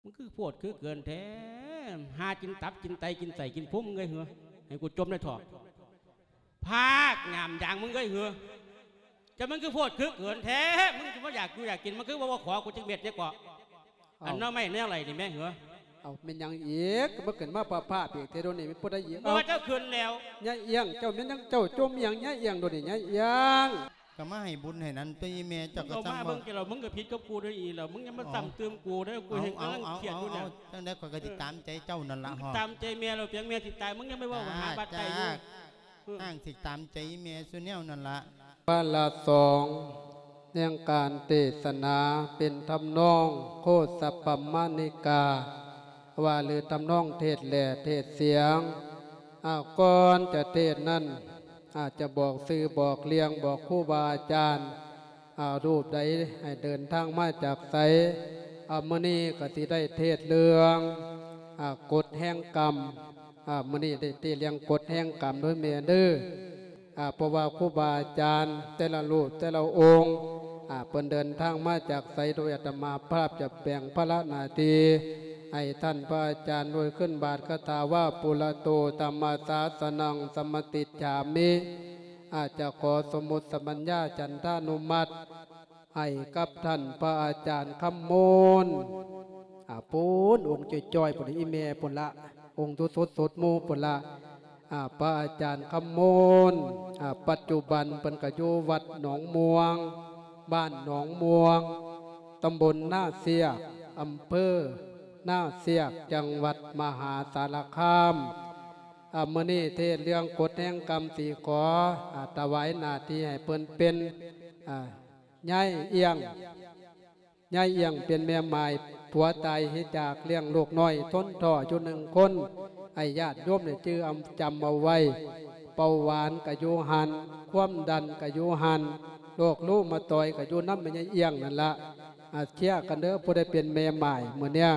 ມັນຄືໂພດຄືເກີນແທ້ ຫາກິນຕັບກິນໄຕກິນໄສ້ກິນພຸງເອີຍເຫືອ ໃຫ້ກູຈົ່ມໄດ້ເຖາະ ພາກຫຍາມຢາງມຶງເອີຍເຫືອ ຈະມັນຄືໂພດຄືເກີນແທ້ ມຶງຊິບໍ່ຢາກຢູ່ຢາກກິນ ມັນຄືບໍ່ ບໍ່ຂໍກູຈັກເມັດແດ່ເກາະ ເອົ້າ ອັນໜໍ່ໄມ້ແນວໄຫຼນີ້ແມ່ເຫືອ ເອົ້າ ແມ່ນຫຍັງອີກ ມັນຂຶ້ນມາພາບໆອີກເທື່ອດຽວນີ້ ແມ່ນຜູ້ໃດອີກ ບໍ່ວ່າເຈົ້າຂຶ້ນແລ້ວ ຍາຍອຽງ ເຈົ້າແມ່ນຫຍັງ ເຈົ້າຈົ່ມອີ່ຫຍັງ ຍາຍອຽງ ດຽວນີ້ ຍາຍອຽງ ກໍມາໃຫ້ບຸນໃຫ້ນັ້ນຕົວະ ອີ່ແມ່ ເຈົ້າກໍ ເອົາມາເບິ່ງ ແລ້ວ ມຶງກໍຜິດກັບກູເດີ ອີ່ແລ້ວ ມຶງຢ່າມາ ເອົ້າ ຊ້ຳຕື່ມກູເດີ ກູແຮ່ງກຳລັງຄຽດຢູ່ນີ້ ຈັ່ງໃດຂ້ອຍກໍຊິຕາມໃຈເຈົ້ານັ້ນລະ ຕາມໃຈແມ່ແລ້ວ ພຽງແມ່ຊິຕາຍ ມຶງຢ່າໄປເວົ້າຫາບາດໃຈຢູ່ ນາງຊິຕາມໃຈອີ່ແມ່ສູ່ແນວນັ້ນລະ ພາລະສອງ ແຫ່ງການເທດສະໜາ ເປັນທຳນອງໂຄດສະປະມານິກາ ວ່າ ຫຼື ທຳນອງເທດແຫຼເທດສຽງ ອາ ກ່ອນຈະເທດນັ້ນ ອາດຈະບອກຊື່ບອກລຽງ ບອກຄູບາອາຈານ ອາ ຮູບໃດໃຫ້ເດີນທາງມາຈາກໃສ ອາ ມື້ນີ້ກໍຊິໄດ້ເທດເລື່ອງ ອາ ກົດແຫ່ງກຳ ອາ ມື້ນີ້ໄດ້ເທດເລື່ອງກົດແຫ່ງກຳເດີແມ່ເດີ ອາ ເພາະວ່າຄູບາອາຈານແຕ່ລະຮູບແຕ່ລະອົງ ອາ ເພິ່ນເດີນທາງມາຈາກໃສ ໂດຍອາດຕະມາພາບຈະແບ່ງພາລະໜ້າທີ່ໃຫ້ທ່ານພະອາຈານ ໂດຍຂຶ້ນບາດຄາຖາວ່າ ປຸລະໂຕທຳມະສາສະນັງສະມະຕິດສາມິ ອາດຈະຂໍສົມມຸດສະບັນຍາຈັນທານຸມັດ ໃຫ້ກັບທ່ານພະອາຈານຄຳມູນ ອາ ພຸ້ນ ອົງຈ່ອຍໆ ພຸ້ນ ອີ່ແມ່ພຸ້ນລະ ອົງສຸດໆ ໝູ່ພຸ້ນລະ ອາ ພະອາຈານຄຳມູນ ອາ ປັດຈຸບັນເພິ່ນກໍຢູ່ວັດໜອງມ່ວງ ບ້ານໜອງມ່ວງ ຕຳບົນນາຊຽກ ອຳເພີນາຊຽກ ຈັງຫວັດມະຫາສາລະຄາມ ອາ ມື້ນີ້ເທດເລື່ອງກົດແຫ່ງກຳ ຊິຂໍ ອາ ຖວາຍໜ້າທີ່ໃຫ້ເພິ່ນເປັນ ອາ ຍາຍອຽງ ຍາຍອຽງເປັນແມ່ໝ້າຍ ຜົວຕາຍເສຍຈາກ ລ້ຽງລູກນ້ອຍທົນທໍ້ຢູ່ໜຶ່ງຄົນ ໃຫ້ຍາດໂຍມໄດ້ຈື່ອຳ ຈຳເອົາໄວ້ ເບົາຫວານກະຢູ່ຫັ້ນ ຄວາມດັນກະຢູ່ຫັ້ນ ໂລກລູມາຕອຍກະຢູ່ນຳແມ່ຍາຍອຽງນັ້ນລະ ອາ ເຊຍກັນເດີ ຜູ້ໃດເປັນແມ່ໝ້າຍມື້ນີ້.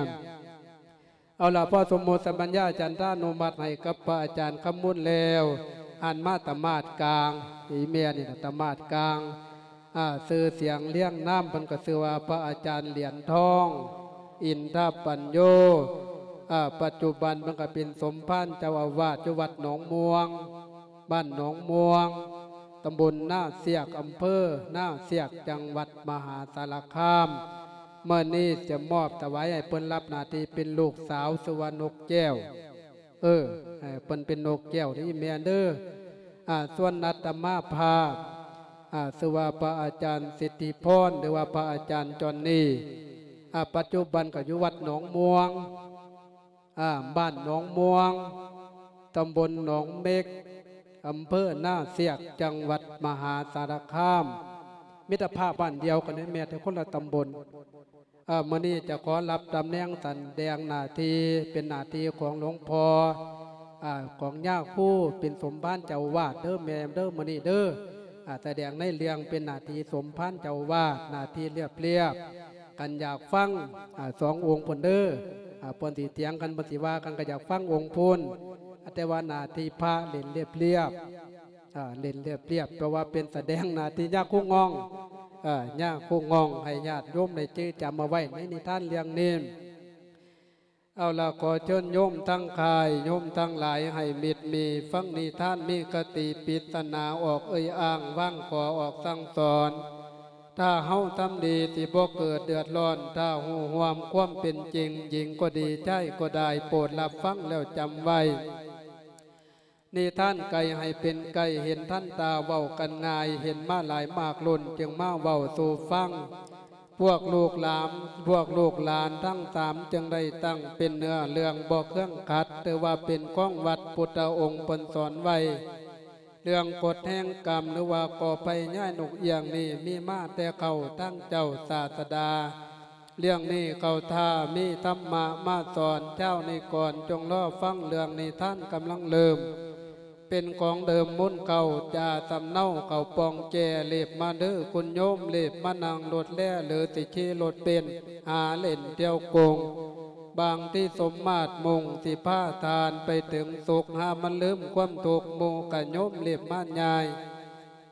ເອົາລະ ພໍສົມມຸດສະບັນຍາຈັນທານຸມັດໃຫ້ກັບພະອາຈານຄຳມຸນແລ້ວ ຫັນມາຕະໝາດກາງ ອີ່ແມ່ນີ້ນະ ຕະໝາດກາງ ອາ ຊື່ສຽງລຽງນາມເພິ່ນກໍຊື່ວ່າພະອາຈານຫຼຽນທອງ ອິນທະປັນໂຍ ອາ ປັດຈຸບັນເພິ່ນກໍເປັນສົມພານເຈົ້າອາວາດຢູ່ວັດໜອງມ່ວງ ບ້ານໜອງມ່ວງ ຕຳບົນນາຊຽກ ອຳເພີນາຊຽກ ຈັງຫວັດມະຫາສາລະຄາມ. ມື້ນີ້ຈະມອບຖວາຍໃຫ້ເພິ່ນ ຮັບໜ້າທີ່ເປັນລູກສາວ ຊື່ວ່ານົກແກ້ວ ເອີ ໃຫ້ເພິ່ນເປັນນົກແກ້ວເດີແມ່ເດີ. ອາ ສ່ວນອາດຕະມາພາບ ອາ ຊື່ວ່າພະອາຈານສິດທິພອນ ຫຼືວ່າພະອາຈານຈອນນີ ອາ ປັດຈຸບັນກໍຢູ່ວັດໜອງມ່ວງ ອາ ບ້ານໜອງມ່ວງ ຕຳບົນໜອງເມັກ ອຳເພີນາຊຽກ ຈັງຫວັດມະຫາສາລະຄາມ. ມິດຕະພາບບ້ານດຽວກັນເດ້ແມ່ ແຕ່ຄົນລະຕຳບົນ. ອາ ມື້ນີ້ຈະຂໍຮັບຕຳແໜ່ງສະແດງໜ້າທີ່ ເປັນໜ້າທີ່ຂອງຫຼວງພໍ່ ອາ ຂອງຍາຄູ ເປັນສົມພານເຈົ້າອາວາດເດີແມ່ເດີ ມື້ນີ້ເດີ. ອາ ສະແດງໃນເລື່ອງເປັນໜ້າທີ່ສົມພານເຈົ້າອາວາດ ໜ້າທີ່ລຽບໆ. ຄັນຢາກຟັງ ອາ ສອງອົງພຸ້ນເດີ ອາ ເພິ່ນຊິຖຽງກັນ ເພິ່ນຊິວ່າກັນ ກໍຢາກຟັງອົງພຸ້ນ ອາ ແຕ່ວ່າໜ້າທີ່ພະເຫຼັ້ນລຽບໆ ອາ ເຫຼັ້ນລຽບໆ ແປວ່າເປັນສະແດງໜ້າທີ່ຍາຄູງ່ອງ ອາ ຍາຄູງ່ອງ ໃຫ້ຍາດໂຍມໄດ້ຈື່ຈຳເອົາໄວ້ໃນນິທານເລື່ອງນີ້. ເອົາລະ ຂໍເຊີນໂຍມທັງຄ້າຍ ໂຍມທັງຫຼາຍໃຫ້ມິດມີ ຟັງນິທານມີຄະຕິ ປິດສະໜາອອກເອີ່ຍອ້າງ ວາງຂໍອອກສັ່ງສອນ. ຖ້າເຮົາທຳດີ ຊິບໍ່ເກີດເດືອດຮ້ອນ ຖ້າຮູ້ຮ່ວມຄວາມເປັນຈິງ ຍິງກໍດີ ຊາຍກໍໄດ້ ໂປດຮັບຟັງແລ້ວຈຳໄວ້. ນິທານໄກ່ໃຫ້ເປັນໄກ່ ເຫັນທັນຕາເວົ້າກັນງ່າຍ ເຫັນມາຫຼາຍມາກລຸ້ນ ຈຶ່ງມາເວົ້າສູ່ຟັງ. ພວກລູກຫຼານ ພວກລູກຫຼານທັງສາມ ຈຶ່ງໄດ້ຕັ້ງເປັນເນື້ອເລື່ອງບໍ່ເຄືອງຂັດ ຖືວ່າເປັນຂອງວັດ ພຸດທະອົງເພິ່ນສອນໄວ້. ເລື່ອງກົດແຫ່ງກຳ ຫຼືວ່າກໍໄພຍານົກອຽງນີ້ ມີມາແຕ່ເກົ່າ ທັງເຈົ້າສາດສະດາ ເລື່ອງນີ້ເຂົ້າທ່າມີທຳມະມາສອນ ເຈົ້ານີ້ກ່ອນຈົ່ງລໍຟັງເລື່ອງນິທານກຳລັງເລີ່ມ ເປັນຂອງເດີມມູນເກົ່າ ຈາສຳເນົາເຂົ້າປ່ອງແຈ້ ເລັບມາເດີຄຸນໂຍມ ເລັບມານັ່ງລົດແລ່ ຫຼືຊິຂີ່ລົດເບັນ ຫາເຫຼັ້ນທ່ຽວກົງ ບາງທີສົມມາດມຸ່ງຊິພາທ່ານໄປເຖິງສຸກ ຫາມັນລືມຄວາມທຸກ ໝູ່ກະໂຍມເລັບມາຍ່າຍ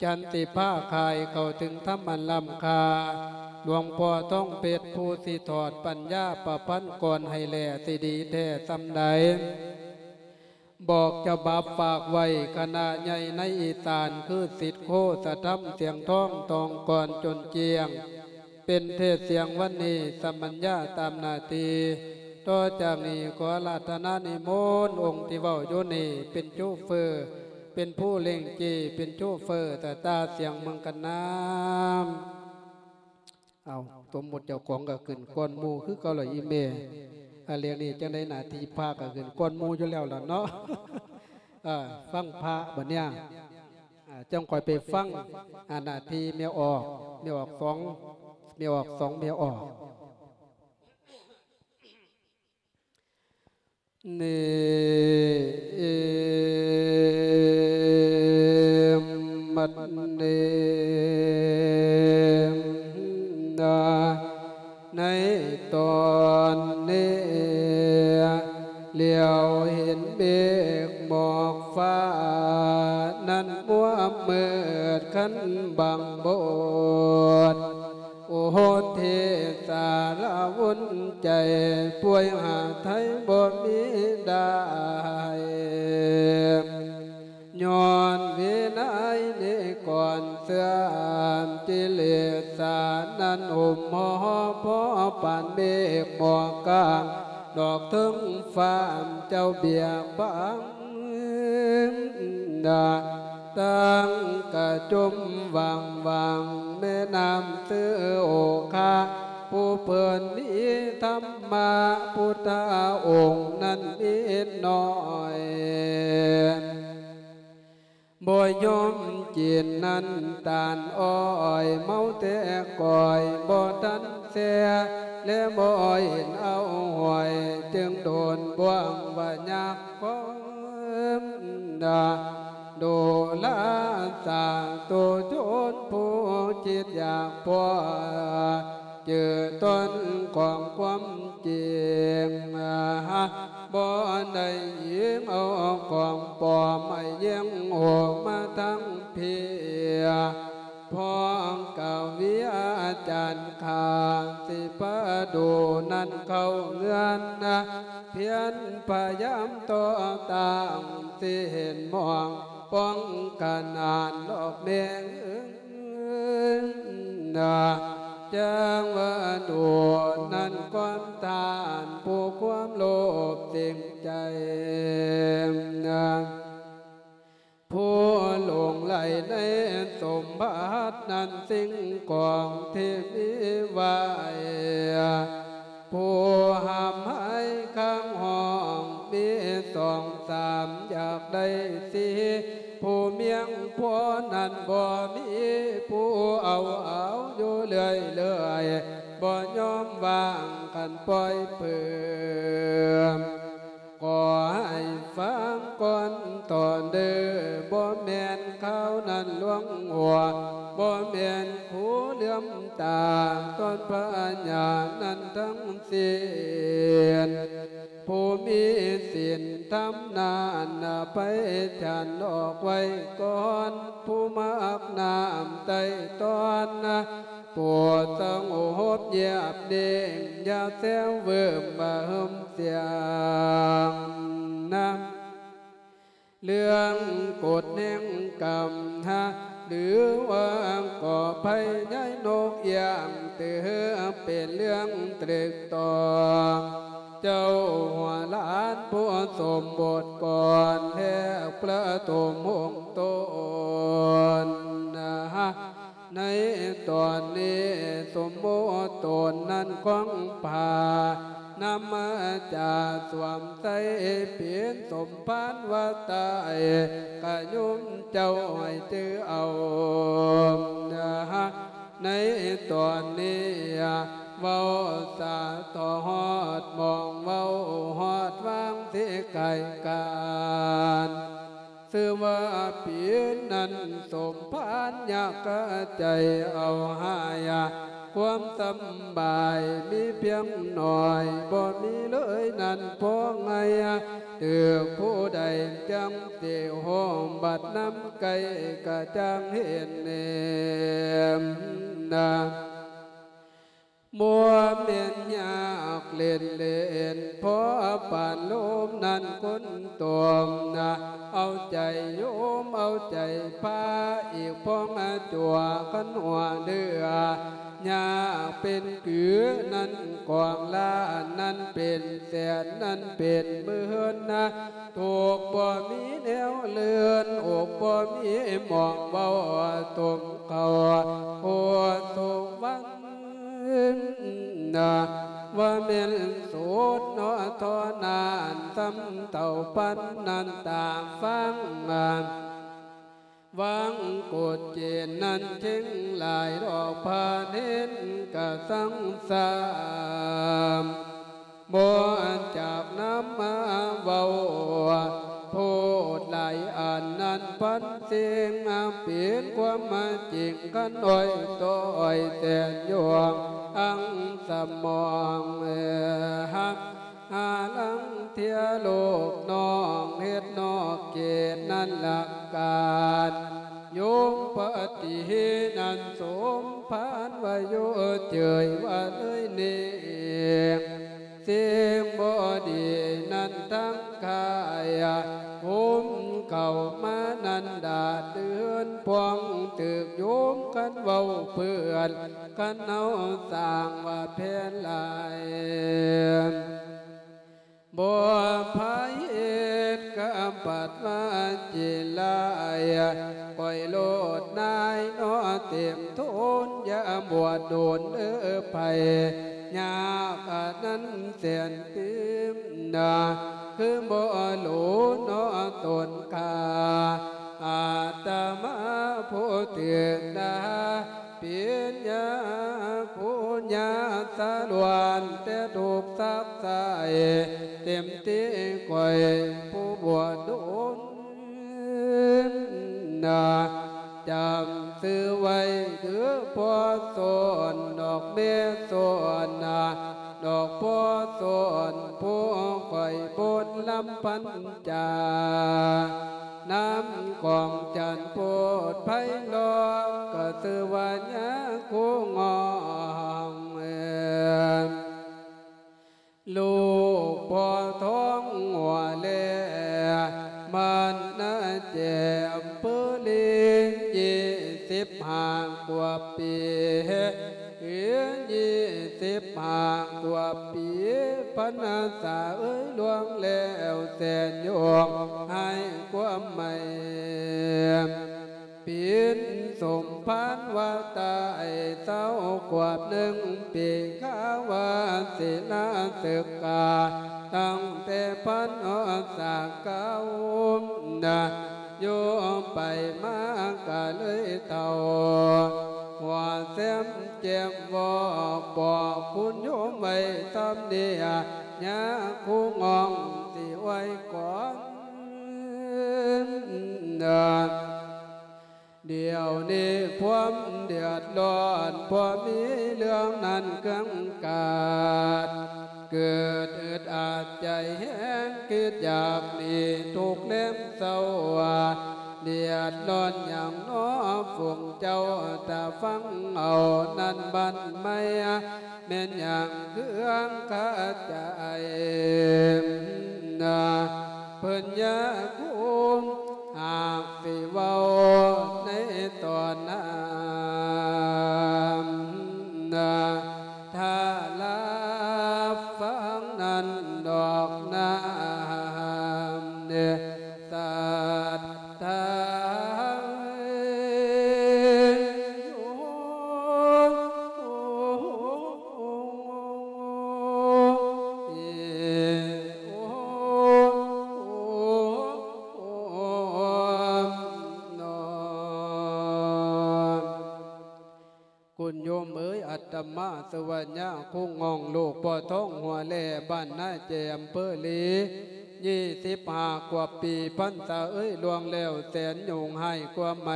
ຈັນຊິພາຂ້າຍເຂົ້າເຖິງທຳອັນລ້ຳຄ່າ ຫຼວງພໍ່ທອງເພັດ ຜູ້ຊິຖອດປັນຍາປະພັນກອນໃຫ້ແລ ຊິດີແທ້ສ່ຳໃດ ບອກສະບັບຝາກໄວ້ ຄະນະໃຫຍ່ໃນອີສານ ຄືສິດໂຄສະທຳ ສຽງທອງ ທອງກອນຈົນຈຽງ ເປັນເທດສຽງວັນນີ້ ສະມັນຍາຕາມໜ້າທີ່. ຕໍ່ຈາກນີ້ ຂໍອາລາທະນານິມົນອົງທີ່ເວົ້າຢູ່ນີ້ ເປັນໂຊເຟີ ເປັນຜູ້ເລັ່ງຈີ້ ເປັນໂຊເຟີ ຕາຕາສຽງເມືອງກັນນາ. ເອົາ ສົມມຸດເຈົ້າຂອງກໍຂຶ້ນກ່ອນໝູ່ຄືເກົ່າລະອີ່ແມ່. ອາ ເລື່ອງນີ້ຈັ່ງໃດ ໜ້າທີ່ພະກໍຂຶ້ນກ່ອນໝູ່ຢູ່ແລ້ວລະເນາະ. ເອີ ຟັງພະບັດເນີ້ຍ ອາ ຈັ່ງຄ່ອຍໄປຟັງ ອາ ໜ້າທີ່ແມ່ອອກ ແມ່ອອກສອງ ແມ່ອອກສອງ ແມ່ອອກ. ເນ ເອ ມັດ ເນ ນາ ໃນຕອນນີ້ ຫຼຽວເຫັນເມກໝອກຟ້ານັ້ນ ມົວມືດຄັນບັງບົດ ໂອໂຫ ເທສາລະວຸນໃຈ ປ່ວຍຫາໄທບໍ່ມີໄດ້ ຍ້ອນວິໄນນິກອນເຊື່ອມ ກິເລສານັ້ນ ຫຸ້ມຫໍ່ພໍປານເມກໝອກກາງ ດອກເທິງຟ້າເຈົ້າບຽກບັງ ຕັ້ງກະຈຸມຫວ່າງໆ ແມ່ນ້ຳເຊໂອຄາ ຜູ້ເພິ່ນມີທຳມະ ພຸດທະອົງນັ້ນມີໜ້ອຍ ບໍ່ຍອມກິນນ້ຳຕານອ້ອຍ ເມົາແຕ່ກ້ອຍບໍ່ທັນແຊ່ ແລບໍ່ເຫັນເອົາຫ້ອຍ ຈຶ່ງໂດນບ່ວງວ່າຍາກຄວາມ ໂດລາສາຕຸຊົນຜູ້ຄິດຢາກພົວ ຈື່ຕົ້ນຂອງຄວາມຈິງ ບໍ່ໄດ້ອີງເອົາຂອງປອມ ໃຫ້ແຍງໂຫມາທັງເພຍ ພ້ອມກະວິອາຈານຂ້າ ຊິປະດູນັ້ນເຂົ້າເຮືອນນະ ພຽນພະຍາຍາມຕໍ່ຕ້ານ ຊິເຫັນໝອງປ້ອງຂະໜານດອກແມ່ເອີຍນະ ຈັ່ງວ່າໂດນນັ້ນກ່ອນທ່ານ ຜູ້ຄວາມໂລບເສັງໃຈນະ ຜູ້ຫຼົງໄຫຼໃນສົມບັດນັ້ນ ສິ່ງຂອງທີ່ມີໄວ້ ຜູ້ຫ້າມໃຫ້ຄ້າງຫ້ອງມີສອງສາມ ຢາກໄດ້ສີ່ ຜູ້ມຽງພໍນັ້ນບໍ່ມີ ຜູ້ເອົາເອົາຢູ່ເລື້ອຍໆ ບໍ່ຍອມວາງຄັນປ່ອຍເພີມ ຂໍໃຫ້ຟັງກ່ອນຕອນເດີ ບໍ່ແມ່ນຂ່າວນັ້ນລວງຫົວ ບໍ່ແມ່ນຜູ້ເຫຼື້ອມຕາ ຕອນພະຍານັ້ນທັງສິ້ນ ຜູ້ມີສິນທຳນັ້ນໄປສັນອອກໄວ້ກ່ອນ ຜູ້ມັກນ້ຳໄຕ່ຕອນ ໂປດສະຫງົບຍຽບນິ່ງ ຢ່າແຊວເວີມມາເຫິມສຽງນຳ ເລື່ອງກົດແຫ່ງກຳນະ ຫຼືວ່າກໍໄພໃຫຍ່ນົກອຽງ ຖືເປັນເລື່ອງຕຶກຕອງ ເຈົ້າຫົວຫຼານຜູ້ສົມບົດກ່ອນ ແລກປະຖົມຫົງຕົນນະ ໃນຕອນນີ້ສົມມຸດຕົນນັ້ນຂອງພາ ນຳມາຈາກສວມໃສ່ເປັນສົມພານວ່າຕາຍ ກະໂຍມເຈົ້າໃຫ້ຈື່ເອົານະ ໃນຕອນນີ້ເວົ້າສາທອດຮອດໝ່ອງ ເວົ້າຮອດວາງຊິໄກການ ຊື່ວ່າປີນັ້ນສົມພານຍາກກະໃຈເອົາຫາຍ ຄວາມສຳບາຍມີພຽງໜ້ອຍ ບໍ່ມີເລີຍນັ້ນພໍໄງ ຖືກຜູ້ໃດຈັ່ງຕິໂຮມ ບັດນຳໃກ້ກະຈັ່ງເຫັນເນມນະ. ບໍ່ແມ່ນຍາກເຫຼັ້ນໆ ພໍປານລົມນັ້ນຄົນຕົມນະ ເອົາໃຈໂຍມເອົາໃຈພະ ອີກພໍມາຈົວຄັນຫົວເຫຼືອ ຍາກເປັນກືນັ້ນກອງລ້ານ ນັ້ນເປັນແສນ ນັ້ນເປັນໝື່ນນະ ທຸກບໍ່ມີແນວເລື່ອນ ອົກບໍ່ມີໝ່ອງເວົ້າ ຕົມເຂົ້າໂຄສົວັນ ນະ ວ່າແມ່ນໂສດເນາະທໍ່ນານ ສ່ຳເທົ່າປັນນັ້ນຕາມຟັງ ວັງກົດເຈນນັ້ນເຄັ່ງຫຼາຍດອກ ພາເນນກະສັງສາມ ບໍ່ຈາກນຳມາເວົ້າ ໂພດຫຼາຍອັນນັ້ນພັນສິ່ງ ເປັນຄວາມຈິງຄັນອ້ອຍຕໍ່ອ້ອຍແສນຍອງ ອັງສະໝອງ ຫາລັງເທຍໂລກນ້ອງ ເຮັດນອກເຂດນັ້ນລະການ ໂຍມປະຕິເຫດນັ້ນສົມພານວ່າຢູ່ເຈີຍວ່າເລີຍນີ້ ສິ່ງບໍ່ດີນັ້ນທັງກາຍ ໂຮມເຂົ້າມານັ້ນດາດເດືອນ ພວງຖືກໂຍມຄັນເວົ້າເພື່ອນ ຄັນເຮົາສ້າງວ່າແຜ່ນຫຼາຍ ບໍ່ພາເຮັດກະບັດວ່າຈິລາຍ ຂ້ອຍໂລດນາຍເນາະເຕັມທົນ ຢ່າບວດດົນເດີໃຜ ຍາກອັນນັ້ນແສນຕື່ມນາ ຄືບໍ່ໂລເນາະຕົນຂ້າ ອາດຕະມາຜູ້ຖືກດ່າ ເປັນຍາຄູຍາສະຫຼວນ ແຕ່ຖືກຊັກໃສ່ເຕັມທີ່ ຂ້ອຍຜູ້ບວດດົນນາ ຈຳຊື່ໄວ້ເດີພໍ່ສອນ ດອກແມ່ສອນນາ ດອກພໍ່ສອນ ຜູ້ຂ້ອຍບົນລຳພັນ ຈາ ນຳຂອງຈັນໂພດໄພເລາະ ກະຊື່ວ່າຍາຄູງອງ ລູກພໍ່ທອງຫົວແລ ມັນນະແຈມເປີລີ ຍີ່ສິບຫ້າກວ່າປີ ເອີ ຍີ່ສິບຫ້າກວ່າປີ ພັນສາເອີຍ ລ່ວງແລ້ວແສນຍວງ ໃຫ້ຄວາມໃໝ່ ປີນສົມພານວ່າຕາຍ ຊາວຂວບໜຶ່ງປີ ຄາວ່າສິລາສຶກສາ ຕັ້ງແຕ່ພັນຮອດສາເກົ້ານະ ຢູ່ໄປມາກະເລີຍເຖົ້າ ຫົວແຊມແຈ່ມບອກ ບອກຄຸນໂຍມໄວ້ສ່ຳນີ້ ຍາຄູງອງຊິອວຍກ່ອນ ດຽວນີ້ຄວາມເດືອດຮ້ອນ ບໍ່ມີເລື່ອງນັ້ນເຄື່ອງກາດ ເກີດອຶດອັດໃຈແຮງ ຄິດຢາກໜີທຸກແລມເຊົ້າ ເດືອດຮ້ອນຫຍັງນໍຝູງເຈົ້າ ຖ້າຟັງເອົານັ້ນບ້ານໃໝ່ ແມ່ນຫຍັງເຄືອງຄາໃຈ ນະ ເພິ່ນຢາກຮູ້ ຫາກຊິເວົ້າໃນຕອນນັ້ນ ນະ ຖ້າລາບຟັງນັ້ນດອກນາ ເດ ສັດທາ ຄຸນໂຍມເອີຍ ອາດຕະມາ ຊື່ວ່າຍາຄູງອງ ລູກພໍ່ທອງຫົວແລ ບ້ານນາແຈ ອຳເພີລີ ຍີ່ສິບຫ້າກວ່າປີ ພັນສາເອີຍ ລ່ວງແລ້ວແສນຍວງ ໃຫ້ຄວາມໃໝ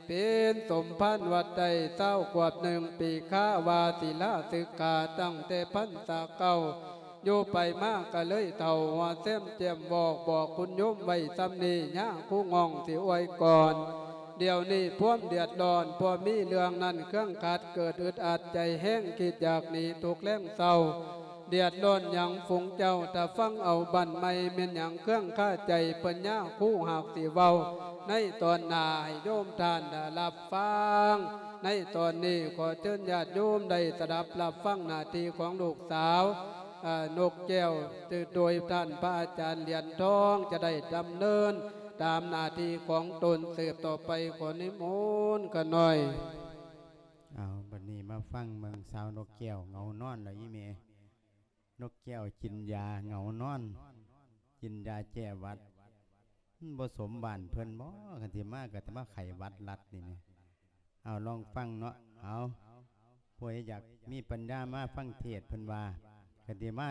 ເປັນສົມພານວັດໄດ້ຊາວຂວບໜຶ່ງປີ ຄາວ່າສິລາສຶກສາຕັ້ງແຕ່ພັນສາເກົ້າ ຢູ່ໄປມາກະເລີຍເຖົ້າ ຫົວແຊມແຈ່ມບອກ ບອກຄຸນໂຍມໄວ້ສ່ຳນີ້ ຍາຄູງອງຊິອວຍກ່ອນ ດຽວນີ້ພວມເດືອດຮ້ອນ ພວມມີເລື່ອງນັ້ນເຄື່ອງຂັດ ເກີດອຶດອັດໃຈແຮງ ຄິດຢາກໜີທຸກແລງເຊົາ. ເດືອດຮ້ອນຫຍັງຝູງເຈົ້າ ຖ້າຟັງເອົາບ້ານໃໝ່ ແມ່ນຫຍັງເຄື່ອງຄາໃຈ ເພິ່ນຍາຄູຫາກຊິເວົ້າ ໃນຕອນໜ້າໃຫ້ໂຍມທ່ານໄດ້ຮັບຟັງ. ໃນຕອນນີ້ຂໍເຊີນຍາດໂຍມໄດ້ສະດັບຮັບຟັງໜ້າທີ່ຂອງລູກສາວ ອາ ນົກແກ້ວ ໂດຍທ່ານພະອາຈານຫຼຽນທອງ ຈະໄດ້ດຳເນີນຕາມໜ້າທີ່ຂອງຕົນສືບຕໍ່ໄປ. ຂໍນິມົນຂ້ານ້ອຍ. ເອົາ ບັດນີ້ມາຟັງເບິ່ງສາວນົກແກ້ວເຫງົານອນແລ້ວອີ່ແມ່. ນົກແກ້ວກິນຢາເຫງົານອນ ກິນຢາແກ້ຫວັດ. ມັນບໍ່ສົມບ້ານເພິ່ນບໍ? ຄັນຊິມາກໍຊິມາໄຂ້ຫວັດລັດນີ້ແໝ່. ເອົາ ລອງຟັງເນາະ. ເອົາ ຜູ້ໃດຢາກມີປັນຍາມາຟັງເທດ ເພິ່ນວ່າ ຄັນຊິມາ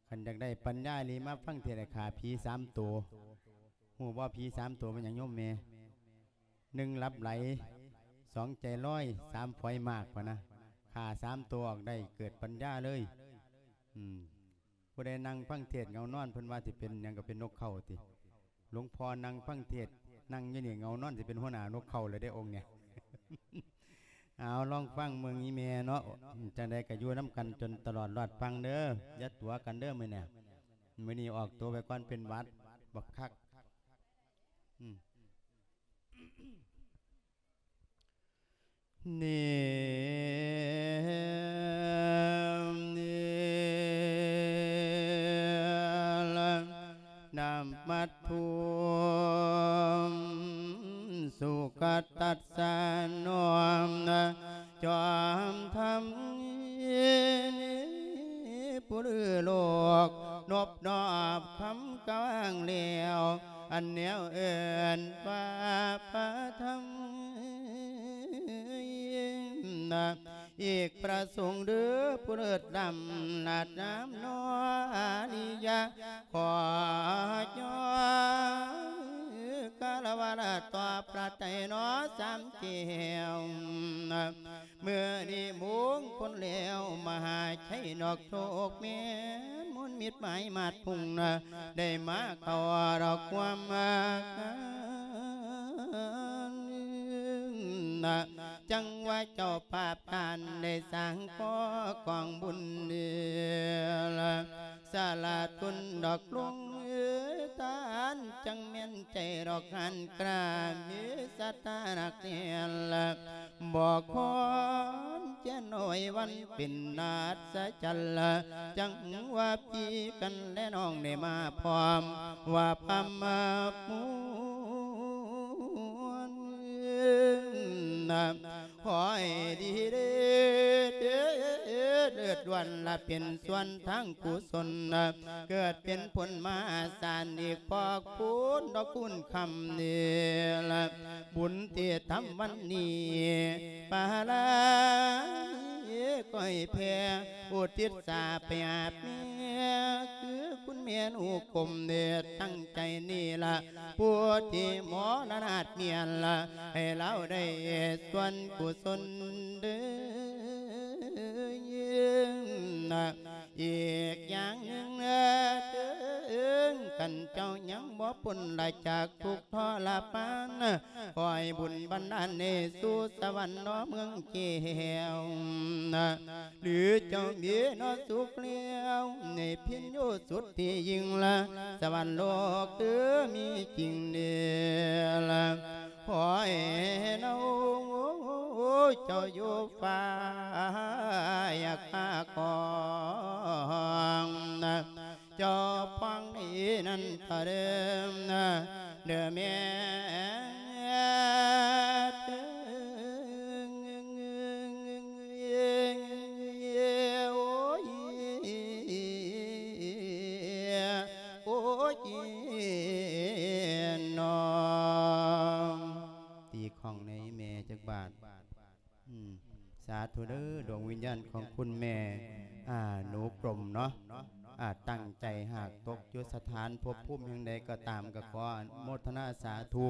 ຄັນຢາກໄດ້ປັນຍາອີ່ຫຼີ ມາຟັງເທດໃຫ້ຂ້າຜີສາມໂຕ. ຮູ້ບໍ່ ຜີສາມໂຕແມ່ນຫຍັງໂຍມແມ່? ໜຶ່ງ ຫຼັບໄຫຼ, ສອງ ໃຈລອຍ, ສາມ ຝອຍໝາກ ພະນະ. ຂ້າສາມໂຕອອກໄດ້ ເກີດປັນຍາເລີຍ. ອືມ ຜູ້ໃດນັ່ງຟັງເທດເຫງົານອນ ເພິ່ນວ່າຊິເປັນຫຍັງ ກໍເປັນນົກເຂົາຕິ. ຫຼວງພໍ່ນັ່ງຟັງເທດ ນັ່ງຢູ່ນີ້ເຫງົານອນ ຊິເປັນຫົວໜ້ານົກເຂົາແລ້ວເດ້ອົງນີ້. ເອົາ ລອງຟັງເບິ່ງອີ່ແມ່ເນາະ. ຈັ່ງໃດກໍຢູ່ນຳກັນຈົນຕະຫຼອດລອດຟັງເດີ້. ຢ່າຕົວະກັນເດີ້ມື້ນີ້. ມື້ນີ້ອອກຕົວໄປກ່ອນ ເປັນຫວັດບັກຄັກ. ອືມ ນີ້ ນີ້ ນະມັດຖຸ ສຸຂະຕັດສະ ນ້ອມຈອມທຳ ຜູ້ລືໂລກ ນົບນອບຄຳກະວາງແລ້ວ ອັນແນວເອີ້ນວ່າພະທຳ. ອີກພະສົງເດີ້ ຜູ້ເລີດລ້ຳນາດນາມນໍ ອາລິຍະ ຂໍຍ້ອນຄາລະວະລະຕໍ່ພະໄຕນໍ ສາມແກ້ວ. ມື້ນີ້ມຸງຄົນແລ້ວ ມະຫາໄຊນອກໂຊກແມ່ນ ມົນມິດໝາຍມາດພຸງນະ ໄດ້ມາເຂົ້າດອກຄວາມຮັກ ນະ ຈັ່ງວ່າເຈົ້າພາບທ່ານໄດ້ສ້າງກໍ່ກອງບຸນເດລະ ສາລະທຸນດອກລຸງເອີ ທ່ານຈັ່ງແມ່ນໃຈດອກຫັ້ນກະມີສັດທານັກແນ່ນລະ ບໍ່ຄອນແຈນນ້ອຍວັນເປັນອັດສະຈັນລະ ຈັ່ງວ່າພີ່ກັນແລະນ້ອງໄດ້ມາພ້ອມ ວ່າພາມາມ່ວນນະ ຂໍໃຫ້ດີເລີດ ເລີດລ້ວນລະເປັນສ່ວນທາງກຸສົນນະ ເກີດເປັນຜົນມະຫາສານອີກພອກພູນດອກຄູນຄຳນີ້ລະ ບຸນທີ່ທຳວັນນີ້ ປາລານີ້ກໍໃຫ້ແຜ່ ອຸທິດສາໄປຫາແມ່ ຄືຄຸນແມ່ນຸກົມເດດຕັ້ງໃຈນີ້ລະ ຜູ້ທີ່ມໍລະນາດເມຍນລະ ໃຫ້ລາວໄດ້ສ່ວນກຸສົນເດີ. ອີກຢ່າງໜຶ່ງເດີ ຄັນເຈົ້າຍັງບໍ່ພົ້ນລະຈາກທຸກທໍລະມານ ຂໍໃຫ້ບຸນບັນດານໃຫ້ສູ່ສະຫວັນເນາະເມືອງແກ້ວ ຫຼືເຈົ້າມີເນາະສຸກແລ້ວ ໃນພິນໂຍສຸດທີ່ຍິ່ງລະ ສະຫວັນໂລກເອີ ມີຈິງເດລະ ຂໍໃຫ້ເນາະເຈົ້າຢູ່ຟ້າ ຢາກມາຂອງນະ ເຈົ້າຟັງດີນັ້ນຕະເດີມນະ ເດີແມ່ເດີ ໂອ້ຍ ໂອ້ຍ ນ້ອງ ຕີຂ້ອງໃນແມ່ຈັກບາດ. ອືມ ສາທຸເດີ ດວງວິນຍານຂອງຄຸນແມ່ ອາ ໜູກົມເນາະ ອາ ຕັ້ງໃຈຫາກຕົກຢູ່ສະຖານພົບພູມແຫ່ງໃດກໍຕາມ ກໍຂໍອະນຸໂມທະນາສາທຸ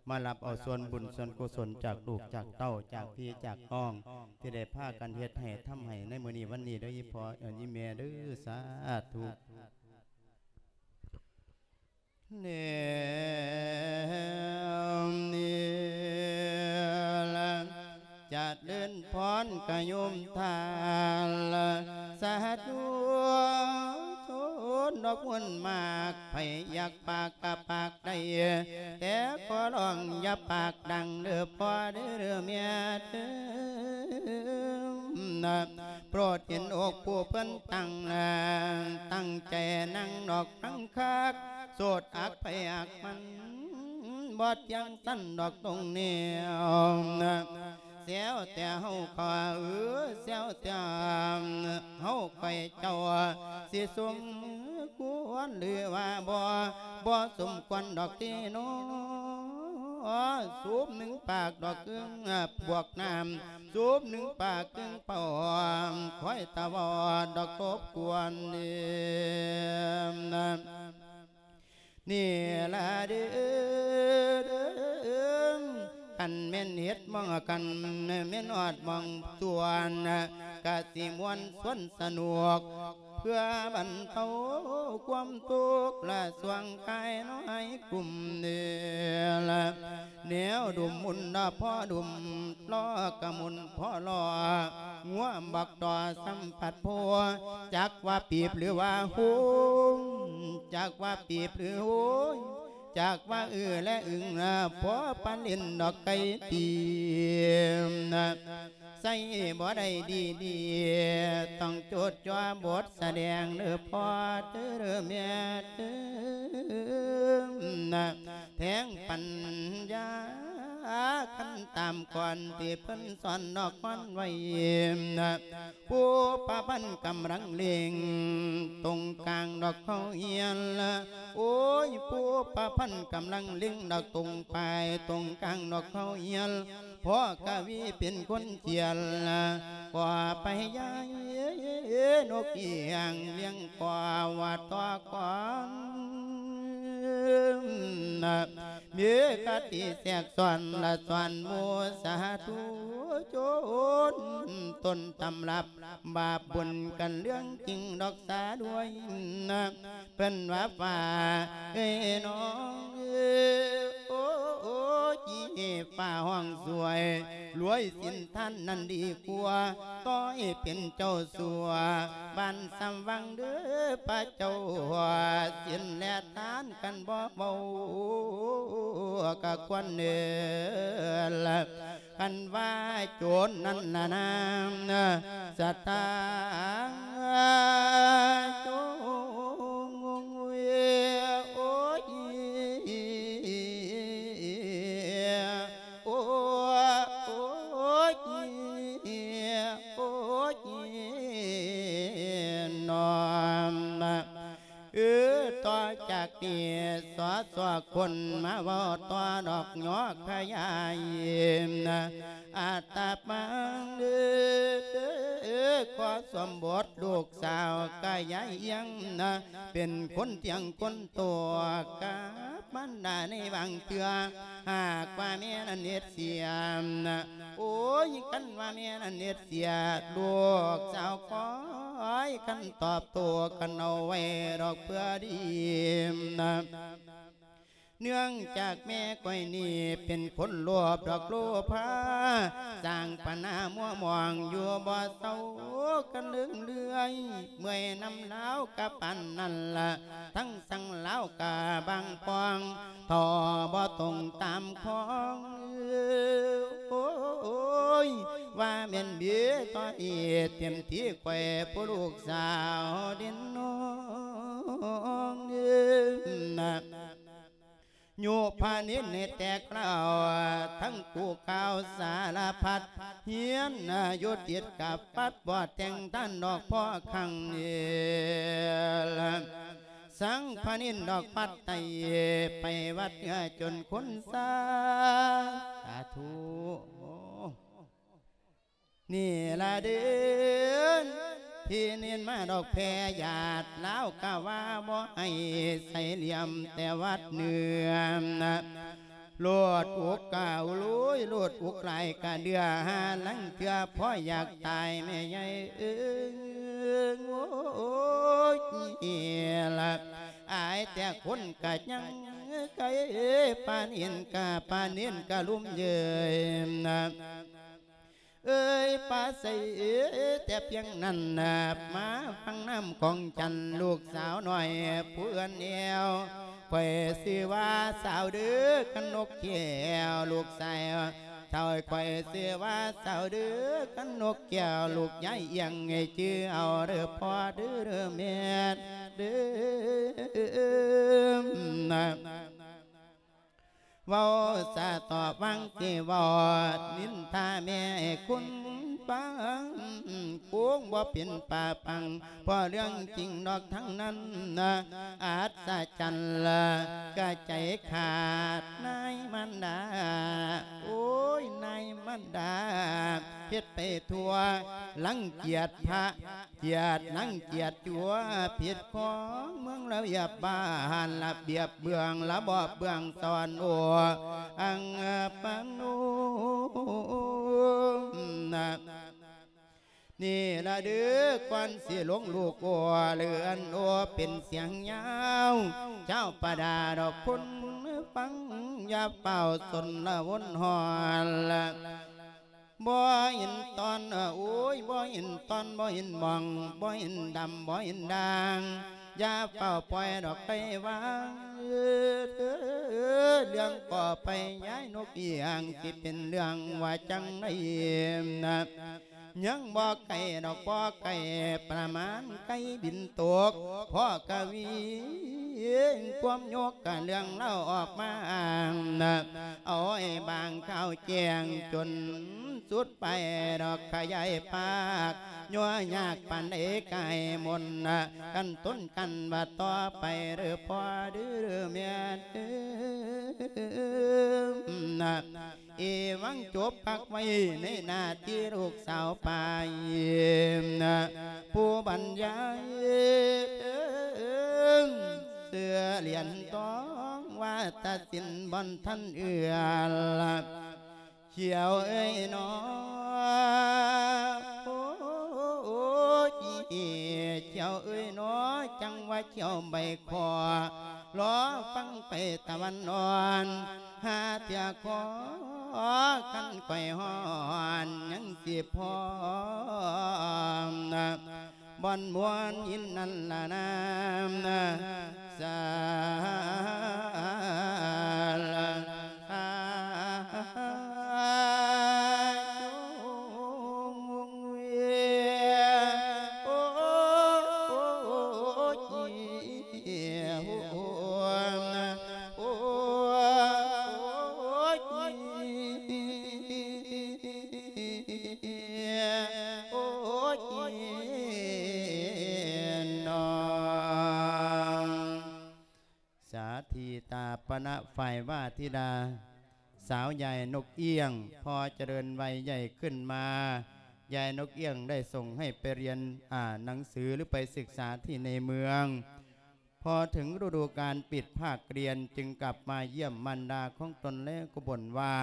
ມາຮັບເອົາສ່ວນບຸນສ່ວນກຸສົນຈາກລູກຈາກເຕົ້າ ຈາກພີ່ຈາກນ້ອງ ທີ່ໄດ້ພາກັນເຮັດໃຫ້ທຳໃຫ້ໃນມື້ນີ້ວັນນີ້ເດີ ອີ່ພໍ່ ອີ່ແມ່ເດີ ສາທຸ. ແນມນີ້ ກະໂຍມທ່ານ ສາທຸຊົນດອກບຸນມາກ ໃຜຢາກປາກກະປາກໄດ້ ແຕ່ຂໍຮ້ອງຢ່າປາກດັງເດີ້ພໍ່ເດີ້ແມ່ເດີ້ ໂປດເຫັນອົກຜູ້ເພິ່ນຕັ້ງ ຕັ້ງໃຈນັ່ງດອກຟັງຄັກ ໂສດອັກໃຜອັກມັນ ບໍ່ທ່ຽງສັນດອກຕົງແນວ ແຊວແຕ່ເຮົາກໍເອີ ແຊວແຕ່ເຮົາຂ້ອຍເຈົ້າ ຊິສົມຄວນຫຼືວ່າບໍ່ ບໍ່ສົມຄວນດອກຕິເນາະ ສູບໜຶ່ງປາກດອກເອີ້ງບວກນ້ຳ ສູບໜຶ່ງປາກເກິ່ງປອມ ຄອຍຕາວອດດອກລົບກວນເດ ນີ້ລະເດີ ຄັນແມ່ນເຮັດໝ່ອງ ຄັນແມ່ນຮອດໝ່ອງຊວນ ກະຊິມ່ວນຊວນສະໜຸກ ເພື່ອບັນເທົາຄວາມທຸກລະຊ່ວງກາຍນ້ອຍກຸມເດລະ ແນວດຸມມຸນລະພໍດຸມ ລໍ້ກະມຸນພໍລໍ້ ງົວບັກຕໍ່ສຳຜັດໂພ ຈັກວ່າປີບຫຼືວ່າໂຮງ ຈັກວ່າປີບຫຼືໂຮງ ຈັກວ່າອື້ແລະອຶງລະ ພໍປານຫຼິ້ນດອກໄກ່ຕີ ໃສ່ບໍ່ໄດ້ດີໆ ຕ້ອງໂຈດຈ່ອບບົດສະແດງເດີ້ພໍ່ເດີ້ແມ່ເດີ້ ແທງປັນຍາ ຄັນຕາມກ່ອນທີ່ເພິ່ນສອນນອກມອນໄວ້ ຜູ້ປະພັນກຳລັງເລັ່ງ ຕົງກາງດອກເຂົ້າຮຽນ ໂອ້ຍ ຜູ້ປະພັນກຳລັງເລັ່ງດອກຕົງປາຍ ຕົງກາງດອກເຂົ້າຮຽນ ພໍ່ກະວີເປັນຄົນຂຽນ ກໍໄປຢາຍນົກອີຫຍັງລ້ຽງກໍວ່າຕໍ່ກ່ອນ ມີຄະຕິແຊກຊ້ອນລະສອນໝູ່ສາທຸຊົນ ຕົ້ນຕຳລັບບາບບຸນກັນເລື່ອງຈິງດອກສາດ້ວຍ ເພິ່ນວ່າຟ້າເອີຍນ້ອງເອີຍ ໂອ້ຍ ຟ້າຮ້ອງຊ່ວຍ ລວຍສິນທ່ານນັ້ນດີກວ່າ ຕໍ່ໃຫ້ເປັນເຈົ້າຊົ່ວ ບ້ານສຳວັງເດີ້ພະເຈົ້າ ສິນແລະທານຄັນບໍ່ເວົ້າ ກະຄວນເດີລະ ຄັນວ່າໂຈນນັ້ນລະນາ ສະຕາງໂຈນ ໂອ້ຍ ໂອ້ຍ ໂອ້ຍ ໂອ້ຍ ນອມ ເອີ ຕໍ່ຈາກນີ້ ສອສອ ຄົນມາເວົ້າຕໍ່ດອກຫຍໍຂະຫຍາຍ ອາດຕະມາງເດີ ຂໍສົມບົດລູກສາວກະຍາຍອຽງ ເປັນຄົນທ່ຽງຄົນໂຕກັບມານດາໃນບາງເທື່ອ ຫາກວ່າແມ່ນັ້ນເຮັດເສຍ ໂອ້ຍ ຄັນວ່າແມ່ນັ້ນເຮັດເສຍ ລູກສາວຂ້ອຍຄັນຕອບໂຕ້ກັນເອົາໄວ້ດອກເພື່ອດີ ເນື່ອງຈາກແມ່ຂ້ອຍນີ້ເປັນຄົນໂລບດອກໂລພາ ສ້າງບັນຫາມົວໝອງຢູ່ບໍ່ເຊົາກັນເລື່ອຍ ເມື່ອຍນຳລາວກະປານນັ້ນລະ ທັງສັງລາວກະບາງປອງ ທໍ່ບໍ່ຕົງຕາມຂອງ ໂອ້ຍ ວ່າແມ່ນເບຕໍ່ເອດ ເຕັມທີ່ຂ້ອຍຜູ້ລູກສາວເດັ່ນນ້ອງ ນະ ຍຸພະນິນໃຫ້ແຕກລາວ ທັງກູ່ກ່າວສາລະພັດ ຮຽນຢູ່ຕິດກັບວັດ ບໍ່ແຕ່ງທ່ານດອກພໍຄັ້ງນີ້ ສັງພະນິນດອກວັດໄຕ້ ໄປວັດເຫືອຈົນຄົນຊາ ສາທຸ ນີ້ລະເດີ ທີ່ເນັ້ນມາດອກແຜ່ຍາດ ລາວກະວ່າບໍ່ໃຫ້ໃສ່ຫຼ່ຽມແຕ່ວັດເໜືອ ໂລດອຸກກະລຸຍ ໂລດອຸກຫຼາຍກະເດືອ ຫາລາງເທື່ອພໍຢາກຕາຍແມ່ໃຫຍ່ເອີຍ ໂອ້ຍ ລະ ອາຍແຕ່ຄົນກະຍັງໄກ ປານເຫັນກະ ປານເຫັນກະລຸ່ມເຍີຍ ນະ ເອີຍ ປາໃສແຕ່ພຽງນັ້ນນະ ມາຟັງນຳຂອງຈັນ ລູກສາວນ້ອຍຜູ້ເອື້ອນແອວ. ຂ້ອຍຊື່ວ່າສາວເດີ ກະນົກແກ້ວ ລູກຊາຍເຖົ້າ. ຂ້ອຍຊື່ວ່າສາວເດີ ກະນົກແກ້ວ ລູກຍາຍອຽງ ໃຫ້ຈື່ເອົາເດີພໍ່ເດີແມ່ເດີ. ເວົ້າສະຕອບຫວັງຊິເວົ້າ ນິນທາແມ່ໃຫ້ຄຸນຟັງ ຄົງບໍ່ເປັນປາປັງ ເພາະເລື່ອງຈິງດອກທັງນັ້ນນະ. ອັດສະຈັນລະກະໃຈຂາດນາຍມານດາ ໂອ້ຍ ນາຍມານດາ ເຮັດໄປທົ່ວ ລັງກຽດພະ ກຽດນາງກຽດຕົວ ຜິດຂອງເມືອງລະບຽບບ້ານ ລະບຽບເບື້ອງ ລະບອບເບື້ອງສອນໂອ ອັງປະໂນ ນີ້ລະເດີ ກ່ອນຊິລົງລູກໂອ ເລື່ອນໂອເປັນສຽງຍາວ ເຈົ້າປະດາດອກຄົນຟັງ ຢ່າຟ້າວສົນລະວົນຮອນລະ ບໍ່ເຫັນຕອນ ໂອ້ຍ ບໍ່ເຫັນຕອນ ບໍ່ເຫັນໝ່ອງ ບໍ່ເຫັນດຳ ບໍ່ເຫັນດ່າງ ຢ່າຟ້າວປ່ອຍດອກໄກ່ວາງ ເລື່ອງກໍໄປຍາຍນົກອຽງ ຊິເປັນເລື່ອງວ່າຈັ່ງໃດນະ ຍັງບໍ່ໄກດອກ ບໍ່ໄກ ປະມານໄກ່ບິນຕົກ ພໍກະວີ ຄວາມຍົກກະເລື່ອງເລົ່າອອກມາອ້າງນະ ເອົາໃຫ້ບາງຂ່າວແຈ້ງຈົນສຸດໄປດອກ ຂະຫຍາຍປາກ ຍົວະຍາກປານໃດກາຍມົນນະ ກັນຕົນກັນວ່າຕໍ່ໄປເດີພໍ່ເດີແມ່ເດີນະ. ເອວັງ ຈົບພັກໄວ້ໃນໜ້າທີ່ລູກສາວປາຍ ຜູ້ບັນຍາຍ ເສືອຫຼຽນທອງ ວ່າຕັດສິນບໍ່ທັນເອື້ອນ ຂຽວເອີຍໜໍ ໂອ້ຍ ຂຽວເອີຍໜໍ ຈັ່ງວ່າຂຽວໃບຂໍ ລໍຟັງໄປຕາວັນອ່ອນ ຫາເທື່ອຂໍ ຄັນຂ້ອຍຮ້ອນ ຍັງຊິພ້ອມ ບ່ອນມ່ວນຍິນນັ້ນລະນາ ສາທຸ. ໂອ້ຍ ໂອ້ຍ ໂອ້ຍ ໂອ້ຍ ນ້ອງ ສາທິຕາປະນະ ຝ່າຍວາທິດາ ສາວຍາຍນົກອຽງ ພໍຈະເລີນໄວໃຫຍ່ຂຶ້ນມາ ຍາຍນົກອຽງໄດ້ສົ່ງໃຫ້ໄປຮຽນ ອ່ານໜັງສື ຫຼື ໄປສຶກສາທີ່ໃນເມືອງ. ພໍເຖິງລະດູການປິດພາກຮຽນ ຈຶ່ງກັບມາຢ້ຽມມານດາຂອງຕົນ ແລ້ວກໍບ່ນວ່າ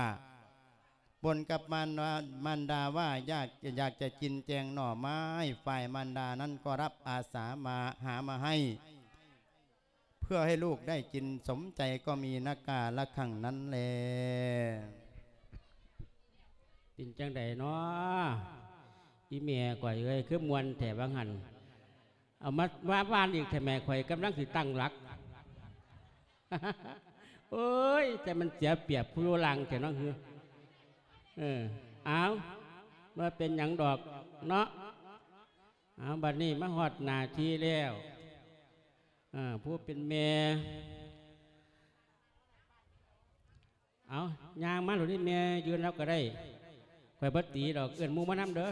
ບ່ນກັບມານວ່າ ມານດາວ່າຢາກ ຢາກຈະກິນແຈງໜໍ່ໄມ້ ຝ່າຍມານດານັ້ນກໍຮັບອາສາມາຫາມາໃຫ້ ເພື່ອໃຫ້ລູກໄດ້ກິນສົມໃຈ ກໍມີນະກາລະຄັ້ງນັ້ນແລ. ເປັນຈັ່ງໃດນໍ ອີ່ແມ່ຂ້ອຍເອີຍ ຄືມ່ວນແທ້ວ່າຫັ້ນ ເອົາມາວ່າວານອີກແທ້ແມ່ ຂ້ອຍກຳລັງຊິຕັ້ງຫຼັກ. ໂອ້ຍ ແຕ່ມັນເສຍປຽບຜູ້ຢູ່ຫຼັງແທ້ເນາະ ເອີ ເອີ ເອົາ ບໍ່ເປັນຫຍັງດອກເນາະ. ເອົາ ບັດນີ້ມາຮອດໜ້າທີ່ແລ້ວ ເອີ ຜູ້ເປັນແມ່ ເອົາ ຍ່າງມາໂລດນີ້ ແມ່ຢືນເອົາກໍໄດ້ ຂ້ອຍບໍ່ຕີດອກ ເອີ້ນໝູ່ມານຳເດີ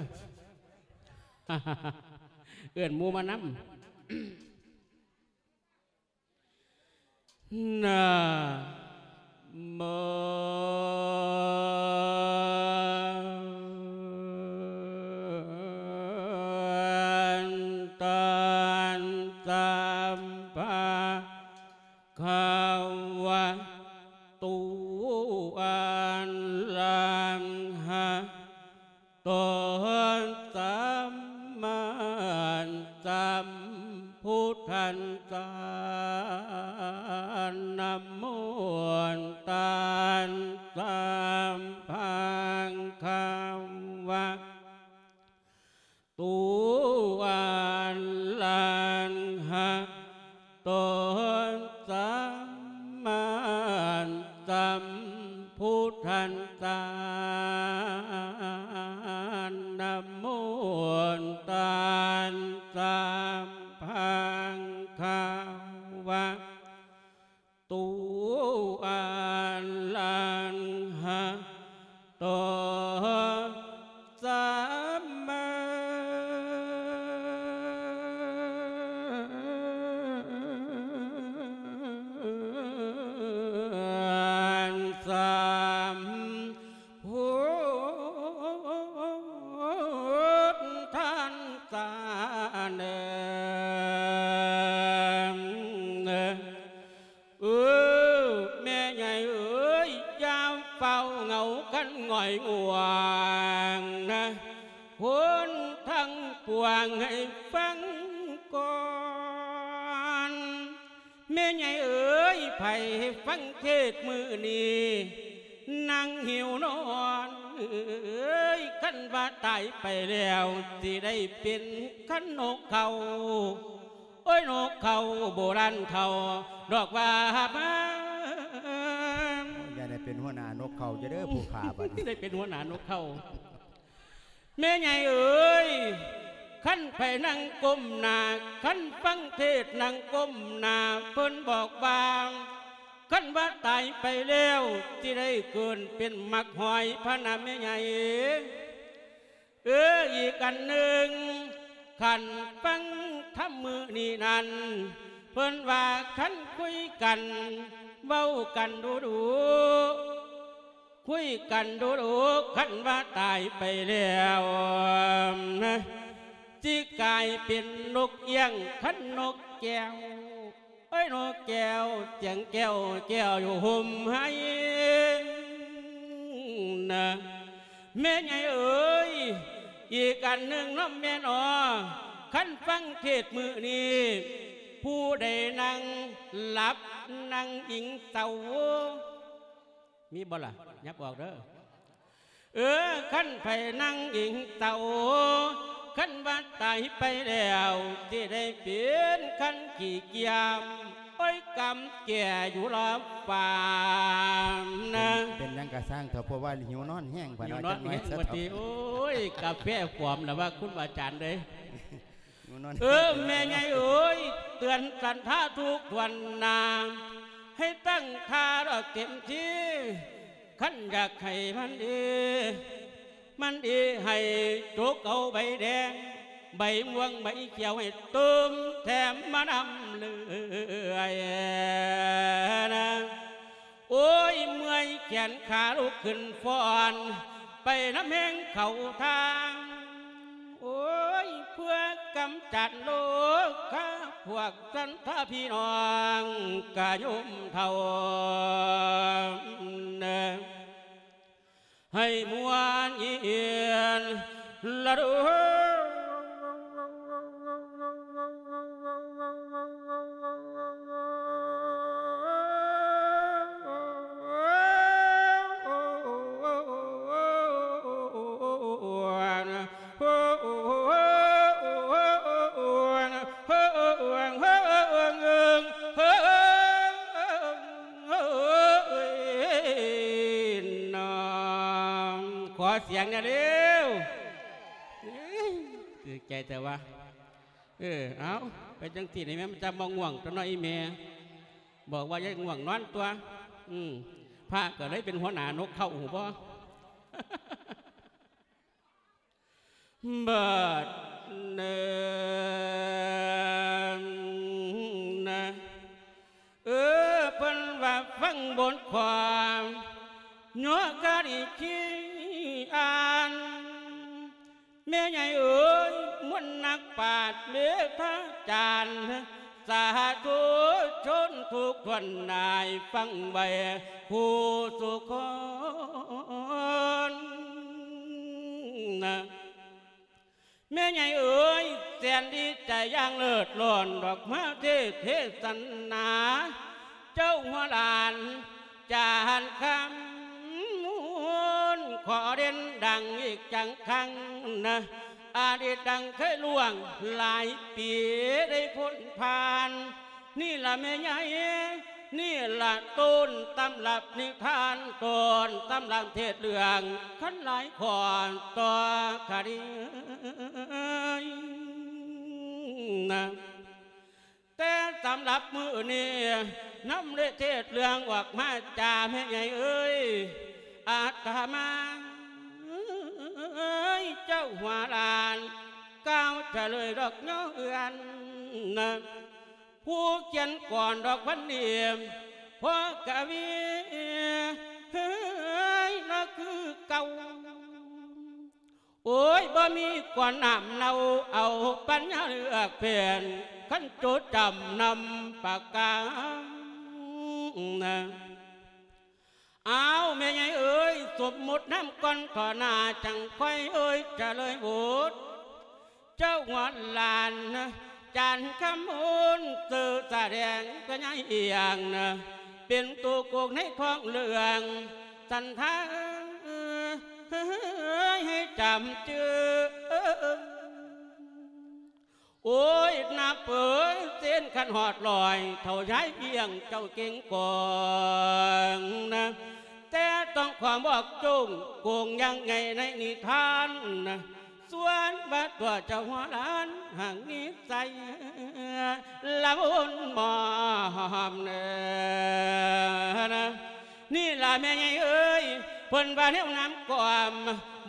ເອີ້ນໝູ່ມານຳ. ນະໂມຕັດສະ ພະຄະວະໂຕ ອະລະຫະໂຕ ສຳມາສຳພຸດທັດສະ ນະໂມຕັດສະ ພະຄະວະ ຕຸອະລະຫະໂຕ ສຳມາສຳພຸດທັດສະ ນະໂມຕັດສະ ພະຄະວະ ຕຸອະລະຫະໂຕ ສຳມາສຳພຸດທັດສະ ເດີ. ເອີ ແມ່ໃຫຍ່ເອີຍ ຢ່າຟ້າວເຫງົາກັນຫງອຍຫງວງນະ ຄົນທັງປວງໃຫ້ຟັງກ່ອນ. ແມ່ໃຫຍ່ເອີຍ ໃຜຟັງເທດມື້ນີ້ ນັ່ງຫິວນອນເອີຍ ຄັນວ່າຕາຍໄປແລ້ວ ຊິໄດ້ເປັນຄັນນົກເຂົາ ໂອ້ຍ ນົກເຂົາໂບລານເຖົ້າດອກວ່າມາ. ໂອ້ຍ ຢ່າໄດ້ເປັນຫົວໜ້ານົກເຂົາເດີ ຜູ້ຂ້າບັດນີ້ ໄດ້ເປັນຫົວໜ້ານົກເຂົາ. ແມ່ໃຫຍ່ເອີຍ ຄັນໃຜນັ່ງກົ້ມໜ້າ ຄັນຟັງເທດນັ່ງກົ້ມໜ້າ ເພິ່ນບອກວ່າ ຄັນວ່າຕາຍໄປແລ້ວ ຊິໄດ້ເກີດເປັນໝາກຫອຍພະນະແມ່ໃຫຍ່. ເອີ ອີກອັນໜຶ່ງ ຄັນຟັງທຳມື້ນີ້ນັ້ນ ເພິ່ນວ່າຄັນຄຸຍກັນ ເວົ້າກັນດຸໆ ຄຸຍກັນດຸໆ ຄັນວ່າຕາຍໄປແລ້ວ ຊິກາຍເປັນນົກເອຍງ ຄັນນົກແກ້ວ ເອີຍ ນົກແກ້ວ ສຽງແກ້ວ ແກ້ວຢູ່ຮົ່ມໄຮນະ ແມ່ໃຫຍ່ເອີຍ. ອີກອັນໜຶ່ງເນາະແມ່ເນາະ ຄັນຟັງເທດມື້ນີ້ ຜູ້ໃດນັ່ງຫຼັບ ນັ່ງອີງເຊົາ ມີບໍ່ລະ? ຫຍັບອອກເດີ. ເອີ ຄັນໃຜນັ່ງອີງເຊົາ ຄັນວ່າຕາຍໄປແລ້ວ ຊິໄດ້ເປັນຄັນຂີ້ກຽມ ໂອ້ຍ ກຳແກ່ຢູ່ລອບຟ້ານະ. ເປັນ ເປັນຫຍັງກະຊ່າງເຖາະ ເພາະວ່າຫິວນອນແຮງ ຫິວນອນແຮງ ວ່າຕິ. ໂອ້ຍ ກາແຟຟອມລະວ່າ ຄຸນອາຈານເອີຍ. ເອີ ແມ່ໃຫຍ່ເອີຍ ເຕືອນສັນທາທຸກຖ້ວນໜ້າ ໃຫ້ຕັ້ງທ່າດອກເຕັມທີ່ ຄັນຢາກໃຫ້ມັນດີ ມັນດີໃຫ້ຈົກເອົາໃບແດງ ໃບມ່ວງໃບຂຽວ ໃຫ້ຕື່ມແຖມມານຳເລື້ອຍນະ. ໂອ້ຍ ເມື່ອຍແຂນຂາລຸກຂຶ້ນຟ້ອນ ໄປນຳແຮງເຂົ້າທາງ ໂອ້ຍ ເພື່ອກຳຈັດໂລຄາ ພວກສັນທະພີ່ນ້ອງກະໂຍມເຖົ້າ ໃຫ້ມ່ວນເຢັນລະດູ. ຂໍສຽງແດ່ເລວ. ເອີຍ ຖືກໃຈແຕ່ວ່າ ເອີ ເອົາ ໄປຈັ່ງຊີ້ນີ້ແມ່ ມັນຈະບໍ່ງ່ວງຕົວເນາະອີ່ແມ່ ບອກວ່າຢ່າງ່ວງນອນຕົວະ. ອືມ ພະກໍເລີຍເປັນຫົວໜ້ານົກເຂົາ ຮູ້ບໍ່? ບາດນີ້ນະ ເອີ ເພິ່ນວ່າຟັງບົດຄວາມ ຍົກກະນິຄີອ່ານ ແມ່ໃຫຍ່ເອີຍ ມວນນັກປາດເມຕາຈານ ສາທຸຊົນທຸກທ່ານນາຍ ຟັງໄວ້ຄູ່ສູ່ຄົນ. ແມ່ໃຫຍ່ເອີຍ ແສນດີໃຈຢ່າງເລີດລ້ອນ ດອກມາເທດເທສະນາ ເຈົ້າຫົວຫຼານຈານຄຳມູນ ຂໍເດັ່ນດັງອີກຈັກຄັ້ງນະ ອະດີດດັ່ງເຄີຍລ່ວງຫຼາຍປີໄດ້ພົ້ນຜ່ານ. ນີ້ລະແມ່ໃຫຍ່ ນີ້ລະຕົ້ນຕຳລັບນິທານ ຕົ້ນຕຳລັບເທດເລື່ອງ ຄັນຫຼາຍຂໍ້ຕໍ່ຄະດີນະ. ແຕ່ສຳລັບມື້ນີ້ ນຳໄດ້ເທດເລື່ອງອອກມາຈາແມ່ໃຫຍ່ເອີຍ ອາດຕະມາເອີຍ ເຈົ້າຫົວລ້ານ ກ່າວຈະເລີຍດອກຍໍເອື້ອນນະ ຜູ້ຂຽນກອນດອກວັນນີ້ ພໍ່ກະວີເອີຍ ລະຄືເກົ່າ. ໂອ້ຍ ບໍ່ມີກວນນ້ຳເນົ່າ ເອົາປັນຍາເລືອກເປັນ ຄັນໂຈດຈຳນຳປາກກາ. ອ້າວ ແມ່ໃຫຍ່ເອີຍ ສົມມຸດນຳກ່ອນຕໍ່ໜ້າ ຈັ່ງຄ່ອຍເອີຍຈະເລີຍບົດ ເຈົ້າງອນຫຼານ ຈານຄຳມູນ ຊື່ສະແດງພະຍາອີ່ຫຍັງນະ ເປັນໂຕໂກງໃນທ້ອງເລື່ອງ ສັນທາເອີຍ ໃຫ້ຈຳຈື່. ໂອ້ຍ ນັບເອີຍ ເຊັ່ນຄັນຮອດຮ້ອຍ ເຖົ້າຍາຍວຽງເຈົ້າເກັ່ງກອງນະ ແຕ່ຕ້ອງຂໍບອກໂຈ້ງໂກງຢ່າງໃຫຍ່ໃນນິທານນະ ສ່ວນວ່າຕົວເຈົ້າຫົວລ້ານຫາກນິໄສລະວົນໝອມເນີນະ. ນີ້ລະແມ່ໃຫຍ່ເອີຍ ເພິ່ນວ່າແນວນຳກອມ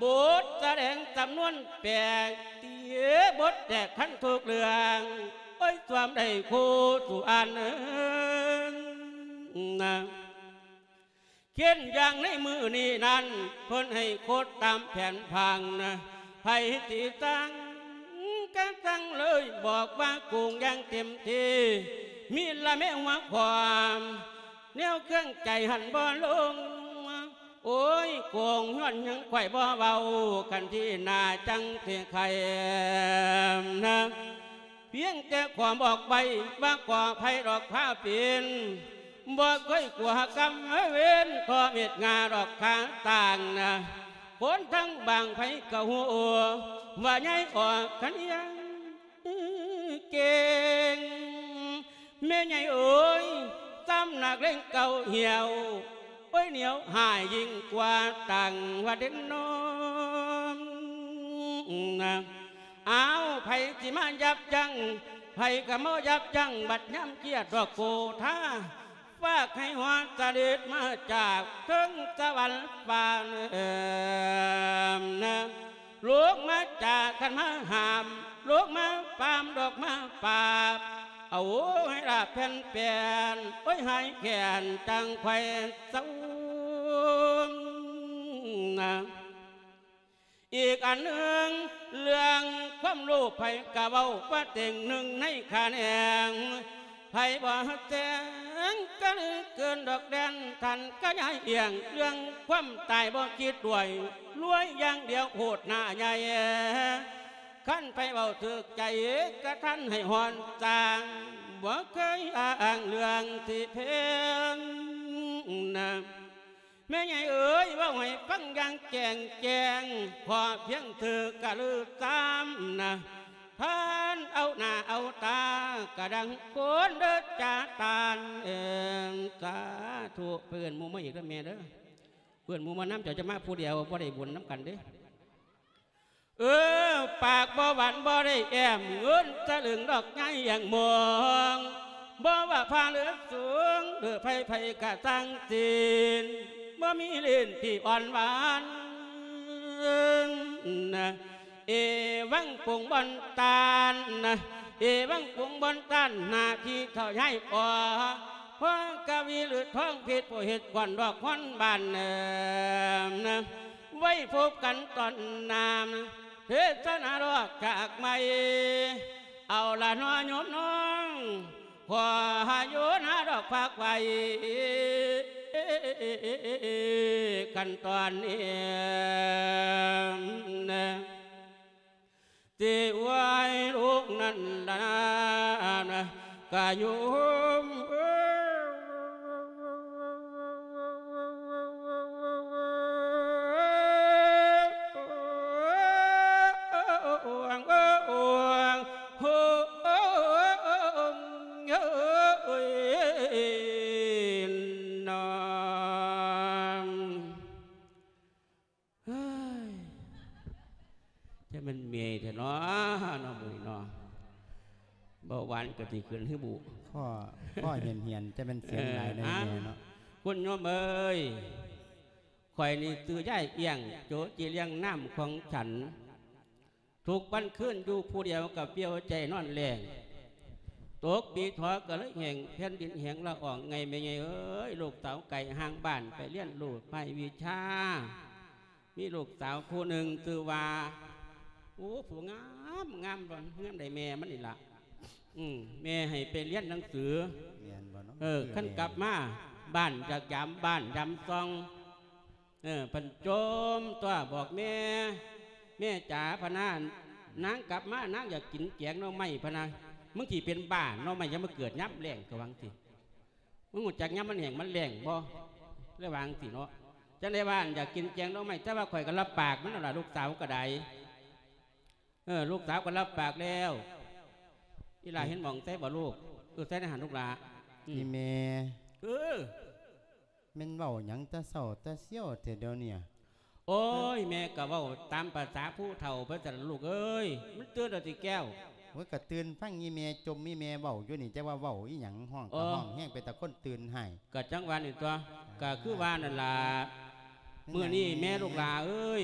ບົດສະແດງຈຳນວນແປກ ຕີບົດແຕກທັນທຸກເລື່ອງ ໂອ້ຍ ສວມໄດ້ຄູ່ສູ່ອັນເອີນະ. ເຊັ່ນຢ່າງໃນມື້ນີ້ນັ້ນ ເພິ່ນໃຫ້ໂຄດຕາມແຜນຜັງນະ ໃຜຊິສັ່ງກະສັ່ງເລີຍ ບອກວ່າໂກງຢ່າງເຕັມທີ່ ມີລະແມ່ຫົວຄວາມ ແນວເຄື່ອງໃຈຫັ້ນບໍ່ລົງ ໂອ້ຍ ໂກງຍ້ອນຫຍັງຂ້ອຍບໍ່ເວົ້າ ຄັນທີ່ໜ້າຈັ່ງຊິໄຂນະ. ພຽງແຕ່ຂໍບອກໄວ້ວ່າກໍໃຜດອກພາເປັນ ບໍ່ເຄີຍກົວກຳເວນ ຂໍເມດງາດອກຂ້າຕ່າງນະ ຄົນທັງບາງໃຜກໍຮູ້ວ່າຍາຍອອກຄັນຍັງເກັ່ງ. ແມ່ໃຫຍ່ເອີຍ ຊ້ຳໜັກເລັ່ງເກົ່າຫ່ຽວ ໂອ້ຍ ໜຽວຮ້າຍຍິ່ງກວ່າຕັ້ງວ່າເດັ່ນນອນນະ. ອ້າວ ໃຜຊິມາຢັບຢັ້ງ ໃຜກໍມາຢັບຢັ້ງ ບັດຍາມກຽດດອກໂກທາ ຝາກໃຫ້ຮອດສະເດັດມາຈາກເທິງສະຫວັນຟ້າເນີນນະ. ລົງມາຈາກຄັນມາຫ້າມ ລົງມາປາມດອກມາປາບ ເອົາໃຫ້ລາບແຜ່ນແປນ ໂອ້ຍ ຫາຍແຄ້ນຈັ່ງຄ່ອຍເຊົານະ. ອີກອັນໜຶ່ງ ເລື່ອງຄວາມໂລບໃຜກະເວົ້າວ່າເຕັງໜຶ່ງໃນຂະແໜງ ໃຜບໍ່ແຈ້ງກະລືເກີນດອກແດນ ທ່ານກະຍາຍອຽງ ເລື່ອງຄວາມຕາຍບໍ່ຄິດດ້ວຍ ລວຍຢ່າງດຽວໂພດໜ້າໃຫຍ່ ຄັນໃຜເວົ້າຖືກໃຈກະທັນໃຫ້ຮອນສ້າງ ບໍ່ເຄີຍອ້າງເລື່ອງທີ່ເພັງນະ. ແມ່ໃຫຍ່ເອີຍ ເວົ້າໃຫ້ຟັງຢ່າງແຈ້ງແຈ້ງ ຂໍພຽງຖືກກະລືຕາມນະ ທ່ານເອົາໜ້າເອົາຕາ ກະດັງຄົນເດີຈາຕານເອີນ. ສາທຸ ເອີ້ນໝູ່ມາອີກເດີແມ່ເດີ ເອີ້ນໝູ່ມານຳ ເຈົ້າຈະມາຜູ້ດຽວ ບໍ່ໄດ້ບຸນນຳກັນເດ້. ເອີ ປາກບໍ່ຫວານບໍ່ໄດ້ແອ້ມ ເງິນສະລຶງດອກໃຫຍ່ຢ່າງມອງ ບໍ່ວ່າພະຫຼືສູງ ຫຼືໃຜໆກະຊ່າງສິນ ບໍ່ມີຫຼິ້ນທີ່ອ່ອນຫວານນະ. ເອວັງປົງບ່ອນຕານນະ ເອວັງປົງບ່ອນຕານ ໜ້າທີ່ເຖົ້າຍາຍອອກ ພໍ່ກະວີລືທອງພິດ ຜູ້ເຮັດກວນດອກຮອນບ້ານເນີມນະ. ໄວ້ພົບກັນຕອນໜ້າ ເທດສະນາດອກຈາກໃໝ່ ເອົາລະເນາະໂຍມນ້ອງ ຂໍຫາໂຍນາດອກຝາກໄວ້ ຂັ້ນຕອນນີ້ ຊິໄວ້ລູກນັ້ນລະນະ ກະໂຍມ ເບົາຫວານກໍຊິຂຶ້ນຄືບຸ ຄໍ ຄໍຫຽນໆ ຈະແມ່ນສຽງຫຼາຍໃນແມ່ເນາະ. ຄຸນໂຍມເອີຍ ຂ້ອຍນີ້ຊື່ຍາຍອຽງ ໂຈະຈີ່ລ້ຽງນ້ຳຂອງສັນ ທຸກວັນຄືນຢູ່ຜູ້ດຽວກໍປ່ຽວໃຈນອນແລ້ງ ຕົກປີຖອກະເລີຍແຫ້ງ ແຜ່ນດິນແຫ້ງລະອອງໄງແມ່ໃຫຍ່ເອີຍ ລູກສາວໄກຫ່າງບ້ານໄປຮຽນຮູ້ພາກວິຊາ ມີລູກສາວຜູ້ໜຶ່ງຊື່ວ່າ ໂອ້ ຜູ້ງາມ ງາມ ງາມໃດແມ່ມັນນີ້ລະ ອືມ ແມ່ໃຫ້ໄປຮຽນໜັງສື ແມ່ນບໍ່ເນາະ? ເອີ ຄື ຄັນ ແມ່ ກັບມາບ້ານຢາກຢາມບ້ານຢາມຊ່ອງ ເອີ ເພິ່ນຈົ່ມຕົວະບອກແມ່ ແມ່ຈ໋າ ພະນາ ນາງກັບມານາງຢາກກິນແກງໜໍ່ໄມ້ ພະນາ ມຶງຊິເປັນບ້າໜໍ່ໄມ້ ຍັງມາເກີດຍາມແລ້ງ ກໍວ່າຈັ່ງຊີ້ ມຶງຮູ້ຈັກຍາມມັນແຫ້ງມັນແລ້ງບໍ່? ເລີຍວ່າຈັ່ງຊີ້ເນາະ ຈັ່ງໄດ້ວ່າ ອັນ ຢາກກິນແກງໜໍ່ໄມ້ ແຕ່ວ່າຂ້ອຍກໍຮັບປາກມັນແລ້ວລະ ລູກສາວກໍໄດ້ ເອີ ລູກສາວກໍຮັບປາກແລ້ວ ອີ່ຫຼ້າ ເອີ ເຫັນໝ່ອງໃສບໍ່ລູກ? ເອີ ໃສ່ໃນຫັ້ນລູກຫຼ້າ ອືມ ອີ່ແມ່ ເອີ ແມ່ນເວົ້າຫຍັງແຕ່ເຊົ້າແຕ່ຊຽວແທ້ດຽວນີ້? ໂອ້ຍ ແມ່ກໍເວົ້າຕາມພາສາຜູ້ເຖົ້າເພິ່ນຊັ້ນລະລູກເອີຍ ມັນຕື່ນແລ້ວຕິແກ້ວ? ໂອ້ຍ ກໍຕື່ນຟັງອີ່ແມ່ຈົ່ມ ອີ່ແມ່ເວົ້າຢູ່ນີ້ ຈັກວ່າເວົ້າອີ່ຫຍັງ ຮ້ອງກໍ ອໍ ຮ້ອງແຮງ ເປັນຕາຄົນຕື່ນໃຫ້. ກໍຈັ່ງວ່ານີ້ຕົວະ ອ່າ ກໍຄືວ່ານັ້ນລະ ແມ່ນຫຍັງ ມື້ນີ້ແມ່ ແມ່ລູກຫຼ້າເອີຍ?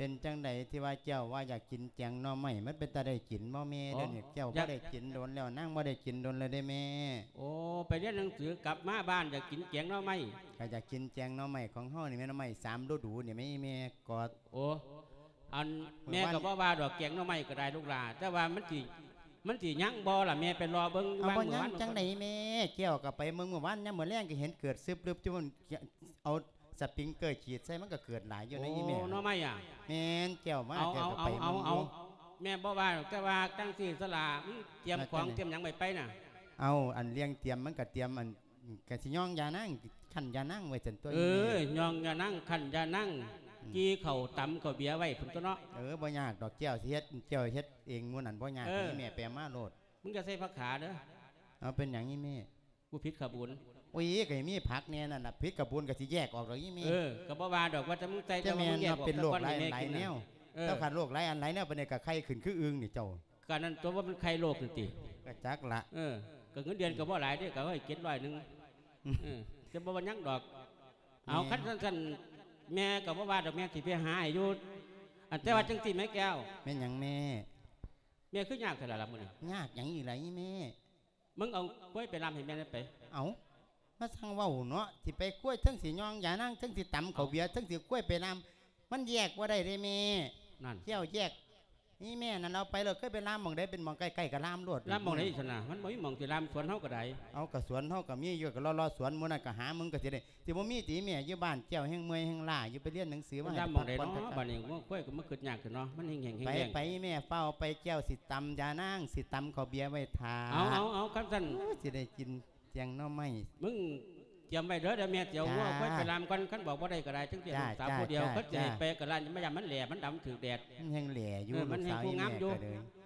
ເປັນຈັ່ງໃດທີ່ວ່າເຈົ້າວ່າຢາກກິນແກງໜໍ່ໄມ້ ມັນເປັນຕາໄດ້ກິນບໍ່ແມ່? ອໍ ດຽວນີ້ເຈົ້າ ຢາກ ບໍ່ໄດ້ກິນດົນແລ້ວ ນາງບໍ່ໄດ້ກິນດົນແລ້ວເດ້ແມ່. ໂອ້ ໄປຮຽນໜັງສືກັບມາບ້ານຢາກກິນແກງໜໍ່ໄມ້ ກໍຢາກກິນແກງໜໍ່ໄມ້ຂອງເຮົານີ້ແມ່ ໜໍ່ໄມ້ສາມລະດູນີ້ແມ່ ອີ່ແມ່ກໍ ໂອ້ ອັນ ແມ່ກໍບໍ່ວ່າດອກ ແກງໜໍ່ໄມ້ກໍໄດ້ລູກຫຼ້າ ແຕ່ວ່າມັນຊິ ມັນຊິຍັງບໍ່ລະແມ່ ໄປລໍເບິ່ງ ເອົາ ວ່າງ ບໍ່ຍັງ ມື້ວານ ຈັ່ງໃດແມ່? ແກ້ວກໍໄປເບິ່ງມື້ວານ ຍາມມື້ແລງກໍເຫັນເກີດຊຶບລຶບຢູ່ ເອົາສະປຣິງເກີສີດໃສ່ ມັນກໍເກີດຫຼາຍຢູ່ໃນ ໂອ້ ອີ່ແມ່ ໜໍ່ໄມ້ອະ? ແມ່ນ ແກ້ວມາ ເອົາ ແກ້ວກໍໄປເບິ່ງຢູ່. ເອົາ ເອົາ ແມ່ບໍ່ວ່າດອກ ແຕ່ວ່າຈັ່ງຊີ້ສະຫຼະ ຕຽມຂອງ ຕຽມຫຍັງໄວ້ໄປນະ? ເອົາ ອັນ ເລື່ອງຕຽມ ມັນກໍຕຽມ ອັນ ອືມ ກະຊິຍ່ອງຢານາງ ຄັ້ນຢານາງໄວ້ຊັ້ນຕົວະ ເອີ ອີ່ແມ່ ຍ່ອງຢານາງ ຄັ້ນຢານາງ ອືມ ຈີ່ເຂົ້າ ຕຳເຂົ້າເບຍໄວ້ພຸ້ນຕົວະເນາະ. ເອີ ບໍ່ຍາກດອກ ແກ້ວຊິເຮັດ ແກ້ວເຮັດເອງໝູ່ນັ້ນ ບໍ່ຍາກ ເອີ ອີ່ແມ່ ໄປມາໂລດ. ມຶງຢ່າໃສ່ຜັກຂາເດີ. ເອົາ ເປັນຫຍັງອີ່ແມ່? ກູຜິດຂະບຸນ. ໂອ້ຍ ກໍມີຜັກແດ່ນັ້ນລະ ຜິດຂະບຸນກໍຊິແຍກອອກດອກອີ່ແມ່. ເອີ ກໍບໍ່ວ່າດອກ ວ່າແຕ່ມຶງໃສ່ ແຕ່ວ່າເປັນໂລກຫຼາຍອັນຫຼາຍແນວ. ເອີ ເຈົ້າ ຄັນໂລກຫຼາຍອັນຫຼາຍແນວປານໃດກໍໄຄຂຶ້ນຄືອຶ່ງນີ້ເຈົ້າ. ກະນັ້ນຕົວະ ວ່າມັນໄຄໂລກນີ້ຕິ? ກະຈັກລະ. ເອີ ກະເງິນເດືອນກະບໍ່ຫຼາຍເດ້ ກະເອົາໃຫ້ເຈັດຮ້ອຍໜຶ່ງ. ອືມ ເອີ ແຕ່ບໍ່ວ່າຫຍັງດອກ. ເອົາ ແມ່ ຄັນຊັ້ນ ແມ່ກະບໍ່ວ່າດອກ ແມ່ຊິໄປຫາໃຫ້ຢູ່. ອັນ ແຕ່ວ່າ ແມ່ ຈັ່ງຊີ້ແມ່ແກ້ວ. ແມ່ນຫຍັງແມ່? ແມ່ຄືຍາກແທ້ລະລະມື້ນີ້? ຍາກຫຍັງອີກລະອີ່ແມ່? ມຶງເອົາຄວາຍໄປລ່ຳໃຫ້ແມ່ແດ່ໄປ. ເອົາ ມາຊ່າງເວົ້າເນາະ ຊິໄປຄວາຍ ເທິງຊິຍ່ອງຢານາງ ເທິງຊິຕຳເຂົ້າເບຍ ເອົ້າ ເທິງຊິຄວາຍໄປລ່ຳ ມັນແຍກບໍ່ໄດ້ເດ້ແມ່. ນັ້ນ ແກ້ວແຍກ ນີ້ແມ່ນັ້ນເອົາໄປໂລດ ເຄີຍໄປລ່ຳໝ່ອງໃດ ເປັນໝ່ອງໃກ້ໆກໍລ່ຳໂລດ. ລ່ຳໝ່ອງໃດຊັ້ນນະ? ມັນບໍ່ມີໝ່ອງຊິລ່ຳ ສວນເຮົາກໍໄດ້. ເອົາ ກໍສວນເຮົາກໍມີຢູ່ ກໍເລາະໆສວນໝູ່ນັ້ນກໍຫາເບິ່ງກໍຊິໄດ້. ຊິບໍ່ມີຕິແມ່ ຢູ່ບ້ານເຈົ້າແຮ່ງເມື່ອຍແຮ່ງລ້າຢູ່ ໄປຮຽນໜັງສືມາໃຫ້ ມັນລ່ຳໝ່ອງໃດເນາະ? ບັດນີ້ງົວຄວາຍກໍມາຄຶດຍາກຂຶ້ນເນາະ ມັນແຫ້ງໆແຫ້ງໆ. ໄປແມ່ ຟ້າວໄປ ແກ້ວຊິຕຳຢານາງ ຊິຕຳເຂົ້າເບຍໄວ້ຖ້າ. ເອົາ ເອົາ ເອົາ ຄັນຊັ້ນ ໂອ້ຍ ຊິໄດ້ກິນແກງໜໍ່ໄມ້. ມຶງຕຽມໄວ້ເດີ ດຽວແມ່ຊິເອົາງົວຄວາຍໄປລ່ຳກ່ອນ ຄັນບອກບໍ່ໄດ້ກໍໄດ້ ຈັ່ງຊີ້ ລູກສາວຜູ້ດຽວ ຄັນຊິໃຫ້ໄປກໍລ່ຳ ມາຢ້ານມັນແຫຼ້ ມັນດຳຖືກແດດ. ມັນແຮງແຫຼ້ຢູ່ ເອີ ມັນແຮງງາມຢູ່.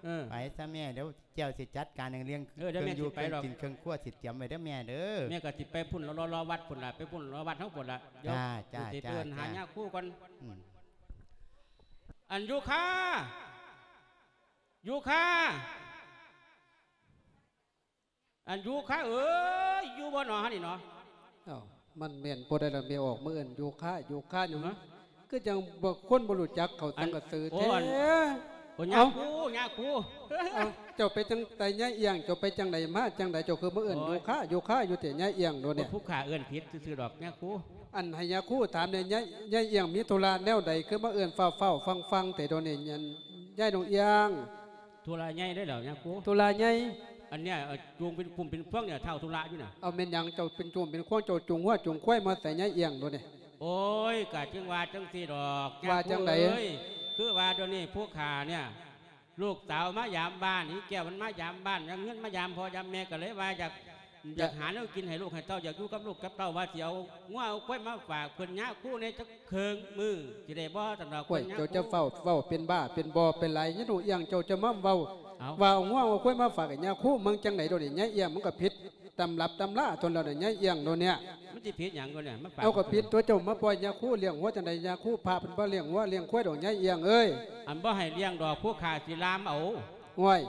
ເອີ ໄປຊະແມ່ ດຽວ ແກ້ວຊິຈັດການເລື່ອງ ເອີ ດຽວແມ່ຊິໄປດອກ ເຄື່ອງຢູ່ເຄື່ອງກິນເຄື່ອງຄົວ ຊິຕຽມໄວ້ເດີແມ່ເດີ. ແມ່ກໍຊິໄປພຸ້ນ ລໍໆວັດພຸ້ນລະ ໄປພຸ້ນລໍວັດເຮົາພຸ້ນລະ. ດຽວ ຈ້າ ຊິໄປເອີ້ນຫາຍາຄູກ່ອນ. ອືມ ອັນ ຢູຄາ ຢູຄາ ອັນ ຢູຄາເອີຍ ຢູ່ບໍ່ໜໍຫັ້ນນີ້ໜໍ? ເອົ້າ ມັນແມ່ນຜູ້ໃດລະແມ່ອອກມາເອີ້ນ ຢູຄາ ຢູຄາຫຍັງ? ຮະ? ຄືຈັ່ງບໍ່ ຄົນບໍ່ຮູ້ຈັກເຂົາ ອັນ ຕັ້ງກະຊື່ແທ້. ໂອ້ ອັນ ໂອ້ ຍາຄູ ເອົ້າ ຍາຄູ. ເອົ້າ ເຈົ້າໄປຈັ່ງໃດຍາຍອຽງ? ເຈົ້າໄປຈັ່ງໃດມາຈັ່ງໃດ? ເຈົ້າຄືມາເອີ້ນ ໂອ້ຍ ຢູຄາ ຢູຄາຢູ່ແທ້ ຍາຍອຽງໂດນແດ່. ຜູ້ຂ້າເອີ້ນຜິດຊື່ໆດອກ ຍາຄູ. ອັນ ໃຫ້ຍາຄູຖາມແດ່ ຍາຍ ຍາຍອຽງມີທຸລະແນວໃດ ຄືມາເອີ້ນຟ້າວໆຟັ່ງໆແທ້ໂດນແດ່ ຍາຍ ຍາຍນ້ອງອຽງ? ທຸລະໃຫຍ່ເດ້ແລ້ວຍາຄູ. ທຸລະໃຫຍ່? ອັນເນີ້ຍ ເອີ ຈູງເປັນກຸ່ມເປັນພວງເນີ້ຍ ທ້າວທຸລະຢູ່ນະ. ເອົາ ແມ່ນຫຍັງເຈົ້າເປັນຈູງເປັນພວງ ເຈົ້າຈູງງົວຈູງຄວາຍມາໃສ່ຍາຍອຽງໂດນແດ່? ໂອ້ຍ ກະຈຶ່ງວ່າຈັ່ງຊີ້ດອກ ວ່າຈັ່ງໃດ? ຍາຄູເອີຍ ຄືວ່າດຽວນີ້ຜູ້ຂ້າເນີ້ຍ ລູກສາວມາຢາມບ້ານ ອີແກ້ວມັນມາຢາມບ້ານ ຢາມເຮືອນມາຢາມພໍ່ຢາມແມ່ ກໍເລີຍວ່າຢາກ ຢາກຫາແນວກິນໃຫ້ລູກໃຫ້ເຕົ້າ ຢາກຢູ່ກັບລູກກັບເຕົ້າ ວ່າຊິເອົາງົວເອົາຄວາຍມາຝາກເພິ່ນຍາຄູແດ່ຈັກເຄິ່ງມື້ ຊິໄດ້ບໍ່? ຊັ້ນດອກ. ໂອ້ຍ ເພິ່ນຍາຄູ ເຈົ້າຈະຟ້າວເວົ້າເປັນບ້າເປັນບໍ່ໄປຫຼາຍ ຍາຍນ້ອງອຽງ ເຈົ້າຈະມາເວົ້າ ເອົ້າ ວ່າເອົາງົວເອົາຄວາຍມາຝາກໃຫ້ຍາຄູ ເບິ່ງຈັ່ງໃດໂດນນີ້ ຍາຍອຽງ ມັນກໍຜິດຕຳລັບຕຳລາໂຕແລ້ວນະ ຍາຍອຽງໂດນເນີ້ຍ. ມັນຊິຜິດຫຍັງໂດນນີ້ ມາຝາກ ເອົາ ກໍຜິດຕົວະ ເຈົ້າມາປ່ອຍຍາຄູລ້ຽງງົວຈັ່ງໃດ ຍາຄູ ພະເພິ່ນບໍ່ລ້ຽງງົວລ້ຽງຄວາຍດອກ ຍາຍອຽງເອີຍ. ອັນບໍ່ໃຫ້ລ້ຽງດອກ ຜູ້ຂ້າຊິລາມເອົາ. ໂອ້ຍ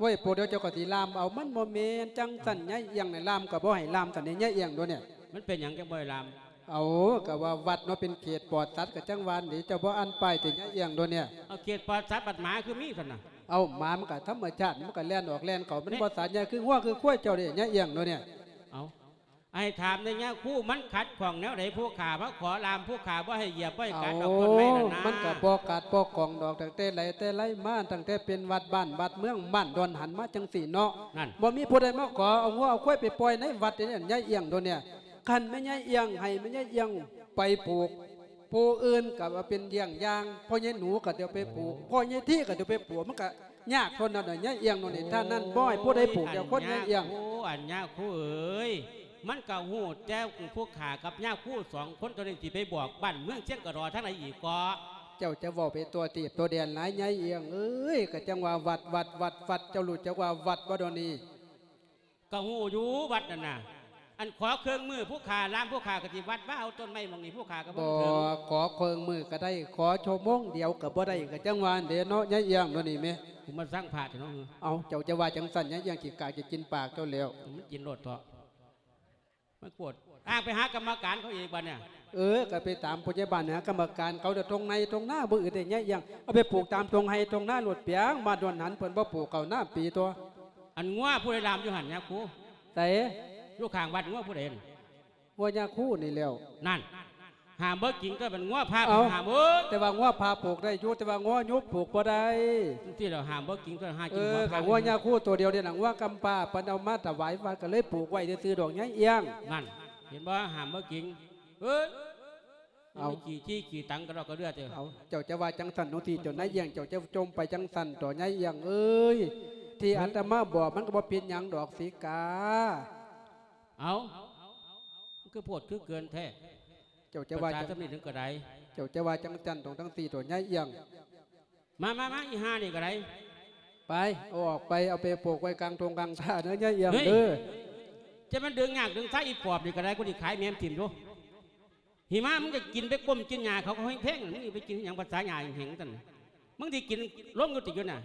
ໂອ້ຍ ໂປດດຽວເຈົ້າກໍຊິລາມເອົາ ມັນບໍ່ແມ່ນຈັ່ງຊັ້ນ ເອົ້າ ຍາຍອຽງນີ້ ລາມກໍບໍ່ໃຫ້ລາມຊັ້ນເດ ຍາຍອຽງໂດນນີ້. ມັນເປັນຫຍັງຈັ່ງບໍ່ໃຫ້ລາມ? ເອົາ ກໍວ່າວັດເນາະ ເປັນເຂດປອດສັດ ກໍຈັ່ງວ່ານີ້ ເຈົ້າບໍ່ອ່ານປ້າຍຕິ ຍາຍອຽງໂດນນີ້. ເອົາ ເຂດປອດສັດ ບັດໝາຄືມີຊັ້ນນະ? ເອົາ ໝາມັນກໍທຳມະຊາດ ມັນກໍແລ່ນອອກແລ່ນເຂົ້າ ມັນ ແມ່ນ ບໍ່ສາດຍາ ຄືງົວຄືຄວາຍເຈົ້າເດ້ ຍາຍອຽງໂດນນີ້. ເອົາ ໃຫ້ຖາມແດ່ຍາຄູ ມັນຂັດຂ້ອງແນວໃດ? ຜູ້ຂ້າມາຂໍລາມ ຜູ້ຂ້າບໍ່ໃຫ້ຢຽບ ບໍ່ໃຫ້ກັດດອກ ເອົ້າ ຕົ້ນໄມ້ນັ້ນນະ. ມັນກໍບໍ່ກັດບໍ່ຂ້ອງດອກ ຕັ້ງແຕ່ໃດແຕ່ໃດມາ ຕັ້ງແຕ່ເປັນວັດບ້ານວັດເມືອງ ບ້ານດອນຫັນມາຈັ່ງຊີ້ເນາະ ນັ້ນ ບໍ່ມີຜູ້ໃດມາຂໍເອົາງົວເອົາຄວາຍໄປປ່ອຍໃນວັດເດ້ ຍາຍອຽງໂດນນີ້. ຄັນແມ່ນຍາຍອຽງ ໃຫ້ແມ່ນຍາຍອຽງໄປຜູກ ຜູ້ອື່ນກໍວ່າເປັນຢ້ຽງຢ່າງ ພໍ່ໃຫຍ່ໜູກໍດຽວໄປຜູກ ພໍ່ໃຫຍ່ທີກໍດຽວໄປຜູກ ມັນກໍຍາກເທົ່ານັ້ນນະ ຍາຍອຽງໂດນນີ້. ໂອ້ຍ ທ່ານນັ້ນບໍ່ໃຫ້ຜູ້ໃດຜູກຈັກຄົນ ຍາຍອຽງ. ໂອ້ ອັນຍາຄູເອີຍ ມັນກໍຮູ້ແຕ່ຜູ້ຂ້າກັບຍາຄູສອງຄົນເທົ່ານັ້ນ ຊິໄປບອກບ້ານເມືອງຊຽງກະດໍທາງໃດອີກເກາະ? ເຈົ້າຈະເວົ້າໄປຕົວະຕີບຕົວະແດນຫຼາຍ ຍາຍອຽງເອີຍ. ກໍຈັ່ງວ່າວັດ ວັດ ວັດ ວັດ ເຈົ້າຮູ້ຈັກວ່າວັດບໍ່ດຽວນີ້? ກໍຮູ້ຢູ່ວັດນັ້ນນະ ອັນຂໍເຄື່ອງມືຜູ້ຂ້າລາມ ຜູ້ຂ້າກໍຊິວັດວ່າເອົາຕົ້ນໄມ້ໝ່ອງນີ້ ຜູ້ຂ້າກໍບໍ່ເຖິງ. ບໍ່ ຂໍເຄື່ອງມືກໍໄດ້ ຂໍຊົ່ວໂມງດຽວກໍບໍ່ໄດ້ ກໍຈັ່ງວ່າຫັ້ນເດ້ເນາະ ຍາຍອຽງໂດນນີ້ແມ. ກູມາສັງພະເຖາະເນາະ. ເອົ້າ ເຈົ້າຈະວ່າຈັ່ງຊັ້ນ ຍາຍອຽງ ຂີ້ກາກຈະກິນປາກເຈົ້າແລ້ວ. ມັນກິນໂລດເຖາະ ມັນໂພດ. ອ້າງໄປຫາກຳມະການເຂົາອີກບັດນີ້. ເອີ ກໍໄປຕາມຜູ້ໃຫຍ່ບ້ານ ຫາກຳມະການເຂົາ. ແຕ່ທົ່ງໄຮ່ທົ່ງນາບໍ່ອຶດເດ້ ຍາຍອຽງ ເອົາໄປປູກຕາມທົ່ງໄຮ່ທົ່ງນາໂລດ. ປຽງມາດວນຫັ້ນ ເພິ່ນບໍ່ປູກເຂົ້ານາປີຕົວະ. ອັນງົວຜູ້ໃດລາມຢູ່ຫັ້ນຍາຄູ? ໃສ? ຢູ່ຂ້າງວັດງົວຜູ້ໃດຫັ້ນ? ງົວຍາຄູນີ້ແລ້ວ. ນັ້ນ ຫ້າມບໍ່ກິນກໍແມ່ນງົວພະ. ເອົ້າ ຫ້າມເອີຍ ແຕ່ວ່າງົວພະປູກໄດ້ຢູ່ ແຕ່ວ່າງົວຍຸບປູກບໍ່ໄດ້. ຈັ່ງຊີ້ແລ້ວ ຫ້າມບໍ່ກິນກໍຫາກິນ. ເອີ ງົວພະ ກໍງົວຍາຄູໂຕດຽວນີ້ນະ ງົວກຳພ້າ ເພິ່ນເອົາມາຖວາຍວັດ ກໍເລີຍປູກໄວ້ຊື່ໆດອກ ຍາຍອຽງ. ນັ້ນ ເຫັນບໍ່ ຫ້າມບໍ່ກິນ. ເອີຍ ເອົ້າ ຂີ້ຂີ້ຂີ້ຕັງກະດອກກະເດືອເຕີ. ເອົ້າ ເຈົ້າຈະວ່າຈັ່ງຊັ້ນເນາະ ທີ່ເຈົ້ານາຍອຽງ ເຈົ້າຈະຈົ່ມໄປຈັ່ງຊັ້ນເຖາະ ຍາຍອຽງເອີຍ. ທີ່ອາດຕະມາບອກມັນກໍບໍ່ເປັນຫຍັງດອກ ສີກາ. ເອົ້າ ມັນຄືໂພດຄືເກີນແທ້. ເຈົ້າຈະວ່າ ພາສາ ຈັ່ງ ສ່ຳນີ້ເຖິງກະໄດ. ເຈົ້າຈະວ່າຈັ່ງຊັ້ນຕ້ອງຈັ່ງຊີ້ໂຕ ຍາຍອຽງ. ມາ ມາ ມາ ອີຫ່ານີ້ກະໄດ. ໄປ ເອົາອອກໄປ ເອົາໄປປູກໄວ້ກາງທົ່ງກາງທ່າເດີ ຍາຍອຽງເດີ. ຈະແມ່ນດຶງຍາກດຶງຊາ ອີປອບນີ້ກະໄດ ກູຊິຂາຍແມ່ມຖິ້ມຢູ່. ຫິມະ ມຶງຈະກິນໄປກົ້ມກິນຫຍ້າເຂົາກໍແພງໆ ມຶງຊິໄປກິນຫຍັງພາສາຫຍ້າແຫ້ງໆຊັ້ນ. ມຶງຊິກິນລົງຢູ່ຕິຢູ່ນະ.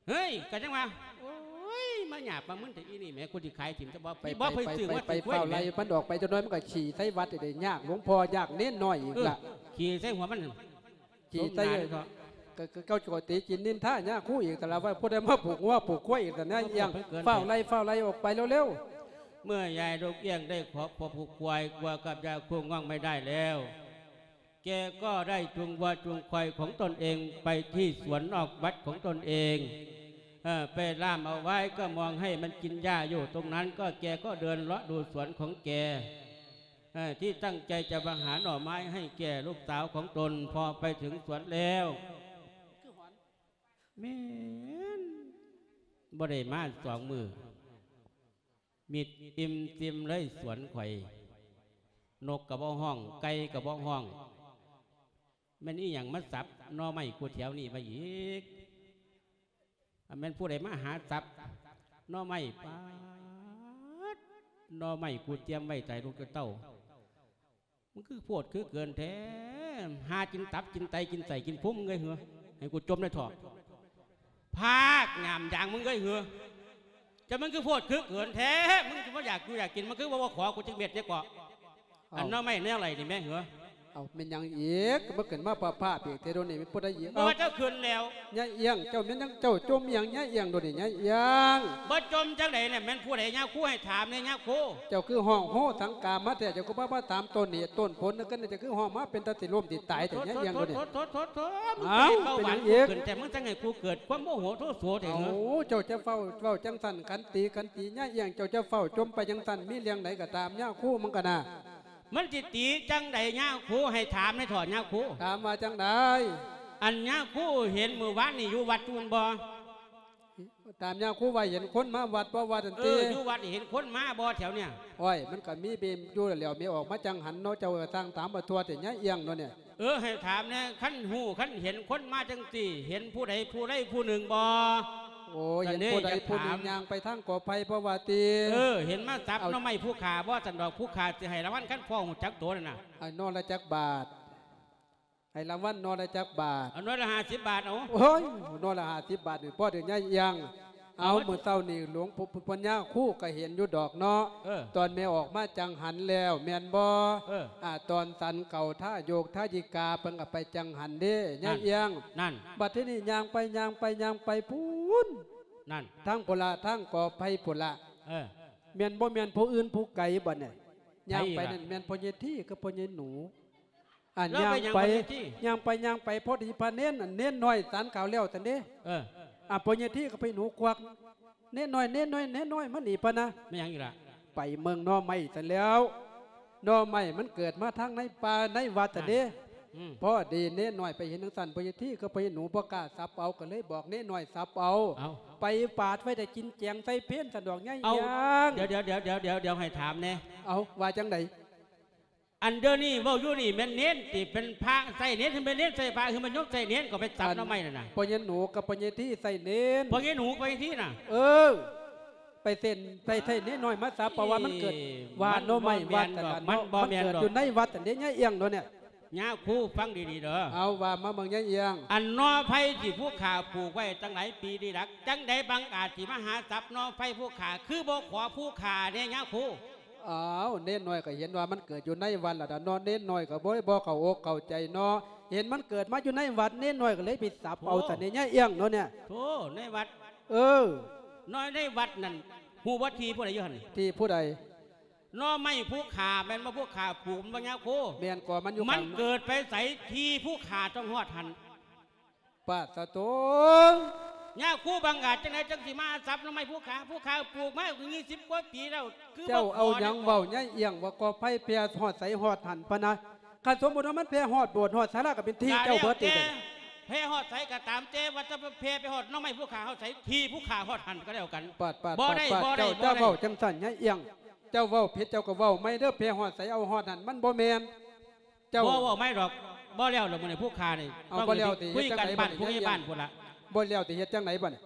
ເຮີ້ຍ ກໍຈັ່ງວ່າ ໂອ້ຍ ມາຫຍາບມາມຶນແທ້ອີນີ້ແໝ ກູຊິຂາຍຖິ້ມຊະບໍ່. ໄປ ບໍ່ ໄປ ໄປ ຊື້ ໄປ ໄປ ໄປ ໄປ ຟ້າວໄລ່ມັນອອກໄປ ຈັກໜ້ອຍມັນກໍຂີ້ໃສ່ວັດໄດ້ ຍາກຫຼວງພໍ່ຍາກເນນນ້ອຍອີກລະ. ເອີ ຂີ້ໃສ່ຫົວມັນ ຂີ້ໃສ່ ສົມໜ້າເນາະ. ກໍ ກໍເຈົ້າກໍຕິກິນນິນທາຍາຄູອີກ ແຕ່ລະວ່າຜູ້ໃດມາຜູກງົວຜູກຄວາຍອີກ ແຕ່ນາຍອຽງ ເອີ ເພິ່ນເກີນ ຟ້າວໄລ່ ໄປ ຟ້າວໄລ່ອອກໄປເລັວໆ. ເມື່ອຍາຍລູກເອື້ອງได้ขอ ขอผูกควาย วัวกับยาคูง่องไม่ได้แล้ว แกก็ได้จูงวัวจูงควายของตนเองไปที่สวนนอกวัดของตนเอง เอ่อ ไปล่ามเอาไว้ก็มองให้มันกินหญ้าอยู่ตรงนั้น ก็แกก็เดินเลาะดูสวนของแก เอ่อ ที่ตั้งใจจะมาหาหน่อไม้ให้แก่ลูกสาวของตน พอไปถึงสวนแล้ว แม่น บ่ได้มาสองมื้อ มิดอิ่มซิมเลยสวนข่อย นกก็บ่ฮ้อง ไก่ก็บ่ฮ้อง แม่นอีหยังมาสับหน่อไม้กูแถวนี้มาอีก อันแม่นผู้ใดมาหาสับหน่อไม้ ป๊าด หน่อไม้กูเตรียมไว้ใส่ลูกเต้า มันคือโพดคือเกินแท้ หากินตับกินไตกินไส้กินพุงมึงเอ้ยเหรอ ให้กูจมในท้อง ภาคหยามยางมึงเอ้ยเหรอ จะมันคือโพดคือเกินแท้ มึงจะบ่อยากกูอยากกิน มันคือบ่ว่าขอกูจักเม็ดเนี่ยเกาะ เอ้า อันหน่อไม้แนวไรนี่แม่เหรอ เอ้า แม่นหยังอีก มาขึ้นมาพาๆ เปียกเทโดนี่ แม่นผู้ใดอีก บ่ว่าเจ้าขึ้นแล้ว ยายเอี้ยง เจ้าแม่นหยัง เจ้าจมอีหยัง ยายเอี้ยงโดนี่ ยายเอี้ยง บ่จมจังใดเนี่ย แม่นผู้ใดยาคูให้ถามเนี่ยยาคู เจ้าคือฮ้องโฮสังกามาแท้ เจ้าคือบ่มาถามต้นเหตุต้นผลนั่นก็เนี่ย เจ้าคือฮ้องมาเป็นตาสิล้มสิตายแท้ ยายเอี้ยงโดนี่ โถๆๆๆ มึง เอ้า ใจเบาหวาน เป็นหยังอีก กูขึ้น แต่มึงจังให้กูเกิดความโมโหโทโสแท้เหรอ โอ้ เจ้าจะเฝ้าเว้าจังซั่น ขันติ ขันติ ยายเอี้ยง เจ้าจะเฝ้าจมไปจังซั่น มีเรื่องใดก็ตาม ยาคูมันก็น่ะ มันสิติจั่งใดยาคู ให้ถามแหน่เถาะยาคู ถามว่าจั่งใด อันยาคูเห็นมื้อวานนี่อยู่วัดอยู่แม่นบ่ ถามยาคูว่าเห็นคนมาวัดบ่ ว่าซั่นติ เออ อยู่วัดนี่เห็นคนมาบ่แถวเนี่ย โอ้ย มันก็มีเบมอยู่แล้ว แม่ออกมาจั่งหันเนาะ เจ้าก็สร้างถามบ่ทั่วแต่ยายเอี้ยงเนาะเนี่ย เออ ให้ถามแหน่ คันฮู้คันเห็นคนมาจั่งซี้ เห็นผู้ใดผู้ใดผู้หนึ่งบ่ โอ้ย ก็เลย เห็นผู้ใดผู้หนึ่ง อยากถาม ย่างไปทางกอไผ่บ่ว่าติ เออ เห็นมาสับ เอา หน่อไม้ผู้ข้าบ่ ซั่นดอก ผู้ข้าสิให้รางวัลคันพ้อฮู้จักโตนั่นน่ะ ไอ้หน่อละจักบาท ให้รางวัลหน่อละจักบาท เอาหน่อละห้าสิบบาท เอา โอ้ย หน่อละห้าสิบบาทนี่ พอเด้อยายเอี้ยง ເອົາ ມື້ເຊົ້ານີ້ຫຼວງປູ່ ປູ່ປັນຍາຄູກໍເຫັນຢູ່ດອກເນາະ ເອີ ຕອນແມ່ອອກມາຈັງຫັນແລ້ວແມ່ນບໍ່? ເອີ ອາ ຕອນສັນເຂົ້າທາໂຍກທາຍິກາ ເພິ່ນກໍໄປຈັງຫັນເດ້ ຍາຍ ນັ້ນ ອຽງ ນັ້ນ ບັດທີນີ້ຍ່າງໄປ ຍ່າງໄປ ຍ່າງໄປພຸ້ນ ນັ້ນ ທາງພຸ້ນລະ ທາງກອໄຜ່ພຸ້ນລະ ເອີ ແມ່ນບໍ່ແມ່ນຜູ້ອື່ນຜູ້ໄກບັດນີ້ ໃຜອີກລະ? ຍ່າງໄປນັ້ນແມ່ນພໍ່ໃຫຍ່ທີກັບພໍ່ໃຫຍ່ໜູ. ອັນ ລາວໄປຫຍັງ ຍ່າງໄປ ພໍ່ໃຫຍ່ທີ? ຍ່າງໄປ ຍ່າງໄປ ພໍດີພະເນນ ອັນເນນນ້ອຍສັນເຂົ້າແລ້ວຊັ້ນເດ້ ເອີ ອາ ພໍ່ໃຫຍ່ທີກັບພໍ່ໃຫຍ່ໜູກວັກ ເນນນ້ອຍ ເນນນ້ອຍ ເນນນ້ອຍ ມານີ້ ປະນະ ແມ່ນຫຍັງອີກລະ? ໄປເບິ່ງໜໍ່ໄມ້ຊັ້ນແລ້ວ ໜໍ່ໄມ້ມັນເກີດມາທາງໃນປ່າໃນວັດຊັ້ນເດ້ ອືມ ພໍດີເນນນ້ອຍໄປເຫັນຈັ່ງຊັ້ນ ພໍ່ໃຫຍ່ທີກັບພໍ່ໃຫຍ່ໜູບໍ່ກ້າສັບເອົາ ກໍເລີຍບອກເນນນ້ອຍສັບເອົາ ເອົາ ໄປປາດໄວ້ໄດ້ກິນແກງໃສ່ເພນຊັ້ນດອກ ຍາຍ ເອົາ ອຽງ ດຽວ ດຽວ ດຽວ ດຽວ ດຽວ ໃຫ້ຖາມແດ່ ເອົາ ວ່າຈັ່ງໃດ? ອັນດຽວນີ້ເວົ້າຢູ່ນີ້ແມ່ນເນນຕິ ເປັນພະໃຊ້ເນນ ຫຼືແມ່ນເນນໃຊ້ພະ ຄືແມ່ນໂຍມໃຊ້ເນນ ກໍໄປສັບໜໍ່ໄມ້ນັ້ນນະ ພໍ່ໃຫຍ່ໜູກັບພໍ່ໃຫຍ່ທີໃຊ້ເນນ ພໍ່ໃຫຍ່ໜູກັບພໍ່ໃຫຍ່ທີນະ ເອີ ໄປເສັ້ນ ໄປໃຊ້ເນນນ້ອຍມາສັບ ເພາະວ່າມັນເກີດ ເອີ ວ່າໜໍ່ໄມ້ວັດນັ້ນລະ ມັນບໍ່ແມ່ນດອກ ມັນເກີດຢູ່ໃນວັດອັນເດ້ ຍາຍ ອຽງໂດນນີ້ ຍາຄູຟັງດີໆເດີ ເອົາ ວ່າມາເບິ່ງ ຍາຍ ອຽງ ອັນໜໍ່ໄຜ່ທີ່ຜູ້ຂ້າປູກໄວ້ຕັ້ງຫຼາຍປີນີ້ລະ ຈັ່ງໃດບັງອາດຊິມາຫາສັບໜໍ່ໄຜ່ຜູ້ຂ້າ ຄືບໍ່ຂໍຜູ້ຂ້າແດ່ ຍາຄູ? ອ້າວ ເນນນ້ອຍກໍເຫັນວ່າມັນເກີດຢູ່ໃນວັດລະດາເນາະ ເນນນ້ອຍກໍບໍ່ ບໍ່ເຂົ້າອົກເຂົ້າໃຈເນາະ ເຫັນມັນເກີດມາຢູ່ໃນວັດ ເນນນ້ອຍກໍເລີຍໄປສັບເອົາ ໂອ້ ຊະເນຍ ຍາຍ ອຽງໂດນນີ້ ໂທ້ ໃນວັດ ເອີ ນ້ອຍໃນວັດນັ້ນ ຮູ້ບໍ່ທີ່ຜູ້ໃດຢູ່ຫັ້ນ? ທີ່ຜູ້ໃດ? ໜໍ່ໄມ້ຜູ້ຂ້າ ແມ່ນບໍ່? ຜູ້ຂ້າປູກ ແມ່ນບໍ່ຍາຄູ? ແມ່ນ ກໍມັນຢູ່ ມັນເກີດໄປໃສ? ທີ່ຜູ້ຂ້າຕ້ອງຮອດຫັ້ນ. ປາດສະໂຕ ຍາຄູບັງອາດຈັ່ງໃດ ຈັ່ງຊິມາສັບໜໍ່ໄມ້ຜູ້ຂ້າ? ຜູ້ຂ້າປູກມາກໍຊາວກວ່າປີແລ້ວ ຄືບໍ່ຂໍ ເຈົ້າເອົາຫຍັງເວົ້າ ຍາຍອຽງ ວ່າກໍໄຟແຜ່ຮອດໃສຮອດຫັ້ນ ປະນະ ຄັນສົມມຸດວ່າມັນແຜ່ຮອດໂບດຮອດສາລາ ກໍເປັນທີ່ເຈົ້າເບິດອີກ ແຕ່ແຜ່ຮອດໃສກໍຕາມແຕ່ ວ່າຈະແຜ່ໄປຮອດໜໍ່ໄມ້ຜູ້ຂ້າຮອດໃສ ທີ່ຜູ້ຂ້າຮອດຫັ້ນກໍແລ້ວກັນ. ປາດ ປາດ ບໍ່ໄດ້ ປາດ ບໍ່ໄດ້ ເຈົ້າ ບໍ່ໄດ້ ເຈົ້າເວົ້າຈັ່ງຊັ້ນ ຍາຍອຽງ ເຈົ້າເວົ້າຜິດ ເຈົ້າກໍເວົ້າໃໝ່ເດີ ແຜ່ຮອດໃສເອົາຮອດຫັ້ນ ມັນບໍ່ແມ່ນ ເຈົ້າ ບໍ່ ເວົ້າໃໝ່ດອກ ບໍ່ແລ້ວດອກ ມື້ນີ້ຜູ້ຂ້ານີ້ ເອົາ ບໍ່ແລ້ວຕິ ເຮັດຈັ່ງໃດບັດນີ້ ຍາຍອຽງ ບໍ່ແລ້ວຕິ ເຮັດຈັ່ງໃດບັດນີ້?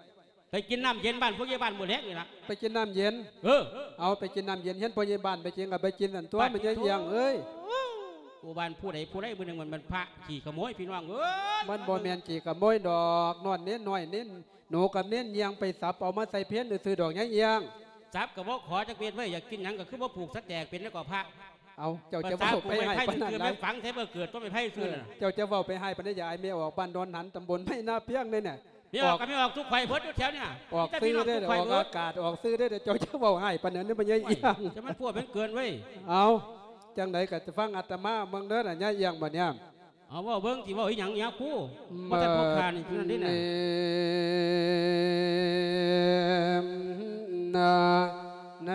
ໄປກິນນ້ຳເຢັນບ້ານຜູ້ໃຫຍ່ບ້ານມື້ແລງນີ້ລະ ໄປກິນນ້ຳເຢັນ ເອີ ເອົາ ໄປກິນນ້ຳເຢັນ ເຫັນພໍ່ໃຫຍ່ບ້ານໄປກິນກໍໄປກິນນັ້ນຕົວະ ແມ່ນຍາຍອຽງເອີຍ. ໂອ້ ບ້ານຜູ້ໃດຜູ້ໃດ ມື້ໜຶ່ງມັນ ມັນພະຂີ້ຂະໂມຍ ພີ່ນ້ອງເອີຍ ມັນບໍ່ແມ່ນຂີ້ຂະໂມຍດອກ ນ້ອຍເນນນ້ອຍເນນໜູກັບເນນຍ່າງໄປສັບເອົາມາໃສ່ເພນຊື່ໆດອກ ຍາຍອຽງ. ສັບກໍບໍ່ຂໍຈັກເມັດເວີຍ ຢາກກິນຫຍັງກໍຄືບໍ່ປູກສະແຈກເປັນແລ້ວກໍພະ. ເອົາ ເຈົ້າຈະເວົ້າໄປຮ້າຍປານນັ້ນຫຼາຍ ເຈົ້າຈະເວົ້າໄປຮ້າຍປານໃດ ຢ່າໃຫ້ແມ່ອອກບ້ານດອນຫັນ ຕຳບົນໄມ້ນາພຽງເດ້ນະ. ແມ່ອອກກໍແມ່ອອກທຸກໄຂເບິດຢູ່ແຖວນີ້ນະ ອອກຊື່ເດ້ ອອກອາກາດອອກຊື່ເດ້ ເຈົ້າຈະເວົ້າຮ້າຍປານນັ້ນ ມັນຍາຍອຽງ ຈະມັນພົວເປັນເກີນເວີຍ. ເອົາ ຈັ່ງໃດກໍຟັງອາດຕະມາເບິ່ງເດີນະ ຍາຍອຽງ ບັດນີ້. ເອົາ ເວົ້າເບິ່ງ ຊິເວົ້າອີ່ຫຍັງຍາຄູ ບໍ່ແຕ່ພວກຂ້ານີ້ເທົ່ານັ້ນເດ້ນະ. ໃນ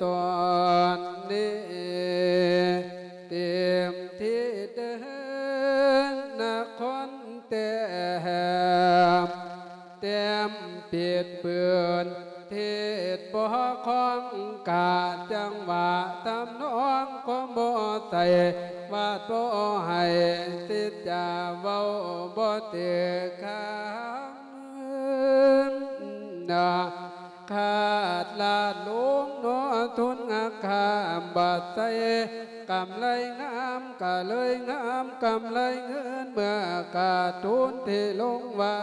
ຕອນນີ້ ເຕັມທີ່ເດີນນະຄອນແຕ້ມ ແຕ້ມປິດປືນ ເທດບໍ່ຄ່ອງກາດ ຈັງຫວະທຳນອງກໍບໍ່ໃສ່ ວາດບໍ່ໃຫ້ສິດຈາ ເວົ້າບໍ່ຖືກຄຳ ຂາດລາດລົງເນາະ ທຶນຄ່າບາດໃສ່ ກຳໄລງາມກະເລີຍງາມ ກຳໄລເງິນເມື່ອຂາດທຶນທີ່ລົງໄວ້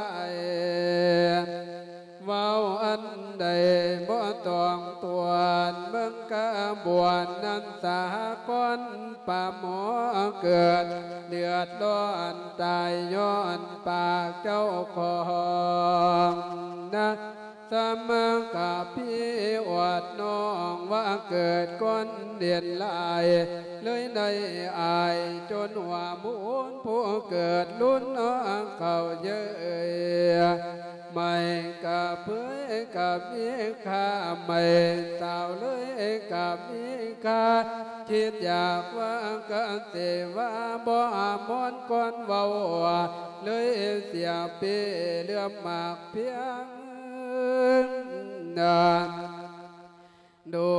ເວົ້າອັນໃດບໍ່ຕ້ອງຕວນ ເບິ່ງກະບວນນັ້ນສາກອນປາໝໍເກີດ ເດືອດຮ້ອນຕາຍຍ້ອນປາກເຈົ້າຂອງນະ ສະມະກະພີອວດນ້ອງວ່າເກີດກ້ອນເດັ່ນຫຼາຍ ເລີຍໄດ້ອາຍຈົນຫົວມູນ ຜູ້ເກີດລຸນເອົາເຂົ້າເຍີ້ຍ ໄມ້ກະເຜີຍກະມີຄ່າ ໄມ້ສາວເລີຍກະມີຄ່າ ຄິດຢາກວ່າກະເສວ່າ ບໍ່ອາມອນກ່ອນເວົ້າ ເລີຍເສຍເປ້ເຫຼືອມໝາກພຽງນັ້ນ ດູ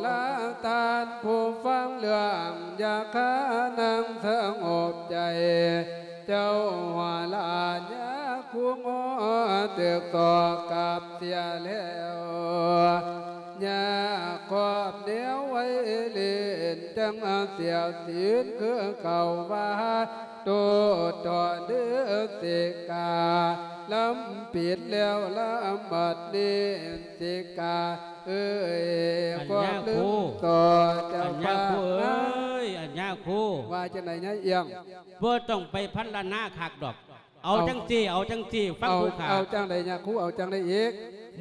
ລະທ່ານຜູ້ຟັງເລື່ອງ ຢ່າຄານັ່ງສະຫງົບໃຈ ເຈົ້າຫົວລາຍາຄູງໍ ຖືກສອກກັບເສຍແລ້ວ ຍາຄອບແນວໄວຫຼິ້ນ ຈັ່ງເສຍສິນຄືເກົ່າວ່າ ໂຕດຕໍ່ເດີເສກາ ລຳປິດແລ້ວລຳບັດນີ້ ສິກຂາເອີຍ ອັນຍາຄູ ຂໍລຶ້ມຕໍ່ເຈົ້າພານະ ອັນຍາຄູເອີຍ ອັນຍາຄູ ວ່າຈັ່ງໃດຍາຍອຽງ? ບໍ່ຕ້ອງໄປພັນລະນາຄັກດອກ ເອົາ ເອົາຈັ່ງຊີ້ ເອົາຈັ່ງຊີ້ ຟັງຜູ້ຂ້າ ເອົາຈັ່ງໃດຍາຄູ ເອົາຈັ່ງໃດອີກ?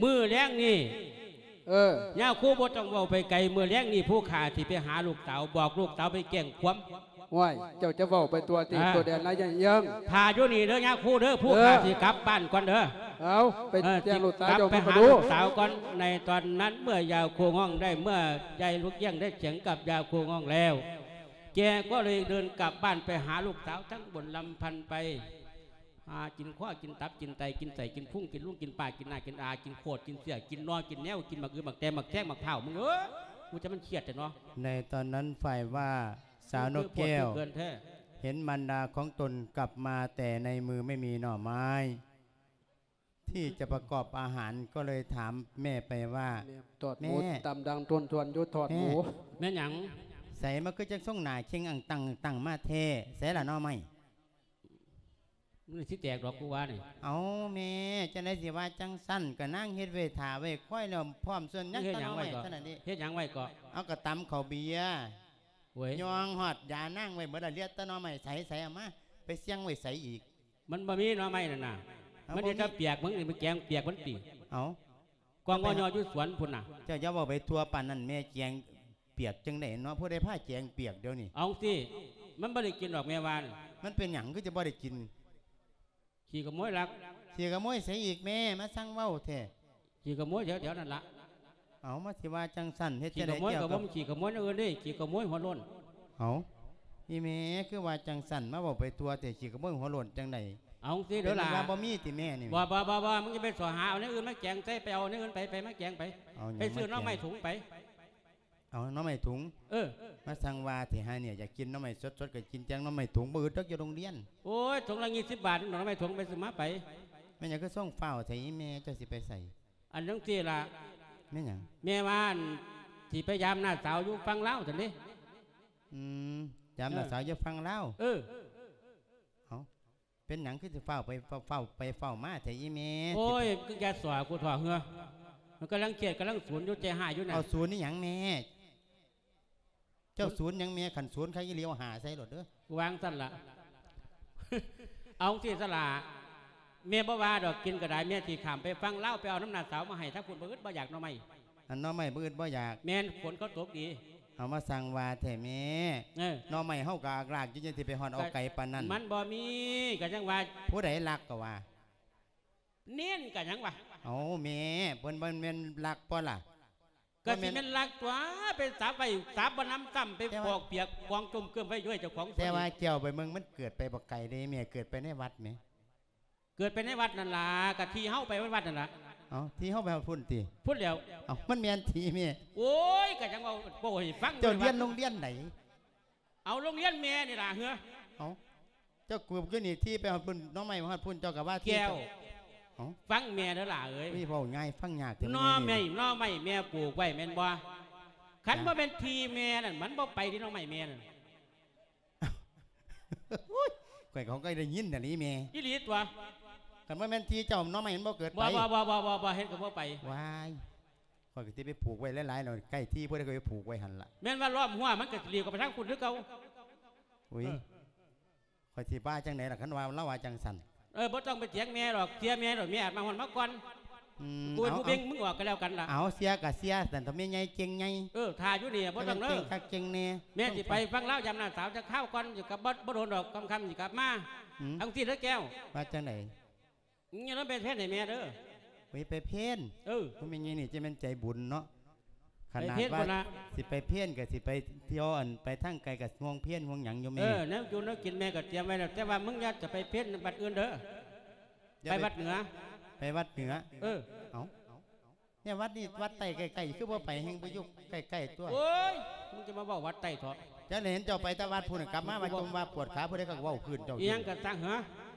ມື້ແລງນີ້ ເອີ ຍາຄູບໍ່ຕ້ອງເວົ້າໄປໄກ ມື້ແລງນີ້ຜູ້ຂ້າຊິໄປຫາລູກສາວ ບອກລູກສາວໄປແຈ້ງຄວາມ. ໂອ້ຍ ເຈົ້າຈະເວົ້າໄປຕົວະຕິ ອ່າ ຕົວະແດນນາຍໃຫຍ່ເອີງ ຖ້າຢູ່ນີ້ເດີຍາຄູເດີ ຜູ້ຂ້າ ເອີ ຊິກັບບ້ານກ່ອນເດີ ເອົາ ໄປ ເອີ ແຈ້ງລູກສາວ ຊິກັບ ເຈົ້າ ໄປຫາລູກສາວກ່ອນ. ໃນຕອນນັ້ນເມື່ອຍາຄູຮ້ອງໄດ້ ເມື່ອຍາຍລູກອຽງໄດ້ສຽງກັບຍາຄູຮ້ອງແລ້ວ ແກກໍເລີຍເດີນກັບບ້ານໄປຫາລູກສາວ ທັງບົນລຳພັນໄປ ຫາກິນຄໍ ກິນຕັບ ກິນໄຕ ກິນໄສ້ ກິນພຸງ ກິນລຸງ ກິນປາ ກິນໜ້າ ກິນອາ ກິນໂຄດ ກິນເຊືອກ ກິນໜໍ່ ກິນແນວ ກິນໝາກອື ໝາກແຕ ໝາກແຊງ ໝາກພ້າວ ມຶງເອີຍ ກູຈະມັນຄຽດແທ້ເນາະ. ໃນຕອນນັ້ນຝ່າຍວ່າ ສາວນົກແກ້ວ ເຫັນມານດາຂອງຕົນກັບມາແຕ່ໃນມືໄມ່ມີໜໍ່ໄມ້ທີ່ຈະປະກອບອາຫານ ກໍເລີຍຖາມແມ່ໄປວ່າ ແມ່ ຕອດໝູ ແມ່ ຕຳດັງທວນໆຢູ່ ທອດໝູ ແມ່ ແມ່ນຫຍັງ? ໃສມາຄືຈັ່ງສົ່ງໜ້າເຄັ່ງອັງຕັງ ອັງຕັງມາແທ້ ໃສລະໜໍ່ໄມ້? ມັນຊິແຕກດອກ ກູວ່ານີ້. ເອົາແມ່ ຈັ່ງໃດຊິວ່າຈັ່ງຊັ້ນ ກະນາງເຮັດໄວ້ຖ້າໄວ້ຄອຍແລ້ວ ພ້ອມສ່ວນຍັງ ເຮັດຫຍັງໄວ້ເກາະ? ເຮັດຫຍັງໄວ້ເກາະ? ເອົາກະຕຳເຂົ້າເບຍ ໂອ້ຍ ຍ່ອງຮອດຢານາງໄວ້ໝົດລະ ເຫຼືອແຕ່ໜໍ່ໄມ້ ໃສ ໃສ ເອົາມາ ໄປສ່ຽງໄວ້ໃສອີກ? ມັນບໍ່ມີໜໍ່ໄມ້ນັ້ນນະ ເອົາ ມັນເຮັດແຕ່ປຽກ ມຶງນີ້ມັນແກງປຽກມັນຕິ? ເອົາ ກອງງໍ່ຢູ່ສວນພຸ້ນນະ. ເຈົ້າຢ່າເວົ້າໄປທົ່ວປານນັ້ນ ແມ່ແກງປຽກຈັ່ງໃດເນາະ ຜູ້ໃດພາແກງປຽກດຽວນີ້? ເອົາຈັ່ງຊີ້ ມັນບໍ່ໄດ້ກິນດອກແມ່ວ່ານະ. ມັນເປັນຫຍັງຄືຈະບໍ່ໄດ້ກິນ? ຂີ້ຂະໂມຍລັກ. ຂີ້ຂະໂມຍໃສອີກແມ່ ມາຊ່າງເວົ້າແທ້. ຂີ້ຂະໂມຍແຖວໆນັ້ນລະ. ເອົາ ມາຊິວ່າຈັ່ງຊັ້ນ ເຮັດຈັ່ງໃດແກ້ວ ຂີ້ຂະໂມຍກໍບໍ່ມີ ຂີ້ຂະໂມຍແນວອື່ນເດ້ ຂີ້ຂະໂມຍຫົວໂລ້ນ. ເອົາ ອີແມ່ຄືວ່າຈັ່ງຊັ້ນ ມາເວົ້າໄປທົ່ວແທ້ ຂີ້ຂະໂມຍຫົວໂລ້ນຈັ່ງໃດ? ເອົາຈັ່ງຊີ້ເດີຫຼາ ເປັນວ່າບໍ່ມີຕິແມ່ນີ້? ບໍ່ໆໆໆ ມຶງຈະໄປສໍ້ຫາເອົາແນວອື່ນມາແກງໃສ່ ໄປເອົາແນວອື່ນໄປ ໄປມາແກງໄປ ໄປຊື້ໜໍ່ໄມ້ຖົງໄປ. ເອົາໜໍ່ໄມ້ຖົງ. ເອີ ມາຊ່າງວ່າແທ້ຫານີ້ ຢາກກິນໜໍ່ໄມ້ສົດໆ ກໍກິນແຕ່ໜໍ່ໄມ້ຖົງ ບໍ່ອຶດດອກຢູ່ໂຮງຮຽນ. ໂອ້ຍ ຖົງລະຊາວບາດ ໜໍ່ໄມ້ຖົງ ໄປຊື້ມາໄປ. ແມ່ນຫຍັງຄືສົ່ງຟ້າວແທ້ອີແມ່ ເຈົ້າຊິໄປໃສ? ອັນຈັ່ງຊີ້ລະ ແມ່ນຫຍັງ? ແມ່ວ່າອັນ ຊິໄປຢາມນ້າສາວຢູ່ຝັ່ງລາວຊັ້ນເດ້. ອືມ ຢາມນ້າສາວຢູ່ຝັ່ງລາວ. ເອີ ເອີ ເອົ້າ ເປັນຫຍັງຄືຊິຟ້າວໄປ ຟ້າວໄປຟ້າວມາແທ້ອີແມ່? ໂອ້ຍ ຄືຢ່າສໍ້ກູເຖາະເຮືອ ມັນກຳລັງຄຽດກຳລັງສູນຢູ່ ໃຈຮ້າຍຢູ່ນະ. ເອົາສູນອີຫຍັງແມ່? ເຈົ້າສູນຫຍັງແມ່? ຄັນສູນຄັກອີ່ຫຼີເອົາຫ້າໃສ່ໂລດເດີ. ວາງຊັ້ນລະ ເອົາຈັ່ງຊີ້ສະຫຼະ ແມ່ບໍ່ວ່າດອກ ກິນກໍໄດ້ ແມ່ຊິຂ້າມໄປຝັ່ງລາວ ໄປເອົານຳນ້າສາວມາໃຫ້ທາງພຸ້ນ ບໍ່ອຶດບໍ່ຢາກໜໍ່ໄມ້. ອັນໜໍ່ໄມ້ບໍ່ອຶດບໍ່ຢາກ? ແມ່ນ ຝົນເຂົາຕົກດີ. ເອົາມາຊ່າງວ່າແທ້ແມ່. ເອີ ໜໍ່ໄມ້ເຮົາກໍອາກລາກຢູ່ ຈັ່ງຊິໄປຮອດເອົາໄກປານນັ້ນ. ມັນບໍ່ມີ ກໍຈັ່ງວ່າ ຜູ້ໃດລັກກໍວ່າ ເນນກະຫຍັງວະ? ເອົາແມ່ ເພິ່ນບໍ່ແມ່ນລັກບໍ່ລະ? ກະຊິແມ່ນລັກຕົວະ ໄປສາບໄວ້ສາບບໍ່ນຳຊ້ຳ ໄປຟອກປຽກກອງຈົມເກີມໄວ້ຢູ່ໃຫ້ເຈົ້າຂອງ. ແຕ່ວ່າແກ້ວໄປເບິ່ງ ມັນເກີດໄປບໍ່ໄກເດ້ແມ່ ເກີດໄປໃນວັດແໝ. ເກີດໄປໃນວັດນັ້ນລະ ກະທີ່ເຮົາໄປວັດນັ້ນລະ. ເອົ້າ ທີ່ເຮົາໄປຮອດພຸ້ນຕິ? ພຸ້ນແລ້ວ. ເອົ້າ ມັນແມ່ນທີ່ແມ່. ໂອ້ຍ ກະຫຍັງເວົ້າ ເວົ້າໃຫ້ຟັງ. ເຈົ້າຮຽນໂຮງຮຽນໃດ? ເອົາໂຮງຮຽນແມ່ນີ້ລະເຮືອ. ເອົ້າ ເຈົ້າກູບຢູ່ນີ້ ທີ່ໄປຮອດພຸ້ນ ໜໍ່ໄມ້ມາຮອດພຸ້ນ ເຈົ້າກໍວ່າທີ່ແກ້ວ ເຈົ້າ. ເອົ້າ ຟັງແມ່ເດີຫຼ້າເອີຍ. ມີເວົ້າງ່າຍຟັງຍາກແທ້. ໜໍ່ໄມ້ ແມ່ນີ້ ໜໍ່ໄມ້ແມ່ປູກໄວ້ແມ່ນບໍ່? ຄັນບໍ່ແມ່ນທີ່ແມ່ນັ້ນ ມັນບໍ່ໄປທີ່ໜໍ່ໄມ້ແມ່ນັ້ນ. ໂອ້ຍ ຂ້ອຍເຂົາກໍໄດ້ຍິນແຕ່ນີ້ແມ່. ອີ່ຫຼີຕົວະ. ຄັນບໍ່ແມ່ນທີ່ເຈົ້າ ໜໍ່ໄມ້ມັນບໍ່ເກີດໄປ. ບໍ່ ບໍ່ ບໍ່ ບໍ່ ບໍ່ ເຮັດກໍບໍ່ໄປ. ວ້າຍ ຂ້ອຍກໍຊິໄປປູກໄວ້ຫຼາຍໆ ແລ້ວ ໃກ້ທີ່ຜູ້ໃດກໍໄປປູກໄວ້ຫັ້ນລະ. ແມ່ນວ່າລ້ອມຮົ້ວ ມັນກໍຊິຫຼີກອອກໄປທາງພຸ້ນຄືເກົ່າ. ອຸ້ຍ ເອີ ຂ້ອຍຊິວ່າຈັ່ງໃດລະ ຄັນວ່າລາວວ່າຈັ່ງຊັ້ນ. ເອີ ບໍ່ຕ້ອງໄປຖຽງແມ່ດອກ ເສຍແມ່ໂລດ ແມ່ອາດມາຮອດມາກ່ອນ. ອືມ ກູເປັນຜູ້ເບ່ງ ເອົາ ມຶງອອກກໍແລ້ວກັນລະ. ເອົາ ເສຍກໍເສຍ ແຕ່ແມ່ໃຫຍ່ເກັ່ງໃຫຍ່. ເອີ ຖ້າຢູ່ນີ້ບໍ່ຕ້ອງເດີ ເກັ່ງຄັກເກັ່ງແນ່. ແມ່ຊິໄປຟັງລາວຢາມນ້າສາວຈັກຄາວກ່ອນ ຊິກັບບໍ່ ບໍ່ດົນດອກ ຄ່ຳໆຊິກັບມາ. ອືມ ຈັ່ງຊີ້ເດີແກ້ວ. ວ່າຈັ່ງໃດ? ຢ່າລະໄປເພນໃຫ້ແມ່ເດີ. ໂອ້ຍ ໄປເພນ. ເອີ ໂອ້ ແມ່ໃຫຍ່ນີ້ຈະແມ່ນໃຈບຸນເນາະ ຂະໜາດວ່າຊິໄປເພນກໍຊິໄປທ່ຽວ ອັນ ໄປທາງໄກກໍຫ່ວງເພນຫ່ວງຫຍັງຢູ່ແມ່. ເອີ ແນວຢູ່ແນວກິນແມ່ກໍຕຽມໄວ້ແລ້ວ ແຕ່ວ່າມຶງຢ່າຈະໄປເພນວັດອື່ນເດີ. ໄປວັດເໜືອ ໄປວັດເໜືອ. ເອີ ເອົ້າ ແມ່ ວັດນີ້ວັດໃຕ້ໃກ້ໆ ຄືບໍ່ໄປ ແຮ່ງໄປຢູ່ໃກ້ໆຕົວະ. ໂອ້ຍ ມຶງຈະມາເວົ້າວັດໃຕ້ເຖາະ. ຈັກໄດ້ເຫັນເຈົ້າໄປແຕ່ວັດພຸ້ນ ກັບມາວ່າຈົມວ່າປວດຂາ ຜູ້ໃດເຂົາກໍເວົ້າພື້ນເຈົ້າ. ອີຫຍັງກໍຊ່າງເຫາະ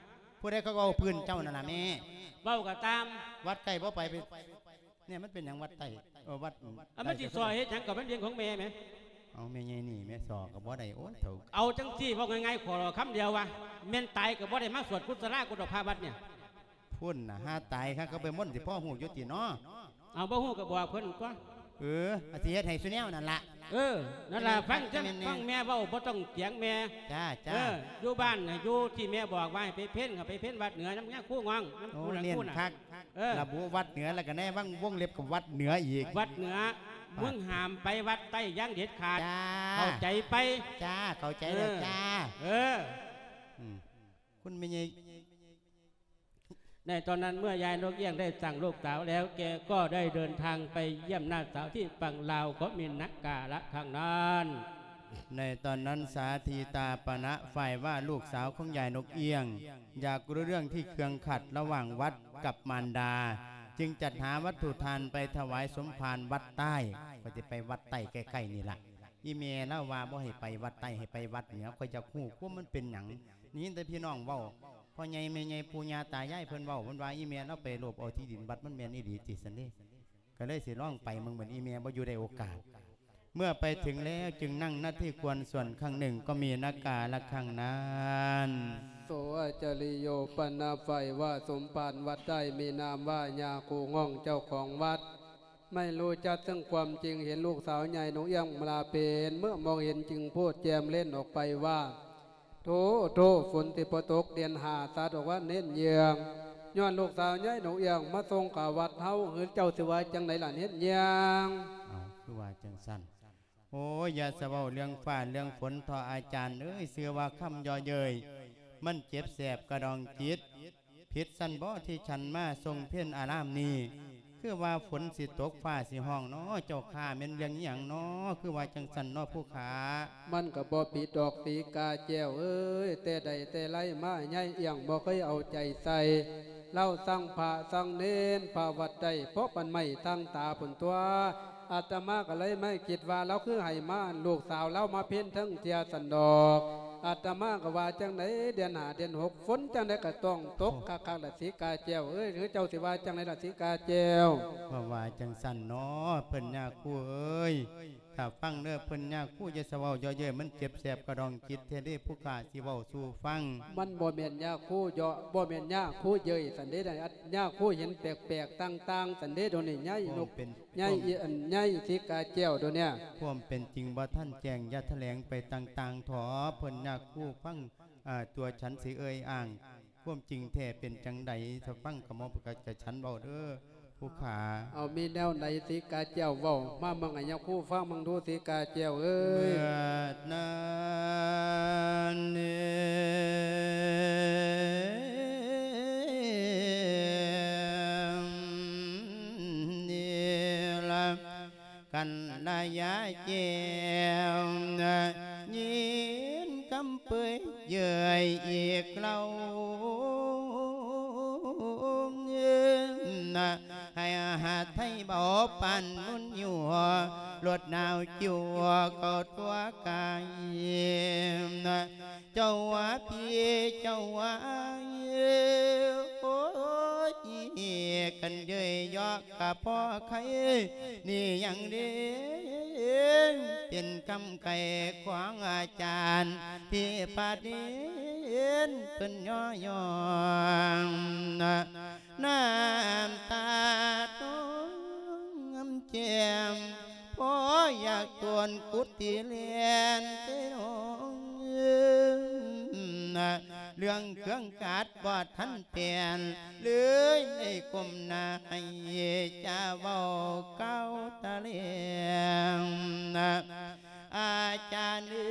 ຜູ້ໃດເຂົາກໍເວົ້າພື້ນເຈົ້ານັ້ນລະແມ່. ເວົ້າກໍຕາມ ວັດໃກ້ບໍ່ໄປ ໄປ ນີ້ມັນເປັນຫຍັງວັດໃຕ້? ເອີ ວັດ ອັນມັນຊິສໍ້ເຮັດຫຍັງ ກໍມັນເລື່ອງຂອງແມ່ແໝ. ເອົາ ແມ່ໃຫຍ່ນີ້ແມ່ສໍ້ກໍບໍ່ໄດ້. ໂອ້ຍ ເຖົ້າ ເອົາຈັ່ງຊີ້ ເວົ້າງ່າຍໆ ຂໍຄຳດຽວວ່າ ແມ່ນຕາຍກໍບໍ່ໄດ້ມາສວດກຸສະລາກຸດດອກພະວັດນີ້. ພຸ້ນນະ ຫາຕາຍຄັກ ເຂົາໄປມົນ ຊິພໍຮູ້ຢູ່ຕິເນາະ. ເອົາ ບໍ່ຮູ້ກໍບອກເພິ່ນຕົວະ. ເອີ ອາ ຊິເຮັດໃຫ້ສຸແນວນັ້ນລະ. ເອີ ນັ້ນລະ ຟັງ ແມ່ນໆ ຟັງແມ່ເວົ້າ ບໍ່ຕ້ອງຖຽງແມ່. ຈ້າໆ ເອີ ຢູ່ບ້ານນະ ຢູ່ທີ່ແມ່ບອກວ່າໃຫ້ໄປເພັນ ກໍໄປເພັນວັດເໜືອນຳຍາຄູງອງ ນຳ ໂອ້ ຜູ້ນັ້ນ ເນັ້ນ ຜູ້ນັ້ນ ຄັກ. ເອີ ລະບຸວັດເໜືອ ແລ້ວກໍໃນວັງ ວົງເລັບກັບວັດເໜືອອີກ. ວັດເໜືອ ອ່າ ມຶງຫ້າມໄປວັດໃຕ້ຢ່າງເດັດຂາດ. ຈ້າ ເຂົ້າໃຈໄປ? ຈ້າ ເຂົ້າໃຈແລ້ວ ເອີ ຈ້າ. ເອີ ອືມ ຄຸນແມ່ໃຫຍ່ ໃນຕອນນັ້ນເມື່ອຍາຍນົກອຽງໄດ້ສ້າງລູກສາວແລ້ວ ແກກໍໄດ້ເດີນທາງໄປຢ້ຽມນ້າສາວທີ່ຝັ່ງລາວ ກໍມີນະກາລະຄັ້ງນັ້ນ. ໃນຕອນນັ້ນສາທີຕາປະນະ ຝ່າຍວ່າລູກສາວຂອງຍາຍນົກອຽງ ຢາກຮູ້ເລື່ອງທີ່ເຄື່ອງຂັດລະຫວ່າງວັດກັບມານດາ ຈຶ່ງຈັດຫາວັດຖຸທານໄປຖວາຍສົມພານວັດໃຕ້. ຂ້ອຍຊິໄປວັດໃຕ້ໃກ້ໆນີ້ລະ. ອີ່ແມ່ລາວວ່າບໍ່ໃຫ້ໄປວັດໃຕ້ ໃຫ້ໄປວັດເໜືອ. ຂ້ອຍຢາກຮູ້ຄວາມມັນເປັນຫຍັງ. ໄດ້ຍິນແຕ່ພີ່ນ້ອງເວົ້າ ພໍ່ໃຫຍ່ແມ່ໃຫຍ່ ປູ່ຍ່າຕາຍາຍເພິ່ນເວົ້າ ເພິ່ນວ່າອີ່ແມ່ລາວໄປໂລບເອົາທີ່ດິນວັດ ມັນແມ່ນອີ່ຫຼີຕິຊັ້ນເດ. ກໍເລີຍຊິລອງໄປເບິ່ງ ບັດອີ່ແມ່ບໍ່ຢູ່ໄດ້ໂອກາດ. ເມື່ອໄປເຖິງແລ້ວຈຶ່ງນັ່ງນະທີ່ຄວນສ່ວນຄັ້ງໜຶ່ງ ກໍມີນະກາລະຄັ້ງນັ້ນ. ໂສອາຈາລິໂຍ ປະນະ ຝ່າຍວ່າສົມພານວັດໃຕ້ ມີນາມວ່າຍາຄູງອງ ເຈົ້າຂອງວັດ ໄມ່ຮູ້ຈັກເຊິ່ງຄວາມຈິງ ເຫັນລູກສາວໃຫຍ່ນົກອຽງມາລາເປັນເມື່ອມອງເຫັນ ຈຶ່ງໂພດແຈ່ມເຫຼັ້ນອອກໄປວ່າ ໂທ້ ໂທ້ ຝົນຊິບໍ່ຕົກເດືອນຫ້າ ສາດອກວ່າເໜັ້ນເຍືອງ ຍ້ອນລູກສາວໃຫຍ່ນົກອຽງມາສົ່ງຂາວັດເຮົາ ຫຼືເຈົ້າຊິວ່າຈັ່ງໃດລະເໜັ້ນເຍືອງ? ເອົ້າ ຄືວ່າຈັ່ງຊັ້ນ? ໂອ້ຍ ຢ່າສະເວົ້າເລື່ອງຟ້າເລື່ອງຝົນເຖາະອາຈານເອີຍ ຊື່ວ່າຄຳເຍາະເຍີ້ຍ ມັນເຈັບແສບກະດອງຈິດ. ຜິດຊັ້ນບໍທີ່ສັນມາຊົງເພັນອາລາມນີ້? ຄືວ່າຝົນຊິຕົກຟ້າຊິຮ້ອງນໍ ເຈົ້າຂ້າ ແມ່ນເລື່ອງອີ່ຫຍັງນໍ? ຄືວ່າຈັ່ງຊັ້ນນໍຜູ້ຂ້າ? ມັນກະບໍ່ຜິດດອກສີກາແກ້ວເອີຍ ແຕ່ໃດແຕ່ໄລມາໃຫຍ່ອຽງບໍ່ເຄີຍເອົາໃຈໃສ່ ລາວສັ່ງພະສັ່ງເນນ ພະວັດໃຕ້ພໍປານໄມ້ຕັ້ງຕາພຸ້ນຕົວະ. ອາດຕະມາກະເລີຍມາຄິດວ່າລາວຄືໃຫ້ມາ ລູກສາວລາວມາເພັນເທິງເທື່ອຊັ້ນດອກ. ອາດຕະມາກະວ່າຈັ່ງໃດ ເດືອນຫ້າເດືອນຫົກ ຝົນຈັ່ງໃດກະຕ້ອງຕົກຄັກໆລະສີກາແກ້ວເອີຍ ຫຼືເຈົ້າຊິວ່າຈັ່ງໃດລະສີກາແກ້ວ? ວ່າ ວ່າຈັ່ງຊັ້ນນໍ ເພິ່ນຍາຄູເອີຍ. ຖ້າຟັງເດີເພິ່ນຍາຄູ ຢ່າສະເວົ້າເຍາະເຍີ້ຍ ມັນເຈັບແສບກະດອງຈິດແທ້ເດ້ ຜູ້ຂ້າຊິເວົ້າສູ່ຟັງ. ມັນບໍ່ແມ່ນຍາຄູເຍາະ ບໍ່ແມ່ນຍາຄູເຍີ້ຍຊັ້ນເດ້ ຍາຄູເຫັນແປກໆຕ່າງໆຊັ້ນເດ້ ດຽວນີ້ໃຫຍ່ນົກ ໃຫຍ່ອີອັນໃຫຍ່ສີກາແກ້ວ ດຽວນີ້. ຄວາມເປັນຈິງບໍ່ທັນແຈ້ງ ຢ່າຖະແຫຼງໄປຕ່າງໆເຖາະ ເພິ່ນຍາຄູຟັງ ອາ ຕົວສັນຊິເອີ່ຍອ້າງ ຄວາມຈິງແທ້ເປັນຈັ່ງໃດ ຖ້າຟັງກະໝໍກະຈະສັນເວົ້າເດີຜູ້ຂ້າ. ເອົາ ມີແນວໃດສີກາແກ້ວເວົ້າມາເບິ່ງໃຫ້ຍາຄູຟັງເບິ່ງດູ ສີກາແກ້ວເອີຍ. ເມື່ອນັ້ນນີ້ລະ ກັນລະຍາແກ້ວ ຍິນຄຳເປີຍເຍີ້ຍອີກເຫຼົ່າ ໃຫ້ຫາໄທເບົາປານນຸ່ນຢູ່ ລົດໜາວຈິວເຂົ້າຕົວກາຍ. ເຈົ້າວ່າພີ່ເຈົ້າວ່າ ໂອ້ຍ ຄັນເຍີ້ຍເຍາະກະພໍໄຄ ນີ້ຍັງເດ ເປັນຄຳໄກ່ຂອງອາຈານ ທີ່ພະເນນເພິ່ນຍໍຍ້ອງ ນ້ຳຕານອງແຈ່ມ ພໍຢາກຕົວນກຸດທີ່ແລ່ນເຊໂນ ເລື່ອງເຄື່ອງກາດບໍ່ທັນປ່ຽນ ເລີຍໄດ້ກົ້ມໜ້າໃຫ້ຈາເວົ້າກ່າວຕະແຫຼງ. ອາຈານເອີ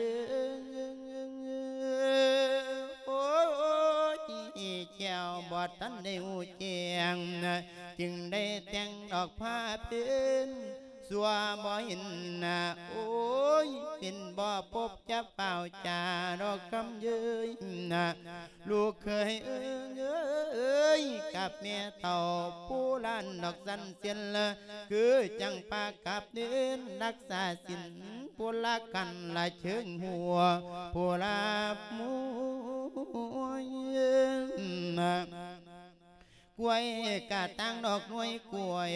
ຍ ໂອ້ຍ ແກ້ວບໍ່ທັນໄດ້ຮູ້ແຈ້ງ ຈຶ່ງໄດ້ແຕ່ງດອກຜ້າເປັນ ຊົ່ວບໍ່ເຫັນໜ້າ ໂອ້ຍ ເປັນບໍ່ພົບຈະຟ້າວຈາດອກຄຳເຍີ້ຍ ລູກເຂີຍເອີຍ ກັບແມ່ເຖົ້າຜູ້ຫຼານດອກສັນເຊັ່ນລະ ຄືຈັ່ງປາກັບເນີນ ລັກສາສິນຜູ້ລະກັນລະເຊີງຫົວ ຜູ້ລາບມວຍ. ກ້ວຍກະຕ່າງດອກໜ່ວຍກ້ວຍ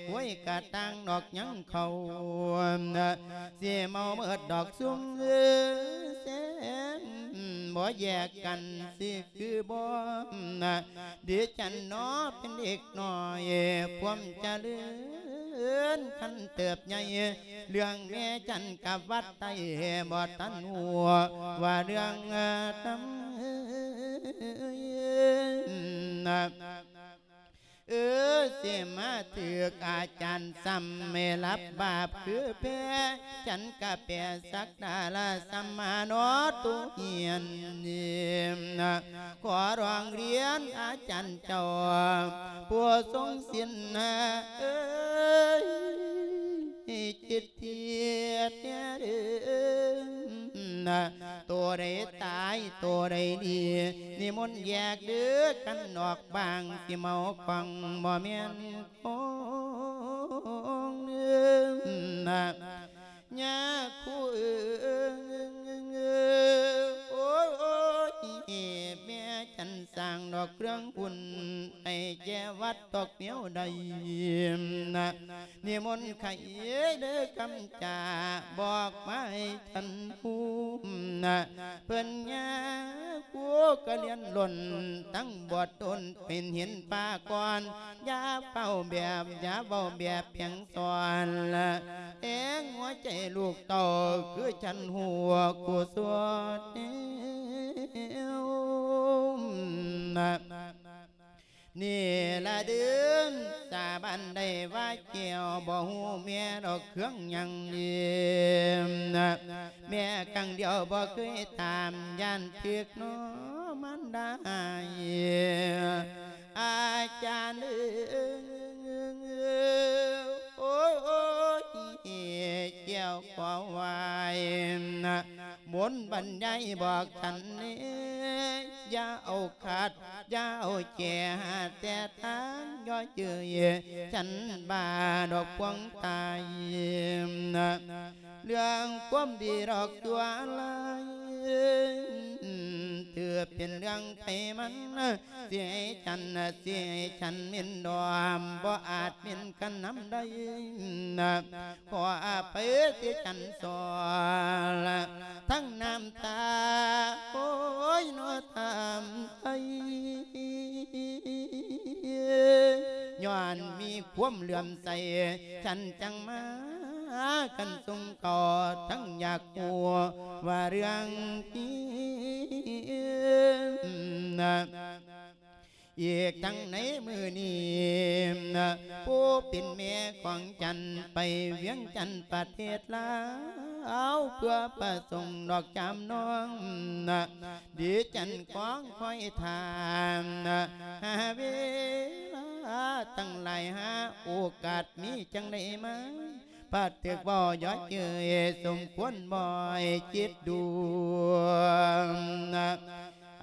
ກ້ວຍກະຕ່າງດອກຍັງເຂົ້າ ຊິເມົາເໝິດດອກຊຸມແຊມ ບໍ່ແຍກກັນຊິຄືບໍ່ ດິສັນໜໍເປັນເດັກນ້ອຍ ຄວາມຈະເລີນຄັນເຕີບໃຫຍ່ ເລື່ອງແມ່ຈັນກັບວັດໃຕ້ ບໍ່ທັນຮູ້ວ່າເລື່ອງນຳ ເອີ ຊິມາຖືກອາຈານຊ້ຳ ໃຫ້ຮັບບາບຄືແພ້ ຈັນກະແປສັກດາລະສຳມານອດໂຕຮຽນ ຂໍຮ້ອງຮຽນອາຈານເຈົ້າ ຜູ້ຊົງສິນ ເອີຍ ຈິດທຽດແດ່ເດີ ໂຕໃດຕາຍໂຕໃດດີ ນິມົນແຍກເດີກັນອອກ ບາງຊິເມົາຂອງບໍ່ແມ່ນຂອງເດີນະ ຍາຄູເອີຍ ໂອ້ຍ ແມ່ຈັນສ້າງດອກເຄື່ອງບຸນ ໃຫ້ແກ່ວັດດອກແນວໃດນະ ນິມົນໄຂເດີຄຳຈາ ບອກມາໃຫ້ທ່ານຮູ້ນະ ເພິ່ນຍາຄູກະລຽນລົ້ນ ທັງບວດດົນເປັນເຫັນປາກ່ອນ ຢ່າເວົ້າແບບ ຢ່າເວົ້າແບບພຽງສອນ ແອງຫົວໃຈລູກເຕົ້າ ຄືທ່ານຮູ້ກູສວນແນວນະ ນີ້ລະເດີນສາບານໄດ້ວ່າແກ້ວ ບໍ່ຮູ້ແມ່ດອກເຄື່ອງຫຍັງເລີຍ ແມ່ຄັ້ງດຽວບໍ່ເຄີຍຖາມ ຢ້ານຖືກນ້ອງມານດາໃຫ້ ອາຈານເອີຍ ໂອ້ຍ ແກ້ວຂໍໄຫວ້ ມົນບັນຍາຍບອກສັນເດ ຢ່າເອົາຂັດ ຢ່າເອົາແຈ ແຕ່ທາງຍໍເຈີຍ ສັນບາດອກພວງຕາຍ ເລື່ອງຄວາມດີດອກຕົວລາຍ ຖືເປັນເລື່ອງໃຜມັນ ຊິໃຫ້ສັນ ຊິໃຫ້ສັນເໝັນດອມ ບໍ່ອາດເໝັນກັນນຳໄດ້ ຂໍອະໄພທີ່ສັນສອນ ທັງນ້ຳຕາ ໂອ້ຍ ເນາະ ຖາມໄທ ຍ້ອນມີຄວາມເຫຼື້ອມໃສ ສັນຈັ່ງມາກັນສົ່ງເຂົ້າ ທັງຢາກຮູ້ວ່າເລື່ອງທີ່ ອີກທັງໃນມື້ນີ້ ຜູ້ເປັນແມ່ຂອງຈັນໄປວຽງຈັນປະເທດລາວ ເພື່ອປະສົງດອກຈາມນ້ອງ ດີຈັນຄອງຄອຍທ່າ ຫາເວລາຕັ້ງຫຼາຍ ຫາໂອກາດມີຈັ່ງໃດມາ ພັດຖືກເວົ້າຢໍ້ເຍີ້ຍ ສົມຄວນບໍ່ໃຫ້ຄິດດູ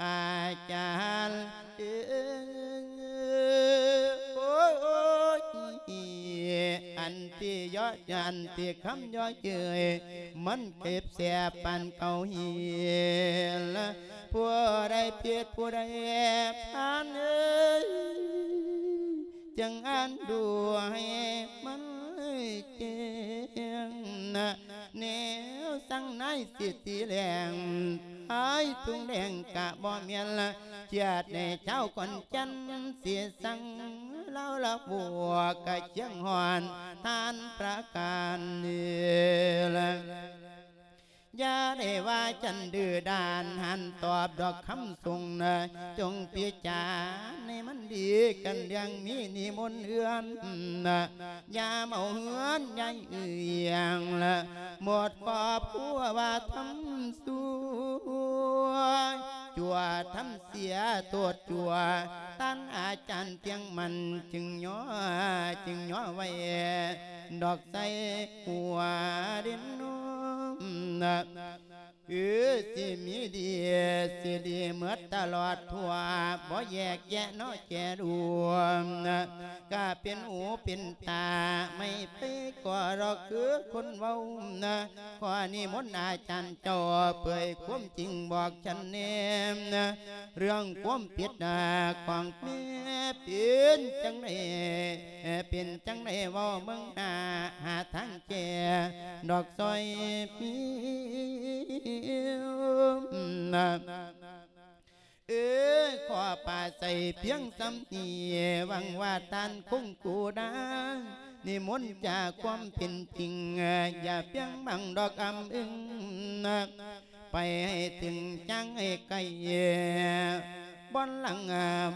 ອາຈານເອີຍ ໂອ້ຍ ອັນທີ່ຢໍ້ ອັນທີ່ຄຳຢໍ້ເຍີ້ຍ ມັນເຈັບແສບປານເກົາຫີນ ຜູ້ໃດຜິດຜູ້ໃດພານເອີຍ ຈຶ່ງອ່ານດູໃຫ້ມັນແຈ້ງ ແນວສັ່ງນາຍສິຕິແຫຼງ ອ້າຍທຸງແດງກະບໍ່ແມ່ນ ຈາດໃນຊາວຂອນຈັນ ຊິສັ່ງລາວລະບົວກະຈຽງຮ້ອນ ທ່ານປະການນີ້ລະ ຢ່າໄດ້ວ່າຈັນດື້ດ້ານ ຫັນຕອບດອກຄຳສົ່ງນະ ຈົ່ງພິຈາໃຫ້ມັນດີກັນ ເລື່ອງມີນິມົນເຮືອນນະ ຢາມເອົາເຮືອນໃຫຍ່ເອີ່ຍງລະ ໝົດຄອບຄົວວ່າທຳຊົ່ວ ຊົ່ວທຳເສຍໂທດຊົ່ວ ທ່ານອາຈານພຽງມັນຈຶ່ງຍໍ ຈຶ່ງຍໍໄວ້ ດອກໃສ່ຫົວເດັ່ນນອມນະ ເອີ ຊິມີດີ ຊິດີເໝິດຕະຫຼອດທົ່ວ ບໍ່ແຍກແຍະເນາະແຈລວມນະ ກະເປັນຫູເປັນຕາ ໄມ່ໄປກໍດອກຄືຄົນເວົ້ານະ ຂໍນິມົນອາຈານເຈົ້າເຜີຍຄວາມຈິງບອກສັນແດ່ນະ ເລື່ອງຄວາມຜິດນະຂອງແມ່ເປັນຈັ່ງໃດ ເປັນຈັ່ງໃດເວົ້າເບິ່ງໜ້າ ຫາທາງແກ້ດອກຊ່ອຍພີ່ນະ ປາໃສພຽງສ່ຳນີ້ ຫວັງວ່າທ່ານຄົງກູດາ ນິມົນຈາກຄວາມເປັນຈິງ ຢ່າພຽງບັງດອກອຳອຶງ ໄປໃຫ້ເຖິງຈາງໃຫ້ໄກ ບ່ອນຫຼັງ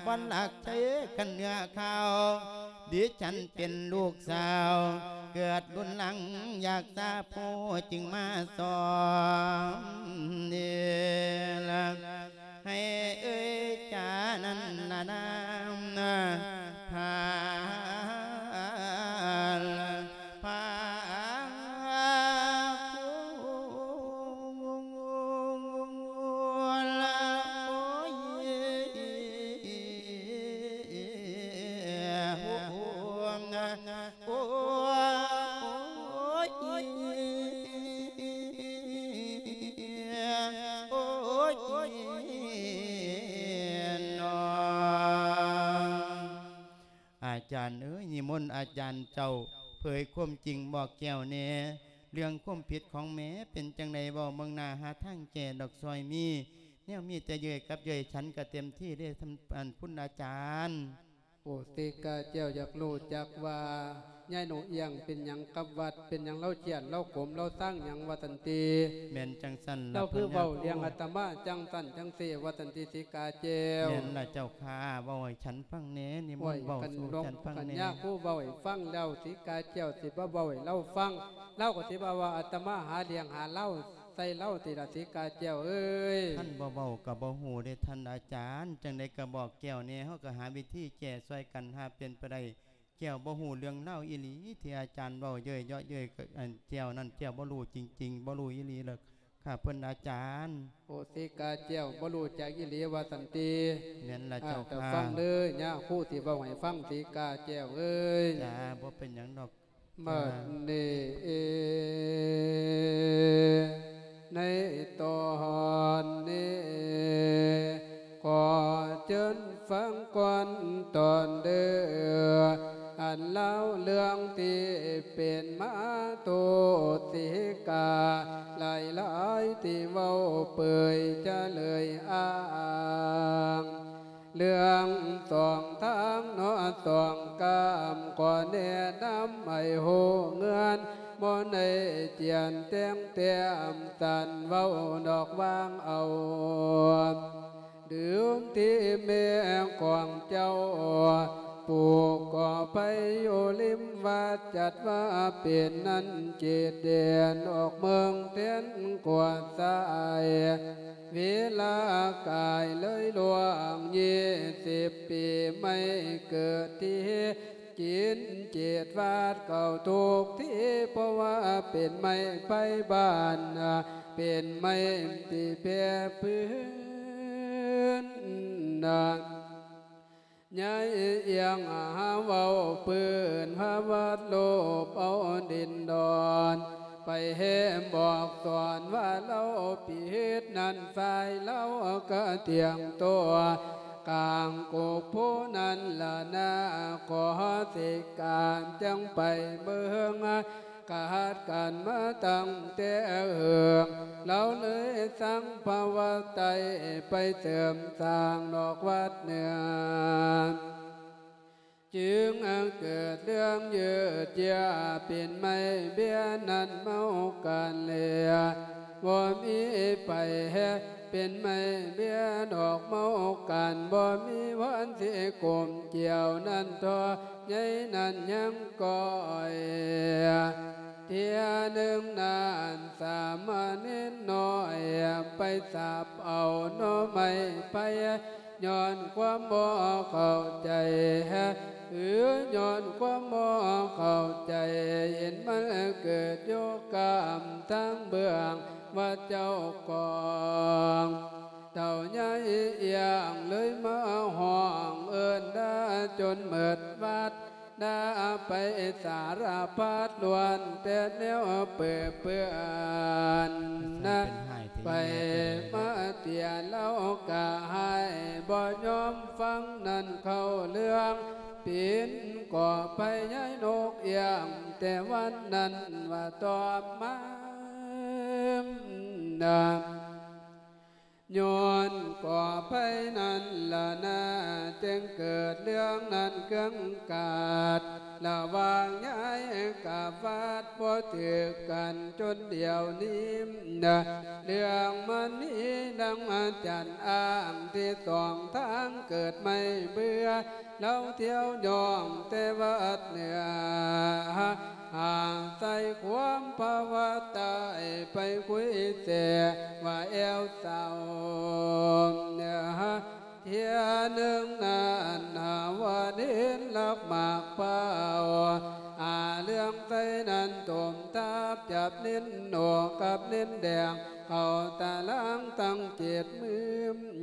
ບ່ອນຫຼັກໃຊ້ຄັນເນື້ອຂ່າວ ດິສັນເປັນລູກສາວ ເກີດລຸນຫຼັງຢາກສາໂພ ຈຶ່ງມາສອມນີ້ລະ ໃຫ້ເອີຍຈານັ້ນນະນາ ພາ ພາ ໂອ້ຍ ໂອ້ຍ ໂອ້ຍ ເນາະ ອາຈານເອີຍ ນິມົນອາຈານເຈົ້າ ເຜີຍຄວາມຈິງບອກແກ້ວແດ່ ເລື່ອງຄວາມຜິດຂອງແມ່ເປັນຈັ່ງໃດ ເວົ້າເບິ່ງໜ້າ ຫາທາງແກ້ດອກ ຊ່ອຍມີ ແນວມີແຕ່ເຍີ້ຍກັບເຍີ້ຍ ສັນກະເຕັມທີ່ເດ້ ທ່ານ ອັນ ຄຸນອາຈານ. ໂອ ສີກາແກ້ວຢາກຮູ້ຈັກວ່າ ຍາຍນົກອຽງເປັນຫຍັງກັບວັດ ເປັນຫຍັງລາວຄຽດ ລາວໂກມ ລາວຊັງຫຍັງວ່າຊັ້ນຕິ. ແມ່ນຈັ່ງຊັ້ນລະ ລາວຄືເວົ້າເລື່ອງອາດຕະມາຈັ່ງຊັ້ນຈັ່ງຊີ້ວ່າຊັ້ນຕິ ສີກາແກ້ວ. ແມ່ນລະເຈົ້າຂ້າ ເວົ້າໃຫ້ສັນຟັງແດ່ ນິມົນເວົ້າສູ່ສັນຟັງແດ່. ຄັນຍາຄູເວົ້າໃຫ້ຟັງແລ້ວ ສີກາແກ້ວຊິມາເວົ້າໃຫ້ລາວຟັງ ລາວກໍຊິວ່າ ວ່າອາດຕະມາຫາເລື່ອງຫາລາວ ໃສ່ລາວຕິລະ ສີກາແກ້ວເອີຍ. ຄັນບໍ່ເວົ້າກໍບໍ່ຮູ້ເດ້ທ່ານອາຈານ ຈັ່ງໃດກໍບອກແກ້ວແດ່ ເຮົາກໍຫາວິທີແກ້ຊ່ອຍກັນ ຫາເປັນໄປໄດ້ ແກ້ວບໍ່ຮູ້ເລື່ອງລາວອີ່ຫຼີ ທີ່ອາຈານເວົ້າເຍີ້ຍເຍາະເຍີ້ຍ ອັນ ແກ້ວນັ້ນແກ້ວບໍ່ຮູ້ຈິງໆ ບໍ່ຮູ້ອີ່ຫຼີເລີຍ ຂ້າເພິ່ນອາຈານ. ໂອ ສີກາແກ້ວບໍ່ຮູ້ຈັກອີ່ຫຼີວ່າຊັ້ນຕິ. ແມ່ນລະເຈົ້າຂ້າ ອາ ເຈົ້າຟັງເດີ ຍາຄູຊິເວົ້າໃຫ້ຟັງ ສີກາແກ້ວເອີຍ. ຈ້າ ບໍ່ເປັນຫຍັງດອກ. ບັດນີ້ ໃນຕອນນີ້ ຂໍເຊີນຟັງກ່ອນຕອນເດີ ອັນລາວເລື່ອງທີ່ເປັນມາໂຕຕິກາ ຫຼາຍໆທີ່ເວົ້າເປີຍຈະເລີຍອ້າງ ເລື່ອງສອງທາງເນາະສອງກ້າມ ຂໍແນະນຳໃຫ້ຮູ້ເງື່ອນ ບໍ່ໄດ້ຈຽນແຕ່ງແຕ້ມ ສັນເວົ້າດອກວາງເອົາ ເດີມທີ່ແມ່ຂອງເຈົ້າ ປູກກໍໄປຢູ່ລິມວັດ ຈັດວ່າເປັນນັ້ນເຂດແດນອອກເມືອງແທນກວ່າຊາຍ ເວລາກາຍເລີຍລ່ວງຊາວປີ ໄມ້ເກີດທີ່ກິນເຂດວັດເກົ່າທຸກທີ່ ເພາະວ່າເປັນໄມ້ໄພບ້ານ ເປັນໄມ້ທີ່ແຜ່ພື້ນ ຍາຍອຽງຫາເວົ້າພື້ນ ພາວັດໂລບເອົາດິນດອນ ໄປແຮມບອກສອນວ່າລາວຜິດນັ້ນ ຝ່າຍລາວກະຕຽງຕົວ ກາງກົກໂພນັ້ນລະນາ ຂໍສິການຈັ່ງໄປເບິ່ງ ກະຮັດກັນມາຕັ້ງແຕ່ເຫິງ ລາວເລີຍສັ່ງພະວັດໃຕ້ ໄປເສີມສ້າງນອກວັດເໜືອ ຈຶ່ງເກີດເລື່ອງເຢີດເຢີ້ຍ ເປັນໄມ້ເບ້ຍນັ້ນເມົາກັນເລີຍ ບໍ່ມີໄປແຮ ເປັນໄມ້ເບ້ຍດອກເມົາກັນ ບໍ່ມີວັນຊິກົມກ່ຽວນັ້ນ ທໍ່ໃຫຍ່ນັ້ນຍັງກ້ອຍ ເທື່ອໜຶ່ງນັ້ນ ສາມະເນນນ້ອຍໄປສາບເອົາໜໍ່ໄມ້ໄຜ່ ຍ້ອນຄວາມບໍ່ເຂົ້າໃຈ ຫຼື ຍ້ອນຄວາມບໍ່ເຂົ້າໃຈ ເຫັນມັນເກີດຢູ່ກ້າມທາງເບື້ອງ ວ່າເຈົ້າຂອງ ເຖົ້າຍາຍອຽງເລີຍມາຮ້ອງເອີ້ນດ່າຈົນໝົດວັດ ດ່າໄປສາລະພັດ ລ້ວນແຕ່ແນວເປິເປື້ອນ ໄປມາເຕຍລາວກະຮ້າຍ ບໍ່ຍອມຟັງນັ້ນເຂົ້າເລື່ອງ ປິ່ນກໍໄປຍາຍນົກອຽງ ແຕ່ວັນນັ້ນວ່າຕໍ່ມາ ຍ້ອນກໍໄປນັ້ນລະນາ ເກີດເລື່ອງນັ້ນເຄື່ອງກາດ ລະຫວ່າງຍາຍກັບວັດບໍ່ຖືກກັນຈົນດຽວນີ້ນະ ເລື່ອງມັນມີດັ່ງຈັນອ້າງທີ່ສອງທາງເກີດໄມ່ເບື່ອ ລາວທ່ຽວຍ່ອງແຕ່ວັດເໜືອ ຫາໃສ່ຄວາມພາວະໃຕ້ໄປຄຸຍແສວ່າແອວເຊົາ ເທື່ອໜຶ່ງນັ້ນຫາວ່າເຫັນລັກໝາກພ້າວ ອາເລື່ອງໃສ່ນັ້ນຕົມທັບຈັບເນັ້ນໂໜກກັບເນັ້ນແດງ ເຂົ້າຕາລາງຕັ້ງເຈັດມື້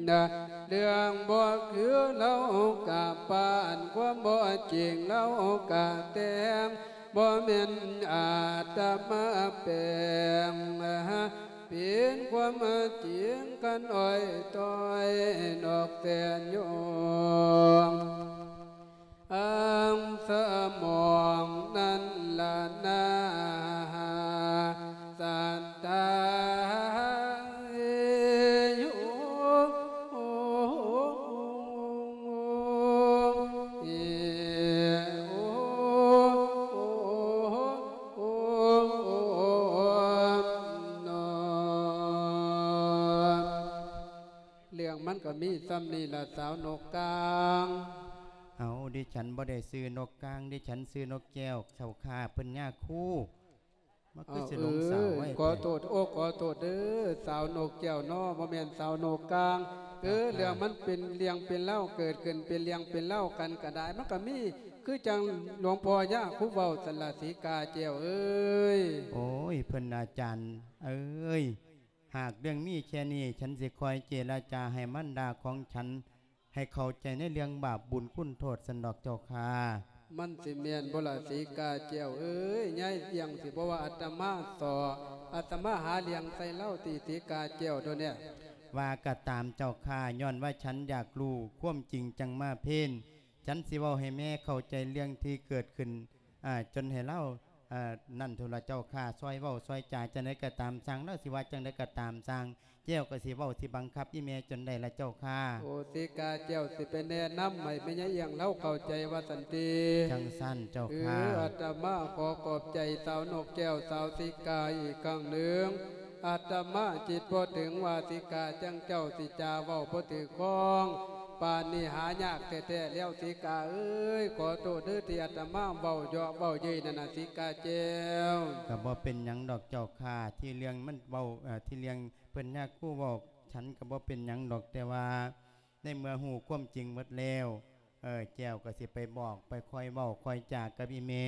ນະ ເລື່ອງບໍ່ຄືເລົ່າກະປານ ຄວາມບໍ່ຈິງເລົ່າກະແຕ່ງ ບໍ່ແມ່ນອາດຕະມາແປງ ເປັນຄວາມຈິງກັນອ້ອຍຕ້ອຍນອກແຕ່ຍອງ ອັງສະໝອງນັ້ນລະນາ ສັດທາເອໂຍ ເອໂອ ໂອ ໂອ ໂອ ໂອ ໂອ ໂອ ໂອ ໂອ ເລື່ອງມັນກໍມີສ່ຳນີ້ລະ ສາວນົກກາງ. ເອົາ ດິສັນບໍ່ໄດ້ຊື່ນົກກາງ ດິສັນຊື່ນົກແກ້ວເຈົ້າຂ້າ ເພິ່ນຍາຄູ ມັນຄືຊິຫຼົງສາວໄວ້ແທ້. ຂໍໂທດ ໂອ້ ຂໍໂທດເດີ ສາວນົກແກ້ວເນາະ ບໍ່ແມ່ນສາວນົກກາງ. ເອີ ເຈົ້າຂ້າ ເລື່ອງມັນເປັນເລື່ອງເປັນລາວ ເກີດຂຶ້ນເປັນເລື່ອງເປັນລາວກັນກໍໄດ້ ມັນກໍມີຄືຈັ່ງຫຼວງພໍ່ຍາຄູເວົ້າຊັ້ນລະ ສີກາແກ້ວເອີຍ. ໂອ້ຍ ເພິ່ນອາຈານເອີຍ ຫາກເລື່ອງມີແຄ່ນີ້ ສັນຊິຄອຍເຈລະຈາໃຫ້ມັນດາຂອງສັນ ໃຫ້ເຂົ້າໃຈໃນເລື່ອງບາບບຸນຄຸນໂທດຊັ້ນດອກເຈົ້າຂ້າ. ມັນຊິແມ່ນບໍ່ລະ ສີກາແກ້ວເອີຍ? ຍາຍອຽງຊິບໍ່ວ່າອາດຕະມາສໍ້ ອາດຕະມາຫາເລື່ອງໃສ່ລາວຕິ ສີກາແກ້ວໂດເນຍ? ວ່າກໍຕາມເຈົ້າຂ້າ ຍ້ອນວ່າສັນຢາກຮູ້ຄວາມຈິງ ຈັ່ງມາເພນ ສັນຊິເວົ້າໃຫ້ແມ່ເຂົ້າໃຈເລື່ອງທີ່ເກີດຂຶ້ນ ອາ ຈົນໃຫ້ລາວ ອາ ນັ້ນໂທດລະເຈົ້າຂ້າ ຊ່ອຍເວົ້າຊ່ອຍຈາຈັ່ງໃດກໍຕາມຊ່າງ ລາວຊິວ່າຈັ່ງໃດກໍຕາມຊ່າງ ແກ້ວກໍຊິເວົ້າຊິບັງຄັບອີ່ແມ່ຈົນໄດ້ລະເຈົ້າຂ້າ. ໂອ ສີກາແກ້ວຊິໄປແນະນຳໃຫ້ແມ່ຍາຍອຽງລາວເຂົ້າໃຈວ່າຊັ້ນຕິ? ຈັ່ງຊັ້ນເຈົ້າຂ້າ. ເອີ ອາດຕະມາຂໍຂອບໃຈສາວນົກແກ້ວ ສາວສີກາອີກຄັ້ງໜຶ່ງ. ອາດຕະມາຈິດບໍ່ເຖິງວ່າສີກາຈັ່ງເຈົ້າຊິຈາເວົ້າບໍ່ຖືກຄອງ ປານນີ້ຫາຍາກແທ້ໆແລ້ວ ສີກາເອີຍ. ຂໍໂທດເດີທີ່ອາດຕະມາເວົ້າເຍາະເວົ້າເຍີ້ຍນັ້ນນະ ສີກາແກ້ວ. ກໍບໍ່ເປັນຫຍັງດອກເຈົ້າຂ້າ ທີ່ເລື່ອງມັນເວົ້າ ເອີ ທີ່ເລື່ອງເພິ່ນຍາຄູເວົ້າ ສັນກໍບໍ່ເປັນຫຍັງດອກ ແຕ່ວ່າໃນເມື່ອຮູ້ຄວາມຈິງໝົດແລ້ວ ເອີ ແກ້ວກໍຊິໄປບອກ ໄປຄອຍເວົ້າຄອຍຈາກັບອີ່ແມ່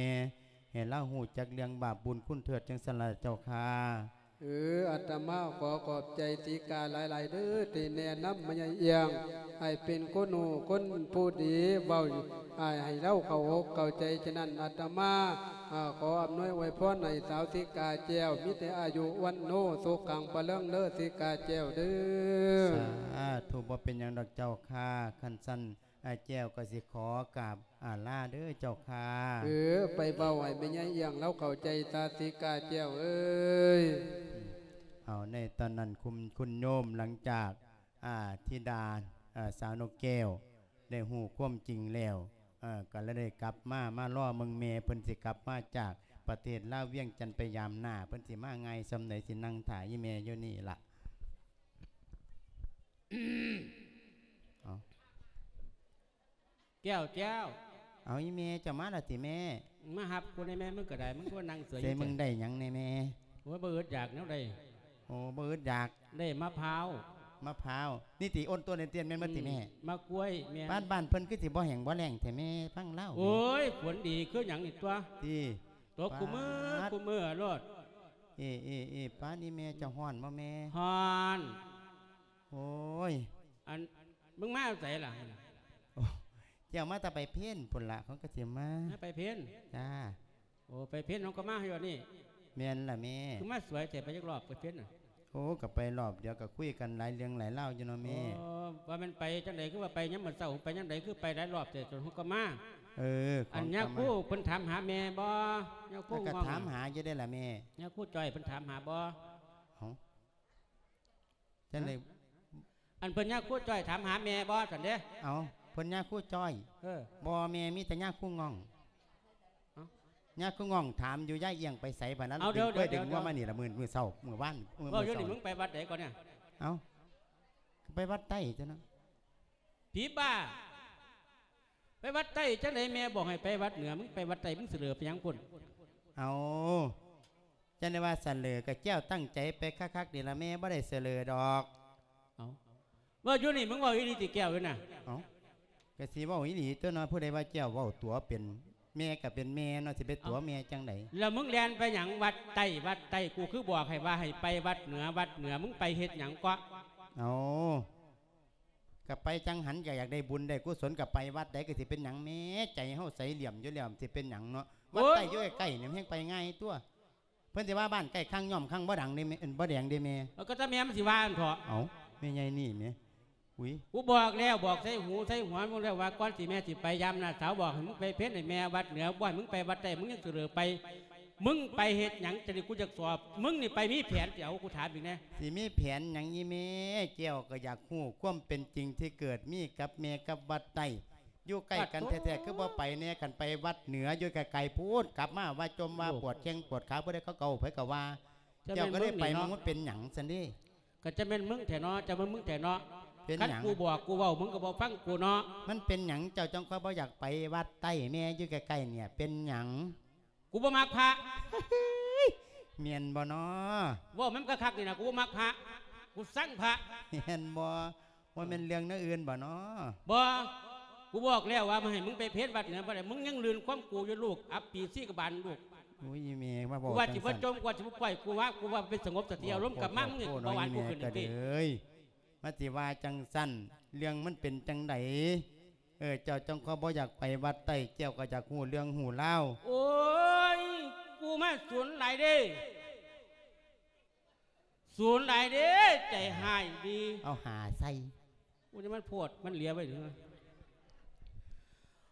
ໃຫ້ລາວຮູ້ຈັກເລື່ອງບາບບຸນຄຸນເທີດ ຈັ່ງຊັ້ນລະເຈົ້າຂ້າ. ເອີ ອາດຕະມາຂໍຂອບໃຈສີກາຫຼາຍໆເດີ ທີ່ແນະນຳແມ່ຍາຍອຽງໃຫ້ເປັນຄົນຮູ້ຄົນຜູ້ດີ ເວົ້າໃຫ້ລາວເຂົ້າອົກເຂົ້າໃຈ. ສະນັ້ນ ອາດຕະມາ ອາ ຂໍອຳນວຍອວຍພອນໃຫ້ສາວສີກາແກ້ວ ມີແຕ່ອາຍຸວັນໂນສຸຂັງພະລັງເດີ ສີກາແກ້ວເດີ. ສາທຸ ບໍ່ເປັນຫຍັງດອກເຈົ້າຂ້າ. ຄັນຊັ້ນ ອາ ແກ້ວກໍຊິຂໍກາບອາລາເດີເຈົ້າຂ້າ. ເອີ ໄປເວົ້າໃຫ້ແມ່ຍາຍອຽງລາວເຂົ້າໃຈຊະ ສີກາແກ້ວເອີຍ. ເອົາ ໃນຕອນນັ້ນ ຄຸນ ຄຸນໂຍມ ຫຼັງຈາກ ອາ ທິດາ ອາ ສາວນົກແກ້ວ ໄດ້ຮູ້ຄວາມຈິງແລ້ວ ເອີ ກໍເລີຍໄດ້ກັບມາ ມາລໍເບິ່ງແມ່ເພິ່ນຊິກັບມາຈາກປະເທດລາວ ວຽງຈັນ ໄປຢາມໜ້າ ເພິ່ນຊິມາງ່າຍສ່ຳໃດ ຊິນັ່ງຖ້າອີ່ແມ່ຢູ່ນີ້ລະ. ເອົາ ແກ້ວ ແກ້ວ ເອົາ ອີ່ແມ່ ເຈົ້າມາແລ້ວຕິແມ່? ມາຮັບກູແດ່ແມ່ ມຶງກໍໄດ້ ມຶງຄືວ່ານັ່ງເສຍຢູ່ ໃສ ມຶງໄດ້ຫຍັງແດ່ແມ່? ໂອ້ຍ ບໍ່ອຶດຢາກແນວໃດ. ໂອ້ ບໍ່ອຶດຢາກ ໄດ້ມະພ້າວ. ມະພ້າວ ນີ້ຕິ ໂອນໂຕນເຕັ້ນແມ່ນບໍ່ຕິແມ່? ອືມ ໝາກກ້ວຍ ແມ່ນ. ບ້ານ ບ້ານເພິ່ນຄືຊິບໍ່ແຫ້ງບໍ່ແລ້ງແທ້ແມ່ ຟັງລາວ. ໂອ້ຍ ຝົນດີຄືຫຍັງນີ້ຕົວະ ຕິ ຕົກຄູ່ມື້ ປາດ ຄູ່ມື້ໂລດ. ເອ ເອ ເອ ປາດ ອີ່ແມ່ ເຈົ້າຮ້ອນບໍ່ແມ່? ຮ້ອນ. ໂອ້ຍ ອັນ ມຶງມາແຕ່ໃສລະ? ໂອ້ ເຈົ້າມາແຕ່ໄປເພັນພຸ້ນລະ ເຂົາກໍຊິມາ ມາໄປເພັນ. ຈ້າ. ໂອ້ ໄປເພັນເຮົາກໍມາຢູ່ນີ້. ແມ່ນລະແມ່. ຄືມາສວຍແທ້ ໄປຈັກລອບໄປເພັນນະ? ໂອ້ ກໍໄປລອບດຽວ ກໍຄຸຍກັນຫຼາຍເລື່ອງຫຼາຍລາວຢູ່ເນາະແມ່. ໂອ້ ວ່າແມ່ນໄປຈັ່ງໃດ ຄືວ່າໄປຍາມມື້ເຊົ້າ ໄປຍາມໃດ ຄືໄປຫຼາຍລອບແທ້ ຈົນເຮົາກໍມາ. ເອີ ອັນຍາຄູເພິ່ນຖາມຫາແມ່ບໍ່? ຍາຄູ ແລ້ວກໍຖາມຫາຢູ່ເດ້ລະແມ່. ຍາຄູຈ້ອຍເພິ່ນຖາມຫາບໍ່? ເອົ້າ ຈັ່ງໃດ? ອັນເພິ່ນຍາຄູຈ້ອຍຖາມຫາແມ່ບໍ່ຊັ້ນເດ້? ເອົ້າ ເພິ່ ຄົນຍາຄູຈ້ອຍ ເອີ ບໍ່ແມ່ ມີແຕ່ຍາຄູງ່ອງ ເອົ້າ ຍາຄູງ່ອງຖາມຢູ່ ຍາຍອຽງໄປໃສ ບາດນັ້ນ ເອົາ ດຶງ ດຽວ ເອີຍ ດຽວ ດຶງງົວມານີ້ລະ ມື້ ມື້ເຊົ້າ ມື້ວານ ມື້ ເວົ້າຢູ່ນີ້ ເຊົ້າ ມຶງໄປວັດໃດກ່ອນເນຍ? ເອົ້າ ໄປວັດໃຕ້ຕົວະເນາະ. ຜີບ້າ ໄປວັດໃຕ້ຈັ່ງໃດ? ແມ່ບອກໃຫ້ໄປວັດເໜືອ ມຶງໄປວັດໃຕ້ ມຶງສະເຫຼີໄປຫຍັງພຸ້ນ? ເອົາ ຈັ່ງໃດວ່າສະເຫຼີ ກະແກ້ວຕັ້ງໃຈໄປຄັກໆນີ້ລະ ແມ່ບໍ່ໄດ້ສະເຫຼີດອກ. ເອົ້າ ເວົ້າຢູ່ນີ້ ມຶງເວົ້າອີ່ຫຼີຕິແກ້ວ ຢູ່ນະ? ເອົ້າ ກະຊິເວົ້າອີ່ຫຼີຕົວະເນາະ ຜູ້ໃດວ່າແກ້ວເວົ້າຕົວະເປັນ ແມ່ກະເປັນແມ່ເນາະ ຊິໄປຕົວະແມ່ຈັ່ງໃດ? ເອົ້າ ແລ້ວມຶງແລ່ນໄປຫຍັງວັດໃຕ້ ວັດໃຕ້? ກູຄືບອກໃຫ້ວ່າໃຫ້ໄປວັດເໜືອ ວັດເໜືອ ມຶງໄປເຮັດຫຍັງເກາະ? ເອົາ ກະໄປຈັງຫັ້ນ ກະຢາກໄດ້ບຸນໄດ້ກຸສົນ ກະໄປວັດໃດກະຊິເປັນຫຍັງແມ່ ໃຈເຮົາໃສຫຼ້ຽມຢູ່ແລ້ວ ຊິເປັນຫຍັງເນາະ? ວັດໃຕ້ຢູ່ໃກ້ໆນີ້ ແຮ່ງໄປງ່າຍຕົວະ. ເພິ່ນຊິວ່າບ້ານໃກ້ຄາງ ຍ້ອມຄາງບໍ່ດັງເດ້ແມ່ ບໍ່ແດງເດ້ແມ່. ເອີ ກະຕາແມ່ມັນຊິວ່າຫັ້ນເຖາະ. ເອົ້າ ແມ່ໃຫຍ່ນີ້ແໝ ອຸ້ຍ ກູບອກແລ້ວ ບອກໃສ່ຫູໃສ່ຫົວມຶງແລ້ວວ່າ ກ່ອນຊິແມ່ຊິໄປຢາມນ້າສາວ ບອກໃຫ້ມຶງໄປເພັນໃຫ້ແມ່ວັດເໜືອ ບໍ່ໃຫ້ມຶງໄປວັດໃຕ້ ມຶງຍັງສະເຫຼີໄປ. ມຶງໄປເຮັດຫຍັງ? ຈັ່ງນີ້ກູຢາກສອບ ມຶງນີ້ໄປມີແຜນ ຊິເອົາ ກູຖາມອີກແດ່. ຊິມີແຜນຫຍັງອີ່ແມ່? ແກ້ວກະຢາກຮູ້ຄວາມເປັນຈິງທີ່ເກີດມີກັບແມ່ກັບວັດໃຕ້ ຢູ່ໃກ້ກັນແທ້ໆ ປາດໂທ້ ຄືບໍ່ໄປແດ່? ຄັນໄປວັດເໜືອຢູ່ໄກໆພຸ້ນ ກັບມາວ່າຈົ່ມວ່າປວດແຂ້ງປວດຂາ ຜູ້ໃດເຂົາເວົ້າ ໃຜກະວ່າ. ເຈົ້າກະໄດ້ໄປ ມັນເປັນຫຍັງຊັ້ນເດ? ກະຈະແມ່ນມຶງແທ້ເນາະ ຈະແມ່ນມຶງແທ້ເນາະ. ເປັນຫຍັງ? ຄັນກູບອກກູເວົ້າ ມຶງກະບໍ່ຟັງກູເນາະ. ມັນເປັນຫຍັງ ເຈົ້າຈັ່ງຄ່ອຍບໍ່ຢາກໄປວັດໃຕ້ແມ່ ຢູ່ໃກ້ໆນີ້ ເປັນຫຍັງ? ກູບໍ່ມັກພະ. ແມ່ນບໍ່ນໍ? ເວົ້າມັນກະຄັກນີ້ນະ ກູບໍ່ມັກພະ ກູຊັງພະ. ແມ່ນບໍ່? ບໍ່ແມ່ນເລື່ອງແນວອື່ນບໍ່ນໍ? ບໍ່ ກູບອກແລ້ວວ່າບໍ່ໃຫ້ມຶງໄປເພັນວັດເໜືອ ບໍ່ໄດ້ ມຶງຍັງລື່ນຄວາມກູຢູ່ ລູກອັບປີຊີກະບານລູກ. ໂອ້ຍ ອີ່ແມ່ ມາເວົ້າ ກູວ່າຊິບໍ່ຈົ່ມ ກູວ່າຊິບໍ່ປ່ອຍ ກູວ່າ ກູວ່າໄປສະຫງົບສະຕິອາລົມກັບມາ ມຶງເຮັດກູເບົາຫວານກູຂຶ້ນອີກຕິ. ມາຊິວ່າຈັ່ງຊັ້ນ ເລື່ອງມັນເປັນຈັ່ງໃດ? ເອີ ເຈົ້າຈັ່ງຄ່ອຍບໍ່ຢາກໄປວັດໃຕ້ ແກ້ວກະຢາກຮູ້ເລື່ອງຮູ້ລາວ. ໂອ້ຍ ກູມາສູນຫຼາຍເດ້ ສູນຫຼາຍເດ້ ໃຈຮ້າຍດີ. ເອົາຫາໃສ່. ໂອ້ຍ ມັນໂພດ ມັນເຫຼຍໄວ້ເດີ.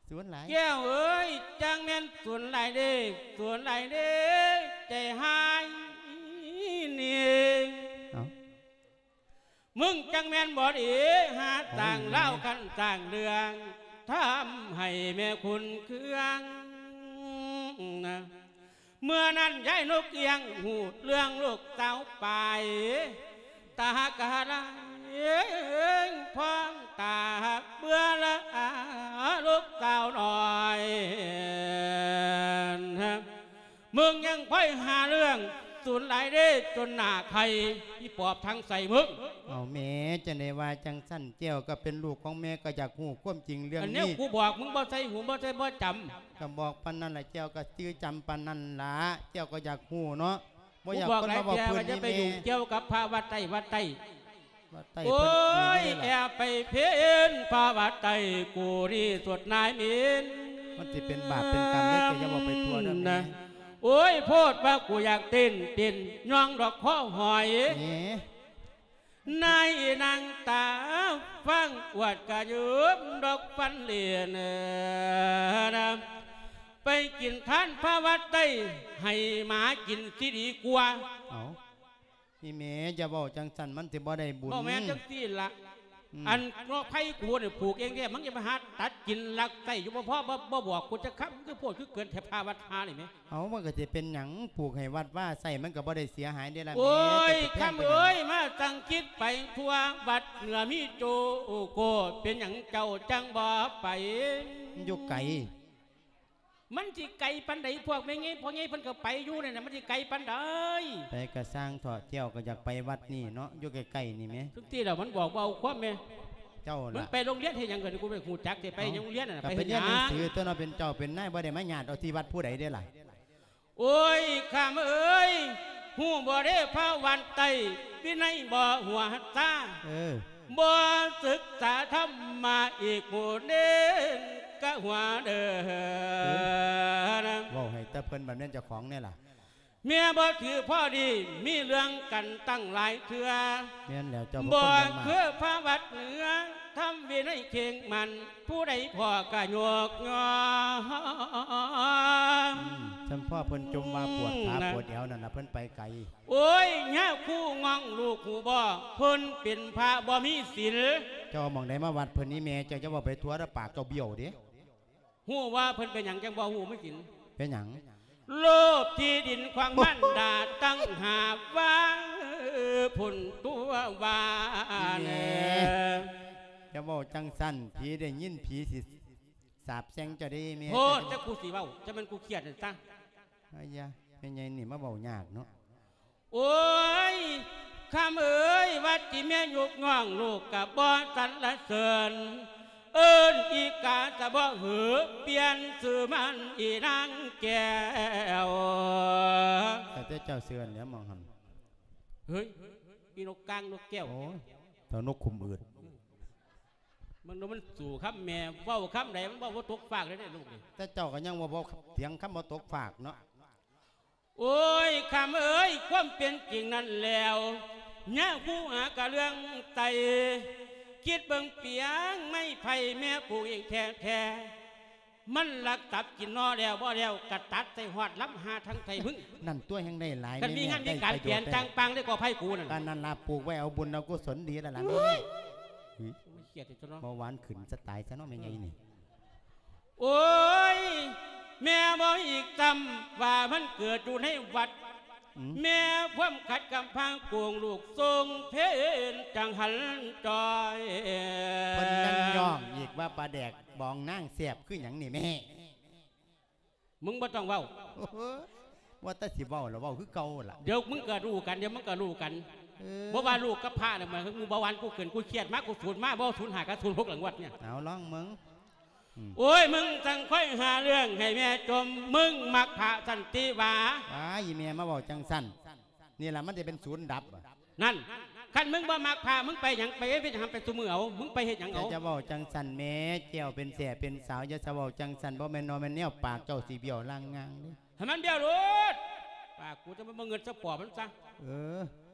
ສູນຫຼາຍ. ແກ້ວເອີຍ ຈັ່ງແມ່ນສູນຫຼາຍເດ້ ສູນຫຼາຍເດ້ ໃຈຮ້າຍນີ້. ເອົ້າ ມຶງຈັ່ງແມ່ນບໍ່ດີ ຫາສ້າງລາວ ຄັນສ້າງເລື່ອງ ທຳໃຫ້ແມ່ຂຸນເຄືອງນະ. ເມື່ອນັ້ນຍາຍນົກອຽງ ຮູ້ເລື່ອງລູກສາວປາຍ ຕາກະລາຍ ພອງຕາເບື່ອລະອາ ລູກສາວນ້ອຍ. ມຶງຍັງໄປຫາເລື່ອງສູນຫຼາຍເດ້ ຈົນໜ້າໄຂ່ ອີປອບທາງໃສ່ມຶງ. ເອົາແມ່ ຈັ່ງໃດວ່າຈັ່ງຊັ້ນ ແກ້ວກະເປັນລູກຂອງແມ່ ກະຢາກຮູ້ຄວາມຈິງເລື່ອງນີ້. ອັນແນວກູບອກ ມຶງບໍ່ໃສ່ຫູ ບໍ່ໃສ່ ບໍ່ຈຳ. ກະບອກປານນັ້ນລະ ແກ້ວກະຈື່ຈຳປານນັ້ນລະ ແກ້ວກະຢາກຮູ້ເນາະ. ບໍ່ຢາກຄົນມາເວົ້າພື້ນນີ້ແມ່. ກູບອກຫຼາຍເທື່ອວ່າຢ່າໄປຫຍຸ້ງກ່ຽວກັບພະວັດໃຕ້ ວັດໃຕ້. ໂອ້ຍ ແອບໄປເພັນພະວັດໃຕ້ ກູນີ້ສຸດນາຍເມັນ. ມັນຊິເປັນບາບເປັນກຳເດ້ ແກ້ວຢ່າເວົ້າໄປທົ່ວເດີແມ່. ໂອ້ຍ ໂພດວ່າກູຢາກເຕັ້ນ ເຕັ້ນຍ່ອງດອກຄໍຫອຍ. ນາຍນາງຕາຟັງອວດກະຢືມດອກຟັນເຫຼັ້ນນະ ໄປກິນທານພະວັດໃຕ້ ໃຫ້ໝາກິນຊິດີກວ່າ. ເອົາ ອີ່ແມ່ ຢ່າເວົ້າຈັ່ງຊັ້ນ ມັນຊິບໍ່ໄດ້ບຸນ. ບໍ່ແມ່ນຈັ່ງຊີ້ລະ. ອືມ ອັນເນາະ ໄພກູນີ້ຜູກເອງແທ້ ມຶງຢ່າໄປຫາຕັດກິນລັກໄສ້ຢູ່ ບໍ່ພໍ ບໍ່ ບໍ່ບອກກູຈັກຄຳ ຄືໂພດຄືເກີນແທ້ ພະວັດຫານີ້ແໝ. ເອົາ ມັນກະຊິເປັນຫຍັງ ປູກໃຫ້ວັດວາໃຊ້ ມັນກະບໍ່ໄດ້ເສຍຫາຍເດ້ລະແມ່. ໂອ້ຍ ຄຳເອີຍ ມາສັ່ງຄິດໄປທົ່ວ ວັດເໜືອມີໂຈໂກ ເປັນຫຍັງເຈົ້າຈັ່ງບໍ່ໄປ? ມັນຢູ່ໄກ. ມັນຊິໄກປານໃດ? ພວກແມ່ໃຫຍ່ພໍ່ໃຫຍ່ເພິ່ນກະໄປຢູ່ນັ້ນນະ ມັນຊິໄກປານໃດ? ໄປກະຊ່າງເຖາະ ແກ້ວກະຢາກໄປວັດນີ້ເນາະ ຢູ່ໃກ້ໆນີ້ແໝ. ທຸກທີແລ້ວມັນບອກບໍ່ເອົາຄວາມແໝ. ເຈົ້າລະ ມັນໄປໂຮງຮຽນເຮັດຫຍັງ? ກະກູບໍ່ຮູ້ຈັກເດ ໄປໂຮງຮຽນນະ ໄປເຮັດຫຍັງ? ກະໄປຮຽນໜັງສືຕົວເນາະ ເປັນເຈົ້າເປັນນາຍ ບໍ່ໄດ້ມາຍາດເອົາທີ່ວັດຜູ້ໃດເດ້ລະ. ໂອ້ຍ ຄຳເອີຍ ຮູ້ບໍ່ເດ້ພະວັດໃຕ້ ວິໄນບໍ່ຫົວຊາ. ເອີ ບໍ່ສຶກສາທຳມະອີກຜູ້ເໜຶ່ງກະຫົວເດີ. ເອີ ເວົ້າໃຫ້ແຕ່ເພິ່ນ ບັດແມ່ນເຈົ້າຂອງແດ່ລະ. ແມ່ບໍ່ຖືພໍດີ ມີເລື່ອງກັນຕັ້ງຫຼາຍເທື່ອ. ແມ່ນແລ້ວ ເຈົ້າບໍ່ ບໍ່ຄືພະວັດເໜືອ ທຳວິໄນເຄັ່ງໝັ້ນ ຜູ້ໃດພໍກໍຍົກຍ້ອງ. ອືມ ຊັ້ນພໍ່ເພິ່ນຈົ່ມວ່າປວດຂາ ອືມ ປວດແອວນັ້ນລະ ເພິ່ນໄປໄກ. ໂອ້ຍ ຍາຄູງ່ອງລູກຮູ້ບໍ່ ເພິ່ນເປັນພະບໍ່ມີສິນ. ເຈົ້າເອົາໝ່ອງໃດມາວັດເພິ່ນນີ້ແມ່ ເຈົ້າຈະເວົ້າໄປທົ່ວເດີ ປາກເຈົ້າບ້ຽວເດ້. ຮູ້ວ່າເພິ່ນເປັນຫຍັງຈັ່ງບໍ່ຮູ້ມີສິນ? ເປັນຫຍັງ? ໂລບທີ່ດິນຂອງມານດາຕັ້ງຫາກວ່າພຸ້ນຕົວະວ່າ. ອີແມ່ ແນ່ ຢ່າເວົ້າຈັ່ງຊັ້ນ ຜີໄດ້ຍິນຜີຊິສາບແຊ່ງເຈົ້າເດ້ແມ່. ໂພດ ເຈົ້າ ຈັກກູຊິເວົ້າ ຈັກແມ່ນກູຄຽດນັ້ນຊະ. ອາຢາ ແມ່ໃຫຍ່ນີ້ມາເວົ້າຍາກເນາະ. ໂອ້ຍ ຄຳເອີຍ ວັດທີ່ແມ່ຍົກຍ້ອງລູກກະບໍ່ສັນລະເສີນ ເອີ້ນອີກາສະເບາະເຫີ ປ່ຽນຊື່ມັນອີນາງແກ້ວ. ແຕ່ເຈົ້າເຊື່ອແລ້ວມອງຫັ້ນ. ເຮີ້ຍ ອີນົກກາງນົກແກ້ວ. ໂອ້ຍ ເທົ່ານົກຂຸມອືດ. ມັນ ມັນສູ້ຄຳແມ່ ເວົ້າຄຳໃດມັນເວົ້າບໍ່ຕົກຟາກເລີຍເດ້ລູກນີ້. ແຕ່ເຈົ້າກໍຍັງເວົ້າ ເວົ້າຖຽງຄຳບໍ່ຕົກຟາກເນາະ. ໂອ້ຍ ຄຳເອີຍ ຄວາມເປັນຈິງນັ້ນແລ້ວ ຍາມຜູ້ຫາກະເລື່ອງໄຕ ຄິດເບິ່ງປຽງໄມ້ໄຜ່ແມ່ປູກເອງແທ້ໆ ມັນລັກຕັບກິນໜໍ່ແລ້ວບໍ່ແລ້ວ ກະຕັດໃສ່ຮອດລຳຫາທັງໄທມຶງ. ນັ້ນຕົວະ ແຮ່ງໄດ້ຫຼາຍ. ຄັນມີງານມີການ ແມ່ນແມ່ ໄດ້ປະໂຫຍດ ປ່ຽນ ແທ້ ຈ້າງປາງໄດ້ກໍໄຜກູນັ້ນ. ປານນັ້ນລະ ປູກໄວ້ເອົາບຸນເອົາກຸສົນດີແລ້ວລະແມ່. ໂອ້ຍ ເຮີ້ຍ ເວົ້າຫວານຂຶ້ນສະຕາຍຊະເນາະແມ່ໃຫຍ່ນີ້. ໂອ້ຍ ແມ່ເວົ້າອີກຊ້ຳວ່າມັນເກີດຢູ່ໃນວັດ. ອືມ ແມ່ຄວາມຂັດກຳພາໂກງລູກຊົງເພນຈັ່ງຫັນຈ່ອຍ. ເພິ່ນຍັງຍ້ອງອີກວ່າປາແດກບອງນາງແຊບຄືຫຍັງນີ້ແມ່. ມຶງບໍ່ຕ້ອງເວົ້າ. ໂອ້ໂຫ ວ່າແຕ່ຊິເວົ້າລະເວົ້າຄືເກົ່າລະ. ດຽວມຶງກໍຮູ້ກັນ ດຽວມັນກໍຮູ້ກັນ. ເອີ ບໍ່ວ່າລູກກັບພະນະ ມາ ມຶງບໍ່ຫວັງ ກູຂຶ້ນກູຄຽດມາ ກູສູນມາ ບໍ່ສູນຫ້າກັບສູນຫົກລະງວດນີ້. ເອົາລອງເບິ່ງ. ອືມ ໂອ້ຍ ມຶງຈັ່ງຄ່ອຍຫາເລື່ອງໃຫ້ແມ່ຈົ່ມ ມຶງມັກພະສັນຕິຫວາ. ວ້າຍ ອີແມ່ມາເວົ້າຈັ່ງຊັ້ນ ນີ້ລະມັນຈະເປັນສູນດັບ. ນັ້ນ ຄັນມຶງບໍ່ມັກພະ ມຶງໄປຫຍັງ ໄປເຮັດຫຍັງ ໄປຊຸມື້ເອົາ ມຶງໄປເຮັດຫຍັງເອົາ. ເຈົ້າຈະເວົ້າຈັ່ງຊັ້ນແມ້ ແກ້ວເປັນແສ້ເປັນສາວ ຢ່າສະເວົ້າຈັ່ງຊັ້ນ ບໍ່ແມ່ນນໍແມ່ນແນວ ປາກເຈົ້າຊິບ້ຽວລາງງາງເດ້. ໃຫ້ມັນບ້ຽວໂລດ ປາກກູຈະບໍ່ເງິນສະປອບມັນຊະ. ເອີ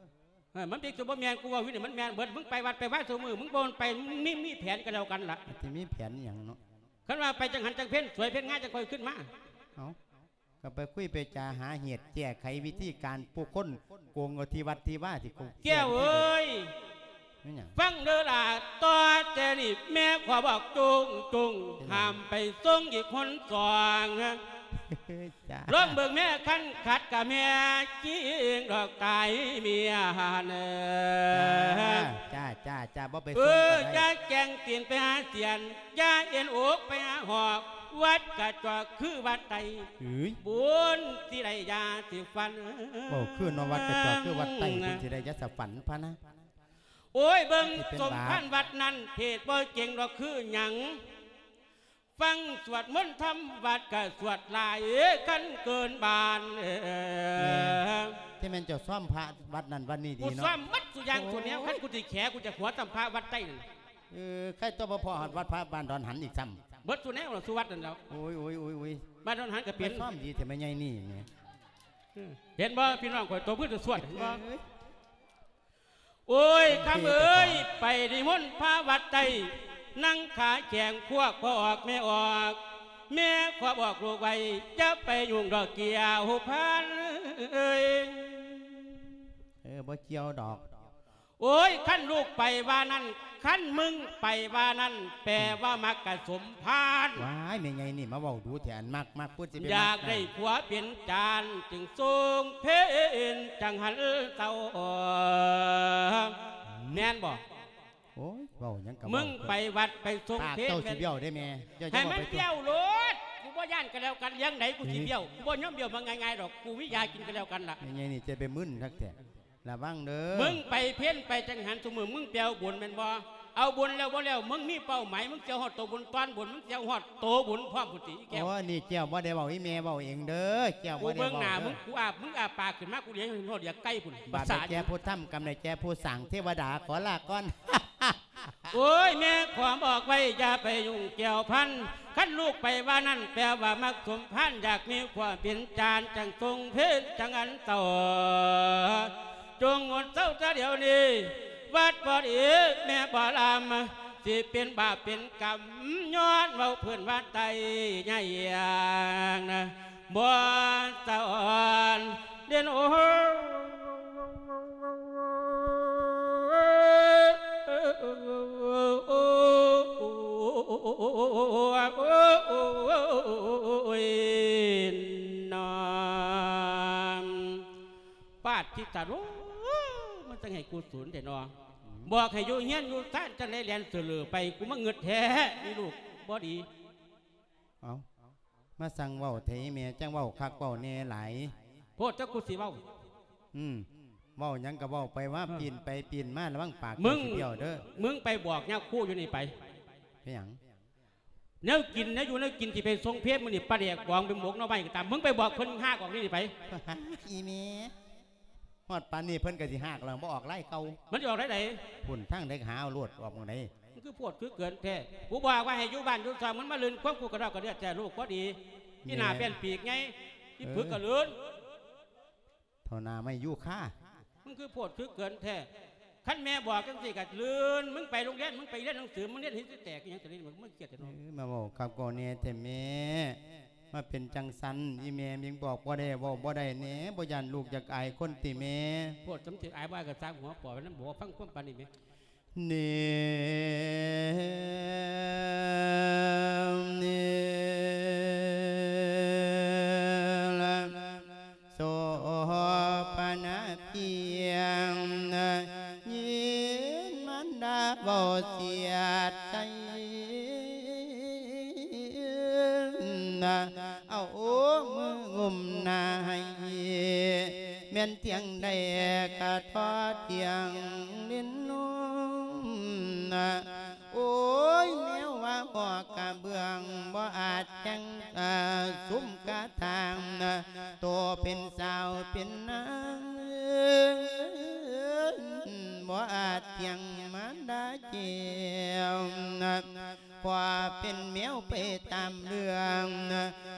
ເອີ ມັນເປັນຕົວບໍ່ແມ່ນ ກູເວົ້າຢູ່ນີ້ມັນແມ່ນເບິດ. ມຶງໄປວັດໄປວາຊຸມື້ ມຶງບໍ່ໄປ ມີ ມີແຜນກໍແລ້ວກັນລະ. ມັນຊິມີແຜນອີ່ຫຍັງເນາະ. ຄັນວ່າໄປຈັງຫັນຈັງເພັນ ສວຍເພັນງາມ ຈັ່ງຄ່ອຍຂຶ້ນມາ. ເອົ້າ ກໍໄປຄຸຍໄປຈາຫາເຫດແກ້ໄຂວິທີການ ຜູ້ຄົນໂກງເອົາທີ່ວັດທີ່ວາ ທີ່ໂກງ. ແກ້ວເອີຍ ແມ່ນຫຍັງ? ຟັງເດີຫຼ້າ ຕໍ່ແຕ່ນີ້ແມ່ຂໍບອກໂຈງໆ ເປັນຫຍັງ? ຫ້າມໄປສົ່ງອີກຫົນສອງ. ຈ້າ ລອງເບິ່ງແມ່ ຄັນຂັດກະແມ່ຈິງດອກຕາຍເມຍຫັ້ນ. ຈ້າ ຈ້າ ຈ້າ ບໍ່ໄປ ເອີ ສົ່ງກໍໄດ້. ຢ່າແກງຕີນໄປຫາສຽນ ຢ່າເອັນອົກໄປຫາຫອກ ວັດກະຈອກຄືວັດໄຕ ເອີຍ ບຸນຊິໄດ້ຢາຊິຝັນ. ເວົ້າຄືເນາະ ວັດກະຈອກຄືວັດໄຕ ບຸນຊິໄດ້ຢາສະຝັນພະນະ. ໂອ້ຍ ເບິ່ງສົມພານວັດນັ້ນ ເທດບໍ່ເກັ່ງດອກຄືຫຍັງ. ຟັງສວດມົນທຳວັດກະສວດຫຼາຍຄັນເກີນບ້ານ. ແມ່ນ ທີ່ແມ່ນເຈົ້າຊ້ອມພະວັດນັ້ນວັດນີ້ດີເນາະ. ກູຊ້ອມໝົດສູ່ຢ່າງສູ່ແນວ. ໂອ້ຍ ຄັນກູຊິແຂ ກູຈະຂົວຊ້ຳພະວັດໃຕ້ນັ້ນ. ເອີ ໃຄຕົວະບໍ່ພໍຮອດວັດພະບ້ານດອນຫັນອີກຊ້ຳ. ເບິດສູ່ແນວລະ ສູ່ວັດນັ້ນແລ້ວ. ໂອ້ຍ ໂອ້ຍ ໂອ້ຍ ໂອ້ຍ ບ້ານດອນຫັນກໍເປັນ. ຊ້ອມດີແທ້ແມ່ໃຫຍ່ນີ້ແໝ. ເອີ ເຫັນບໍ່ ພີ່ນ້ອງຂ້ອຍຕົບມືສວດໆ ເຫັນບໍ່? ເອີຍ ໂອ້ຍ ຄຳເອີຍ ໄປນິມົນພະວັດໃຕ້ ນັ່ງຂາແຂງພວກພໍ່ອອກແມ່ອອກ ແມ່ຂອບອອກລູກໄວ້ ຢ່າໄປຫຍຸ້ງດອກແກ້ວພັນເອີຍ. ເອີ ບໍ່ກ່ຽວດອກ. ໂອ້ຍ ຄັນລູກໄປວ່ານັ້ນ ຄັນມຶງໄປວ່ານັ້ນ ແປວ່າມັກກະສົມພານ. ວ້າຍ ແມ່ໃຫຍ່ນີ້ມາເວົ້າດູແທ້ ອັນມັກ ມັກພຸດຊິໄປມັກ. ຢາກໄດ້ຜົວເປັນຈານ ຈຶ່ງສົ່ງເພນຈັ່ງຫັນເຊົາ. ອືມ ແມ່ນບໍ່? ໂອ້ຍ ເວົ້າຫຍັງກໍເວົ້າ. ມຶງໄປວັດໄປສົ່ງເພນ ປາກເຈົ້າຊິບ້ຽວເດ້ແມ່. ໃຫ້ມັນບ້ຽວໂລດ ກູບໍ່ຢ້ານກໍແລ້ວກັນ. ເລື່ອງໃດກູຊິບ້ຽວ? ອືມ ກູບໍ່ຍອມບ້ຽວມາງ່າຍໆດອກ. ກູມີຢາກິນກໍແລ້ວກັນລະ. ແມ່ໃຫຍ່ນີ້ຈະໄປມຶນຄັກແທ້. ລະວັງເດີ ມຶງໄປເພນໄປຈັງຫັນຊຸມື້ ມຶງໄປເອົາບຸນແມ່ນບໍ່? ເອົາບຸນແລ້ວບໍ່ແລ້ວ ມຶງມີເປົ້າໝາຍ ມຶງຊິເອົາຮອດໂຕບຸນ ຕອນບຸນ ມຶງຊິເອົາຮອດໂຕບຸນພ້ອມພຸ້ນຕິ ອີແກ້ວ. ໂອ້ ນີ້ແກ້ວບໍ່ໄດ້ເວົ້າ ອີແມ່ເວົ້າເອງເດີ ແກ້ວບໍ່ໄດ້ເວົ້າເດີ. ກູເບິ່ງໜ້າມຶງ ກູອາບ ມຶງອາປາກຂຶ້ນມາ ກູຫຼຽງເຫັນຮອດຢາກໄກ່ພຸ້ນ. ບາບໃດແກ່ຜູ້ທຳ ກຳໃດແກ່ຜູ້ສ້າງ ເທວະດາຂໍລາກ່ອນ. ໂອ້ຍ ແມ່ຂໍບອກໄວ້ ຢ່າໄປຫຍຸ້ງກ່ຽວພັນ ຄັນລູກໄປວ່ານັ້ນ ແປວ່າມັກສົມພັນ ຢາກມີຜົວເປັນຈານ ຈັ່ງຊົງເພນຈັ່ງອັນເຈົ້າ ຈົ່ງງົດເຊົາແຕ່ດຽວນີ້ ວັດບໍ່ດີ ແມ່ບໍ່ລຳ ຊິເປັນບາບເປັນກຳ ຍ້ອນເວົ້າເພິ່ນວ່າໄຕໃຫຍ່ນະ ບໍ່ສະອອນເດັ່ນໂອ້ ໂອ້ຍ ນອນ ປາດທິຕາໂລ ມັນຈັ່ງໃຫ້ກູສູນແທ້ເນາະ ບອກໃຫ້ຢູ່ເຮືອນຢູ່ຊານ ຈັ່ງໄດ້ແລ່ນເສີເຫຼີໄປ ກູມາເງີດແທ້ ມີລູກບໍ່ດີ. ເອົ້າ ມາສັ່ງເວົ້າແທ້ອີແມ່ ຈັ່ງເວົ້າຄັກເວົ້າແນ່ຫຼາຍ ໂພດ ຈັກກູຊິເວົ້າ ອືມ ເວົ້າຫຍັງກໍເວົ້າໄປ ວ່າ ເອີ ປີ້ນໄປປີ້ນມາ ລະວັງປາກ ມຶງ ເຈົ້າຊິບ້ຽວເດີ້ ມຶງໄປບອກຍາຄູຢູ່ນີ້ໄປ ເປັນຫຍັງ ແນວກິນແນວຢູ່ແນວກິນ ຊິໄປສົ່ງເພນມື້ນີ້ ປາແດກບອງ ໄປໝົກໜໍ່ໄມ້ກໍຕາມ ມຶງໄປບອກເພິ່ນຮາກອອກນີ້ໄປ ອີແມ່ ຮອດປານນີ້ເພິ່ນກໍຊິຮາກແລ້ວ ບໍ່ອອກລາຍເກົ່າ ມັນຊິອອກລາຍໃດ ພຸ້ນທາງໃດກໍຫາເອົາໂລດ ອອກໝ່ອງໃດ ມັນຄືໂພດຄືເກີນແທ້ ກູບອກວ່າໃຫ້ຢູ່ບ້ານຢູ່ຊ່ອງ ມັນມາລື່ນຄວາມກູກະດອກກະເດືອດແທ້ ລູກບໍ່ດີ ແມ່ ອີໜ້າແປ້ນປີກໃຫຍ່ ອີ ເອີ ຜຶກກະລື່ນ ເທົ່າໜ້າໄມ້ຢູຄາ ມັນຄືໂພດຄືເກີນແທ້ ຄັນແມ່ບອກຈັ່ງຊີ້ກະລື່ນ ມຶງໄປໂຮງຮຽນ ມຶງໄປຮຽນໜັງສື ມຶງຮຽນໃຫ້ແຕກອີຫຍັງ ຕະລິນ ມຶງເກຍດແທ້ເນາະ ເອີ ມາເວົ້າຄັກເວົ້າແນ່ແທ້ແມ່ ມາເປັນຈັ່ງຊັ້ນ ອີແມ່ຍັງບອກບໍ່ໄດ້ ເວົ້າບໍ່ໄດ້ແນ່ ບໍ່ຢ້ານລູກຢາກອາຍຄົນຕິແມ່ ໂພດ ສຳເລັດອາຍບໍ່ອາຍກໍຊ່າງຫົວ ປອຍມັນບໍ່ຟັງຄວາມປານນີ້ແມ່ ເນ ເນ ໂສພະນະພຽງ ຍິນມານດາເວົ້າສຽດໃສ່ ເອົາມືງຸ້ມໜ້າໃຫ້ ແມ່ນທຽງໃດກະທໍ່ທຽງຫຼິ້ນນວມ ໂອ້ຍ ແນວວ່າໝໍ້ກະເບື້ອງ ບໍ່ອາດຍັງ ອາ ສຸມກະຖາງ ໂຕເປັນສາວເປັນນາງ ບໍ່ອາດທຽງມານດາແກ້ວ ຂໍເປັນແມວໄປຕາມເລື່ອງ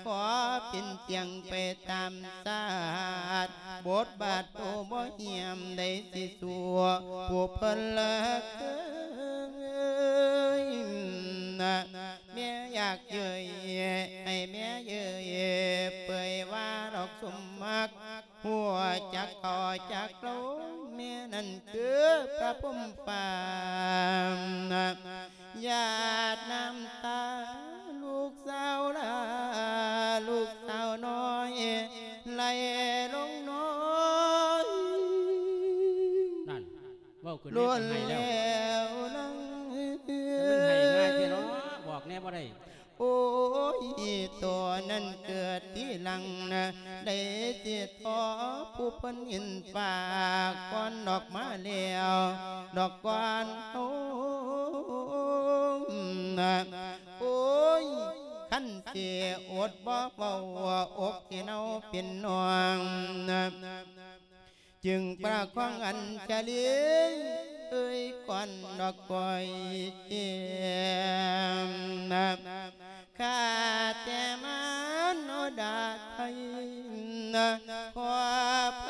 ຂໍເປັນຕຽງໄປຕາມຊາດ ບົດບາດໂຕບໍ່ຮຽມ ໃດຊິສູ້ຜູ້ເພິ່ນເລີກເຄີຍ ແມ່ຢາກເຍີ້ຍ ໃຫ້ແມ່ເຍີ້ຍ ເປີຍວ່າດອກສົມມັກ ຮູ້ຈັກກໍຈັກລົງ ແມ່ນັ້ນຄືພະພົມຟ້າ ຫຍາດນ້ຳຕາລູກສາວຫຼ້າ ລູກສາວນ້ອຍ ໄຫຼລົງນ້ອຍ ນັ້ນ ເວົ້າຂຶ້ນແລ້ວກໍໄຫ້ແລ້ວ ແລ້ວນະ ແຕ່ມັນໄຫ້ງ່າຍແທ້ເນາະ ບອກແດ່ບໍ່ໄດ້ ໂອ້ຍ ໂຕນັ້ນເກີດທີຫຼັງນະ ໄດ້ຊິຂໍຜູ້ເພິ່ນເຫັນຝາກກ່ອນອອກມາແລ້ວ ດອກກ່ອນໂຕນະ ໂອ້ຍ ຄັນຊິອົດບໍ່ເວົ້າ ອົກຊິເນົ່າເປັນໜອງນະ ຈຶ່ງປະຄອງອັນຈະລີ ເອີຍ ກ່ອນດອກກ້ອຍແກ້ມນະ ຂ້າແຕ່ມາໂນດາໄທນະ ຂໍໄພ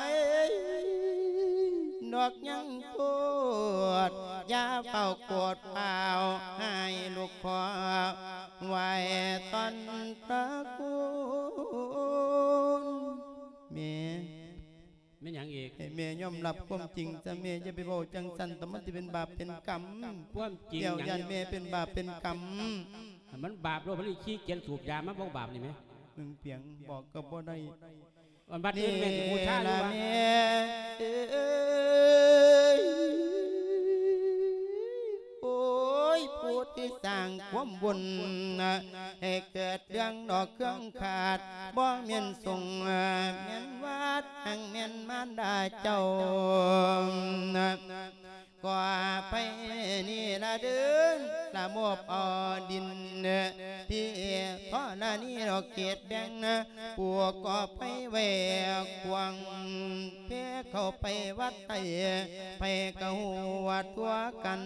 ດອກຍັງໂທດ ຢ່າເຝົ້າໂກດຟ້າວ ໃຫ້ລູກຂໍໄຫວ້ຕອນພະຄຸນ ແມ່ ແມ່ນຫຍັງອີກ? ໃຫ້ແມ່ຍອມຮັບຄວາມຈິງຊະແມ່ ຢ່າໄປເວົ້າຈັ່ງຊັ້ນ ແຕ່ມັນຊິເປັນບາບເປັນກຳ ຄວາມຈິງຫຍັງ? ແລ້ວຢ້ານແມ່ເປັນບາບເປັນກຳ ມັນບາບໂລດ ມັນຂີ້ກຽດສູບຢາ ມັນບໍ່ບາບນີ້ແໝ? ໜຶ່ງປຽງ ບອກກໍບໍ່ໄດ້ ອັນບັດອື່ນແມ່ຊິບູຊາຢູ່ວະ? ແມ່ເອີຍ ໂອ້ຍ ຜູ້ທີ່ສ້າງຄວາມບຸນ ໃຫ້ເກີດເລື່ອງດອກເຄື່ອງຂາດ ບໍ່ແມ່ນສົງ ແມ່ນວັດ ຫາກແມ່ນມານດາເຈົ້າ ຂໍອະໄພນີ້ລະເດີ ລະ ມອບເອົາດິນທີ່ທໍລະນີດອກເຂດແບ່ງ ປູກກໍໄປໄວ້ກວ້າງ ແຜ່ເຂົ້າໄປວັດໃຕ້ ໃຜກໍຮູ້ວ່າທົ່ວກັນ.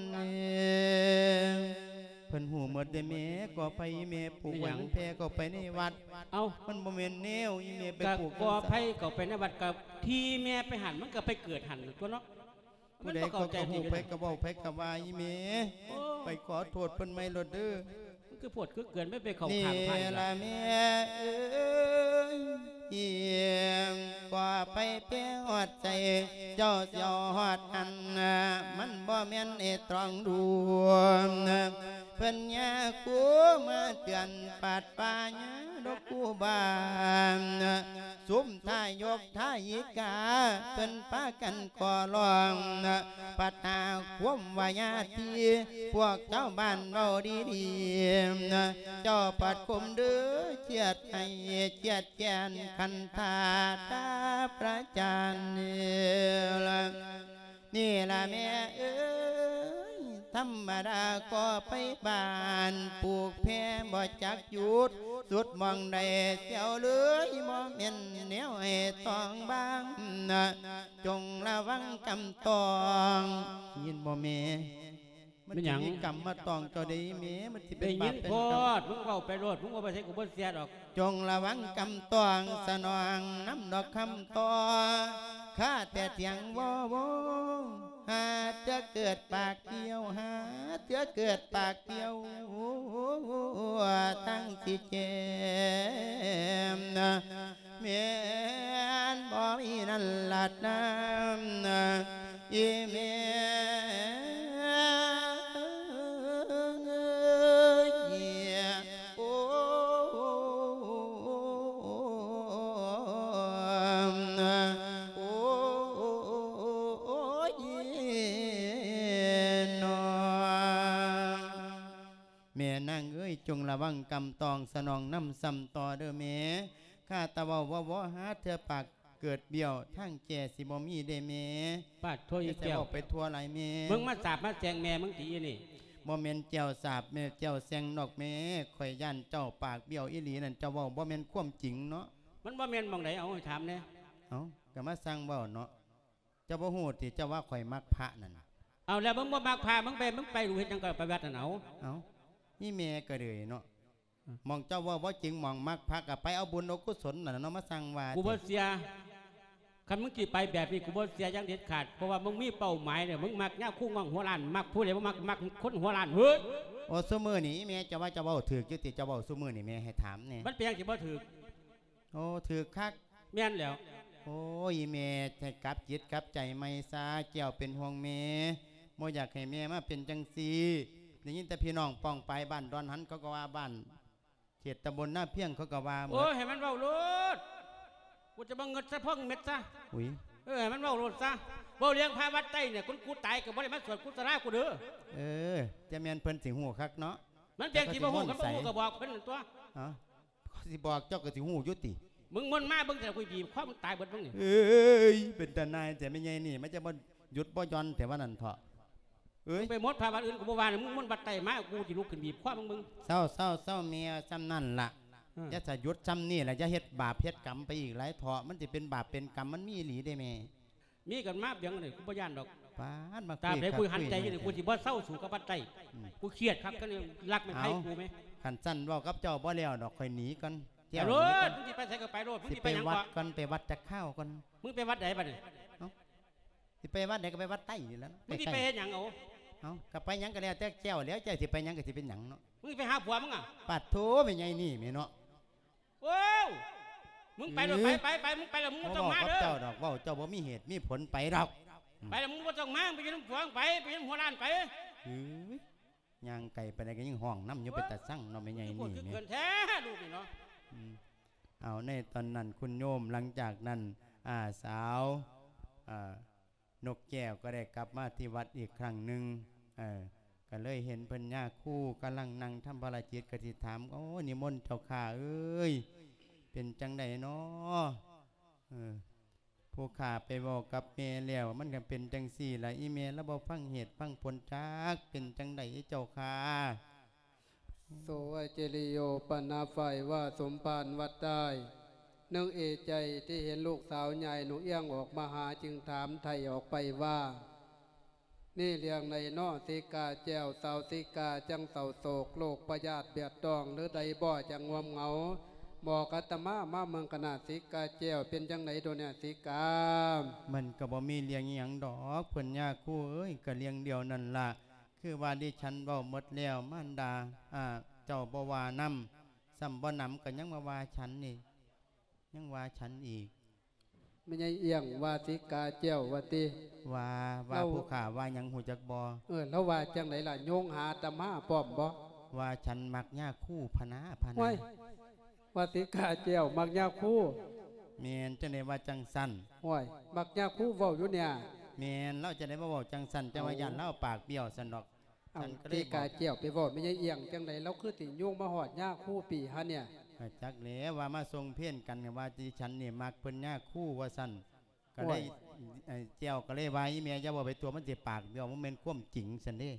ເພິ່ນຮູ້ໝົດເດ້ແມ່ ກໍໄຜແມ່ປູກໄວ້ ມັນແຜ່ເຂົ້າໄປໃນວັດ. ເອົ້າ ມັນບໍ່ແມ່ນແນວອີແມ່ໄປປູກ ກໍໄຜເຂົ້າໄປໃນວັດ ກໍທີ່ແມ່ໄປຫັ້ນ ມັນກໍໄປເກີດຫັ້ນຕົວເນາະ. ຜູ້ໃດກໍຮູ້ ໃຜກໍເວົ້າ ໃຜກໍວ່າອີແມ່. ໂອ້ ໄປຂໍໂທດເພິ່ນໃໝ່ໂລດເດີ. ມັນຄືໂພດຄືເກີນ ໄປ ໄປເຂົ້າຂ້າງພະນີ້ລະແມ່ເອີຍ. ກໍໄຜແປຮອດໃຈ ເຈົ້າຊິເອົາຮອດອັນ ມັນບໍ່ແມ່ນໄອ້ຕອງດູ. ເພິ່ນຍາຄູມາເຕືອນປາດປ່າຍາດອກຄູບາ ຊຸມທາຍົກທາຍິກາ ເພິ່ນປາກັນຂໍຮ້ອງ ປັດຫາຄວາມວ່າຍາດທີ່ ພວກຊາວບ້ານເວົ້າດີໆ ເຈົ້າປັດຂົ່ມເດີ ຄຽດໃຫ້ຄຽດແຄ້ນ ຄັນທ່າຕາພະຈານ. ນີ້ລະແມ່ເອີຍ ທຳມະດາກໍໄປບ້ານ ປູກແຜ່ບໍ່ຈັກຢຸດ ສຸດໝ່ອງໃດແຊວເລີຍ ບໍ່ແມ່ນແນວໃຫ້ຕ້ອງບາງ ຈົ່ງລະວັງກຳຕ້ອງ. ໄດ້ຍິນບໍ່ແມ່? ມັນ ແມ່ນຫຍັງ? ຊິມີກຳມາຕ້ອງເຈົ້າເດ້ແມ່ ມັນຊິເປັນບາບເປັນກຳ. ໄດ້ຍິນໂພດ ມຶງເວົ້າໄປໂລດ ມຶງເວົ້າໄປໃສກໍບໍ່ເຊື່ອດອກ. ຈົ່ງລະວັງກຳຕ້ອງ ສະໜອງນຳດອກຄຳຕໍ່ ຂ້າແຕ່ທຽງວໍ ຫາເທື່ອເກີດປາກກ່ຽວ ຫາເທື່ອເກີດປາກກ່ຽວ ຕັ້ງຊິແຈມ ແມ່ນບໍ່ມີນັ້ນລະນາ ອີແມ່ເອີຍ ໂອ້ ໂອ້ ໂອ້ຍ ເນາະ. ແມ່ນາງເອີຍ ຈົ່ງລະວັງກຳຕ້ອງ ສະໜອງນຳຊ້ຳຕໍ່ເດີແມ່. ຂ້າຕາເວົ້າບໍ່ ບໍ່ຫາເທື່ອປາກເກີດບ້ຽວ ທາງແຈຊິບໍ່ມີເດ້ແມ່. ປາດໂທ ອີແກ້ວ ເວົ້າໄປທົ່ວຫຼາຍແມ່. ມຶງມາສາບມາແຊ່ງແມ່ມຶງຕິອີນີ້? ບໍ່ແມ່ນແຈ່ວສາບແມ່ ແຈ່ວແຊ່ງດອກແມ່. ຂ້ອຍຢ້ານເຈົ້າປາກບ້ຽວອີ່ຫຼີນັ້ນ ເຈົ້າເວົ້າບໍ່ແມ່ນຄວາມຈິງເນາະ. ມັນບໍ່ແມ່ນໝ່ອງໃດ ເອົາໃຫ້ຖາມແດ່. ເອົ້າ ກໍມາຊ່າງເວົ້າເນາະ. ເຈົ້າບໍ່ຮູ້ຕິ ເຈົ້າວ່າຂ້ອຍມັກພະນັ້ນ. ເອົາ ແລ້ວມຶງບໍ່ມັກພະ ມຶງໄປ ມຶງໄປຮູ້ເຮັດຫຍັງກໍໄປວັດນັ້ນເອົາ. ເອົ້າ ອີແມ່ກໍເລີຍເນາະ. ອືມ ໝ່ອງເຈົ້າເວົ້າບໍ່ຈິງ ໝ່ອງມັກພະກໍໄປເອົາບຸນເອົາກຸສົນນັ້ນລະເນາະ ມາສ້າງວ່າ. ກູບໍ່ເຊື່ອ ຄັນມຶງຊິໄປແບບນີ້ ກູບໍ່ເຊື່ອຢ່າງເດັດຂາດ ເພາະວ່າມຶງມີເປົ້າໝາຍແລ້ວ ມຶງມັກຍາຄູງອງຫົວລ້ານ ມັກຜູ້ໃດບໍ່ມັກ ມັກຄົນຫົວລ້ານ. ເຮີ້ຍ ໂອ້ ຊຸມື້ນີ້ອີແມ່ ເຈົ້າວ່າເຈົ້າເວົ້າຖືກຢູ່ຕິ ເຈົ້າເວົ້າຊຸມື້ນີ້ແມ່ ໃຫ້ຖາມແດ່. ມັນເປັນຫຍັງຊິບໍ່ຖືກ? ໂອ້ ຖືກຄັກ. ແມ່ນແລ້ວ. ໂອ້ຍ ແມ່ໃຫ້ກັບຈິດກັບໃຈໃໝ່ຊະ ແກ້ວເປັນຫ່ວງແມ່ ບໍ່ຢາກໃຫ້ແມ່ມາເປັນຈັ່ງຊີ້. ໄດ້ຍິນແຕ່ພີ່ນ້ອງປ້ອງປາຍບ້ານດອນຫັນ ເຂົາກໍວ່າ ບ້ານເຂດຕຳບົນນາພຽງ ເຂົາກໍວ່າໝົດ. ໂອ້ຍ ໃຫ້ມັນເວົ້າໂລດ ກູຈະບໍ່ເງິດສະພອງເມັດຊະ. ອຸ້ຍ ເອີ ໃຫ້ມັນເວົ້າໂລດຊະ. ເວົ້າເລື່ອງພະວັດໃຕ້ນີ້ ຄົນກູຕາຍກໍບໍ່ໄດ້ມາສວດກຸສະລາກູເດີ. ເອີ ຈະແມ່ນເພິ່ນຊິຮູ້ຄັກເນາະ. ມັນເປັນຫຍັງຊິບໍ່ຮູ້ ຄັນບໍ່ຮູ້ກໍບອກເພິ່ນນັ້ນຕົວະ. ເອົ້າ ຂ້ອຍຊິບອກເຈົ້າກໍຊິຮູ້ຢູ່ຕິ. ມຶງມົນມາເບິ່ງແຕ່ກູບີບຄໍມຶງຕາຍເບິດມຶງນີ້. ເອີຍ ເປັນຕາໜ່າຍແທ້ແມ່ໃຫຍ່ນີ້ ມັນຈະບໍ່ຢຸດບໍ່ຢ່ອນແທ້ວ່ານັ້ນເຖາະ. ເອີຍ ມຶງໄປມົນພະວັດອື່ນກູບໍ່ວ່າ ມຶງມົນວັດໃຕ້ມາ ກູຊິລຸກຂຶ້ນບີບຄໍມຶງ. ເຊົາໆໆ ແມ່ ຊ່ຳນັ້ນລະ. ເອີ ຢ່າສະຢຸດຊ່ຳນີ້ລະ ຢ່າເຮັດບາບເຮັດກຳໄປອີກຫຼາຍເຖາະ. ມັນຊິເປັນບາບເປັນກຳ ມັນມີອີ່ຫຼີເດ້ແມ່. ມີກັນມາບຽງນີ້ ກູບໍ່ຢ້ານດອກ. ປາດ ມາ ຕາບໃດກູຫັນໃຈຢູ່ນີ້ ກູຊິບໍ່ເຊົາສູ່ກັບວັດໃຕ້. ອືມ ກູຄຽດຄັກກັນນີ້ ລັກໄມ້ໄຜ່ກູແມ. ເອົ້າ ຄັນຊັ້ນເວົ້າກັບເຈົ້າບໍ່ແລ້ວດອກ ຂ້ອຍໜີກ່ອນ. ແກ້ວ ໄປໂລດ ໜີກ່ອນ. ມຶງຊິໄປໃສກໍໄປໂລດ. ຊິໄປວັດກ່ອນ ໄປວັດຈັກຄາວກ່ອນ. ມຶງໄປວັດໃດບັດນີ້? ເອົ້າ ຊິໄປວັດໃດກໍໄປວັດໃຕ້ນີ້ແຫຼະ. ມຶງຊິໄປເຮັດຫຍັງເອົາ? ເອົ້າ ກໍໄປຫຍັງກໍແລ້ວແຕ່ແກ້ວແລ້ວ ເຈົ້າຊິໄປຫຍັງກໍຊິເປັນຫຍັງເນາະ. ມຶງຊິໄປຫາຜົວມຶງອະ? ປາດໂທ້ ແມ່ໃຫຍ່ນີ້ແມ່ເນາະ. ໂອ້ ມຶງໄປໂລດ ໄປ ໄປ ໄປ ມຶງໄປແລ້ວ ມຶງບໍ່ຕ້ອງມາເດີ. ເວົ້າກັບເຈົ້າດອກ ເວົ້າເຈົ້າບໍ່ມີເຫດມີຜົນ ໄປດອກ. ອືມ ໄປແລ້ວ ມຶງບໍ່ຕ້ອງມາ ໄປຢູ່ນຳຜົວ ໄປ ໄປຢູ່ນຳຫົວລ້ານ ໄປ. ເອີຍ ຍ່າງໄກໄປານໃດກໍຍັງຮ້ອງນຳຢູ່. ໂອ້ ເປັນຕາຊັງເນາະ ແມ່ໃຫຍ່ນີ້. ຄືເກີນແທ້ລູກນີ້ເນາະ. ອືມ ເອົາ ໃນຕອນນັ້ນ ຄຸນໂຍມ ຫຼັງຈາກນັ້ນ ອາ ສາວ ອາ ນົກແກ້ວກໍໄດ້ກັບມາທີ່ວັດອີກຄັ້ງໜຶ່ງ. ເອີ ກໍເລີຍເຫັນເພິ່ນຍາຄູກຳລັງນັ່ງທຳພາລະກິດ ກໍຊິຖາມ ໂອ້ ນິມົນເຈົ້າຂ້າເອີຍ ເປັນຈັ່ງໃດນໍ? ເອີ ຜູ້ຂ້າໄປເວົ້າກັບແມ່ແລ້ວ ມັນກໍເປັນຈັ່ງຊີ້ລະ ອີແມ່ລະບໍ່ຟັງເຫດຟັງຜົນຈັກ ເປັນຈັ່ງໃດເຈົ້າຂ້າ? ໂສວະເຈລິໂຍປະນາໄຟວາສົມພານວັດໄດ້ ນຶກເອໃຈທີ່ເຫັນລູກສາວຍາຍໜູອຽງອອກມາຫາ ຈຶ່ງຖາມໄຖ່ອອກໄປວ່າ ນີ້ເລື່ອງໃດນໍ ສີກາແກ້ວ ສາວສີກາຈັ່ງເສົ້າໂສກ ໂລກພະຍາດບຽດຕ້ອງ ຫຼືໃດບໍ່ຈັ່ງງ່ວມເຫງົາ ບອກອາດຕະມາມາເບິ່ງກະນະ ສີກາແກ້ວ ເປັນຈັ່ງໃດດອກເນຍ ສີກາ? ມັນກໍບໍ່ມີເລື່ອງອີ່ຫຍັງດອກ ເພິ່ນຍາຄູເອີຍ ກໍເລື່ອງດຽວນັ້ນລະ ຄືວ່າດິສັນເວົ້າໝົດແລ້ວ ມານດາ ອາ ເຈົ້າບໍ່ວ່ານຳ ຊ້ຳບໍ່ໜຳກໍຍັງມາວ່າສັນອີກ ຍັງວ່າສັນອີກ. ແມ່ໃຫຍ່ອຽງວ່າສີກາແກ້ວວ່າຕິ? ວ່າ ວ່າ ລາວ ຜູ້ຂ້າວ່າຫຍັງຮູ້ຈັກບໍ່? ເອີ ລາວວ່າຈັ່ງໃດລະ? ໂຍງຫາອາດຕະມາພ້ອມບໍ່? ວ່າສັນມັກຍາຄູພະນາ ພະນາ. ໂອ້ຍ ວ່າສີກາແກ້ວມັກຍາຄູ? ແມ່ນ ຈັ່ງໃດວ່າຈັ່ງຊັ້ນ? ໂອ້ຍ ມັກຍາຄູເວົ້າຢູ່ເນຍ. ແມ່ນ ລາວຈັ່ງໃດມາເວົ້າຈັ່ງຊັ້ນ? ເຈົ້າວ່າ ເອົ້າ ຢ້ານລາວປາກບ້ຽວຊັ້ນດອກ. ເອົ້າ ສັນກໍເລີຍ ສີກາແກ້ວໄປເວົ້າແມ່ໃຫຍ່ອຽງຈັ່ງໃດ ລາວຄືຊິໂຍງມາຮອດຍາຄູປີຫາເນຍ? ເອີ ຈັກແຫຼະ ວ່າມາສົ່ງເພນກັນ ວ່າດິສັນນີ້ມັກເພິ່ນຍາຄູວ່າຊັ້ນ ກໍເລີຍ ໂອ້ຍ ເອີ ແກ້ວກໍເລີຍວ່າ ອີ່ແມ່ຢ່າເວົ້າໄປທົ່ວ ມັນຊິປາກບ້ຽວ ບໍ່ແມ່ນຄວາມຈິງຊັ້ນເດ້.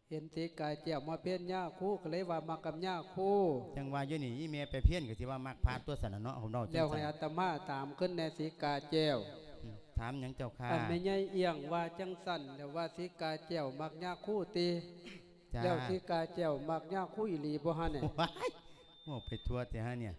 ເຫັນສີກາແກ້ວມາເພນຍາຄູ ກໍເລີຍວ່າມັກກັບຍາຄູ. ຈັ່ງວ່າຢູ່ນີ້ ອີ່ແມ່ໄປເພນກໍຊິວ່າມັກພະຕົວະຊັ້ນລະເນາະ ເຮົາເວົ້າຈັ່ງຊັ້ນ. ແລ້ວໃຫ້ອາດຕະມາຖາມຄືນແດ່ ສີກາແກ້ວ. ອືມ ຖາມຫຍັງເຈົ້າຂ້າ? ອັນແມ່ໃຫຍ່ອຽງວ່າຈັ່ງຊັ້ນ ແລ້ວວ່າສີກາແກ້ວມັກຍາຄູຕິ? ຈ້າ. ແລ້ວສີກາແກ້ວມັກຍາຄູອີ່ຫຼີບໍ່ຫັ້ນນະ? ວ້າຍ ເວົ້າໄປທົ່ວແທ້ຫາເນຍ.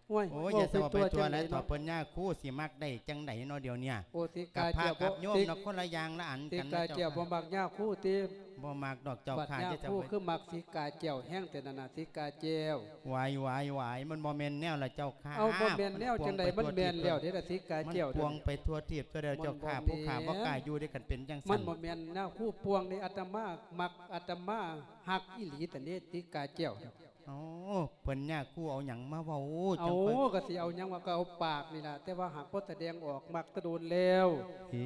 ໂອ້ຍ ໂອ້ຍ ຢ່າເວົ້າໄປທົ່ວ ເວົ້າໄປທົ່ວຫຼາຍ ຈັ່ງໃດເນາະ ເຖົ້າເພິ່ນຍາຄູຊິມັກໄດ້ຈັ່ງໃດເນາະດຽວເນີ້ຍ? ໂອ້ ສີກາແກ້ວ ກັບພະກັບໂຍມ ຕິ ເນາະ ຄົນລະຢ່າງລະອັນກັນນະ ເຈົ້າຂ້າ. ສີກາແກ້ວບໍ່ມັກຍາຄູຕິ? ບໍ່ມັກດອກເຈົ້າຂ້າ. ບັດຍາຄູຄືມັກສີກາແກ້ວແຮງແທ້ນັ້ນນະ ສີກາແກ້ວ. ຫວາຍ ຫວາຍ ຫວາຍ ມັນບໍ່ແມ່ນແນວລະເຈົ້າຂ້າ. ເອົ້າ ບໍ່ແມ່ນແນວຈັ່ງໃດ? ມັນແມ່ນແລ້ວເດ້ລະ ສີກາແກ້ວ. ມັນປ່ວງໄປທົ່ວທີບທົ່ວແດນເຈົ້າຂ້າ. ມັນບໍ່ແມ່ນ ຜູ້ຂ້າບໍ່ກ້າຢູ່ເດ້ ຄັນເປັນຈັ່ງຊັ້ນ. ມັນບໍ່ແມ່ນຍາຄູປ່ວງເດ້ ອາດຕະມາມັກ ອາດຕະມາຮັກອີ່ຫຼີ ຕາເນ ສີກາແກ້ວ. ເອົ້າ ເພິ່ນຍາຄູເອົາຫຍັງມາເວົ້າ ເອົ້າ ຈັ່ງເພິ່ນ ກໍຊິເອົາຫຍັງວ່າ ກໍເອົາປາກນີ້ລະ ແຕ່ວ່າຫາກບໍ່ສະແດງອອກ ມັກແຕ່ດົນແລ້ວ. ອີ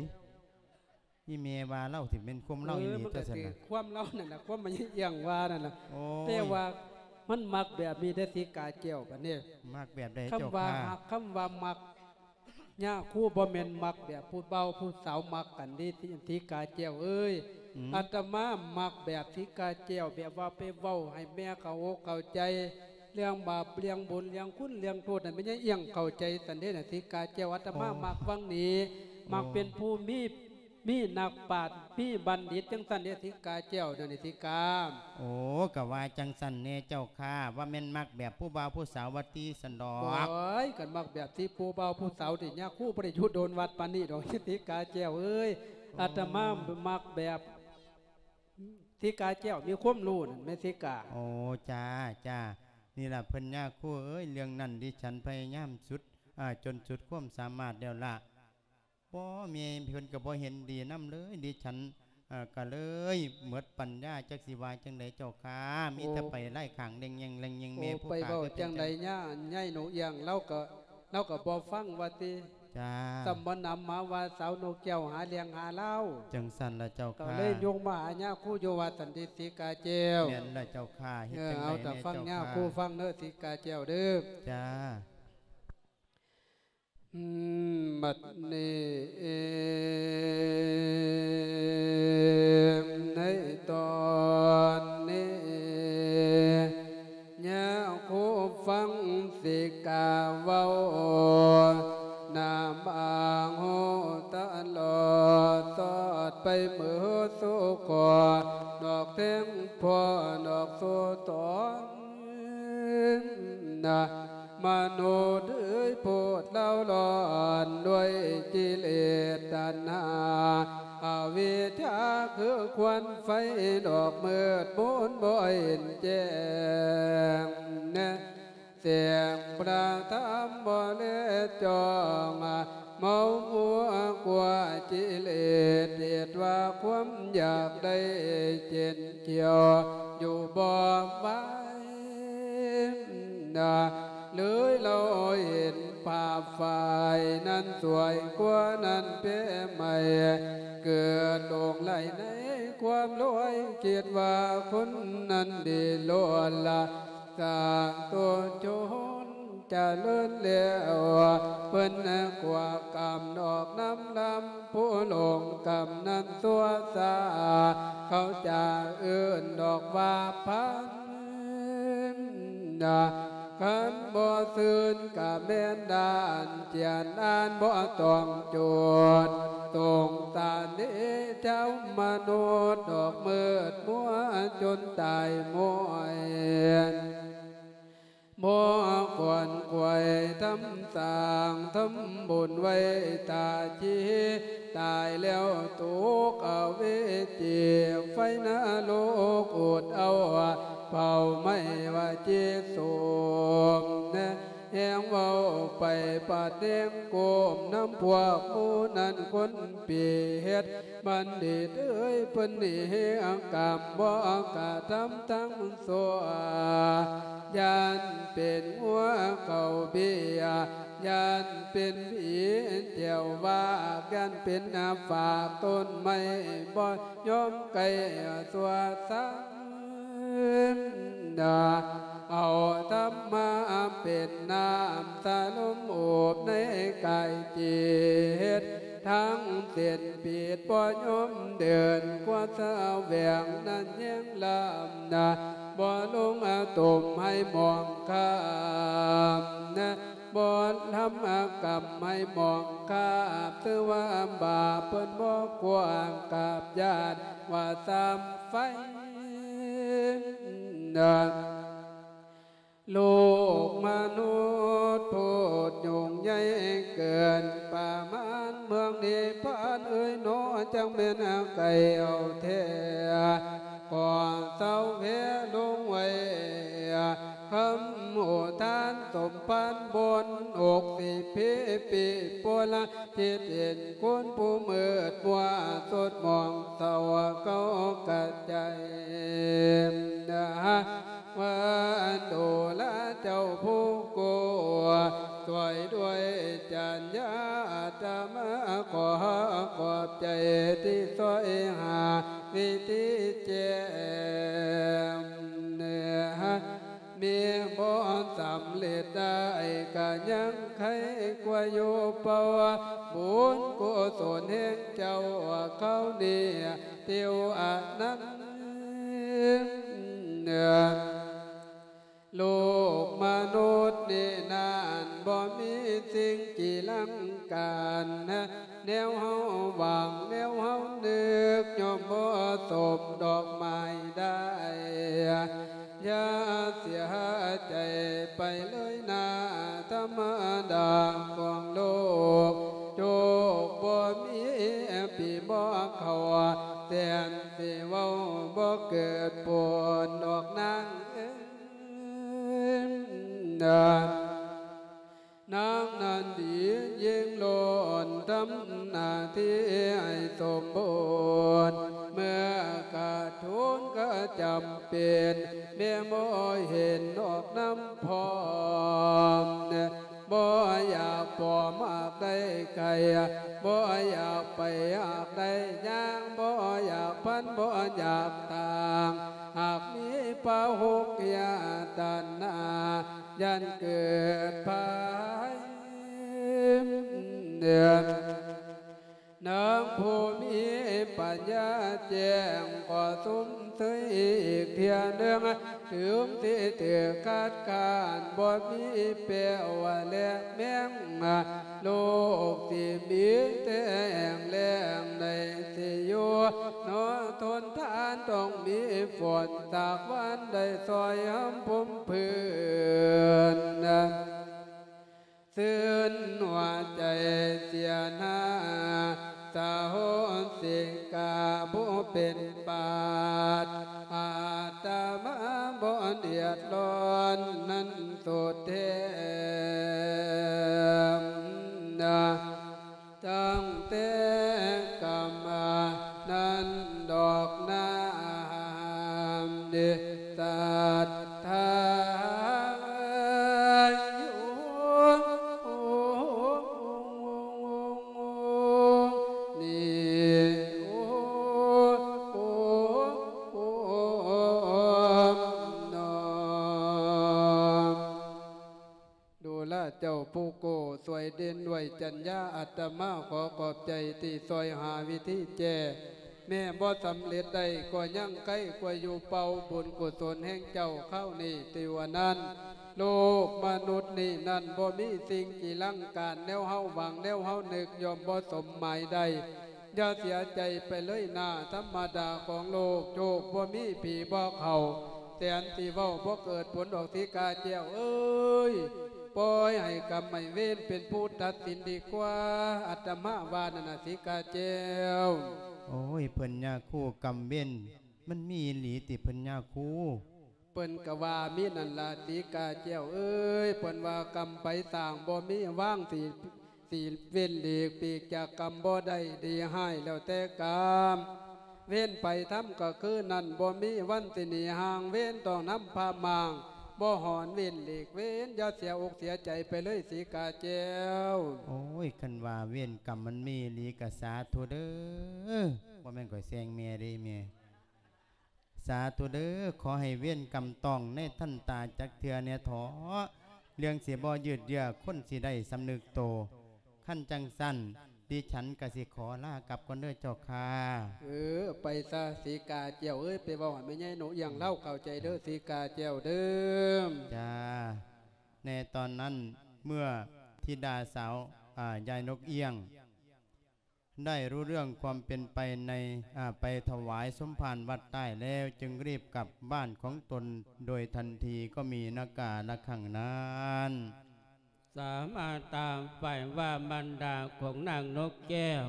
ອີ່ແມ່ວ່າລາວຊິແມ່ນຄວາມລາວອີ່ຫຼີ ເອີ ມັນກໍ ຈັ່ງຊັ້ນ ຊິນະ ຄວາມລາວນັ້ນລະ ຄວາມມັນຍາອຽງວ່ານັ້ນລະ. ໂອ້ຍ ແຕ່ວ່າມັນມັກແບບນີ້ເດ້ ສີກາແກ້ວ ບາດນີ້. ມັກແບບໃດ ຄຳວ່າ ເຈົ້າຂ້າ? ຫາກຄຳວ່າມັກ ຍາຄູບໍ່ແມ່ນມັກແບບຜູ້ບ່າວຜູ້ສາວມັກກັນເດ້ ສີກາແກ້ວເອີຍ. ອືມ ອາດຕະມາມັກແບບສີກາແກ້ວ ແບບວ່າໄປເວົ້າໃຫ້ແມ່ເຂົ້າອົກເຂົ້າໃຈ ເລື່ອງບາບ ເລື່ອງບຸນ ເລື່ອງຄຸນ ເລື່ອງໂທດນັ້ນ ແມ່ນຍາອຽງເຂົ້າໃຈຊັ້ນເດ້ນະ ສີກາແກ້ວ. ອາດຕະມາ ໂອ້ ມັກຟັງນີ້ ໂອ້ ມັກເປັນຜູ້ມີ ມີນັກປາດ ມີບັນດິດ ຈັ່ງຊັ້ນເດ້ ສີກາແກ້ວ ດຽວນີ້ ສີກາ. ໂອ້ ກະວ່າຈັ່ງຊັ້ນແດ່ເຈົ້າຂ້າ ວ່າແມ່ນມັກແບບຜູ້ບ່າວຜູ້ສາວວ່າຕິ ຊັ້ນດອກ. ໂອ້ຍ ຄັນມັກແບບທີ່ຜູ້ບ່າວຜູ້ສາວນີ້ ຍາຄູບໍ່ໄດ້ຢູ່ໂດນວັດປານນີ້ດອກ ສີກາແກ້ວເອີຍ. ໂອ້ ອາດຕະມາມັກແບບສີກາແກ້ວມີຄວາມຮູ້ນັ້ນແມ່ນ ສີກາ. ໂອ້ ຈ້າ ຈ້າ ນີ້ລະເພິ່ນຍາຄູເອີຍ ເລື່ອງນັ້ນດິສັນພະຍາຍາມສຸດ ອາ ຈົນສຸດຄວາມສາມາດແລ້ວລະ. ບໍ່ ແມ່ເພິ່ນກໍບໍ່ເຫັນດີນຳເລີຍ ດິສັນ ເອີ ກໍເລີຍໝົດປັນຍາ ຈັກຊິວ່າຈັ່ງໃດເຈົ້າຂ້າ. ໂອ້ ມີແຕ່ໄປໄລ່ຂ້າງແລ່ງແຍ່ງແລ່ງແຍ່ງ ໂອ້ ແມ່ຜູ້ຂ້າ ໄປເວົ້າຈັ່ງໃດຍາ ຍາຍໜູອຽງ ລາວກໍ ລາວກໍບໍ່ຟັງວ່າຕິ. ຈ້າ ຊ້ຳບໍ່ນຳມາວ່າສາວນົກແກ້ວຫາເລື່ອງຫາລາວ. ຈັ່ງຊັ້ນລະເຈົ້າຂ້າ ກໍເລີຍຍົງມາຫາຍາຄູຢູ່ວ່າຊັ້ນຕິ ສີກາແກ້ວ. ແມ່ນລະເຈົ້າຂ້າ ເຮັດ ເອີ ຈັ່ງໃດ ເອົາ ແມ່ ຕາຟັງ ເຈົ້າ ຍາຄູ ຂ້າ ຟັງເດີ ສີກາແກ້ວເດີ. ຈ້າ. ອືມ ບັດນີ້ ໃນຕອນນີ້ ຍາຄູຟັງສີກາເວົ້າ ນຳອ້າງຮູ້ຕະຫຼອດ ສອດໄປເໝີສູ່ຂໍ ນອກແທງພໍ່ ນອກສູ່ຕອນ ມະນຸດເອີຍ ໂພດລາວຮ້ອນດ້ວຍກິເລດຕັນຫາ ອະວິດຊາຄືຄວັນໄຟ ດອກມືດມົນບໍ່ເຫັນແຈ້ງ ແສງພະທຳບໍ່ແລຈ້ອງ ເມົາມົວກວ່າກິເລດ ເຫດວ່າຄວາມຢາກໄດ້ເຈັນຂຽວ ຢູ່ບໍ່ໄຫວ ເລີຍລອຍເຫັນພາບຝ່າຍນັ້ນສວຍກວ່ານັ້ນແພໃໝ່ ເກີດຫຼົງໄຫຼໃນຄວາມລວຍ ຄິດວ່າຄົນນັ້ນດີລ້ວນລະ ສ້າງຕົວຊົນຈະເລີນແລ້ວ ເພິ່ນກວ່າກຳນອກນຳລຳ ຜູ້ຫຼົງກຳນັ້ນຊົ່ວຊ້າ ເຂົາຈະເອີ້ນດອກວ່າພັນ ນະ ຄັນບໍ່ຊື່ນກະແມ່ນດ້ານຈຽນ ອ່ານບໍ່ຕ້ອງໂຈດ ສົງສານເດຊະມະນຸດ ດອກມືດມົວຈົນຕາຍມ້ອຍ ບໍ່ຂວນຂວາຍທຳສ້າງ ທຳບຸນໄວ້ຕາຈີ ຕາຍແລ້ວຕົກອະເວຈີ ໄຟນະລົກອົດເອົາ ເຜົາໄໝ້ວ່າຈີສົມ ແຮງເວົ້າໄປປາດແນງກົ້ມນຳພວກໝູ່ນັ້ນຄົນປີເຮັດ ບັນດິດເອີຍ ເພິ່ນນີ້ເຮັດກຳບໍ່ກະທຳທັງຊົ່ວ ຢ້ານເປັນງົວເຂົ້າເບ້ຍ ຢ້ານເປັນຜີແຈວວາກ ຢ້ານເປັນຝາກຕົ້ນໄມ້ ບໍ່ຍອມໃກ້ຊົ່ວຊ້ຳ ເອົາທຳມາເປັນນ້ຳສະລົມໂອບໃນກາຍຈິດ ທັງເສັ້ນປີດບໍ່ຍອມເດີນ ກວ່າສະແຫວງນັ້ນແຍງລຳນະ ບໍ່ລົງອາຕົມໃຫ້ມອງຄາມນະ ບໍ່ທຳອາກຳໃຫ້ມອງຄາບ ຖືວ່າບາບເພິ່ນບໍ່ກວ້າງກາບຢ້ານວ່າຊ້ຳໄຟນະ ໂລກມະນຸດໂພດຫຍຸ້ງໃຫຍ່ເກີນປະມານ ເມືອງນິບພານເອີຍໜໍ ຈັກແມ່ນໃກ້ເອົາແທ້ ກໍເຊົາແພ້ລົງໄວ້ ຄຳອຸທານສົມພານບົນ ອົກສິພິປິໂປລະ ທີ່ເປັນຄົນຜູ້ມືດມົວ ສົດໝອງເສົ້າເກົາກະໃຈ ວ່າໂຕລະເຈົ້າຜູ້ໂກ ຊ່ວຍດ້ວຍຈັນຍາ ອາດຕະມາຂໍຂອບໃຈ ທີ່ຊ່ວຍຫາວິທີແຈ້ງ ມີບໍ່ສຳເລັດໄດ້ ກະຍັງໄຄກວ່າຢູ່ເປົ່າ ບຸນກຸສົນແຫ່ງເຈົ້າເຂົານີ້ ຕິວອະນັນ ໂລກມະນຸດນີ້ນັ້ນ ບໍ່ມີສິ່ງກີລັງການ ແນວເຮົາຫວັງ ແນວເຮົານຶກ ຍ່ອມບໍ່ສົມດອກໄມ້ໄດ້ ຢ່າເສຍໃຈໄປເລີຍນາ ທຳມະດາຂອງໂລກ ໂຈກບໍ່ມີປີບໍ່ເຂົ້າ ແສນຊິເວົ້າບໍ່ເກີດຜົນດອກນາງເອີຍ ນາງນັ້ນດີຍິ່ງລ້ນ ທຳໜ້າທີ່ໃຫ້ສົມບູນ ເມື່ອກາດທຸນກະຈຳເປັນ ແມ່ບໍ່ເຫັນອອກນຳພ້ອມ ບໍ່ຢາກປອມຫາກໄດ້ໄກ່ ບໍ່ຢາກໄປຫາກໄດ້ຍ່າງ ບໍ່ຢາກພັນ ບໍ່ຢາກຕ່າງ ຫາກມີພະຫົກຍາຕັນຫາ ຢ້ານເກີດພາຍ ນາງຜູ້ມີປັນຍາແຈ້ງ ຂໍຊົມເຊີຍອີກເທື່ອໜຶ່ງ ເຖິງທີ່ຖືກຄັດຄ້ານ ບໍ່ມີແປ້ວແລະແມງ ໂລກທີ່ມີແຕ່ແຫ້ງແລ້ງ ໃນທີ່ຢູ່ເນາະ ທົນທານຕ້ອງມີຝົນ ສາກວັນໄດ້ຊ່ອຍຫຳພົມພື້ນ ຊື່ນຫົວໃຈເສຍໜ້າ ສະໂຫສິກາຜູ້ເປັນປາດ ອາດຕະມາບໍ່ເດືອດຮ້ອນນັ້ນສຸດແທ້ ຕັ້ງແຕ່ກຳມານັ້ນດອກນາ ເດ ສັດທາຢູ່ນີ້ ໂອ້ ໂອ້ ໂອ້ ນອ ດູລະເຈົ້າຜູ້ກູ້ຊ່ວຍເດັ່ນດ້ວຍຈັນຍາ ອາດຕະມາຂໍຂອບໃຈທີ່ຊ່ວຍຫາວິທີແກ້ ແມ້ບໍ່ສຳເລັດໄດ້ກໍຍັງໄຄກວ່າຢູ່ເກົ່າ. ບຸນກຸສົນແຫ່ງເຈົ້າຄາວນີ້ຕິວ່ານັ້ນ, ໂລກມະນຸດນີ້ນັ້ນບໍ່ມີສິ່ງຈີລັງການ, ແນວເຮົາຫວັງ ແນວເຮົານຶກ ຍ່ອມບໍ່ສົມໝາຍໄດ້. ຢ່າເສຍໃຈໄປເລີຍນາ, ທຳມະດາຂອງໂລກ, ໂຊກບໍ່ມີຜີບໍ່ເຂົ້າ. ແສນຊິເວົ້າບໍ່ເກີດຜົນດອກ ສີກາແກ້ວເອີຍ, ປ່ອຍໃຫ້ກຳໃຫ້ເວນເປັນຜູ້ຕັດສິນດີກວ່າ, ອາດຕະມາວ່ານັ້ນນະ ສີກາແກ້ວ. ໂອ້ຍ ເພິ່ນຍາຄູ, ກຳເວນມັນມີອີ່ຫຼີຕິເພິ່ນຍາຄູ? ເພິ່ນກະວ່າມີນັ້ນລະ ສີກາແກ້ວເອີຍ, ເພິ່ນວ່າກຳໄປສ້າງບໍ່ມີວາງ ຊິ ຊິເວັ້ນຫຼີກປີກຈາກກຳບໍ່ໄດ້, ດີຮ້າຍແລ້ວແຕ່ກຳ. ເວນໃຜທຳກະຄືນັ້ນ, ບໍ່ມີວັນຊິໜີຫ່າງເວນ, ຕ້ອງນຳພາມ້າງ ບໍ່ຫອນເວັ້ນຫຼີກເວນ. ຢ່າເສຍອົກເສຍໃຈໄປເລີຍ ສີກາແກ້ວ. ໂອ້ຍ ຄັນວ່າເວນກຳມັນມີອີ່ຫຼີກະສາທຸເດີ, ບໍ່ແມ່ນຂ້ອຍແຊ່ງແມ່ເດ້ແມ່. ສາທຸເດີ, ຂໍໃຫ້ເວນກຳຕ້ອງໃນທັນຕາຈັກເທື່ອແດ່ເຖາະ, ເລື່ອງຊິບໍ່ຍືດເຍື້ອ, ຄົນຊິໄດ້ສຳນຶກໂຕ. ຄັນຈັ່ງຊັ້ນ ດິສັນກະຊິຂໍລາກັບກ່ອນເດີເຈົ້າຂ້າ. ເອີ ໄປຊະ ສີກາແກ້ວເອີຍ, ໄປເວົ້າໃຫ້ແມ່ໃຫຍ່ນົກອຽງລາວເຂົ້າໃຈເດີ ສີກາແກ້ວເດີ. ຈ້າ. ໃນຕອນນັ້ນ ເມື່ອທິດາສາວ ອາ ຍາຍນົກອຽງ ໄດ້ຮູ້ເລື່ອງຄວາມເປັນໄປໃນ ອາ ໄປຖວາຍສົມພານວັດໃຕ້ແລ້ວ, ຈຶ່ງຣີບກັບບ້ານຂອງຕົນໂດຍທັນທີ ກໍມີນາກາລະຄັ້ງນັ້ນ. ສາມາຕາໄປວ່າບັນດາຂອງນາງນົກແກ້ວ,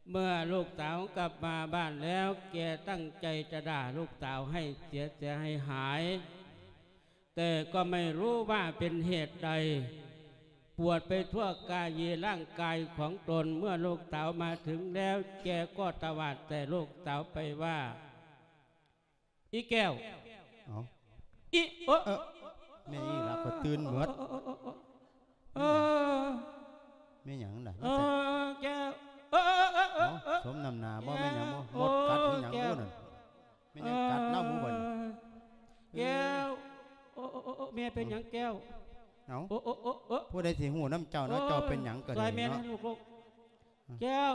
ເມື່ອລູກສາວກັບມາບ້ານແລ້ວ, ແກຕັ້ງໃຈຈະດ່າລູກສາວໃຫ້ເສຍເສຍໃຫ້ຫາຍ. ແຕ່ກໍໄມ່ຮູ້ວ່າເປັນເຫດໃດ ປວດໄປທົ່ວກາຍເຢຮ່າງກາຍຂອງຕົນ. ເມື່ອລູກສາວມາເຖິງແລ້ວ ແກກໍຕະຫວາດໃສ່ລູກສາວໄປວ່າ ອີ່ແກ້ວ. ເອົ້າ ອີ່ ໂອ ເອີ ແມ່ນອີ່ລະ ຂ້ອຍຕື່ນເໝິດ. ເອີ ແມ່ນຫຍັງລະ? ເອີ ແກ້ວ. ເອີ ເອົ້າ ສົມນ້ຳໜ້າບໍ່? ແມ່ນຫຍັງບໍ່? ມົດກັດຫຼືຫຍັງບໍ່ນັ້ນ? ແມ່ນຫຍັງກັດລາວບໍ່ບັດນີ້? ແກ້ວ. ໂອ້ ໂອ້ ໂອ້ ແມ່ເປັນຫຍັງແກ້ວ? ເອົ້າ ໂອ້ ໂອ້ ໂອ້ ໂອ້ ຜູ້ໃດຊິຮູ້ນຳເຈົ້າເນາະ, ເຈົ້າເປັນຫຍັງກໍໄດ້ເນາະ. ແກ້ວ.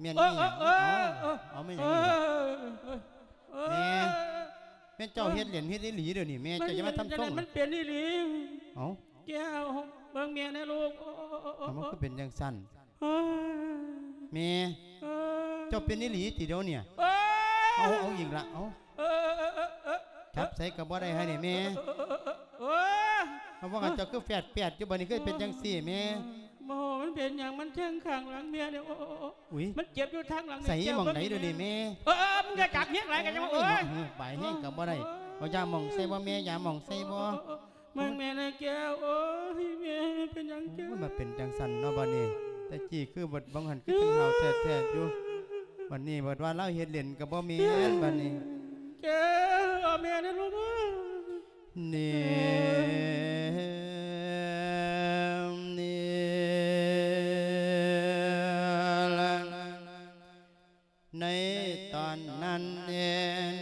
ແມ່ນອີ່ຫຍັງ? ເອົ້າ ເອົ້າ ແມ່ນຫຍັງອີກ? ແມ່ ແມ່ນເຈົ້າເຮັດເລ່ນເຮັດອີ່ຫຼີເດ້ນີ້ແມ່, ເຈົ້າຢ່າມາທຳຊົງ. ມັນເປັນອີ່ຫຼີ. ເອົ້າ ແກ້ວ ເບິ່ງແມ່ແດ່ລູກ. ເອົ້າ ມັນຄືເປັນຈັ່ງຊັ້ນ? ເອີ ແມ່ ເອີ ເຈົ້າເປັນອີ່ຫຼີຕິດຽວນີ້? ເອີ ເອົາ ເອົາອີກລະ ເອົາ ເອີ ຈັບໃສກໍບໍ່ໄດ້ໃຫ້ນີ້ແມ່. ເອີ ເອົາ ວ່າກັນເຈົ້າຄືແຟດໆຢູ່ ບັດນີ້ຄືເປັນຈັ່ງຊີ້ແມ່? ບໍ່ ມັນເປັນຫຍັງ ມັນແທງຂ້າງຫຼັງແມ່ນີ້. ໂອ້ ໂອ້ ໂອ້ ອຸ້ຍ ມັນເຈັບຢູ່ທາງຫຼັງ. ໃສ ໝ່ອງໃດດຽວນີ້ແມ່? ເອີ ເອີ ເອີ ມຶງຢ່າຈັບແຮງຫຼາຍກໍຈະວ່າ. ໂອ້ຍ ໂອ້ຍ ບາຍແຮງກໍບໍ່ໄດ້. ເອີ ເອົາຢາໝ່ອງໃສ່ບໍ່ແມ່? ຢາໝ່ອງໃສ່ບໍ່? ເອີ ເອີ ເອີ ເບິ່ງແມ່ແດ່ແກ້ວ. ໂອ້ຍ ແມ່ເປັນຫຍັງແກ້ວ? ໂອ້ຍ ມາເປັນຈັ່ງຊັ້ນເນາະບັດນີ້. ແຕ່ກີ້ຄືບັດ ບາງຫັ້ນຄືຈັ່ງເຮົາແທ້ໆຢູ່, ບັດນີ້ບັດວ່າລາວເຮັດເລ່ນກໍບໍ່ແມ່ນບັດນີ້. ແກ້ວ ເອົາແມ່ແດ່ລູກເອີຍ. ນີ້ ນີ້ ໃນຕອນນັ້ນເອ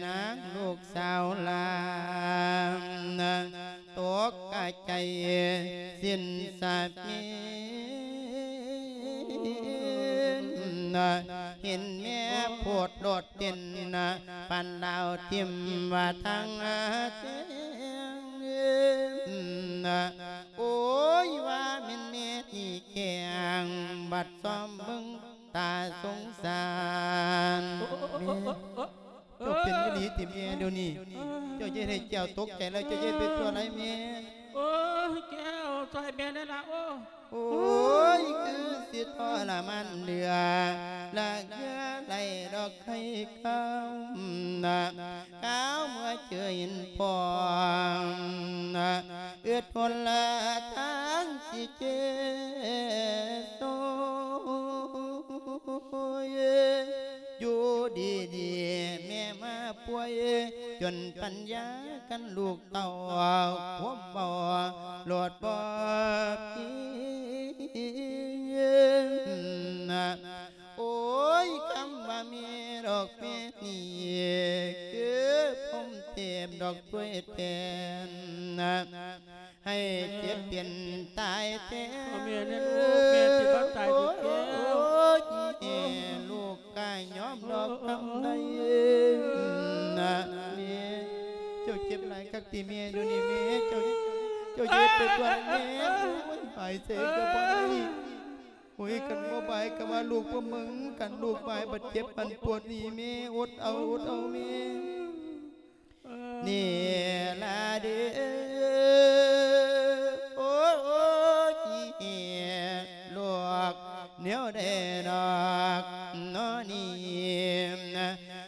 ນາງລູກສາວຫຼານ ຕົກກະໃຈສິ້ນສະບິນ ເຫັນແມ່ໂພດໂລດເຕັ້ນ ປານດາວຖິ້ມວ່າທາງແຈ້ງ. ໂອ້ຍ ວ່າແມ່ນແມ່ທີ່ແກ້ງ ບັດຊອມເບິ່ງ ຕາສົງສານ. ໂອ້ ໂອ້ ແມ່ ໂອ້ ໂອ້ ເຈົ້າເປັນອີ່ຫຼີຕິແມ່ດຽວນີ້? ເຈົ້າຢ່າເຮັດໃຫ້ແກ້ວຕົກໃຈແລ້ວ ເຈົ້າຢ່າເຮັດໄປຕົວະຫຼາຍແມ່. ໂອ້ຍ ແກ້ວ ຊ່ອຍແມ່ແດ່ລະ. ໂອ້ ໂອ້ຍ ຄືຊິທໍລະມານເຫຼືອ ລະເຫຼືອໄຫຼດອກໄຂ່ຄຳ ກາວເມື່ອເຈີເຫັນພໍ່ ອຶດທົນລະທາງຊິເຈໂຊຍ. ຢູ່ດີໆແມ່ມາປ່ວຍ ຈົນປັນຍາກັນລູກເຕົ້າ ຄວາມເວົ້າໂລດບໍ່ເປັນ. ໂອ້ຍ ຄຳວ່າແມ່ດອກແມ່ນີ້ ຄືພົມເທບດອກຊ່ວຍແທນ ໃຫ້ເຈັບເປັນຕາຍແທນ. ເອົາແມ່ແດ່ລູກ ແມ່ຊິບໍ່ຕາຍຕິແກ້ວ. ໂອ້ຍ ລູກກະຍອມ ກຳໄດ້ນະແມ່. ເຈົ້າເຈັບຫຼາຍຄັກຕິແມ່ ດຽວນີ້ແມ່ ເຈົ້າ ເຈົ້າເຈັບໄປກວ່າແມ່. ໂອ້ຍ ຫາຍໃຈກໍບໍ່ໄດ້. ໂອ້ຍ ຄັນບໍ່ບາຍກໍວ່າລູກບໍ່ເບິ່ງ ຄັນລູກບາຍບັດເຈັບບັດປວດນີ້ແມ່. ອົດເອົາ ອົດເອົາແມ່. ນີ້ລະເດີ ໂອ້ຍ ລູກແນວໃດດອກເນາະນີ້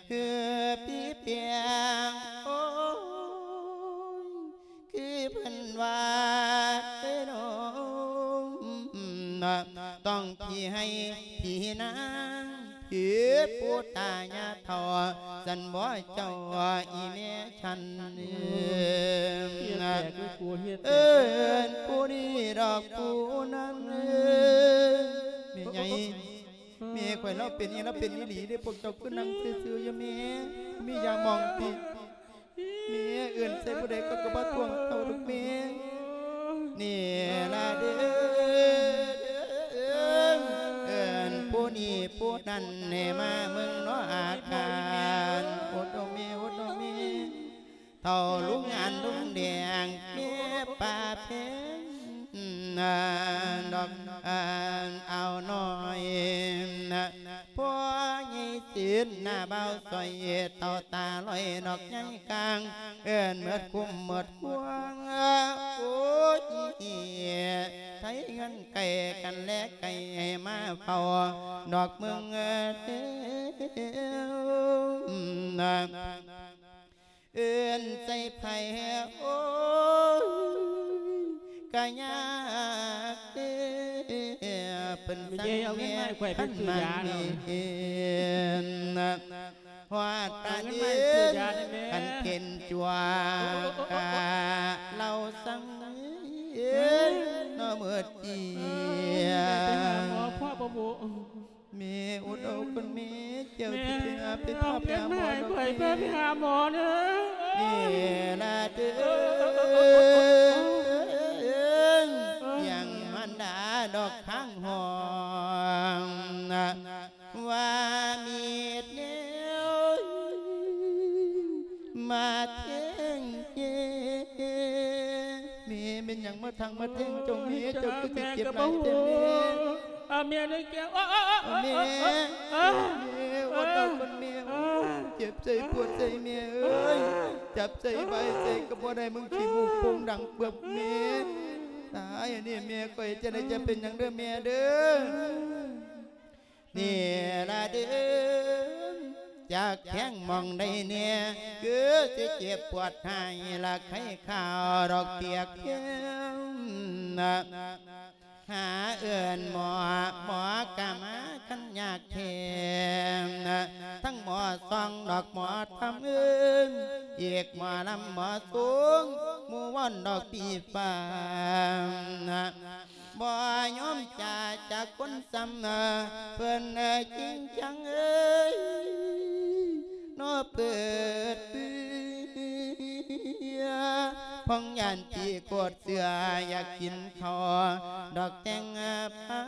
ຄືພີ່ແປງ ໂອ້ຍ ຄືເພິ່ນວ່າເດີ ຕ້ອງຜີໃຫ້ຜີນາງ ຄືປູ່ຕາຍາເຖົ້າ ສັນບໍ່ເຈົ້າອີແມ່ ສັນເອີຍ ເອີ້ນຜູ້ນີ້ດອກຜູ້ນັ້ນເອີຍ. ແມ່ໃຫຍ່ ແມ່ຂ້ອຍລາວເປັນອີ່ ລາວເປັນອີ່ຫຼີເດ້. ພວກເຈົ້າຄືນັ່ງຊື່ໆຢູ່ແມ່ ມີຢາໝອງຕິ? ແມ່ເອີ້ນໃສ່ຜູ້ໃດກໍ ກໍບໍ່ທ່ວງເຕົ້າດອກແມ່. ນີ້ລະເດີ ເອີ້ນຜູ້ນີ້ຜູ້ນັ້ນໃຫ້ມາເບິ່ງເນາະອາການ. ອົດເອົາແມ່ ອົດເອົາແມ່. ເຖົ້າລຸງອັນລຸງແດງ ແມ່ປ້າແພງ ດອກອັນອາວນ້ອຍ ພໍ່ໃຫຍ່ເສນ ໜ້າບ່າວສອຍ ເຕົ້າຕາລອຍ ດອກໃຫຍ່ກາງ ເອີ້ນໝົດຄຸ້ມໝົດຄວາງ. ໂອ້ຍ ໄທເຮືອນໃກ້ກັນແລໃກ້ ໃຫ້ມາເຝົ້າດອກເມືອງເດີ. ເອີ້ນໃສ່ໃຜ ໂອ້ຍ ກະຍາກເດ້ ເພິ່ນສັ່ງແມ່ ເອົາເງິນມາໃຫ້ຂ້ອຍໄປຊື້ຢາເນາະ ເຫັນ ຮອດປານເອີນ ເອົາເງິນມາໃຫ້ຊື້ຢາໄດ້ແມ່ ຄັນເປັນຈົວກະເລົ່າສັ່ງເນາະ ເໝິດເຈຍ ແມ່ໄປຫາໝໍພໍບໍ່ບຸ? ແມ່ອົດເອົາກ່ອນແມ່ ເຈົ້າຊິໄປຫາ ໄປພາໄປຫາໝໍດອກແມ່ ຂ້ອຍພາໄປຫາໝໍເດີ. ນີ້ລະເດີ ຍັງມານດາດອກທາງຫ້ອງ ວ່າມີແນວມາແທງແມ່. ແມ່ ແມ່ນຫຍັງມາທັງມາແທງເຈົ້າແມ່ ເຈົ້າຄືຊິເຈັບຫຼາຍແທ້ແມ່? ອາ ແມ່ເດີແກ້ວ ອາ ແມ່ ແມ່ ອົດເອົາກ່ອນແມ່ ເຈັບໃຈປວດໃຈແມ່ເອີຍ ຈັບໃຈບາຍໃຈກໍບໍ່ໄດ້ ມຶງຂີ້ມູກໂປ່ງດັງເປືອກແມ່. ຕາຍອັນນີ້ແມ່ ຂ້ອຍຈະໄດ້ຈະເປັນຫຍັງເດີແມ່ເດີ. ນີ້ລະເດີ ຈັກແທງໝ່ອງໃດແດ່ ຄືຊິເຈັບປວດໃຫ້ລະໄຂ້ຂາວດອກປຽກແພງ ຫາເອີ້ນໝໍ ໝໍກະມາຄັນຍາກແທ້ ທັງໝໍຊອງດອກໝໍທຳເອີຍ ອີກໝໍລຳໝໍສູງ ໝູ່ວອນດອກປີຟ້າ ບໍ່ຍອມຈາຈາກຄົນຊ້ຳ ເພິ່ນຈິງຈັງເອີຍ ເນາະເປີດເປືອ ພອງຢ້ານທີ່ໂກດເສືອ ຢາກກິນເຂົ້າດອກແຕ່ງພາ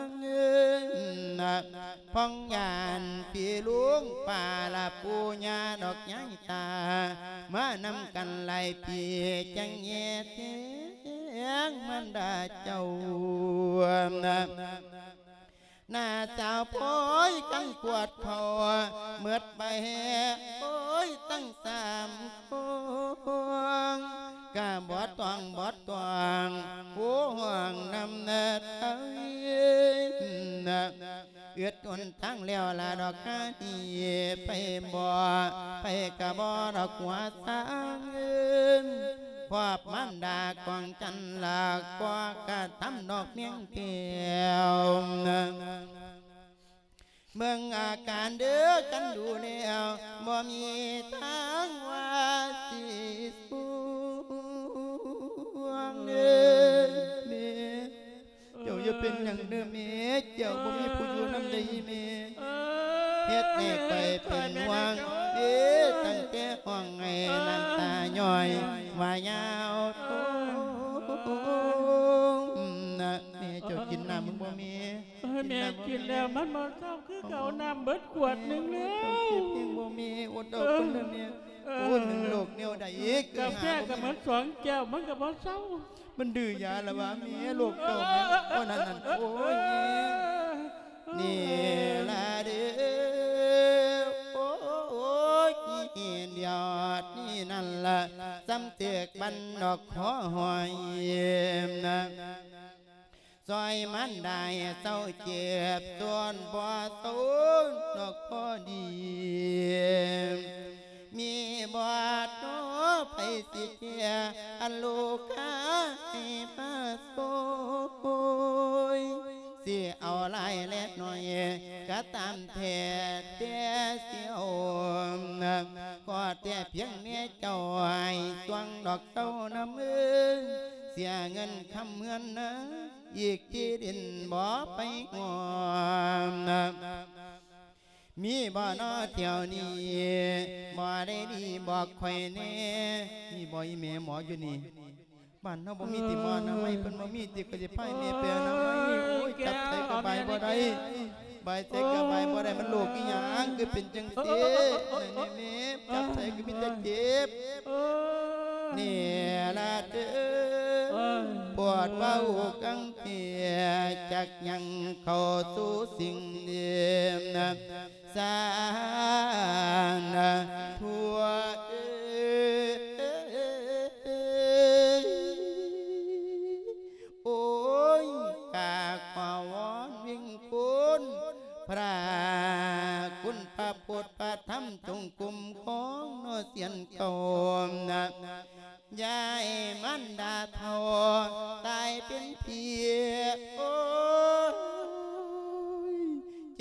ງເອີຍ ພອງຢ້ານພີ່ລຸງປ້າລະປູ່ຍ່າດອກຍາຍຕາ ມານຳກັນຫຼາຍປີ ຈັ່ງແຍ່ແທງມານດາເຈົ້າ. ນ້າສາວໂພຍກັນກວດເຂົ້າ ໝົດໄປໂພຍຕັ້ງສາມພວງ ກະບໍ່ຕ້ອງບໍ່ຕ້ອງ ຜູ້ຮ່ວງນຳເນີດໄທ ອຶດຫົນທາງແລ້ວລະດອກກະໜີໄປບໍ່ ໄປກະບໍ່ດອກຫົວສາງເອີຍ ຄອບມານດາກອງຈັນລະກໍກະທຳນອກແມງແກ້ວ ເບິ່ງອາການເດີກັນດູແລ້ວ ບໍ່ມີທາງວ່າຊິສວງເດີແມ່. ເຈົ້າຢ່າເປັນຫຍັງເດີແມ່ ເຈົ້າບໍ່ມີຜູ້ຢູ່ນຳໃດແມ່ ເຮັດໃຫ້ຂ້ອຍເປັນຫ່ວງເດ້ ຕັ້ງແຕ່ຮ້ອງໄຫ້ນ້ຳຕາຍ້ອຍວ່າຍາວໂທນນະ ແມ່ເຈົ້າກິນນ້ ນບໍ່ແມ່? ເອີ ແມ່ກິນແລ້ວມັນບໍ່ເຊົາຄືເກົ່າ ນ້ຳເບິດຂວດໜຶ່ງແລ້ວ. ເຈົ້າເຈັບແຮງບໍ່ແມ່? ອົດເອົາກ່ອນເດີແມ່. ເອີ ໂອ້ຍ ມັນໂລກແນວໃດ ຄືຫາບໍ່ມີ ກາແຟກໍໝົດສອງແກ້ວ ມັນກໍບໍ່ເຊົາ. ມັນດື້ຢາລະຫວາແມ່ ໂລກເຈົ້າແມ່? ໂອ້ ນັ້ນໆ ໂອ້ຍ ນີ້ລະເດີ ໂອ້ຍ ດຽວນີ້ນັ້ນລະ ສ່ຳຖືກບັນດອກຂໍຫອຍນະ ຊ່ອຍມັນໄດ້ເຊົາເຈັບ ສ່ວນບໍ່ເຊົາດອກພໍດີ. ມີບໍ່ນໍໃຜຊິແກ້ ອັນລູກຄ້າໃຫ້ມາຊ່ອຍ ຊິເອົາຫຼາຍແລະໜ້ອຍກໍຕາມແທ້ ແຕ່ຊິເອົາ ຂໍແຕ່ພຽງແມ່ເຈົ້າໃຫ້ຊ່ວງດອກເຕົ້ານຳເອີຍ ເສຍເງິນຄຳເຮືອນນາ ອີກທີ່ດິນບໍ່ໄປງອມ ມີບໍ່ນໍແຖວນີ້ ໝໍໄດ້ດີບອກຂ້ອຍແດ່. ມີບໍ່ອີແມ່ໝໍຢູ່ນີ້? ບ້ານເຮົາບໍ່ມີຕິໝໍອະນາໄມ? ເພິ່ນບໍ່ມີຕິ? ຂ້ອຍຊິພາແມ່ໄປອະນາໄມ. ໂອ້ຍ ຈັບໃສກໍບາຍບໍ່ໄດ້ ບາຍໃສກໍບາຍບໍ່ໄດ້. ມັນໂລກອີຫຍັງຄືເປັນຈັ່ງຊີ້? ແມ່ ຈັບໃສກໍມີແຕ່ເຈັບ. ນີ້ລະເດີ ປວດເວົ້າກັງເກ ຈັກຍັງເຂົ້າສູ່ສິ່ງເດີມ ສານທົ່ວເອີຍ. ໂອ້ຍ ກາຂໍວອນວິງຄຸນ ພະຄຸນພະພຸດພະທຳ ຈົ່ງຄຸ້ມຄອງເນາະ ສຽນເກົ່ານະ ຢ່າໃຫ້ມານດາເຖົ້າຕາຍເປັນເພຍ ໂອ້ຍ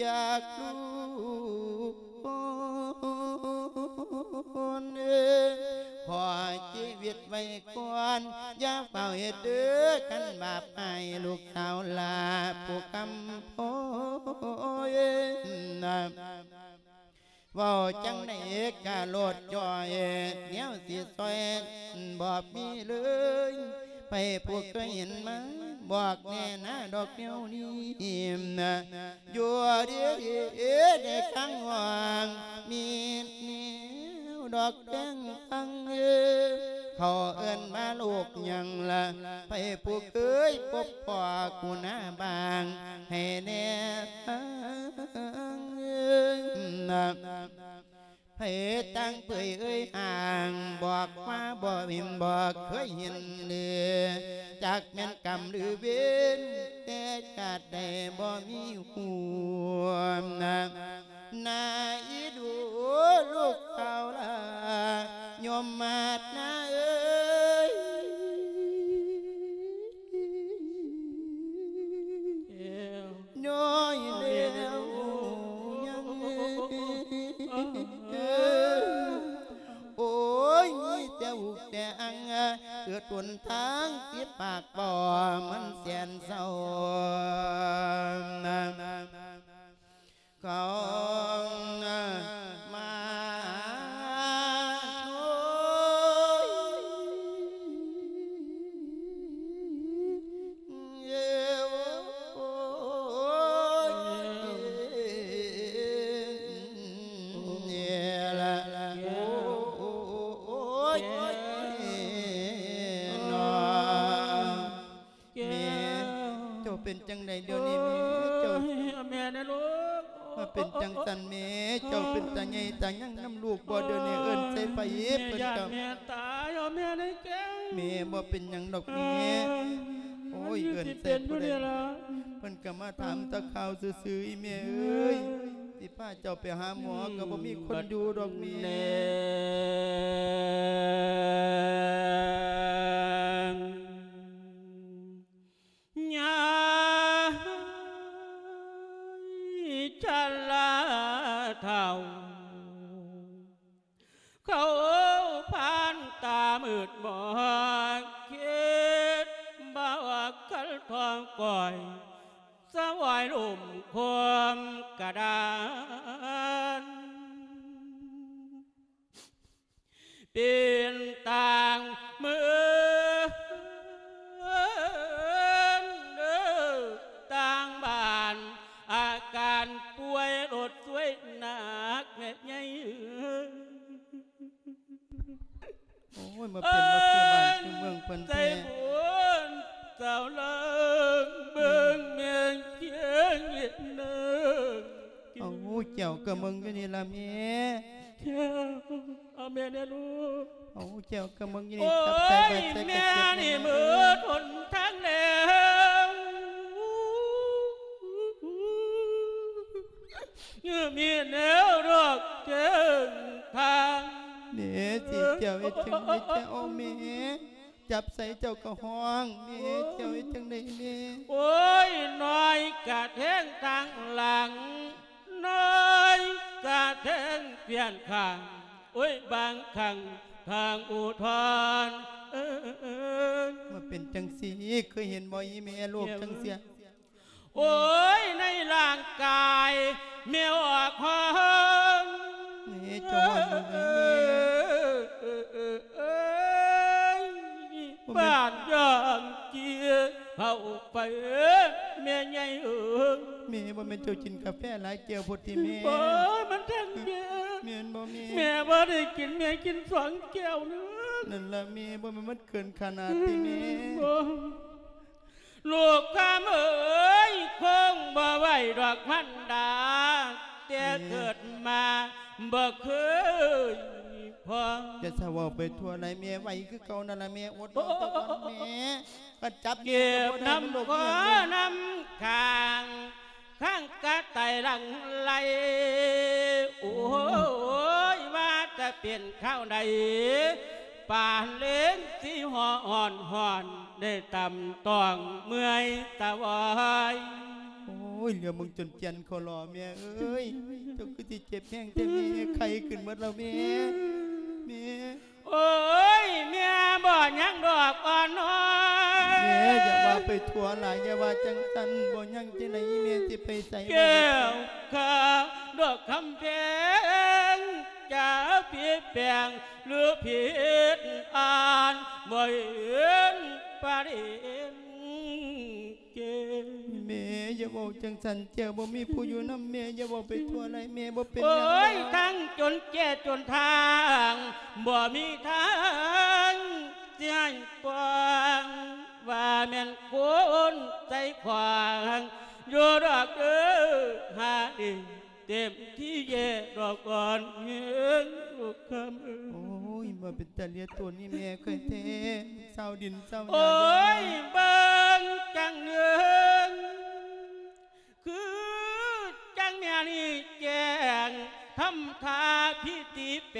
ຈາກລູກ ຄົນເອີຍ ຂໍຊີວິດໄວ້ກ່ອນ ຢ່າຟ້າວເຮັດເດີ ຄັນບາບໃຫ້ລູກສາວຫຼ້າຜູ້ຄຳໂພຍນະ. ເວົ້າຈັ່ງໃດກະໂລດຈ່ອຍ ແນວຊິຊ່ອຍບໍ່ມີເລີຍ ໃຜຜູ້ເຄີຍເຫັນມາ ບອກແນ່ນາດອກແນວນີ້ນະ. ຢູ່ດີໆ ໄດ້ຟັງຮ້ອງມີແນວດອກແຕ່ງຟັງເອີ ເຂົາເອີ້ນວ່າໂລກຫຍັງລະ ໃຜຜູ້ເຄີຍພົບພໍ້ກູໜ້າບາງ ໃຫ້ແນ່ຟັງເອີ ໃຜຕ່າງເປີຍເອີຍຫ່າງ ບອກວ່າບໍ່ເຫັນ ບໍ່ເຄີຍເຫັນເລີ ຈັກແມ່ນກຳຫຼືເວນ ແຕ່ຊາດໃດບໍ່ມີຫວນນະ. ນາອີດູລູກເຕົ້າລາ ໂຍມມາດນາເອີຍ ນ້ອຍແລ້ວຍັງ ໂອ້ຍ ມີແຕ່ອຸກແຕ່ອັງ ເກີດຫົນທາງຕິດປາກບໍ່ ມັນແສນເສົ້າ ເຂົາມາໂອ້ຍ ເອີ ໂອ້ຍ ເອີລະ ໂອ້ຍ ເນາະ. ແກ້ວ ແມ່ ເຈົ້າເປັນຈັ່ງໃດດຽວນີ້ແມ່? ເຈົ້າ ໂອ້ຍ ແມ່ນະລູກ ມາເປັນຈັ່ງຊັ້ນແມ່? ເຈົ້າເປັນຕາໃຫຍ່ຕາຍັງນຳລູກບໍ່ດຽວນີ້? ເອີ້ນໃສ່ໄປ ແມ່ ເພິ່ນກໍ ຢ້ານແມ່ຕາຍ ເອົາແມ່ໄດ້ແກ້ວ ແມ່ບໍ່ເປັນຫຍັງດອກແມ່ ເອີ ໂອ້ຍ ມັນຢູ່ ເອີ້ນໃສ່ຜູ້ໃດ ເພິ່ນກໍມາຖາມແຕ່ຂ່າວຊື່ໆ ອີແມ່ເອີຍ ຊິພາເຈົ້າໄປຫາໝໍກໍບໍ່ມີຄົນຢູ່ດອກແມ່ ແນ ຍາຍຊະລາເຖົ້າ ເຂົາຜ່ານຕາມືດມອງ ຄິດບໍ່ອອກຄັນທ້ອງກ້ອຍ ສະຫວາຍລຸ່ມຄວາມກະດານ ເປັນຕ່າງເມີນເດີ ຕ່າງ ໂອ້ຍ ມາເປັນ ເອີ ມາຄືບ້ານຄືເມືອງເພິ່ນແທ້ ໃສ່ບຸນສາວເລີງ ເບິ່ງແມ່ນຄຽງເຮັດເນີງ ເອົາແກ້ວກະເມືອງຢູ່ນີ້ລະແມ່ ແກ້ວ ເອົາແມ່ແດ່ລູກ ເອົາແກ້ວກະເມືອງຢູ່ນີ້ ໂອ້ຍ ຈັບໃສ່ບາດໃສ່ກະເຈັບແມ່ ແມ່ນີ້ເໝິດຫົນທາງແລ້ວ ມີແນວດອກແຈ້ງທາງ ແມ່ຊິເຈົ້າເຮັດຈັ່ງໃດແທ້ ໂອ້ ແມ່ ຈັບໃສ່ເຈົ້າກະຮ້ອງ ແມ່ເຈົ້າເຮັດຈັ່ງໃດແມ່ ໂອ້ຍ ນ້ອຍກະແທງທາງຫຼັງ ນ້ອຍກະແທງປ່ຽນຂ້າງ ໂອ້ຍ ບາງຄັ້ງທາງອຸທອນ ເອີ ມາເປັນຈັ່ງຊີ້ ເຄີຍເຫັນບໍ່ອີ່ແມ່ໂລກຈັ່ງຊີ້ ໂອ້ຍ ໃນຮ່າງກາຍແມ່ອອກຮ້ອນ ນີ້ຈອນຢູ່ນີ້ແມ່ ເອີ ເອີ ເອີ ເອີ ໂອ້ ບ້ານຢ່າງເຈ້ຍເຂົ້າໄປ ແມ່ໃຫຍ່ເອີຍ ແມ່ ບໍ່ແມ່ນເຈົ້າກິນກາແຟຫຼາຍແກ້ວໂພດຕິແມ່ ໂອ້ຍ ມັນທັງເຢັນ ແມ່ນບໍ່ແມ່ ແມ່ບໍ່ໄດ້ກິນ ແມ່ກິນສອງແກ້ວໜຶ່ງ ນັ້ນລະແມ່ ບໍ່ແມ່ນມັນເກີນຂະໜາດຕິແມ່ ບໍ່ ລູກຄຳເອີຍ ຄົງບໍ່ໄຫວດອກພັນດາ ແຕ່ເກີດມາບໍ່ເຄີຍພໍ ຢ່າສະເວົ້າໄປທົ່ວຫຼາຍແມ່ ໄຫວຄືເກົ່ານັ້ນລະແມ່ ອົດເອົາແຕ່ກ່ອນແມ່ ຄັນຈັບແມ່ກະບໍ່ໄດ້ ມັນໂລກອີ່ຫຍັງເດ້ ນ້ຳຂາງ ຂ້າງກະໄຕຫຼັ່ງໄຫຼ ໂອ້ຍ ວ່າຈະເປັນຄາວໃດ ປານເລນສີຮ້ອນໆ ໄດ້ຕຳຕ້ອງເມື່ອຍຕາວອຍ ໂອ້ຍ ຫຼຽວເບິ່ງຈົນແກ່ນຄໍຫຼໍ່ແມ່ເອີຍ ເຈົ້າຄືຊິເຈັບແຮງແທ້ແມ່ ໄຂ້ຂຶ້ນໝົດແລ້ວແມ່ ແມ່ ໂອ້ຍ ແມ່ບໍ່ຍັງດອກອ່ອນນ້ອຍ ແມ່ຢ່າວ່າໄປທົ່ວຫຼາຍ ຢ່າວ່າຈັ່ງຊັ້ນ ບໍ່ຍັງຈັ່ງໃດ ແມ່ຊິໄປໃສ ແກ້ວຂາວດອກຄຳແພງ ຈະຜິດແປງຫຼືຜິດອ່ານ ບໍ່ເຫັນປະເດັນ ແກ້ວ ແມ່ຢ່າເວົ້າຈັ່ງຊັ້ນ ແກ້ວບໍ່ມີຜູ້ຢູ່ນຳ ແມ່ຢ່າເວົ້າໄປທົ່ວຫຼາຍ ແມ່ບໍ່ເປັນຫຍັງ ໂອ້ຍ ທັງຈົນແກ່ຈົນທາງ ບໍ່ມີທາງຊິໃຫ້ກວ້າງ ວ່າແມ່ນຄົນໃຈຂວາງ ຢູ່ດອກເດີ ຫາເອງ ເຕັມທີ່ແຍ່ດອກອ່ອນແຮງລູກຄຳເອີຍ ໂອ້ຍ ມາເປັນຕາເລຍຕົວນີ້ແມ່ຂ້ອຍແທ້ ຊາວດິນຊາວຫຍ້າ ໂອ້ຍ ເບິ່ງຈັ່ງເນີງ ຄືຈັ່ງແມ່ນີ້ແຈ້ງ ທຳທ່າພິຕິແປ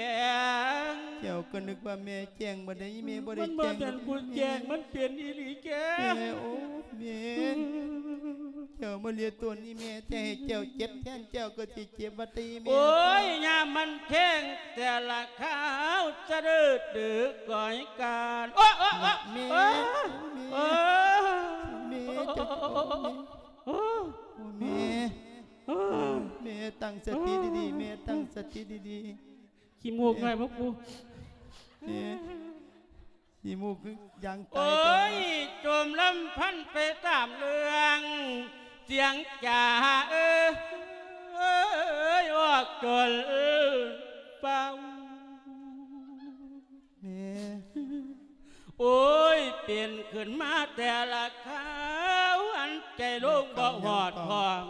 ງ ເຈົ້າກະນຶກວ່າແມ່ ແຈ້ງບໍ່ໄດ້ ອີ່ແມ່ບໍ່ໄດ້ແຈ້ງ ມັນບໍ່ແມ່ນຜູ້ແຈ້ງ ມັນເປັນອີ່ຫຼີແກ້ວ ແມ່ ໂອ້ ແມ່ ເຈົ້າມາເລຍຕົນອີ່ແມ່ ແຕ່ໃຫ້ເຈົ້າເຈັບແທນ ເຈົ້າກະຊິເຈັບວ່າຕິແມ່ ໂອ້ຍ ຍາມມັນແທງແຕ່ລະຄາວ ສະເດີດເດີກອຍການ ໂອ້ ໂອ້ ໂອ້ ແມ່ ໂອ້ ແມ່ ໂອ້ ແມ່ ເຈົ້າ ໂອ້ ແມ່ ໂອ້ ແມ່ ຕັ້ງສະຕິດີໆ ແມ່ ຕັ້ງສະຕິດີໆ ຂີ້ມູກນ້ອຍພວກກູ ນີ້ ຂີ້ມູກຄືຢາງຕາຍ ໂອ້ຍ ໂຈມລຳພັນໄປຕາມເລື່ອງ ສຽງຈາເອີຍ ອອກຈົນຟັງ ແມ່ ໂອ້ຍ ເປັນຂຶ້ນມາແຕ່ລະຄາວ ອັນໃຈລົງບໍ່ຮອດຫ້ອງ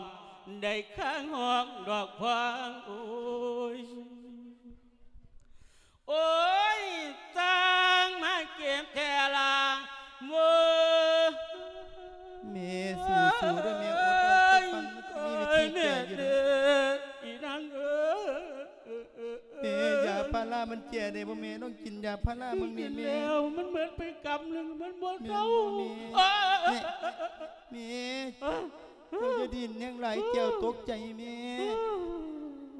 ໄດ້ຄາງຫ້ອງດອກພວງ ໂອ້ຍ ໂອ້ຍ ຊ່າງມາເຈັບແທ້ລະ ໂອ້ຍ ແມ່ ສູ້ໆເດີແມ່ ອົດເອົາ ໂອ້ຍ ສັກວັນ ມັນຊິມີວິທີແກ້ຢູ່ເດີ ແມ່ເອີຍ ອີນາງເອີຍ ແມ່ ຢາພາລາມັນແກ້ໄດ້ບໍ່ແມ່ ລອງກິນຢາພາລາເບິ່ງແມ່ ແມ່ ກິນແລ້ວ ມັນເໝິດໄປກຳໜຶ່ງ ມັນບໍ່ເຊົາ ແມ່ນບໍ່ແມ່ ໂອ້ຍ ແມ່ ແມ່ ເອີຍ ເຈົ້າຢ່າດີ້ນແຮງຫຼາຍ ແກ້ວຕົກໃຈແມ່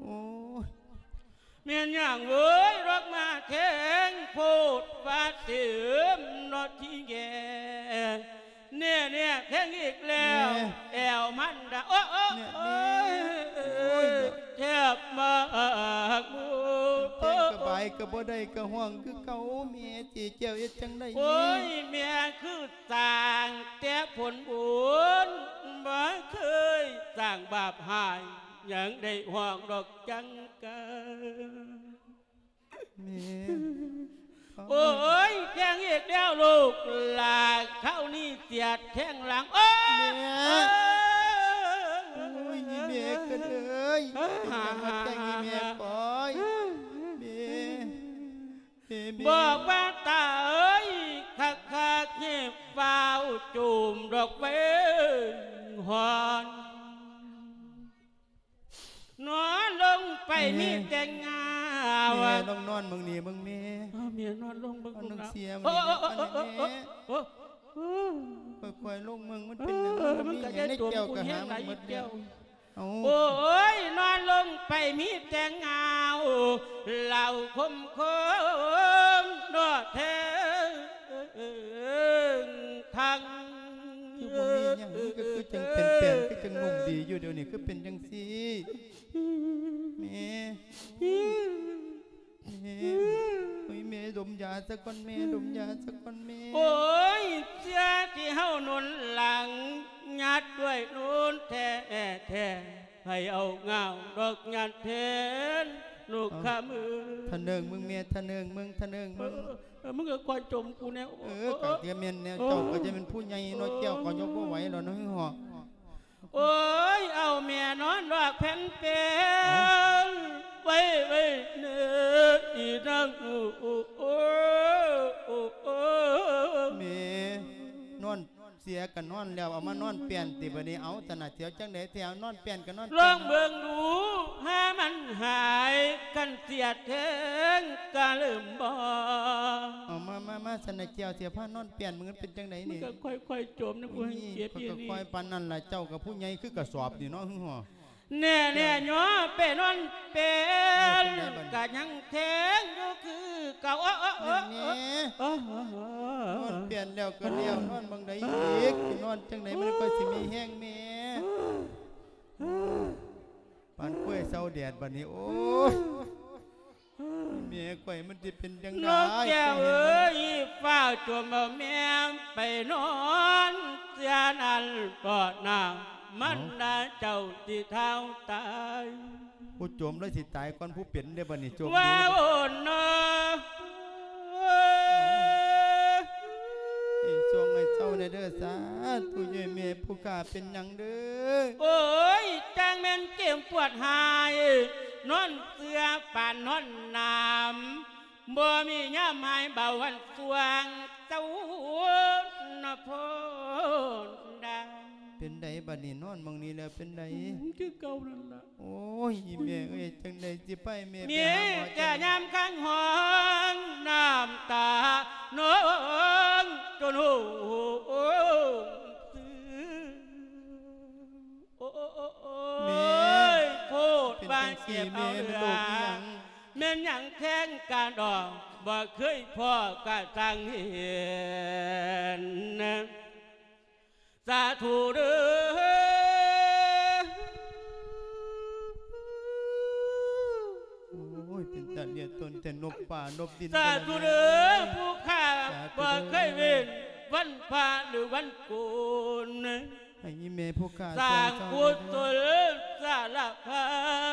ໂອ້ຍ ແມ່ນຫຍັງເວີຍ ດອກມາແທງໂພດວ່າເຕັມເນາະທີ່ແງ່ ແນ່ໆ ແທງອີກແລ້ວ ແມ່ ແອວມັນດາ ໂອ້ຍ ແມ່ ໂອ້ຍ ແມ່ ໂອ້ຍ ແທບມາກໝູ ແທງກະບາຍກະບໍ່ໄດ້ ກະຫ້ອງຄືເກົ່າ ແມ່ຊິແກ້ວເຮັດຈັ່ງໃດ ໂອ້ຍ ແມ່ຄືສ້າງແຕ່ຜົນບຸນ ບໍ່ເຄີຍສ້າງບາບຮ້າຍ ຍັງໄດ້ຮ້ອງດອກຈັງກະ. ແມ່ ໂອ້ຍ ແພງອີກແລ້ວລູກຫຼ້າ ຄາວນີ້ສຽດແທງຫຼັງ. ໂອ້ຍ ແມ່ ໂອ້ຍ ອີແມ່ເກີດເອີຍ ເປັນຫຍັງມາແພງອີແມ່ຂ້ອຍ ແມ່ ແມ່ ແມ່ ບອກວ່າຕາເອີຍ ຄັກໆ ໃຫ້ຟ້າວຈູມດອກເວງຮອນ. ນອນລົງໄປມີແຕ່ເຫງົາ. ແມ່ ແມ່ ລອງນອນເບິ່ງນີ້ເບິ່ງແມ່. ເອີ ແມ່ນອນລົງເບິ່ງລູກຫຼານ. ເອີ ເອີ ເອີ ເອີ ເອີ ເອີ ເອີ ຄ່ອຍໆ ລົງເບິ່ງ ມັນເປັນຫຍັງ ເອີ ມັນມີຫຍັງໃນແກ້ວ ກະຫາມາໝົດແລ້ວ. ເອົາ ໂອ້ຍ ນອນລົງໄປມີແຕ່ເຫງົາ ເຫຼົ້າຄົມຄົມເນາະແທ້ ເອີ ເອີ ເອີ ທັງ ຄືບໍ່ມີຫຍັງ ຄື ຄືຈັ່ງເປັນແປນ ຄືຈັ່ງນຸ່ມດີຢູ່ ດຽວນີ້ຄືເປັນຈັ່ງຊີ້ ແມ່ ແມ່ ໂອ້ຍ ແມ່ດົມຢາຊະກ່ອນແມ່ ດົມຢາຊະກ່ອນແມ່. ໂອ້ຍ ເສຍທີ່ເຮົາໜູນຫຼັງ ຍາດດ້ວຍນູນແທ້ໆ ໃຜເອົາງາວດອກຍາດແທນລູກຄຳເອີຍ. ທະເນີງເບິ່ງແມ່ ທະເນີງເບິ່ງ ທະເນີງເບິ່ງ. ເອີ ເອີ ເອີ ມຶງກໍຄ່ອຍຈົ່ມກູແດ່. ເອີ ເອີ ກໍຈະແມ່ນແນວ ເອີ ເຈົ້າກໍຈະແມ່ນຜູ້ໃຫຍ່ເນາະ ເອີ ແກ້ວກໍຍົກບໍ່ໄຫວແລ້ວເນາະ ຫື ເອີ. ໂອ້ຍ ເອົາແມ່ນອນດອກແຜ່ນເປັນ ເອົ້າ ໄວ້ ໄວ້ເນີ ອີນາງ ໂອ້ ໂອ້ ໂອ້ ໂອ້ ໂອ້. ແມ່ ນອນ ເສຍກໍນອນແລ້ວ ເອົາມານອນແປ້ນຕິບາດນີ້. ເອົາ ຕະໜາດສຽວຈັ່ງໃດແທ້ ນອນແປ້ນກໍນອນແປ້ນ ລອງເບິ່ງດູ ຫາມັນຫາຍ ຄັນເສຍແທ້ງກະເລີ່ມບໍ່. ເອົາ ມາ ມາ ມາ ສັນນະແກ້ວ ຊິພານອນແປ້ນ ມັນເປັນຈັ່ງໃດນີ້? ມັນກໍຄ່ອຍໆ ຈົ່ມນະ ກູແຮ່ງເຈັບ. ຂ້ອຍກໍຄ່ອຍປານນັ້ນລະ ເຈົ້າກໍຜູ້ໃຫຍ່ຄືກະສອບນີ້ເນາະ ຫື ຫໍ. ແນ່ໆ ຫຍໍ້ ໄປນອນແປ້ນ ກະຍັງແທງຢູ່ຄືເກົ່າ. ໂອ້ ໂອ້ ໂອ້ ແມ່ ໂອ້ ນອນແປ້ນແລ້ວກໍແລ້ວ ນອນໝ່ອງໃດອີກ? ຊິນອນຈັ່ງໃດ ມັນກໍຊິມີແຮງແມ່? ປານກ້ວຍເຊົາແດດບາດນີ້ ໂອ້ຍ ແມ່ຂ້ອຍມັນຊິເປັນຈັ່ງໃດ? ນ້ອງແກ້ວເອີຍ ຟ້າວຈົ່ມເອົາແມ່ໄປນອນເສຍນັ້ນ ເພາະນ້ຳມັນນາເຈົ້າຊິທ້າວຕາຍ. ຜູ້ຈົມເລີຍຊິຕາຍກ່ອນຜູ້ເປັນເດ້ ບາດນີ້ຈົມ ວ້າວ ໂອ້ ເນາະ ໃຫ້ຊ່ວງໃຫ້ເຊົາແດ່ເດີ ສາທຸ ຍາຍແມ່ຜູ້ຂ້າເປັນຫຍັງເດີ? ໂອ້ຍ ຈັ່ງແມ່ນເຈັບປວດຫາຍ ນອນເຊື່ອປານນອນໜາມ ບໍ່ມີຍາມຫາຍເບົາວັນຊ່ວງເຈົ້ານະໂພນດາ. ເປັນໃດບາດນີ້ ນອນໝ່ອງນີ້ແລ້ວເປັນໃດ? ຄືເກົ່ານັ້ນລະ. ໂອ້ຍ ອີແມ່ເອີຍ ຈັ່ງໃດຊິໄປແມ່ ແມ່ ໄປຫາໝໍ ຈະຍາມຄັນຮ້ອງ ນ້ຳຕານອງຈົນຫົ່ງຊື່. ໂອ້ຍ ແມ່ ໂພດວ່າເຈັບເອົາເຫຼືອ ເປັນຈັ່ງຊີ້ແມ່ ແມ່ນໂລກອີ່ຫຍັງ? ແມ່ນຫຍັງແທ້ງການດອກ ບໍ່ເຄີຍພໍ້ກະຊ່າງເຫັນ ສາທຸເດີ. ໂອ້ຍ ເປັນຕາເລຍຕົນແຕ່ນົບປ່ານົບດິນ ສາທຸເດີ ຜູ້ຂ້າ ສາທຸເດີ ບໍ່ເຄີຍເວັ້ນວັນພະຫຼືວັນໂກນ ໃຫ້ອີແມ່ຜູ້ຂ້າ ສ້າງກຸສົນສາລະພັ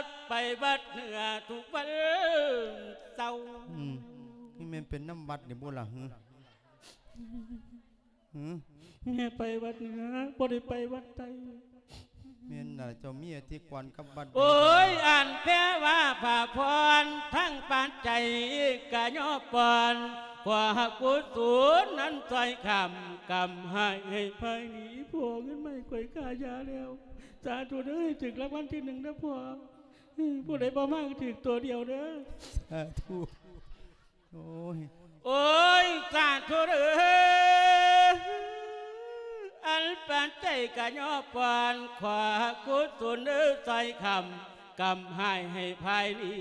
ດ ໄປວັດເໜືອທຸກວັນເສົາ. ອືມ ນີ້ແມ່ນເປັນນຳວັດນີ້ບໍ່ລະຫື? ຫື? ແມ່ໄປວັດເໜືອ ບໍ່ໄດ້ໄປວັດໃຕ້. ແມ່ນລະ ເຈົ້າມີອະທິກອນກັບວັດໃດ? ໂອ້ຍ ອັນແປວ່າພະພອນ ທັງປານໃຈກະຍໍປ່ອນ ຂໍໃຫ້ກຸສົນນັ້ນຊ່ອຍຄ້ຳ ກຳໃຫ້ ໃຫ້ໄພໜີ. ພໍ່ ເງິນມາໃຫ້ຂ້ອຍຄ່າຢາແລ້ວ ສາທຸເດີ ໃຫ້ຖືກລາງວັນທີໜຶ່ງເດີພໍ່. ຜູ້ໃດບໍ່ມາກໍຖືກໂຕດຽວເດີ ສາທຸ. ໂອ້ຍ ໂອ້ຍ ສາທຸເດີ ອັນປານໃຈກະຍໍປ່ອນ ຂໍກຸສົນເດີ ຊ່ອຍຄ້ຳ ກຳໃຫ້ໃຫ້ພາຍໜີ.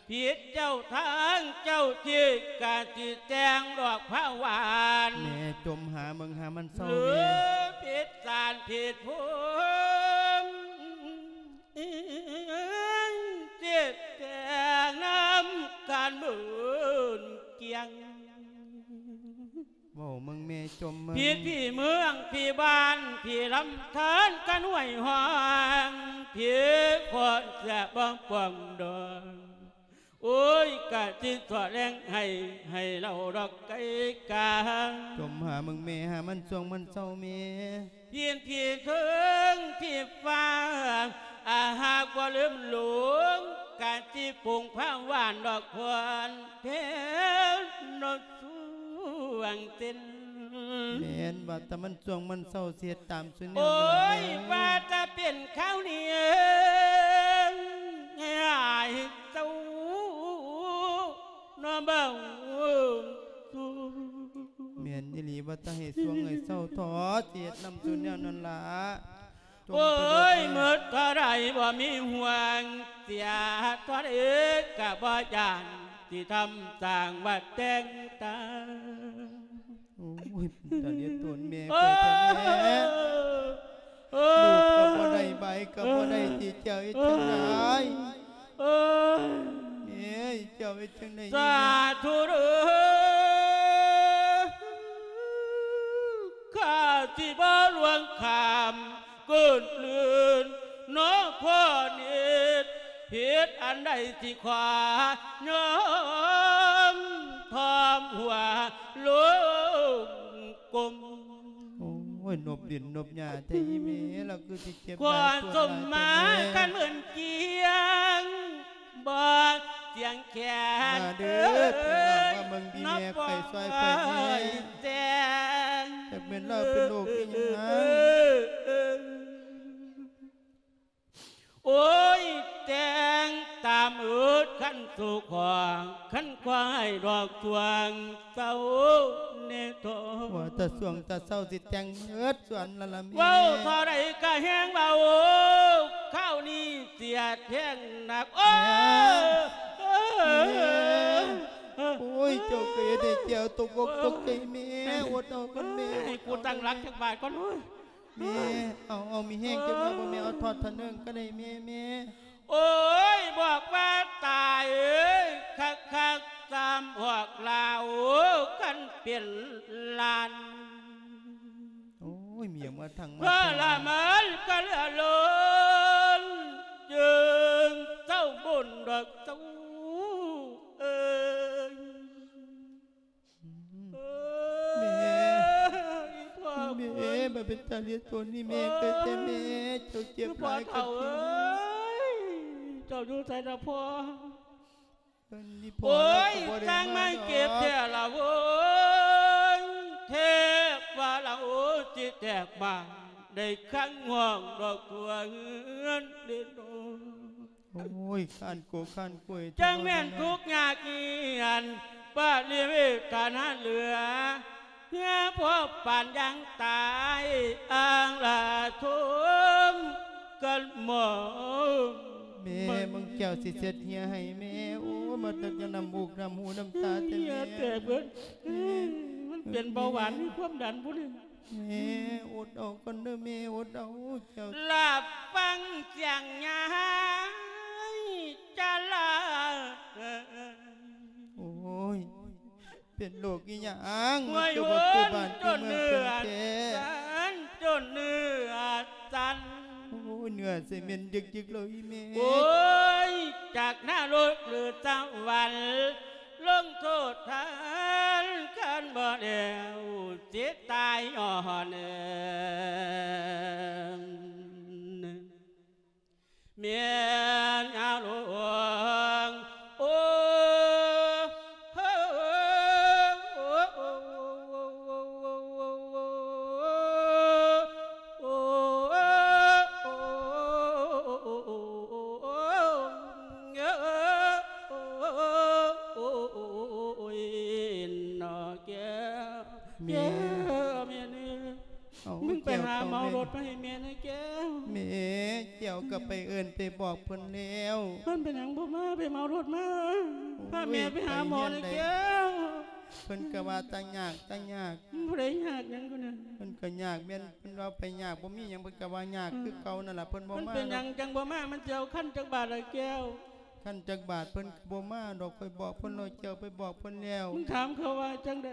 ຜິດເຈົ້າທາງເຈົ້າທີ່ ກະຊິແຕ່ງດອກພະຫວານ ແມ່ຈົ່ມຫາເບິ່ງຫາມັນເຊົາ ຫຼື ແມ່ ຜິດສານຜິດພູມ ເຈັບແຕ່ງນຳການເບິ່ງກຽງ. ເວົ້າເບິ່ງແມ່ ຈົ່ມເບິ່ງ ຜີຜີເມືອງຜີບ້ານຜີລຳທານກັນຫ້ວຍຫ້ອງ ຜີຄົນເສຍບໍ່ປ່ອງດອງ ໂອ້ຍ ກະຊິສອດແລງໃຫ້ ໃຫ້ເລົ່າດອກໄກກາ ຈົ່ມຫາເບິ່ງແມ່ ຫາມັນຊ່ວງມັນເຊົາແມ່ ຜີຜີເທິງຜີຟ້າ ອາຫາກບໍ່ລືມຫຼວງ ກະຊິປຸງພາວານດອກຄວັນ ເພນນກສວງເຕັ້ນ ແມ່ນວ່າແຕ່ມັນຊ່ວງມັນເຊົາ ຊິເຮັດຕາມສຸແນວ ໂອ້ຍ ນັ້ນແຫຼະ ວ່າແຕ່ເປັນຄາວນີ້ເອີງ ໃຫ້ອາຍເຈົ້າເນາະເບິ່ງສູ່ ແມ່ນອີ່ຫຼີ ວ່າແຕ່ໃຫ້ຊ່ວງໃຫ້ເຊົາເທາະ ຊິເຮັດນຳສຸແນວນັ້ນລະ ໂອ້ຍ ໝົດເທົ່າໃດບໍ່ມີຫ່ວງ ເສຍເທົ່າໃດກະບໍ່ຢ້ານ ຊິທຳສ້າງວ່າແຕ່ງຕາ ໂອ້ຍ ຕາເລຍຕົນແມ່ ເອີ ຂ້ອຍແທ້ແມ່ ເອີ ລູກກໍບໍ່ໄດ້ ໃບກໍບໍ່ໄດ້ ເອີ ຊິເຈົ້າເຮັດຈັ່ງໃດ ເອີ ແມ່ ເຈົ້າເຮັດຈັ່ງໃດ ສາທຸເດີ້ ຂ້າຊິບໍ່ລ່ວງຂ້າມ ເກີດລື່ນເນາະພໍ່ນິດ ເຮັດອັນໃດຊິຂໍຍອມ ທອມຫົວລົງກົ້ມ ໂອ້ຍ ນົບດິນນົບຫຍ້າແທ້ອີ່ແມ່ ລາວຄືຊິເຈັບຫຼາຍປວດຫຼາຍແທ້ແມ່ ຄວາມສົມມາຄັນເໝືອນກຽງ ບໍ່ສຽງແຂນ ມາເດີ້ ເອີຍ ພີ່ນ້ອງ ມາເບິ່ງພີ່ແມ່ ເນາະ ຂ້ອຍຊ່ອຍຂ້ອຍແດ່ ແຕ່ງ ຈັກແມ່ນລາວເປັນໂລກອີ່ຫຍັງ ໂອ້ຍ ແຕ່ງຕາມເອີດຄັນສູ່ຂອງ ຄັນຄວາຍດອກຊ່ວງເຊົາແນ່ທໍ ວ່າແຕ່ຊ່ວງແຕ່ເຊົ້າຊິແຕ່ງເອີດສ່ວນລະລະແມ່ ເວົ້າເທົ່າໃດກະແຮງເວົ້າ ຄາວນີ້ເສຍແທງໜັກ ໂອ້ຍ ແມ່ ໂອ້ຍ ເຈົ້າກະເຮັດໃຫ້ແກ້ວຕົກອົກຕົກໃຈແມ່ ອົດເອົາກ່ອນແມ່ ໃຫ້ກູຕັ້ງຫຼັກຈັກບາດກ່ອນ ໂອ້ຍ ແມ່ ເອົາ ເອົາ ມີແຮງຈັກໜ່ອຍບໍ່ແມ່ ເອົາທອດທະເນີງກະໄດ້ແມ່ ແມ່ ໂອ້ຍ ບອກວ່າຕາຍເອີຍ ຄັກໆ ຕາມອອກລາວ ຄັນເປັນລ້ານ ໂອ້ຍ ເມຍມາທັງມາ ເພື່ອລະເມີນກະເຫຼືອລົ້ນ ຈຶ່ງເຈົ້າບຸນດອກເຈົ້າເອີຍ ອືມ ເອີຍ ແມ່ ອີ່ພໍ່ ແມ່ ມັນເປັນຕາເລຍຕົນນີ້ແມ່ ເອີຍ ເກີດແຕ່ແມ່ ເຈົ້າເຈັບຫຼາຍ ພໍ່ເຖົ້າເອີຍ ເຈົ້າຢູ່ໃສລະພໍ່ ເອີ້ນອີ່ພໍ່ ໂອ້ຍ ລາວກໍບໍ່ໄດ້ມາດອກ ຕ່າງມາເຈັບແທ້ລະໂວ້ຍ ແທບວ່າລະໂອ້ຍ ຊິແຕກບານ ໄດ້ຄັງຫ້ອງດອກຕົວເຮືອນເດໂນ ໂອ້ຍ ຄ້ານໂກຄ້ານກົວຍ ຈັ່ງແມ່ນທຸກຍາກຫຍໍ້ນ ປະລິເວທຖານະເຫຼືອ ເຮືອພໍປານຢ່າງຕາຍ ອ່າງລາຊົມກັນໝໍ ແມ່ ເບິ່ງແກ້ວຊິເຊັດເຫື່ອໃຫ້ແມ່ ໂອ້ຍ ມາຕັກຈາກນ້ຳມູກນ້ຳຫູນ້ຳຕາແທ້ແມ່ ເຫື່ອແຕກເບິດ ແມ່ ມັນເປັນເບົາຫວານ ມີຄວາມດັນພຸ້ນນີ້ ແມ່ ອົດເອົາກ່ອນເດີແມ່ ອົດເອົາ ເຈົ້າ ລາບຟັງສຽງຍາຍຈະລາ ໂອ້ຍ ເປັນໂລກອີ່ຫຍັງ ຄືບໍ່ຄືບ້ານຄືເມືອງເພິ່ນແທ້ ຈົນເນື້ອສັ່ນ ໂອ້ຍ ເນື້ອຊິເໝັນຢຶກໆ ແລ້ວອີ່ແມ່ ໂອ້ຍ ຈາກນະລົກຫຼືສະຫວັນ ລົງໂທດທ່ານຄັນບໍ່ແລ້ວ ຊິຕາຍຍ້ອນເອີງ ແມ່ນຍາຫຼວງ ໂອ້ ໂອ້ ໂອ້ ຍ ເນາະແກ້ວ ແມ່ ແກ້ວ ແມ່ເອີຍ ເອົ້າ ມຶງໄປຫາເໝົາລົດມາໃຫ້ແມ່ແດ່ແກ້ວ ແມ່ ແກ້ວກໍໄປເອີ້ນໄປບອກເພິ່ນແລ້ວ ເພິ່ນເປັນຫຍັງບໍ່ມາ ໄປເໝົາລົດມາ ໂອ້ຍ ພາແມ່ໄປຫາໝໍແດ່ແກ້ວ ເພິ່ນກໍວ່າຕາຍາກ ຕາຍາກ ຜູ້ໃດຍາກຫຍັງກະນະ ເພິ່ນກໍຍາກແມ່ນ ເພິ່ນວ່າໄປຍາກ ບໍ່ມີຫຍັງ ເພິ່ນກໍວ່າຍາກຄືເກົ່ານັ້ນລະ ເພິ່ນບໍ່ມາ ເພິ່ນເປັນຫຍັງຈັ່ງບໍ່ມາ ມັນຊິເອົາຄັນຈັກບາດລະແກ້ວ ຄັນຈັກບາດ ເພິ່ນກໍບໍ່ມາດອກ ຂ້ອຍບອກເພິ່ນແລ້ວ ແກ້ວໄປບອກເພິ່ນແລ້ວ ມຶງຖາມເຂົາວ່າຈັ່ງໃດ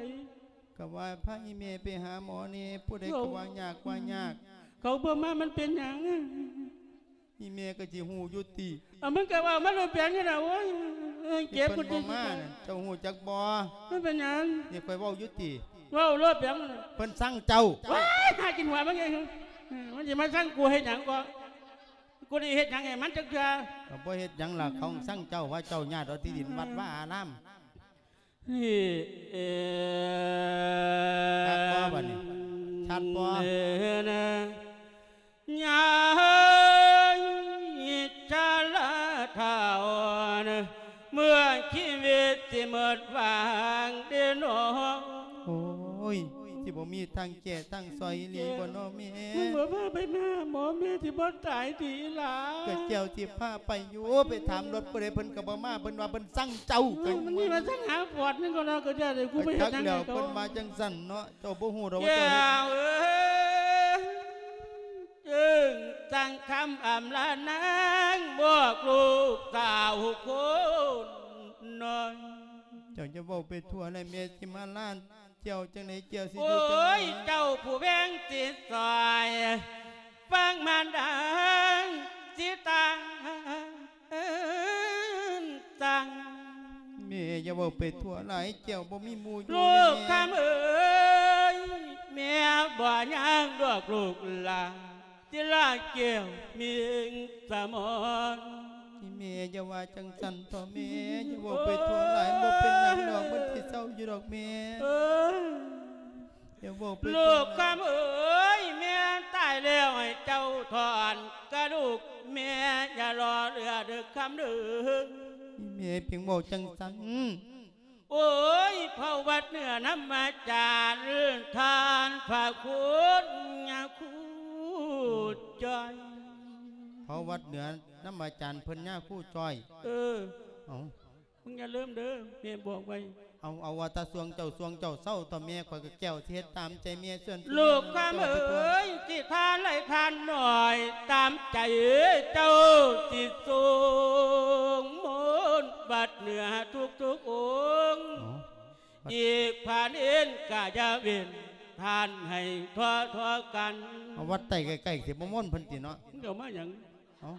ກໍວ່າພາອີ່ແມ່ໄປຫາໝໍແດ່ ຜູ້ໃດກໍວ່າຍາກ ວ່າຍາກ. ເຂົາບໍ່ມາມັນເປັນຫຍັງ? ອີ່ແມ່ກໍຊິຮູ້ຢູ່ຕິ. ເອົາ ມັນກໍເວົ້າມາໂລດເປັນຫຍັງລະ? ໂອ້ຍ ເຈັບ ເພິ່ນບໍ່ມານັ້ນ ເຈົ້າຮູ້ຈັກບໍ່? ມັນເປັນຫຍັງ? ນີ້ຂ້ອຍເວົ້າຢູ່ຕິ. ເວົ້າໂລດເປັນຫຍັງ? ເພິ່ນຊັງເຈົ້າ. ວ້າຍ ຫາກິນຫົວມັນເອງ. ມັນຊິມາຊັງກູເຮັດຫຍັງກໍ? ກູໄດ້ເຮັດຫຍັງໃຫ້ມັນຈັກເທື່ອ? ກໍບໍ່ເຮັດຫຍັງລະ ເຂົາຊັງເຈົ້າ ວ່າເຈົ້າຍາດເອົາທີ່ດິນວັດວາອາລາມ. ນີ້ ເອີ ຄັກບໍ່ບາດນີ້? ຊັດບໍ່? ເອີ ນະ ຍາຍຊະລາເຖົ້າ ເມື່ອຊີວິດຊິໝົດຫວັງເດເນາະ. ໂອ້ຍ ຊິບໍ່ມີທາງແກ້ທາງຊ່ອຍອີ່ຫຼີບໍ່ເນາະແມ່? ມຶງບໍ່ພາໄປຫາໝໍ ແມ່ຊິບໍ່ຕາຍຕິອີ່ຫຼ້າ? ກໍເຈົ້າຊິພາໄປຢູ່ ໄປຖາມລົດຜູ້ໃດ ເພິ່ນກໍບໍ່ມາ ເພິ່ນວ່າເພິ່ນຊັງເຈົ້າ. ເອີ ມັນມີມາຊັງຫາປອດມັນກໍເນາະ ກໍຢ່າໄດ້ ກູໄປເຮັດຫຍັງໃຫ້ເຂົາ? ເພິ່ນວ່າຈັ່ງຊັ້ນເນາະ ເຈົ້າບໍ່ຮູ້ດອກວ່າເຈົ້າເຮັດ. ແກ້ວເອີຍ ຈຶ່ງສັ່ງຄຳອຳລານາງ ບອກລູກສາວຄົນນ້ອຍ. ເຈົ້າຢ່າເວົ້າໄປທົ່ວເລີຍ ແມ່ຊິມາລານ ເຈົ້າຈັ່ງໃດ ເຈົ້າຊິຢູ່ຈັ່ງໃດ? ໂອ້ຍ ເຈົ້າຜູ້ແວງຊິຊ່ອຍ ຟັງມານດາຊິຕານສັ່ງ. ແມ່ຢ່າເວົ້າໄປທົ່ວຫຼາຍ ເຈົ້າບໍ່ມີໝູ່ຢູ່. ລູກຄຳເອີຍ ແມ່ບໍ່ຍາກດອກລູກຫຼ້າ ທີ່ລາແກ້ວມີສະໝອນ. ອີ່ແມ່ຢ່າວ່າຈັ່ງຊັ້ນເຖາະແມ່ ຢ່າເວົ້າໄປທົ່ວຫຼາຍ ບໍ່ເປັນຫຍັງດອກ ມັນຊິເຊົາຢູ່ດອກແມ່. ເອີ ຢ່າເວົ້າໄປທົ່ວຫຼາຍ. ລູກຄຳເອີຍ ແມ່ຕາຍແລ້ວໃຫ້ເຈົ້າຖອນກະດູກແມ່ ຢ່າລໍເຫຼືອເດີຄຳເດີ. ອີ່ແມ່ເພງເວົ້າຈັ່ງຊັ້ນ. ໂອ້ຍ ເຜົ່າວັດເໜືອນຳອາຈານ ທ່ານພະຄຸນຍາຄູຈ້ອຍ. ເຜົ່າວັດເໜືອນຳອາຈານເພິ່ນຍາຄູຈ້ອຍ. ເອີ ເອົ້າ ມຶງຢ່າລືມເດີ ແມ່ບອກໄວ້. ເອົາ ເອົາວ່າແຕ່ຊ່ວງເຈົ້າ ຊ່ວງເຈົ້າເຊົາເຖາະແມ່ ຂ້ອຍກໍແກ້ວຊິເຮັດຕາມໃຈແມ່ສ່ວນ. ລູກຄຳເອີຍ ຊິທານຫຼາຍທານໜ້ອຍ ຕາມໃຈເຈົ້າຊິສົ່ງມົນວັດເໜືອທຸກໆອົງ. ເອົ້າ ອີກພາເນນກະຢ່າເວັ້ນ ທ່ານໃຫ້ທົ່ວໆກັນ. ເອົາ ວັດໃຕ້ໃກ້ໆ ຊິບໍ່ມົນເພິ່ນຕິເນາະ? ມຶງເອົາມາຫຍັງ? ເອົ້າ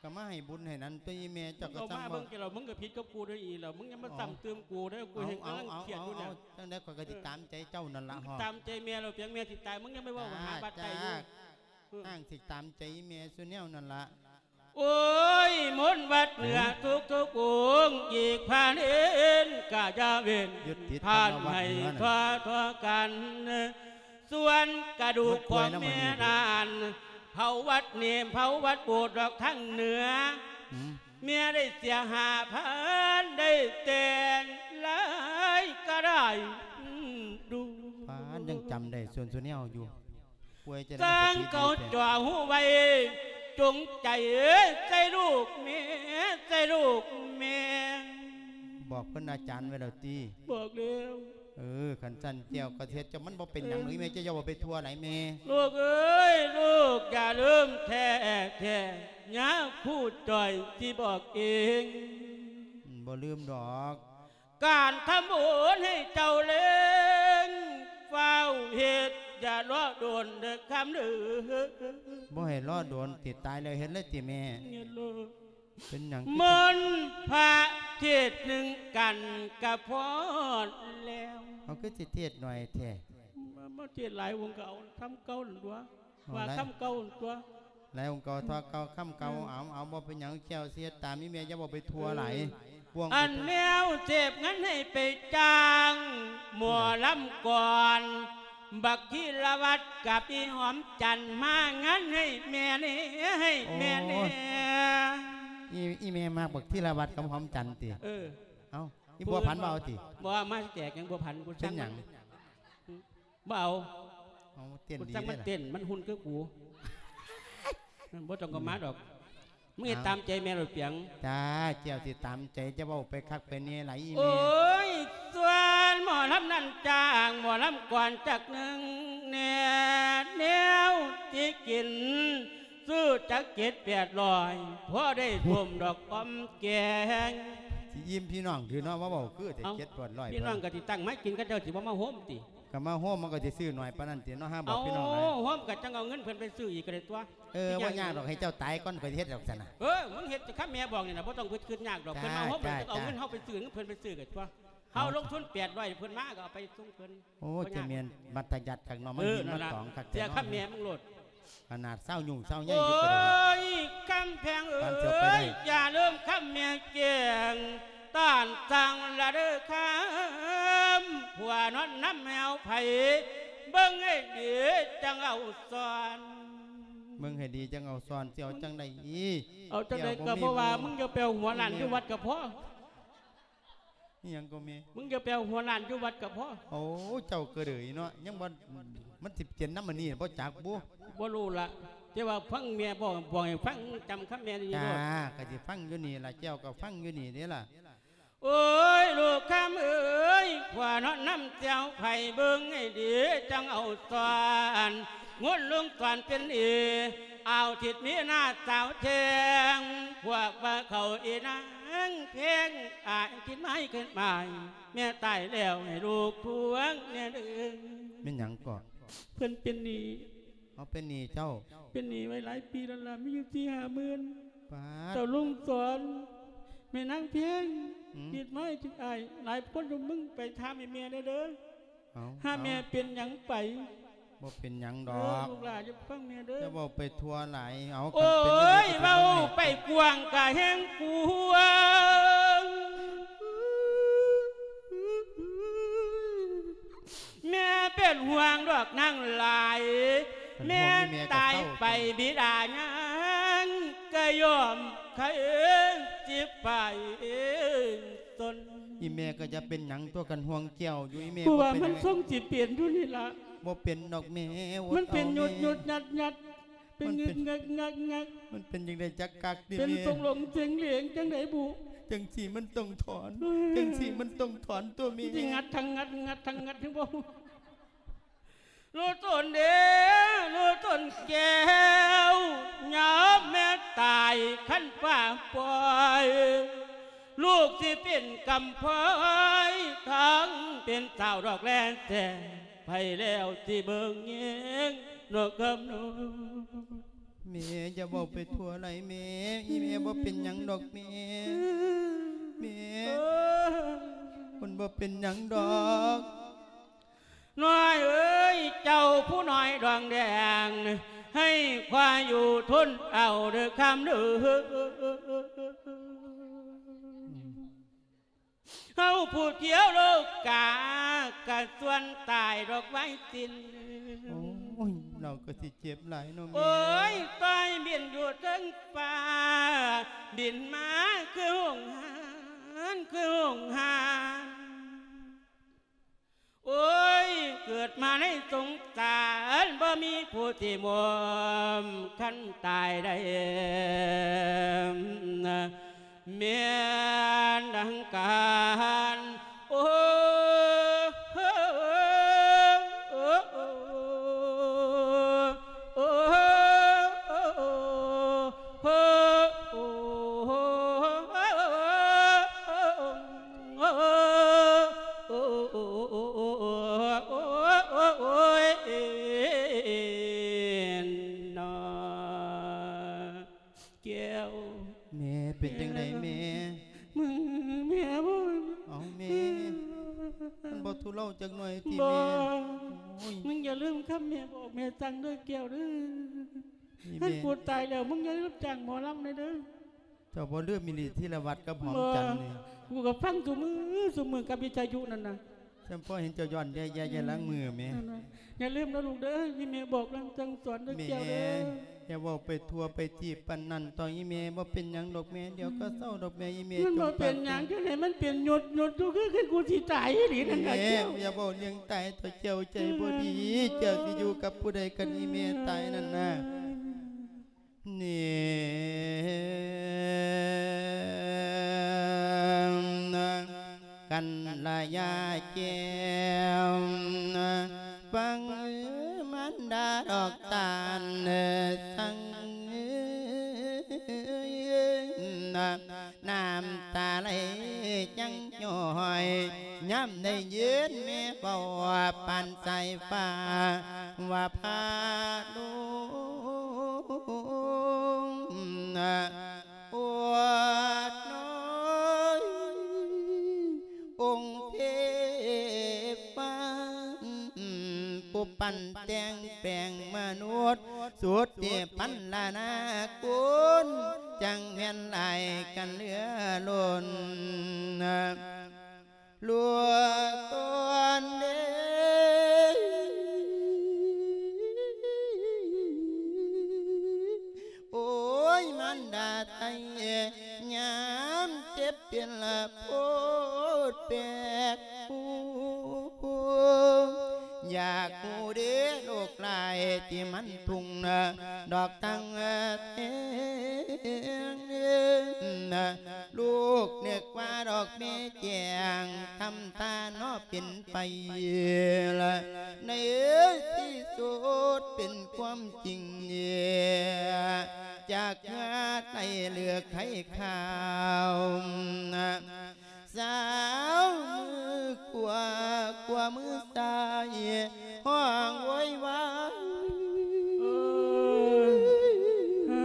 ກໍມາໃຫ້ບຸນໃຫ້ນັ້ນຕົວະ ອີ່ແມ່ ເຈົ້າກໍ ມຶງເອົາມາເບິ່ງແລ້ວ ມຶງກໍຜິດກັບກູເດີອີ່ແລ້ວ ມຶງຢ່າມາຊ້ຳເຕີມກູເດີ ກູແຮ່ງກຳລັງຄຽດຢູ່ນີ້. ເອົາ ຈັ່ງໃດຂ້ອຍກໍຊິຕາມໃຈເຈົ້ານັ້ນລະ. ເອີ ຕາມໃຈແມ່ແລ້ວ ປຽງແມ່ຊິຕາຍ ມຶງຢ່າໄປເວົ້າຫາບັດໃຕ້ຢູ່. ອືມ ອ້າງຊິຕາມໃຈອີ່ແມ່ສູ່ແນວນັ້ນລະ. ໂອ້ຍ ມົນວັດເໜືອທຸກໆອົງ ອີກພາເນນກະຢ່າເວັ້ນ ທ່ານໃຫ້ທົ່ວໆກັນ. ສ່ວນກະດູກຂອງແມ່ນັ້ນ ເຜົາວັດເນມ ເຜົາວັດໂບດດອກທາງເໜືອ. ແມ່ໄດ້ເສຍຫ້າພັນ ໄດ້ແຕ່ງຫຼາຍກະໄດ້ດູ. ປາດ ຍັງຈຳໄດ້ສ່ວນສຸແນວຢູ່. ປ່ວຍຈະໄດ້ ສ້າງເຂົາຈ່ອຮູ້ໄວ້ ຈົງໃຈໃສ່ລູກແມ່ ໃສ່ລູກແມ່. ບອກເພິ່ນອາຈານໄວ້ແລ້ວຕິ? ບອກແລ້ວ. ເອີ ຄັນຊັ້ນແກ້ວກໍເຮັດເຈົ້າ ມັນບໍ່ເປັນຫຍັງດອກ ແມ່ ເຈົ້າຢ່າເວົ້າໄປທົ່ວຫຼາຍແມ່. ລູກເອີຍ ລູກຢ່າລືມແທ້ໆ ຍາຄູຈ່ອຍຊິບອກເອງ. ບໍ່ລືມດອກ. ການທຳບຸນໃຫ້ເຈົ້າເລັ່ງຟ້າວເຮັດ ຢ່າລໍດົນເດີຄຳເດີ. ບໍ່ໃຫ້ລໍດົນຕິ ຕາຍແລ້ວເຮັດເລີຍຕິແມ່? ເຮັດໂລດ. ເປັນຫຍັງ? ມົນພະເທດໜຶ່ງກັນກະພໍແລ້ວ. ເຮົາຄືຊິເທດໜ້ອຍແທ້? ມາ ມາເທດຫຼາຍອົງກະເອົາຄຳເກົ່ານັ້ນຕົວະ. ເອົາ ວ່າ ຫຼາຍ ຄຳເກົ່າຕົວະ. ຫຼາຍອົງກໍເທົ່າເກົ່າຄຳເກົ່າ. ເອີ ເອົາ ເອົາ ບໍ່ເປັນຫຍັງ ແກ້ວຊິເຮັດຕາມອີ່ແມ່ ຢ່າເວົ້າໄປທົ່ວຫຼາຍ. ເອີ ອັນແມວເສບເງິນໃຫ້ໄປຈ້າງໝໍລຳກ່ອນ ບັກທີລະວັດກັບອີ່ຫອມຈັນ ມາງານໃຫ້ແມ່ແດ່ ໃຫ້ແມ່ແດ່. ໂອ້ຍ ອີ່ ອີ່ແມ່ມັກບັກທີລະວັດກັບຫອມຈັນຕິ? ເອີ ເອົ້າ ອີ່ບົວພັນບໍ່ເອົາຕິ? ບໍ່ ມາແຈກຫຍັງບົວພັນ ກູ ເປັນຫຍັງ? ບໍ່ເອົາ. ເອົາ ເຕັ້ນດີເດ້ລະ ມັນເຕັ້ນ ມັນຫຸ່ນຄືກູ. ບໍ່ຕ້ອງກໍມາດອກ. ມຶງເຮັດຕາມໃຈແມ່ໂລດປຽງ. ຈ້າ ເຈົ້າຊິຕາມໃຈ ຈະເວົ້າໄປຄັກໄປແນ່ຫຼາຍອີ່ແມ່. ໂອ້ຍ ສ່ວນໝໍລຳນັ້ນຈ້າງໝໍລຳກ່ອນຈັກໜຶ່ງແດ່ ແນວຊິກິນ ຊື້ຈັກເຈັດແປດຮ້ອຍ ພໍໄດ້ຕົ້ມດອກອອມແກງ. ຊິອີ່ມພີ່ນ້ອງຫຼືເນາະ ມາເວົ້າຄືແຕ່ ເຈັດແປດຮ້ອຍ. ພີ່ນ້ອງກໍຊິຕັ້ງມາກິນ ເຂົາເຈົ້າຊິບໍ່ມາໂຮມຕິ? ກໍມາໂຮມ ມັນກໍຊິຊື້ໜ້ອຍປານນັ້ນຕິເນາະ ຫາບອກ ເອົາ ພີ່ນ້ອງຫຼາຍ ໂຮມກໍຈັ່ງເອົາເງິນເພິ່ນໄປຊື້ອີກກໍໄດ້ຕົວະ ເອີ ບໍ່ຍາກດອກ ໃຫ້ເຈົ້າຕາຍກ່ອນ ຂ້ອຍຊິເຮັດດອກຊັ້ນນະ ເອີ ມຶງເຮັດ ຄັນແມ່ບອກນີ້ນະ ບໍ່ຕ້ອງໄປຄິດຍາກດອກ ເພິ່ນມາໂຮມ ເຮົາກໍເອົາເງິນເຮົາໄປຊື້ ເພິ່ນໄປຊື້ກໍຕົວະ ເຮົາລົງທຶນແປດຮ້ອຍ ເພິ່ນມາກໍເອົາໄປສົ່ງເພິ່ນ ໂອ້ ຈະແມ່ນບັດທະຍັດຄັກເນາະ ມາຍິນມາຕອງຄັກແທ້ເນາະ ເສຍຄຳແມ່ມຶງໂລດ ຂະໜາດຊາວຫຍຸ້ງຊາວໃຫຍ່ຢູ່ກໍໄດ້ ໂອ້ຍ ຄຳແພງເອີຍ ປານຊິເອົາໄປໄດ້ ຢ່າລືມຄຳແມ່ແຈ້ງ ຕ້ານສ້າງລະເດີຄຳ ຜົວນອນນຳແມວໃຜ ເບິ່ງໃຫ້ດີຈັ່ງເອົາສ່ວນ ເບິ່ງໃຫ້ດີຈັ່ງເອົາສ່ວນ ຊິເອົາຈັ່ງໃດອີກ ເອົາຈັ່ງໃດກໍບໍ່ວ່າ ແກ້ວບໍ່ມີ ມຶງຢ່າໄປເອົາຫົວລ້ານຢູ່ວັດກໍພໍ ອີຫຍັງກໍແມ່ ມຶງຢ່າໄປເອົາຫົວລ້ານຢູ່ວັດກໍພໍ ໂອ້ ເຈົ້າກໍເດີຍເນາະ ຍັງວ່າ ມັນຊິເປັນນຳອັນນີ້ບໍ່ຈັກບຸ ບໍ່ຮູ້ລະ ແຕ່ວ່າຟັງແມ່ບອກ ບອກໃຫ້ຟັງ ຈຳຄຳແມ່ນີ້ໂລດ ຈ້າ ກໍຊິຟັງຢູ່ນີ້ລະ ແກ້ວກໍຟັງຢູ່ນີ້ເດ້ລະ ໂອ້ຍ ລູກຄຳເອີຍ ຜົວນອນນຳແຊວໃຜ ເບິ່ງໃຫ້ດີຈັ່ງເອົາສ່ວນ ງົນລົງສ່ວນເປັນເອ ອາວທິດມີໜ້າສາວແທງ ພວກວ່າເຂົາອີນາງແພງ ອາຍຄິດໄມ້ຂຶ້ນໝາຍ ແມ່ຕາຍແລ້ວໃຫ້ລູກພວງແດ່ເດີ ແມ່ນຫຍັງເກາະ ເພິ່ນເປັນໜີ້ ເອົາ ເປັນໜີ້ເຈົ້າ ເປັນໜີ້ໄວ້ຫຼາຍປີແລ້ວລະ ມີຢູ່ສີ່ຫ້າໝື່ນ ປາດ ເຈົ້າລຸງສອນ ແມ່ນາງແພງ ອືມ ຄິດໄມ້ຄິດອາຍ ຫຼາຍຄົນຢູ່ ມຶງໄປຖາມໃຫ້ແມ່ແດ່ເດີ ເອົາ ຖ້າແມ່ເປັນຫຍັງໄປ ບໍ່ເປັນຫຍັງດອກ ເອີ ລູກຫຼານຢ່າຟັງແມ່ເດີ ຢ່າເວົ້າໄປທົ່ວຫຼາຍ ເອົາ ໂອ້ຍ ຄັນເປັນຈັ່ງໃດກໍຊິເວົ້າໄປກວ້າງກະແຮງກວ້າງ ແມ່ເປັນຫ່ວງດອກນາງຫຼາຍ ຄັນຫ່ວງອີ່ແມ່ກໍເຊົາ ແມ່ຕາຍໄປບິດາຍັງກະຍອມໃຄ່ຊິໄປ ຕົນ ອີແມ່ກໍຈະເປັນຫຍັງຕົວະ ຄັນຫ່ວງແກ້ວຢູ່ ອີແມ່ ເພາະວ່າມັນຊົງຊິເປັນຢູ່ນີ້ລະ ບໍ່ເປັນດອກແມ່ ມັນເປັນຍຸດໆ ຍັດໆ ເປັນງຶກໆ ງັກໆ ມັນເປັນຈັ່ງໃດຈັກກັກຕິແມ່ ເປັນສົງຫຼົງເສັງເຫຼງຈັ່ງໃດບຸ ຈັ່ງຊີ້ມັນຕ້ອງຖອນ ຈັ່ງຊີ້ມັນຕ້ອງຖອນຕົວແມ່ ຊິງັດທັງງັດ ງັດທັງງັດ ເຫັນບໍ່? ລູກຕົນເດ້ ລູກຕົນແກ້ວ ຍາມແມ່ຕາຍຄັນຟ້າປ່ອຍ ລູກຊິເປັນກຳພ້ອຍ ທັງເປັນສາວດອກແລແຕ່ໄປແລ້ວຊິເບິ່ງແຍງນອກກຳນອງ ແມ່ຢ່າເວົ້າໄປທົ່ວຫຼາຍແມ່ ອີແມ່ບໍ່ເປັນຫຍັງດອກແມ່ ແມ່ ເອີ ມັນບໍ່ເປັນຫຍັງດອກ ນ້ອຍເອີຍ ເຈົ້າຜູ້ນ້ອຍດອງແດງ ໃຫ້ຄວາຢູ່ທົນເອົາເດີຄຳເດີ ເຮົາຜູ້ທ່ຽວໂລກາ ກະສ່ວນຕາຍດອກໄວຕິນ ໂອ້ຍ ລາວກໍຊິເຈັບຫຼາຍເນາະແມ່ ໂອ້ຍ ຕ່ອຍບິນຢູ່ເທິງຟ້າ ບິນມາຄືຫົງຫານ ຄືຫົງຫານ ໂອ້ຍ ເກີດມາໃນສົງສານ ບໍ່ມີຜູ້ທີ່ໂຮມ ຄັນຕາຍໄດ້ ແມ່ນດັ່ງການ ໂອ້ ໂອ້ ໂອ້ ໂອ້ ໂອ້ ໂອ້ ໂອ້ ໂອ້ຍ ເນາະ ແກ້ວ ແມ່ ເປັນຈັ່ງໃດແມ່? ມຶງ ແມ່ບໍ່ ເອົາແມ່ ມັນບໍ່ທຸເລົາຈັກໜ້ອຍຕິແມ່? ບໍ່ ໂອ້ຍ ມຶງຢ່າລືມຄຳແມ່ບອກແມ່ສັ່ງເດີແກ້ວເດີ. ນີ້ແມ່ ຄັນກູຕາຍແລ້ວ ມຶງຢ່າລືມຈ້າງໝໍລຳແດ່ເດີ. ເຈົ້າບໍ່ລືມອີ່ຫຼີ ທີລະວັດກັບຫອມຈັນນີ້. ບໍ່ ກູກໍຟັງຊຸມື້ ຊຸມື້ກັບວິທະຍຸນັ້ນນະ. ຈຳພໍເຫັນເຈົ້າຍ້ອນແຍ່ໆ ລາງມືແມ່. ນັ້ນນະ ຢ່າລືມນະລູກເດີ ທີ່ແມ່ບອກລາງສັ່ງສອນເດີແກ້ວເດີ. ແມ່ ຢ່າເວົ້າໄປທົ່ວໄປທີບປານນັ້ນ ຕໍ່ອີ່ແມ່. ບໍ່ເປັນຫຍັງດອກແມ່ ດຽວກໍເຊົາດອກແມ່. ອີ່ແມ່ ມັນບໍ່ເປັນຫຍັງ ຈັ່ງໃດມັນເປັນຍືດໆ ຢູ່ ຄື ຄືກູຊິຕາຍອີ່ຫຼີນັ້ນນະແກ້ວ. ແມ່ ຢ່າເວົ້າເລື່ອງຕາຍເຖາະ ແກ້ວໃຈບໍ່ດີ. ເຈົ້າຊິຢູ່ກັບຜູ້ໃດຄັນອີ່ແມ່ຕາຍນັ້ນນະ? ນີ້ ກັນລະຍາແກ້ວ ຟັງມານດາດອກຕານສັ່ງ ນ້ຳຕາໄຫຼຍັງຍ້ອຍ ຍາມໄດ້ຍິນແມ່ເວົ້າປານສາຍຟ້າ ວ່າພາລຸງ ໂອດນ້ອຍ ອົງເທວາ ຜູ້ປັ້ນແຕ່ງແປງມະນຸດ ສຸດທີ່ພັນລະນາກຸນ ຈັ່ງແມ່ນຫຼາຍກັນເຫຼືອລົ້ນ. ລູກຕົນເດ ໂອ້ຍ ມານດາໄທ ຍາມເຈັບເປັນລະໂພດແປກຜູ້ ຢາກຮູ້ເດໂລກຫຼາຍທີ່ມັນທຸ່ງນະ ດອກຕັ້ງແຕ່ງ ລູກນຶກວ່າດອກແມ່ແຈ້ງ ທຳທ່າເນາະເປັນໄປລະ ໃນທີ່ສຸດເປັນຄວາມຈິງ ຈາກເມື່ອໄດ້ເລືອກໃຫ້ຂ່າວ ສາວມືຂວາ ຂວາມືຊ້າຍ ຮ້ອງໂວຍວາຍ ເອີ ເອີ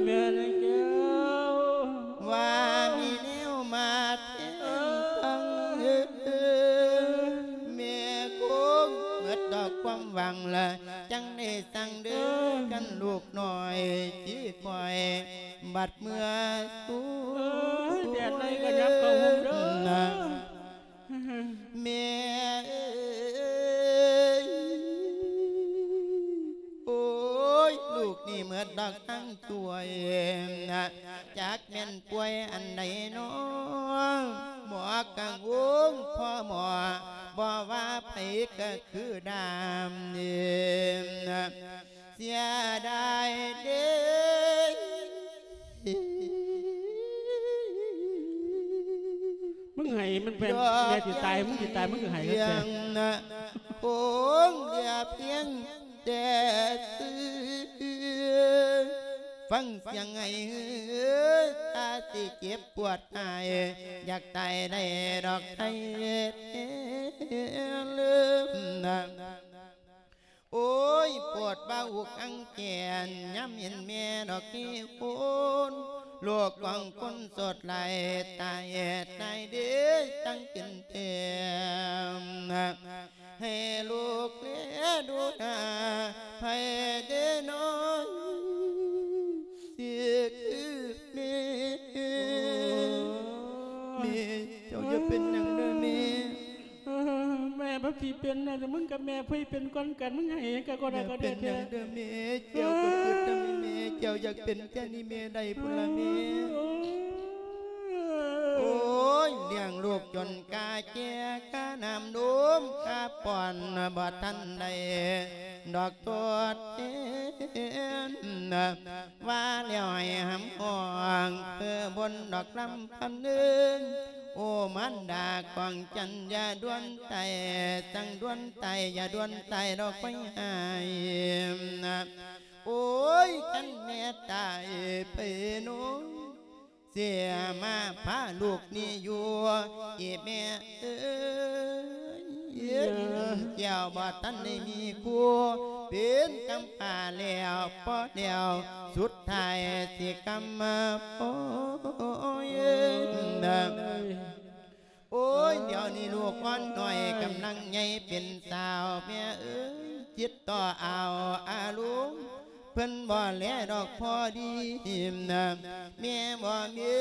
ແມ່ນແກ້ວ ວ່າມີແນວມາແທນ ເອີ ທັງ ເອີ ແມ່ຄົງໝົດດອກຄວາມຫວັງລະ ຈັ່ງໄດ້ສັ່ງເດີ ເອີ ກັນລູກນ້ອຍ ຊິຄອຍບັດເມື່ອສູ່ ເອີ ແດດໄລ່ກໍຍັບເຂົ້າໂຮງເດີ ແມ່ເອີຍ ໂອ້ຍ ລູກນີ້ເໝິດດອກທັງຖ້ວຍ ຈັກແມ່ນປ່ວຍອັນໃດນໍ ໝໍກະງົງພໍ່ໝໍ ບໍ່ວ່າໃຜກະຄືດາມ ເສຍດາຍເດ້. ມຶງໄຫ້ມັນແມ່ນ ແມ່ຊິຕາຍ ມຶງຊິຕາຍ ມຶງກໍໄຫ້ກັນແທ້ ຄົງເຫຼືອພຽງແຕ່ຊື່ ຟັງສຽງໄຫ້ເຮີ ຕາຊິເຈັບປວດຫາຍ ຢາກຕາຍໄດ້ດອກໄທເລີມນະ. ໂອ້ຍ ປວດວ່າອຸກອັງແກນ ຍາມເຫັນແມ່ດອກເຮໂຮນ ໂລກຂອງຄົນໂສດຫຼາຍ ຕາຍແອດຕາຍເດ້ ຕັ້ງເປັນແຖມ ໃຫ້ລູກແລດູໜ້າ ໃຜເດ້ນ້ອຍ ຊິຄືແມ່ ແມ່ ເຈົ້າຢ່າເປັນຫຍັງເດີແມ່. ເອີ ແມ່ບໍ່ຊິເປັນນະ ແຕ່ມຶງກັບແມ່ຜູ້ໃດເປັນກ່ອນກັນ ມຶງໄຫ້ຫຍັງກະບໍ່ໄດ້ກໍໄດ້ແທ້ ແມ່ເປັນຫຍັງເດີແມ່ ແກ້ວກໍຄິດນຳແມ່ ແກ້ວຢາກເປັນແທ້ນີ້ແມ່ໄດ້ພຸ້ນລະແມ່. ໂອ້ຍ ລ້ຽງລູກຈົນກາແກ່ ຄ່ານ້ຳນົມ ຄ່າປ້ອນ ບໍ່ທັນໄດ້ດອກທົດແທນ ວ່າແລ້ວໃຫ້ຫຳຫ້ອງ ເພື່ອບົນດອກລຳພັນເອີຍ ໂອມານດາຂອງຈັນ ຢ່າດ່ວນຕາຍ ຈັ່ງດ່ວນຕາຍ ຢ່າດ່ວນຕາຍດອກໄຟຫາຍ. ໂອ້ຍ ຄັນແມ່ຕາຍໄປໂນ ເສຍມາພາລູກນີ້ຢູ່ ອີແມ່ເອີຍ ແກ້ວບໍ່ທັນໄດ້ມີຄູ່ ເປັນກຳພ້າແລ້ວ ພໍແລ້ວ ສຸດທ້າຍຊິກຳມາໂອຍ ໂອ້ຍ ດຽວນີ້ລູກອ່ອນນ້ອຍກຳລັງໃຫຍ່ເປັນສາວ ແມ່ເອີຍ ຈິດຕໍ່ອາວອາລົມ ເພິ່ນບໍ່ແລດອກພໍດີ ແມ່ບໍ່ມີ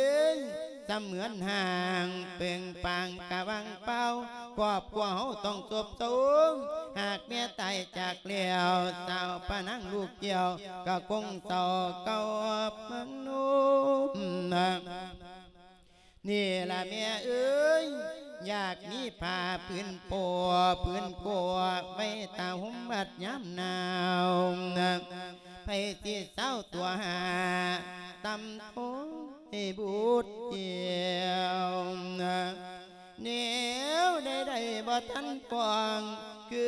ສະເໝືອນຮ່າງ ເປິງປາງກະວ່າງເປົ່າ ຄອບຄົວເຮົາຕ້ອງໂສບເສົ້າ ຫາກແມ່ຕາຍຈາກແລ້ວ ສາວພະນາງລູກແກ້ວ ກະຄົງເສົ້າເກົ່າມະໂນ. ນີ້ລະແມ່ເອີຍ ຢາກມີຜ້າຜືນໂປ້ຜືນໂກ້ ໄວ້ຕາຫົ່ມບັດຍາມໜາວ ໃຜຊິເຊົາຕົວຫາ ຕຳໂທໃຫ້ບຸດແກ້ວ ແນວໃດໆບໍ່ທັນປ້ອງ ຄື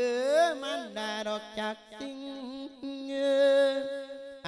ມານດາດອກຈັກສິ່ງ ອ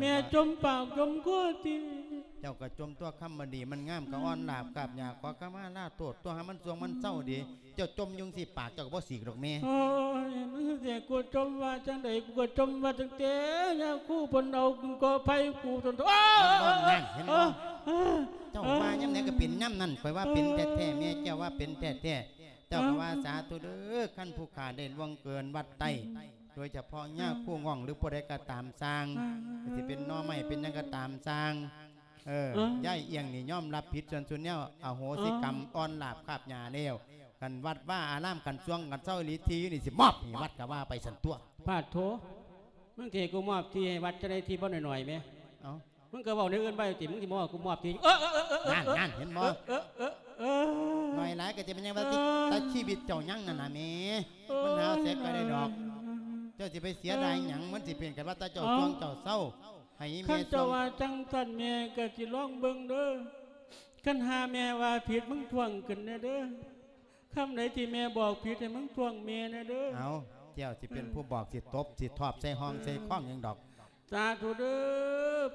ແມ່ຈົມປາກຈົມຄໍຕິ. ເຈົ້າກໍຈົ່ມຕົວະ ຄຳບໍ່ດີມັນງາມກໍອ່ອນລາບກາບຫຍ້າ ຂໍຂະມາລາໂທດຕົວະ ໃຫ້ມັນຊ່ວງມັນເຊົາດີ. ເຈົ້າຈົ່ມຢູ່ຈັ່ງຊີ້ ປາກເຈົ້າກໍບໍ່ສີກດອກແມ່. ໂອ້ຍ ມຶງຊິໃຫ້ກູຈົ່ມວ່າຈັ່ງໃດ? ກູກໍຈົ່ມວ່າຕັ້ງແຕ່ຍາຄູເພິ່ນເອົາກໍໄພກູຈົນ ໂອ້ຍ ນັ້ນ ເຫັນບໍ່? ເຈົ້າວ່າຍາມໃດກໍເປັນຍາມນັ້ນ. ຂ້ອຍວ່າເປັນແທ້ໆ ແມ່ເຈົ້າວ່າເປັນແທ້ໆ. ເຈົ້າກໍວ່າສາທຸເດີ ຄັນຜູ້ຂ້າໄດ້ລ່ວງເກີນວັດໄຕ້ ໂດຍສະເພາະຍາຄູງ່ອງ ຫຼື ຜູ້ໃດກໍຕາມຊ່າງ ກໍຊິເປັນໜໍ່ໄມ້ເປັນຫຍັງກໍຕາມຊ່າງ. ເອີ ເອີ ຍາຍອຽງນີ້ຍອມຮັບຜິດສ່ວນສຸດແນວ ອະໂຫສິກຳ ເອີ ອ່ອນລາບກາບຫຍ້າແລ້ວ. ຄັນວັດວາອາລາມ ຄັນຊ່ວງກັນເຊົາອີ່ຫຼີ ທີ່ຢູ່ນີ້ຊິມອບໃຫ້ວັດກໍວ່າໄປຊັ້ນຕົວະ. ປາດໂທ ມຶງຊິໃຫ້ກູມອບທີ່ໃຫ້ວັດຈັ່ງໃດ? ທີ່ບໍ່ໜ້ອຍໆແມ. ເອົ້າ ມຶງກໍເວົ້າແນວອື່ນໄວ້ຕິ ມຶງຊິມາເວົ້າກູມອບທີ່. ເອີ ນັ້ນ ນັ້ນ ເຫັນບໍ່? ເອີ ເອີ ເອີ ໜ້ອຍຫຼາຍກໍຈະເປັນຫຍັງວ່າຕິ ເອີ ແຕ່ຊີວິດເຈົ້າຍັງນັ້ນນະແມ່. ມັນຫາເສຍໄປໄດ້ດອກ. ເຈົ້າຊິໄປເສຍດາຍຫຍັງ? ມັນຊິເປັນກັນວ່າແຕ່ເຈົ້າຊ່ວງເຈົ້າເຊົາ ໃຫ້ອີ່ແມ່ ຄັນເຈົ້າວ່າຈັ່ງຊັ້ນ ແມ່ກໍຊິລອງເບິ່ງເດີ. ຄັນຫາແມ່ວ່າຜິດ ມຶງທ້ວງຂຶ້ນແດ່ເດີ. ຄຳໃດທີ່ແມ່ບອກຜິດ ໃຫ້ມຶງທ້ວງແມ່ແດ່ເດີ. ເອົ້າ ເຈົ້າຊິເປັນຜູ້ບອກ ຊິຕົບ ຊິທອບໃສ່ຫ້ອງໃສ່ຄອງຫຍັງດອກ. ສາທຸເດີ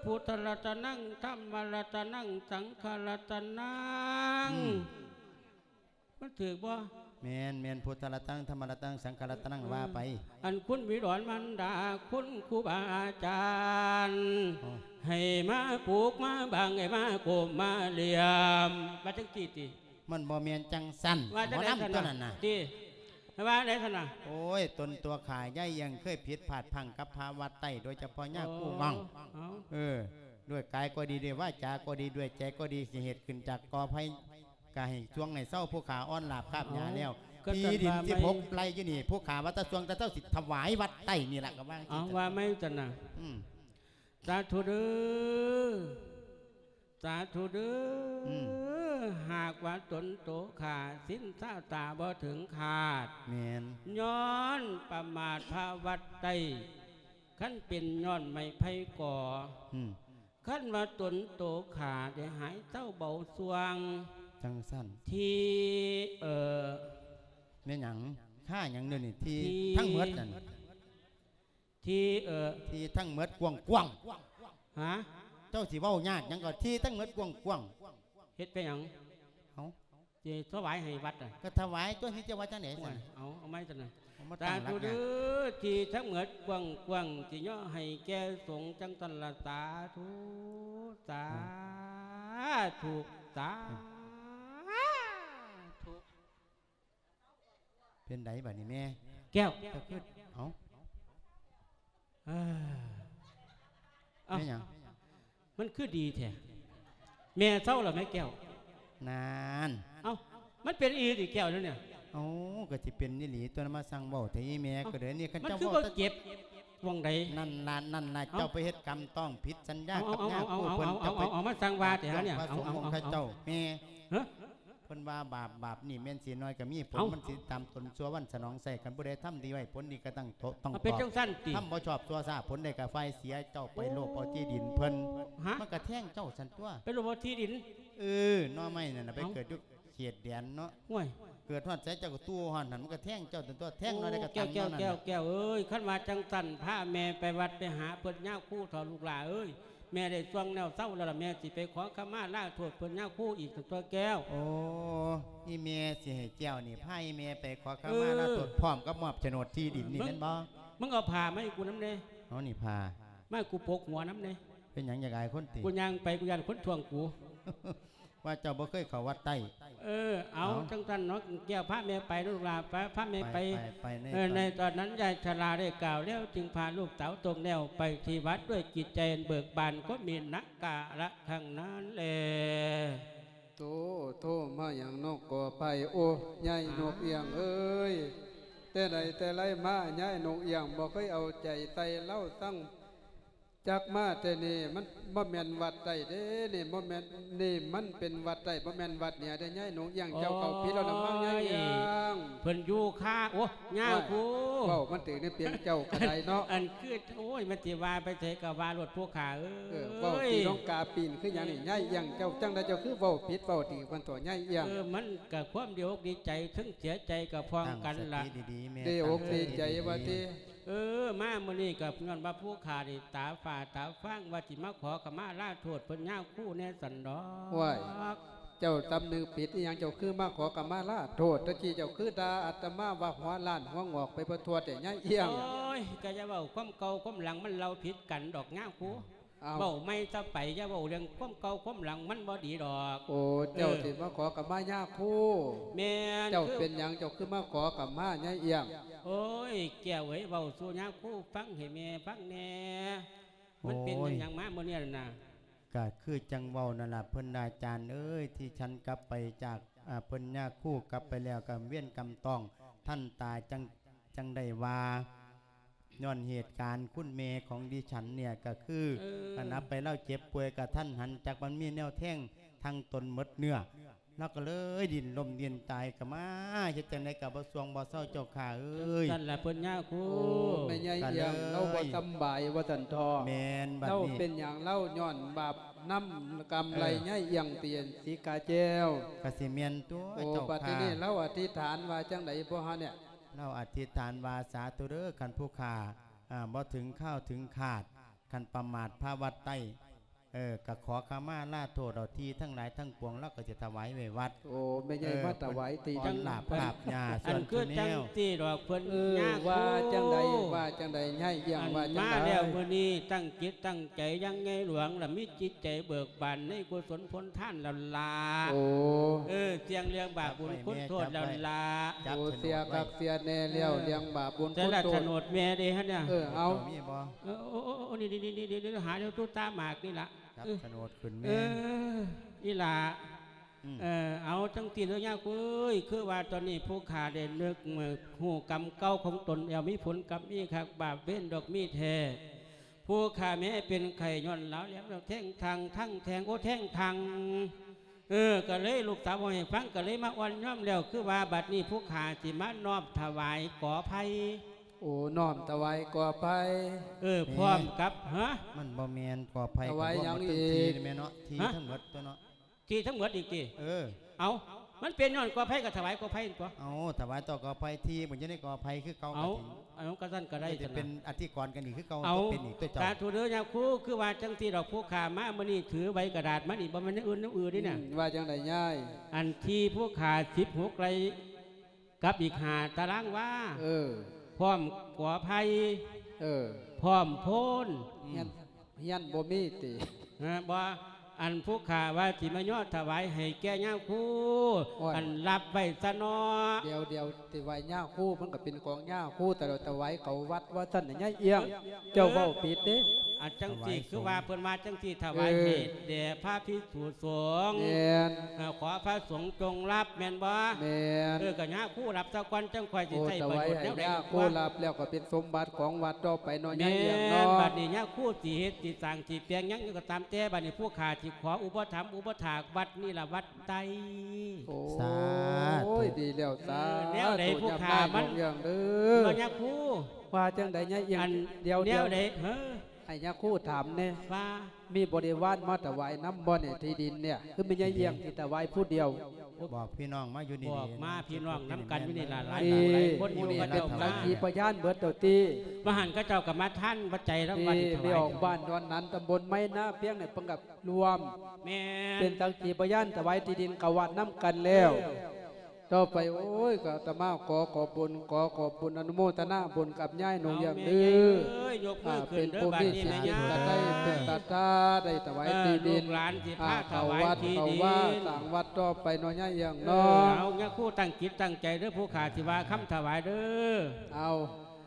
ພຸດທະລັດຕະນັງ ທຳມະລັດຕະນັງ ສັງຄະລັດຕະນັງ. ອືມ ມັນຖືກບໍ່? ແມ່ນໆ ພຸດທະລັດຕະນັງ ທຳມະລັດຕະນັງ ສັງຄະລັດຕະນັງ ເອີ ວ່າໄປ. ອັນຄຸນບິດອນມານດາ ຄຸນຄູບາອາຈານ ອໍ ໃຫ້ມາປູກມາບັງ ໃຫ້ມາໂກມມາຫຼຽມ ວ່າຈັ່ງຊີ້ຕິ. ມັນບໍ່ແມ່ນຈັ່ງຊັ້ນ ວ່າຈັ່ງໃດຊັ້ນນະ? ໝໍລຳຕົວນັ້ນນະ ຕິ ວ່າໃດຊັ້ນນະ? ໂອ້ຍ ຕົນຕົວຂ້າ ຍາຍອຽງ ເຄີຍຜິດພາດພລັ້ງກັບພະວັດໄຕ້ ໂດຍສະເພາະຍາຄູງ່ອງ. ອໍ ເອີ ດ້ວຍກາຍກໍດີ ດ້ວຍວາຈາກໍດີ ດ້ວຍໃຈກໍດີ ຊິເຮັດຂຶ້ນຈາກກໍໄພ ກະໃຫ້ຊ່ວງໃຫ້ເຊົາ ຜູ້ຂ້າອ່ອນລາບກາບຫຍ້າແລ້ວ. ທີ່ດິນສິບຫົກໄຮ່ຢູ່ນີ້ ຜູ້ຂ້າວ່າແຕ່ຊ່ວງແຕ່ເຊົ້າ ຊິຖວາຍວັດໄຕ້ນີ້ລະ ກໍວ່າຈັ່ງຊີ້. ເອົາ ວ່າໃໝ່ຊັ້ນນະ. ອືມ ສາທຸເດີ ສາທຸເດີ. ອືມ ຫາກວ່າຕົນໂຕຂ້າ ສິນຊາຕາບໍ່ເຖິງຂາດ ແມ່ນ ຍ້ອນປະໝາດພະວັດໄຕ້. ຄັນເປັນຍ້ອນໄມ້ໄຜ່ກໍ ອືມ ຄັນວ່າຕົນໂຕຂ້າໄດ້ຫາຍເຊົາເບົາຊ່ວງ ຈັ່ງຊັ້ນ ທີ່ ເອີ ແມ່ນຫຍັງ? ຂ້າຫຍັງເດນີ້? ທີ່ ທີ່ທັງໝົດນັ້ນ ທີ່ ເອີ ທີ່ທັງໝົດກວ້າງໆ. ຮະ? ເຈົ້າຊິເວົ້າຍາກຫຍັງກໍ ທີ່ທັງໝົດກວ້າງໆ. ເຮັດໄປຫຍັງ? ເອົ້າ ຊິຖວາຍໃຫ້ວັດນະ. ກໍຖວາຍຕົວະ ຊິຈະວ່າຈັ່ງໃດຊັ້ນ? ໂອ້ຍ ເອົາ ເອົາໃໝ່ຊັ້ນນະ. ເອົາມາຕັ້ງຫຼັກຍາກ. ສາທຸເດີ ທີ່ທັງໝົດກວ້າງໆ ຊິຍໍໃຫ້ແກ່ສົງ ຈັ່ງຊັ້ນລະ. ສາທຸ ສາທຸ ສາທຸ. ເປັນໃດບາດນີ້ແມ່? ແກ້ວ ເຈົ້າຄື ເອົ້າ ເອີ ເອົ້າ ແມ່ນຫຍັງ? ມັນຄືດີແທ້ ແມ່ເຊົາແລ້ວແມ່ແກ້ວ. ນານ ເອົ້າ ມັນເປັນອີ່ຫຼີຕິແກ້ວແນວນີ້? ເອົ້າ ກໍຊິເປັນອີ່ຫຼີຕົວະ ມາສັ່ງເວົ້າແທ້ອີ່ແມ່. ເອົ້າ ກໍເດີນີ້ ຄັນ ມັນ ເຈົ້າ ຄື ເວົ້າ ບໍ່ເຈັບໝ່ອງໃດ? ນັ້ນລະ ນັ້ນລະ ເອົ້າ ເຈົ້າໄປເຮັດກຳຕ້ອງຜິດສັນຍາກັບຍາຄູເພິ່ນ. ເອົາ ເຈົ້າໄປ ເອົາ ເອົາ ເອົາມາສັ່ງວ່າແທ້ຫານີ້. ພະສົງອົງຂະເຈົ້າ ແມ່ ຮະ? ເພິ່ນວ່າບາບ ບາບນີ້ແມ່ນສີນ້ອຍກໍມີຜົນ ເອົ້າ ມັນຊິຕາມຕົນຊົ່ວວັນສະໜອງໄຊ. ຄັນຜູ້ໃດທຳດີໄວ້ ຜົນດີກໍຕັ້ງໂຕ ຕ້ອງ ເອົາ ຕອບ. ເປັນຈັ່ງຊັ້ນຕິ? ທຳບໍ່ຊອບຊົ່ວຊ້າ ຜົນໄດ້ກໍຝ່າຍເສຍ. ເຈົ້າໄປໂລບເອົາທີ່ດິນເພິ່ນ ຮະ? ມັນກໍແທງເຈົ້າຊັ້ນຕົວະ. ໄປໂລບເອົາທີ່ດິນ? ເອີ ໜໍ່ໄມ້ນັ້ນນະ ໄປ ເອົ້າ ເກີດຢູ່ເຂດແດນເນາະ. ໂອ້ຍ ເກີດຮອດໃສເຈົ້າກໍຕູ້ຮອດຫັ້ນ ມັນກໍແທງເຈົ້າຊັ້ນຕົວະ. ແທງໜ້ອຍໃດກໍ ໂອ້ ຕຳ ແກ້ວ ນັ້ນ ແກ້ວ ແກ້ວເອີຍ ຄັນວ່າຈັ່ງຊັ້ນ ພາແມ່ໄປວັດໄປຫາເພິ່ນຍາຄູເຖົ້າ ລູກຫຼ້າເອີຍ. ແມ່ໄດ້ຊ່ວງແນວເຊົາແລ້ວລະ ແມ່ຊິໄປຂໍຂະມາລາໂທດເພິ່ນຍາຄູອີກ ຕົວະແກ້ວ. ໂອ້ ອີ່ແມ່ຊິໃຫ້ແກ້ວນີ້ພາອີ່ແມ່ໄປຂໍຂະມາລາໂທດ ເອີ ພ້ອມກັບມອບໂສນດທີ່ດິນນີ້ ເບິ່ງ ແມ່ນບໍ່? ມຶງເອົາຜ້າມາໃຫ້ກູນຳແດ່. ເອົານີ້ຜ້າ ມາໃຫ້ກູປົກຫົວນຳແດ່. ເປັນຫຍັງ ຢາກອາຍຄົນຕິ? ກູຍ່າງໄປ ກູຢ້ານຄົນທ້ວງກູ. ວ່າເຈົ້າບໍ່ເຄີຍເຂົ້າວັດໃຕ້. ເອີ ເອົາ ເອົາ ຈັ່ງຊັ້ນເນາະ ແກ້ວ ພາແມ່ໄປເນາະ ລູກຫຼ້າ ໄປ ພາແມ່ໄປ. ໄປ ໄປ ເອີ ໃນຕອນນັ້ນ ຍາຍຊະລາໄດ້ກ່າວແລ້ວ ຈຶ່ງພາລູກສາວຕົງແນວໄປທີ່ວັດດ້ວຍຈິດໃຈເບີກບານ ກໍມີນະກາລະຄັ້ງນັ້ນແລ. ໂຕ ໂທມາຫຍັງເນາະ ກໍໄປ. ໂອ້ ຍາຍນົກອຽງເອີຍ ແຕ່ໃດແຕ່ໄລມາ ຍາຍນົກອຽງບໍ່ເຄີຍເອົາໃຈໃສ່ລາວ ສັ່ງ ຈັກມາແຕ່ນີ້ມັນບໍ່ແມ່ນວັດໃຕ້ເດ້ ນີ້ບໍ່ແມ່ນ ນີ້ມັນເປັນວັດໃຕ້ ບໍ່ແມ່ນວັດເໜືອເດ້. ຍາຍນົກອຽງ ເຈົ້າເຂົ້າຜິດແລ້ວລະມັ້ງ ຍາຍອຽງ. ໂອ້ຍ ເພິ່ນຢູ່ຄ່າ ໂອ້ ຍາຄູ ໂອ້ຍ ເວົ້າມັນຖືກໃນປຽງເຈົ້າກໍໄດ້ເນາະ. ອັນຄື ໂອ້ຍ ມັນຊິວ່າໄປໃສກໍວ່າໂລດ ພວກຂ້າເອີຍ. ເອີ ເວົ້າຕີລົງກາປີນຄືຫຍັງນີ້ ຍາຍອຽງ. ເຈົ້າຈັ່ງໃດ ເຈົ້າຄືເວົ້າຜິດເວົ້າຖືກມັນຕົວະ ຍາຍອຽງ? ເອີ ມັນກໍຄວາມດີອົກດີໃຈ ເຖິງເສຍໃຈກໍພ້ອມກັນລະ. ຕັ້ງສະຕິດີໆ ແມ່ ດີອົກດີໃຈວ່າຕິ. ເອີ ມາມື້ນີ້ກໍຍ້ອນວ່າຜູ້ຂ້ານີ້ຕາຝ້າຕາຟາງ ວ່າຊິມາຂໍຂະມາລາໂທດເພິ່ນຍາຄູແດ່ຊັ້ນດອກ. ໂອ້ຍ ເຈົ້າສຳນຶກຜິດອີ່ຫຍັງ ເຈົ້າຄືມາຂໍຂະມາລາໂທດ? ຕະກີ້ເຈົ້າຄືດ່າອາດຕະມາວ່າຫົວລ້ານຫົວງອກໄປບໍ່ທົ່ວແຕ່ຍາຍອຽງ. ໂອ້ຍ ກໍຢ່າເວົ້າຄວາມເກົ່າຄວາມຫຼັງ ມັນເລົ່າຜິດກັນດອກຍາຄູ. ອ້າວ ເວົ້າໃໝ່ຊະໄປ ຢ່າເວົ້າເລື່ອງຄວາມເກົ່າຄວາມຫຼັງ ມັນບໍ່ດີດອກ. ໂອ້ ເຈົ້າ ເອີ ຊິມາຂໍຂະມາຍາຄູ? ແມ່ນ. ເຈົ້າເປັນຫຍັງ ເຈົ້າຄືມາຂໍຂະມາຍາຍອຽງ? ໂອ້ຍ ແກ້ວເອີຍ ເວົ້າສູ່ຍາຄູຟັງ ໃຫ້ແມ່ຟັງແດ່. ມັນເປັນ ໂອ້ຍ ຫຍັງມາມື້ນີ້ນະ? ກະຄືຈັ່ງເວົ້ານັ້ນລະ ເພິ່ນອາຈານເອີຍ ທີ່ສັນກັບໄປຈາກ ອາ ເພິ່ນຍາຄູກັບໄປແລ້ວ ກຳເວນກຳຕ້ອງ ທ່ານຕາຈັ່ງ ຈັ່ງໄດ້ວ່າ ຍ້ອນເຫດການຄຸນແມ່ຂອງດິສັນເນ່ຍ ກະຄື ເອີ ອັນນັບໄປລາວເຈັບປ່ວຍກະທັນຫັນ ຈັກມັນມີແນວແທງທັງຕົນໝົດເນື້ອ ລາວກໍເລີຍດິ້ນລົ້ມດິ້ນຕາຍ ກໍມາເຮັດຈັ່ງໃດກໍບໍ່ສ່ວງບໍ່ເຊົາເຈົ້າຂ້າເອີຍ. ນັ້ນລະເພິ່ນຍາຄູ. ໂອ້ ແມ່ຍາຍອຽງ ກໍເລີຍ ລາວບໍ່ສຳບາຍວ່າຊັ້ນເຖາະ. ແມ່ນ. ບັດນີ້ລາວເປັນຫຍັງ? ລາວຍ້ອນບາບນຳກຳໄລ່ ເອີ ຍາຍອຽງຕີນສີກາແກ້ວ. ກໍຊິແມ່ນຕົວະ ໂອ້ ເຈົ້າຂ້າ. ບັດທີນີ້ລາວອະທິຖານວ່າຈັ່ງໃດບໍ່ຮະເນ່ຍ? ລາວອະທິຖານວ່າ ສາທຸເດີ ຄັນຜູ້ຂ້າ ອາ ບໍ່ເຖິງຄາວເຖິງຄາດ ຄັນປະໝາດພາວັດໄຕ ເອີ ກໍຂໍຂະມາລາໂທດເອົາ ທີ່ທັງຫຼາຍທັງປວງ ລາວກໍຈະຖວາຍໄວ້ວັດ. ໂອ້ ແມ່ໃຫຍ່ ເອີ ມາຖວາຍທີ່ ເພິ່ນ ອັນລາບ ລາບຫຍ້າ ອັນຄືຈັ່ງຊີ້ດອກເພິ່ນ ເອີ ຍາຄູ ວ່າຈັ່ງໃດ ວ່າຈັ່ງໃດຍາຍອຽງ? ອັນ ວ່າຈັ່ງໃດ? ມາແລ້ວມື້ນີ້ຕັ້ງຈິດຕັ້ງໃຈຢ່າງໃຫຍ່ຫຼວງ ລະມີຈິດໃຈເບີກບານໃນກຸສົນຜົນທານແລ້ວລະ. ໂອ້ ເອີ ສ່ຽງເລື່ອງບາບບຸນຄຸນໂທດແລ້ວລະ. ໂອ້ ເຊື່ອຄັກເຊື່ອແນ່ແລ້ວ ເອີ ເລື່ອງບາບບຸນຄຸນໂທດ. ແຕ່ລະໂສດແມ່ເດ້ຫັ້ນນະ. ເອີ ເອົາ ມີບໍ່? ເອີ ໂອ້ ໂອ້ ໂອ້ ນີ້ໆໆ ຫາຢູ່ຕູ້ຕາໝາກນີ້ລະ. ຈັບ ເອີ ໂສດຂຶ້ນແມ່. ເອີ ອີ່ຫຼ້າ ອືມ ເອີ ເອົາຈັ່ງຊີ້ເດີຍາຄູເອີຍ ຄືວ່າຕອນນີ້ຜູ້ຂ້າໄດ້ນຶກຮູ້ກຳເກົ່າຂອງຕົນແລ້ວ ມີຜົນກຳມີຄັກບາບເວນດອກມີແທ້. ຜູ້ຂ້າແມ້ເປັນໄຂ້ຍ້ອນລາວແຫຼມແລ້ວແທງທັງ ທັງແທງ ໂອ້ ແທງທັງ. ເອີ ກໍເລີຍລູກສາວເວົ້າໃຫ້ຟັງ ກໍເລີຍມາອ່ອນຍອມແລ້ວ ຄືວ່າບັດນີ້ຜູ້ຂ້າຊິມານ້ອມຖວາຍກໍໄຜ່. ໂອ້ ນ້ອມຖວາຍກໍໄຜ່. ເອີ ແມ່ ພ້ອມກັບ ຮະ? ມັນບໍ່ແມ່ນກໍໄຜ່. ຖວາຍຫຍັງອີກ? ທີ່ແມ່ນເນາະ ທີ່ ຮະ? ທັງໝົດຕົວະເນາະ. ທີ່ທັງໝົດອີກຕິ? ເອີ ເອົາ ມັນເປັນຍ້ອນກໍໄຜ່ກໍຖວາຍກໍໄຜ່ຕົວະ. ເອົາ ຖວາຍຕໍ່ກໍໄຜ່ ທີ່ມັນຢູ່ໃນກໍໄຜ່ຄືເກົ່າ. ເອົາ ກໍຊັ້ນກໍໄດ້ ເປັນອະທິກອນກັນອີກຄືເກົ່າ. ເອົາ ກໍເປັນອີກຕົວະເຈົ້າ. ສາທຸເດີຍາຄູ ຄືວ່າຈັ່ງຊີ້ດອກ ຜູ້ຂ້າມາມື້ນີ້ຖືໃບກະດາດມານີ້ ບໍ່ແມ່ນແນວອື່ນແນວອື່ນນີ້ນະ. ອືມ ວ່າຈັ່ງໃດຍາຍ? ອັນທີ່ຜູ້ຂ້າສິບຫົກໄຮ່ ກັບອີກຫ້າຕາລາງວາ. ເອີ ພ້ອມກໍໄຜ່. ເອີ ພ້ອມໂພນ. ອືມ ຮຽນ ຮຽນບໍ່ມີຕິ? ຮະ ບໍ່. ອັນຜູ້ຂ້າວ່າຊິມາຍໍຖວາຍໃຫ້ແກ່ຍາຄູ. ໂອ້ຍ ອັນ ຮັບໄວ້ຊະເນາະ. ດຽວໆ ຖວາຍຍາຄູ ມັນກໍເປັນຂອງຍາຄູ ແຕ່ລະຖວາຍເຂົ້າວັດວ່າຊັ້ນນະຍາຍອຽງ. ເອີ ເຈົ້າເວົ້າຜິດເດ້. ອັນຈັ່ງຊີ້ ຖວາຍສົງ ຄືວ່າເພິ່ນວ່າຈັ່ງຊີ້ ຖວາຍ ເອີ ໃຫ້ແດ່ພະພິກຂຸສົງ. ແມ່ນ. ເອີ ຂໍພະສົງຈົ່ງຮັບ ແມ່ນບໍ່? ແມ່ນ. ເອີ ກໍຍາຄູຮັບຊະກ່ອນ ຈັ່ງຄ່ອຍຊິໃຊ້ປະໂຫຍດແນວໃດ. ໂອ້ ຖວາຍໃຫ້ຍາຄູຮັບແລ້ວກໍເປັນສົມບັດຂອງວັດຕໍ່ໄປເນາະ ຍາຍອຽງເນາະ. ແມ່ນ. ບັດນີ້ຍາຄູຊິເຮັດ ຊິສ້າງ ຊິແປງຫຍັງກໍຕາມແຕ່ ບັດນີ້ຜູ້ຂ້າຊິຂໍອຸປະຖຳອຸປະຖາກວັດນີ້ລະ ວັດໃດ. ໂອ້ ສາທຸ. ໂອ້ຍ ດີແລ້ວ ສາທຸ. ເອີ ແນວໃດຜູ້ຂ້າມັນ ຍາມນາຍ ຍາມເລື່ອງເດີ ຍາຄູ. ວ່າຈັ່ງໃດຍາຍອຽງ? ອັນ ດຽວໆ ແນວໃດ? ເອີ ໃຫ້ຍາຄູຖາມແດ່ ວ່າມີບໍລິວານມາຖວາຍນຳບໍ່ນີ້ ທີ່ດິນນີ້ ຄືແມ່ຍາຍອຽງຊິຖວາຍຜູ້ດຽວ? ບອກພີ່ນ້ອງມາຢູ່ນີ້ ບອກມາພີ່ນ້ອງນຳກັນຢູ່ນີ້ລະ ຫຼາຍ ຫຼາຍຄົນຢູ່ນີ້ລະ. ສັກຂີພະຍານເບິດແລ້ວຕິ? ວ່າຫັ້ນເຂົາເຈົ້າກໍມາທານປັດໄຈນຳວັດຖວາຍ. ທີ່ອອກບ້ານດອນຫັນ ຕຳບົນໄມ້ນາພຽງນີ້ ເພິ່ນກໍລວມ ແມ່ນ ເປັນສັກຂີພະຍານຖວາຍທີ່ດິນເຂົ້າວັດນຳກັນແລ້ວ. ເອີ ຕໍ່ໄປ ໂອ້ຍ ກໍອາດຕະມາຂໍຂອບບຸນ ຂໍຂອບບຸນ ອະນຸໂມທະນາບຸນກັບຍາຍໜູເອີງເດີ. ເອີ ຍົກມືຂຶ້ນເດີ ບາດນີ້ແມ່ຍາຍ ເປັນຜູ້ມີຈິດກະໄຕເມດຕາ ໄດ້ຖວາຍທີ່ດິນ ເອີ ລູກຫຼານຊິພາຖວາຍທີ່ດິນ ເຂົ້າວັດເຂົ້າວາ ສ້າງວັດຕໍ່ໄປເນາະ ຍາຍເອີງເນາະ. ເອີ ເອົາ ຍາຄູຕັ້ງຈິດຕັ້ງໃຈເດີ ຜູ້ຂ້າຊິວ່າຄຳຖວາຍເດີ. ເອົາ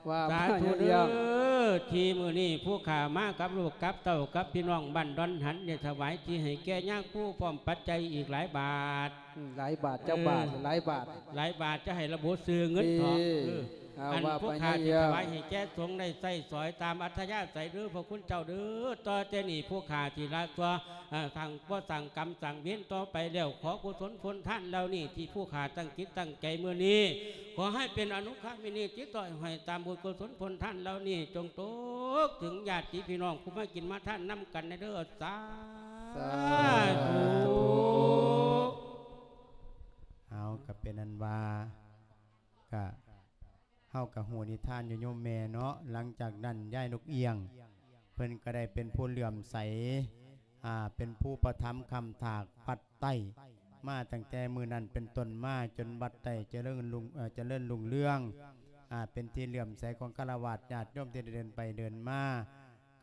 ວ່າມາ ສາທຸເດີ ຍາຍເອີງ. ທີ່ມື້ນີ້ຜູ້ຂ້າມາກັບລູກກັບເຕົ້າ ກັບພີ່ນ້ອງບ້ານດອນຫັນ ໄດ້ຖວາຍທີ່ໃຫ້ແກ່ຍາຄູ ພ້ອມປັດໄຈອີກຫຼາຍບາດ. ອືມ ຫຼາຍບາດ ເອີ ເຈົ້າບາດ ຫຼາຍບາດ ຫຼາຍບາດ ຈະໃຫ້ລະບຸຊື່ເງິນທອງ. ເອີ ເອີ ອັນຜູ້ຂ້າຊິຖວາຍໃຫ້ແກ່ສົງໄດ້ໃຊ້ສອຍຕາມອັດທະຍາໄສເດີ ພະຄຸນເຈົ້າເດີ. ຕໍ່ແຕ່ນີ້ຜູ້ຂ້າຊິລະຕົວະ ເອີ ສ້າງ ບໍ່ສ້າງກຳສ້າງເວນຕໍ່ໄປແລ້ວ ຂໍກຸສົນຜົນທານເຫຼົ່ານີ້ ທີ່ຜູ້ຂ້າຕັ້ງຈິດຕັ້ງໃຈມື້ນີ້ ຂໍໃຫ້ເປັນອະນຸຄາມິນີ ຕິດຕໍ່ຫ້ອຍຕາມບຸນກຸສົນຜົນທານເຫຼົ່ານີ້ ຈົ່ງຕົກເຖິງຍາດຕິພີ່ນ້ອງຜູ້ມາກິນມາທານນຳກັນແດ່ເດີ. ສາທຸ ສາທຸ. ເອົາ ກໍເປັນອັນວ່າ ກະ ເຮົາກໍຮູ້ນິທານຢູ່ໂຍມແມ່ເນາະ. ຫຼັງຈາກນັ້ນ ຍາຍນົກອຽງ ເພິ່ນກໍໄດ້ເປັນຜູ້ເຫຼື້ອມໃສ ອ່າ ເປັນຜູ້ປະຖຳຄ້ຳທາກວັດໃຕ້ ມາຕັ້ງແຕ່ມື້ນັ້ນເປັນຕົ້ນມາ ຈົນວັດໃຕ້ຈະເລີນຮຸ່ງ ເອີ ຈະເລີນຮຸ່ງເຮືອງ ອ່າ ເປັນທີ່ເຫຼື້ອມໃສຂອງຄາລະວາດຍາດໂຍມທີ່ໄດ້ເດີນໄປເດີນມາ.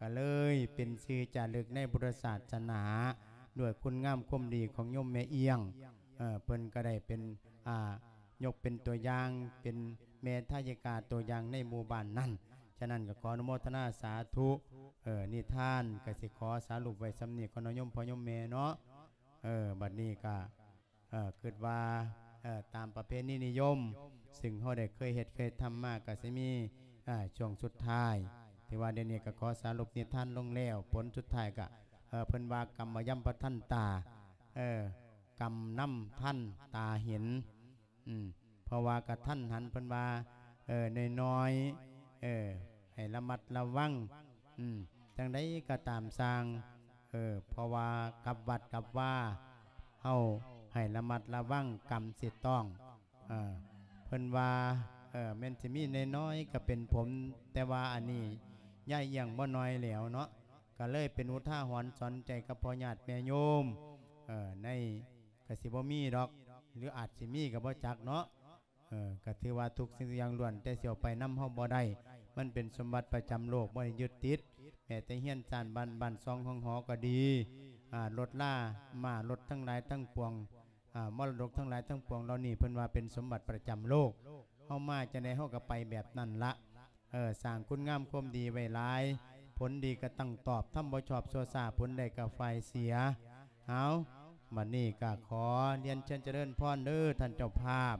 ກໍເລີຍເປັນຊື່ຈາລຶກໃນພຸດທະສາສະໜາ ດ້ວຍຄຸນງາມຄວາມດີຂອງໂຍມແມ່ອຽງ. ເອີ ເພິ່ນກໍໄດ້ເປັນ ອ່າ ຍົກເປັນຕົວຢ່າງ ເປັນແມ່ທາຍິກາຕົວຢ່າງໃນໝູ່ບ້ານນັ້ນ. ສະນັ້ນກໍຂໍອະນຸໂມທະນາສາທຸ. ເອີ ນິທານກໍຊິຂໍສະຫຼຸບໄວ້ສ່ຳນີ້ກ່ອນເນາະ ໂຍມພໍ່ໂຍມແມ່ເນາະ. ເອີ ບັດນີ້ກໍ ເອີ ຄິດວ່າ ເອີ ຕາມປະເພນີນິຍົມ ຊຶ່ງເຮົາໄດ້ເຄີຍເຮັດເຄີຍທຳມາ ກໍຊິມີ ເອີ ຊ່ວງສຸດທ້າຍ ທີ່ວ່າດຽວນີ້ກໍຂໍສະຫຼຸບນິທານລົງແລ້ວ. ຜົນສຸດທ້າຍກໍ ເອີ ເພິ່ນວ່າກຳມະຍຳປະທັນຕາ ເອີ ກຳນຳທັນຕາເຫັນ ອືມ ເພາະວ່າກະທັນຫັນ ເພິ່ນວ່າ ເອີ ນ້ອຍໆ ເອີ ໃຫ້ລະມັດລະວັງ ອືມ ຈັ່ງໃດກໍຕາມຊ່າງ ເອີ ເພາະວ່າກັບວັດກັບວາ ເຮົາໃຫ້ລະມັດລະວັງກຳຊິຕ້ອງ ເອີ ເພິ່ນວ່າ ເອີ ແມ່ນຊິມີນ້ອຍໆກໍເປັນຜົນ ແຕ່ວ່າອັນນີ້ຍາຍອຽງບໍ່ນ້ອຍແລ້ວເນາະ ກໍເລີຍເປັນອຸທາຫອນສອນໃຈກັບພໍ່ຍາດແມ່ໂຍມ ເອີ ໃນ ກະຊິບໍ່ມີດອກ ຫຼືອາດຊິມີກະບໍ່ຈັກເນາະ. ເອີ ກະຖືວ່າທຸກສິ່ງທຸກຢ່າງລ້ວນແຕ່ຊິເອົາໄປນຳເຮົາບໍ່ໄດ້ ມັນເປັນສົມບັດປະຈຳໂລກ ບໍ່ໄດ້ຍຶດຕິດ. ແມ້ແຕ່ເຮືອນຊານບ້ານ ບ້ານຊ່ອງຫ້ອງຫໍກໍດີ ອາ ລົດລາມ້າລົດທັງຫຼາຍທັງປວງ ອາ ມໍລະດົກທັງຫຼາຍທັງປວງເຫຼົ່ານີ້ ເພິ່ນວ່າເປັນສົມບັດປະຈຳໂລກ ເຮົາມາຈັ່ງໃດເຮົາກໍໄປແບບນັ້ນລະ. ເອີ ສ້າງຄຸນງາມຄວາມດີໄວ້ຫຼາຍ ຜົນດີກໍຕ້ອງຕອບ ທຳບໍ່ຊອບຊົ່ວຊ້າ ຜົນໄດ້ກໍຝ່າຍເສຍ. ເອົາ ບັດນີ້ກໍຂໍລຽນເຊີນຈະເລີນພອນເດີທ່ານເຈົ້າພາບ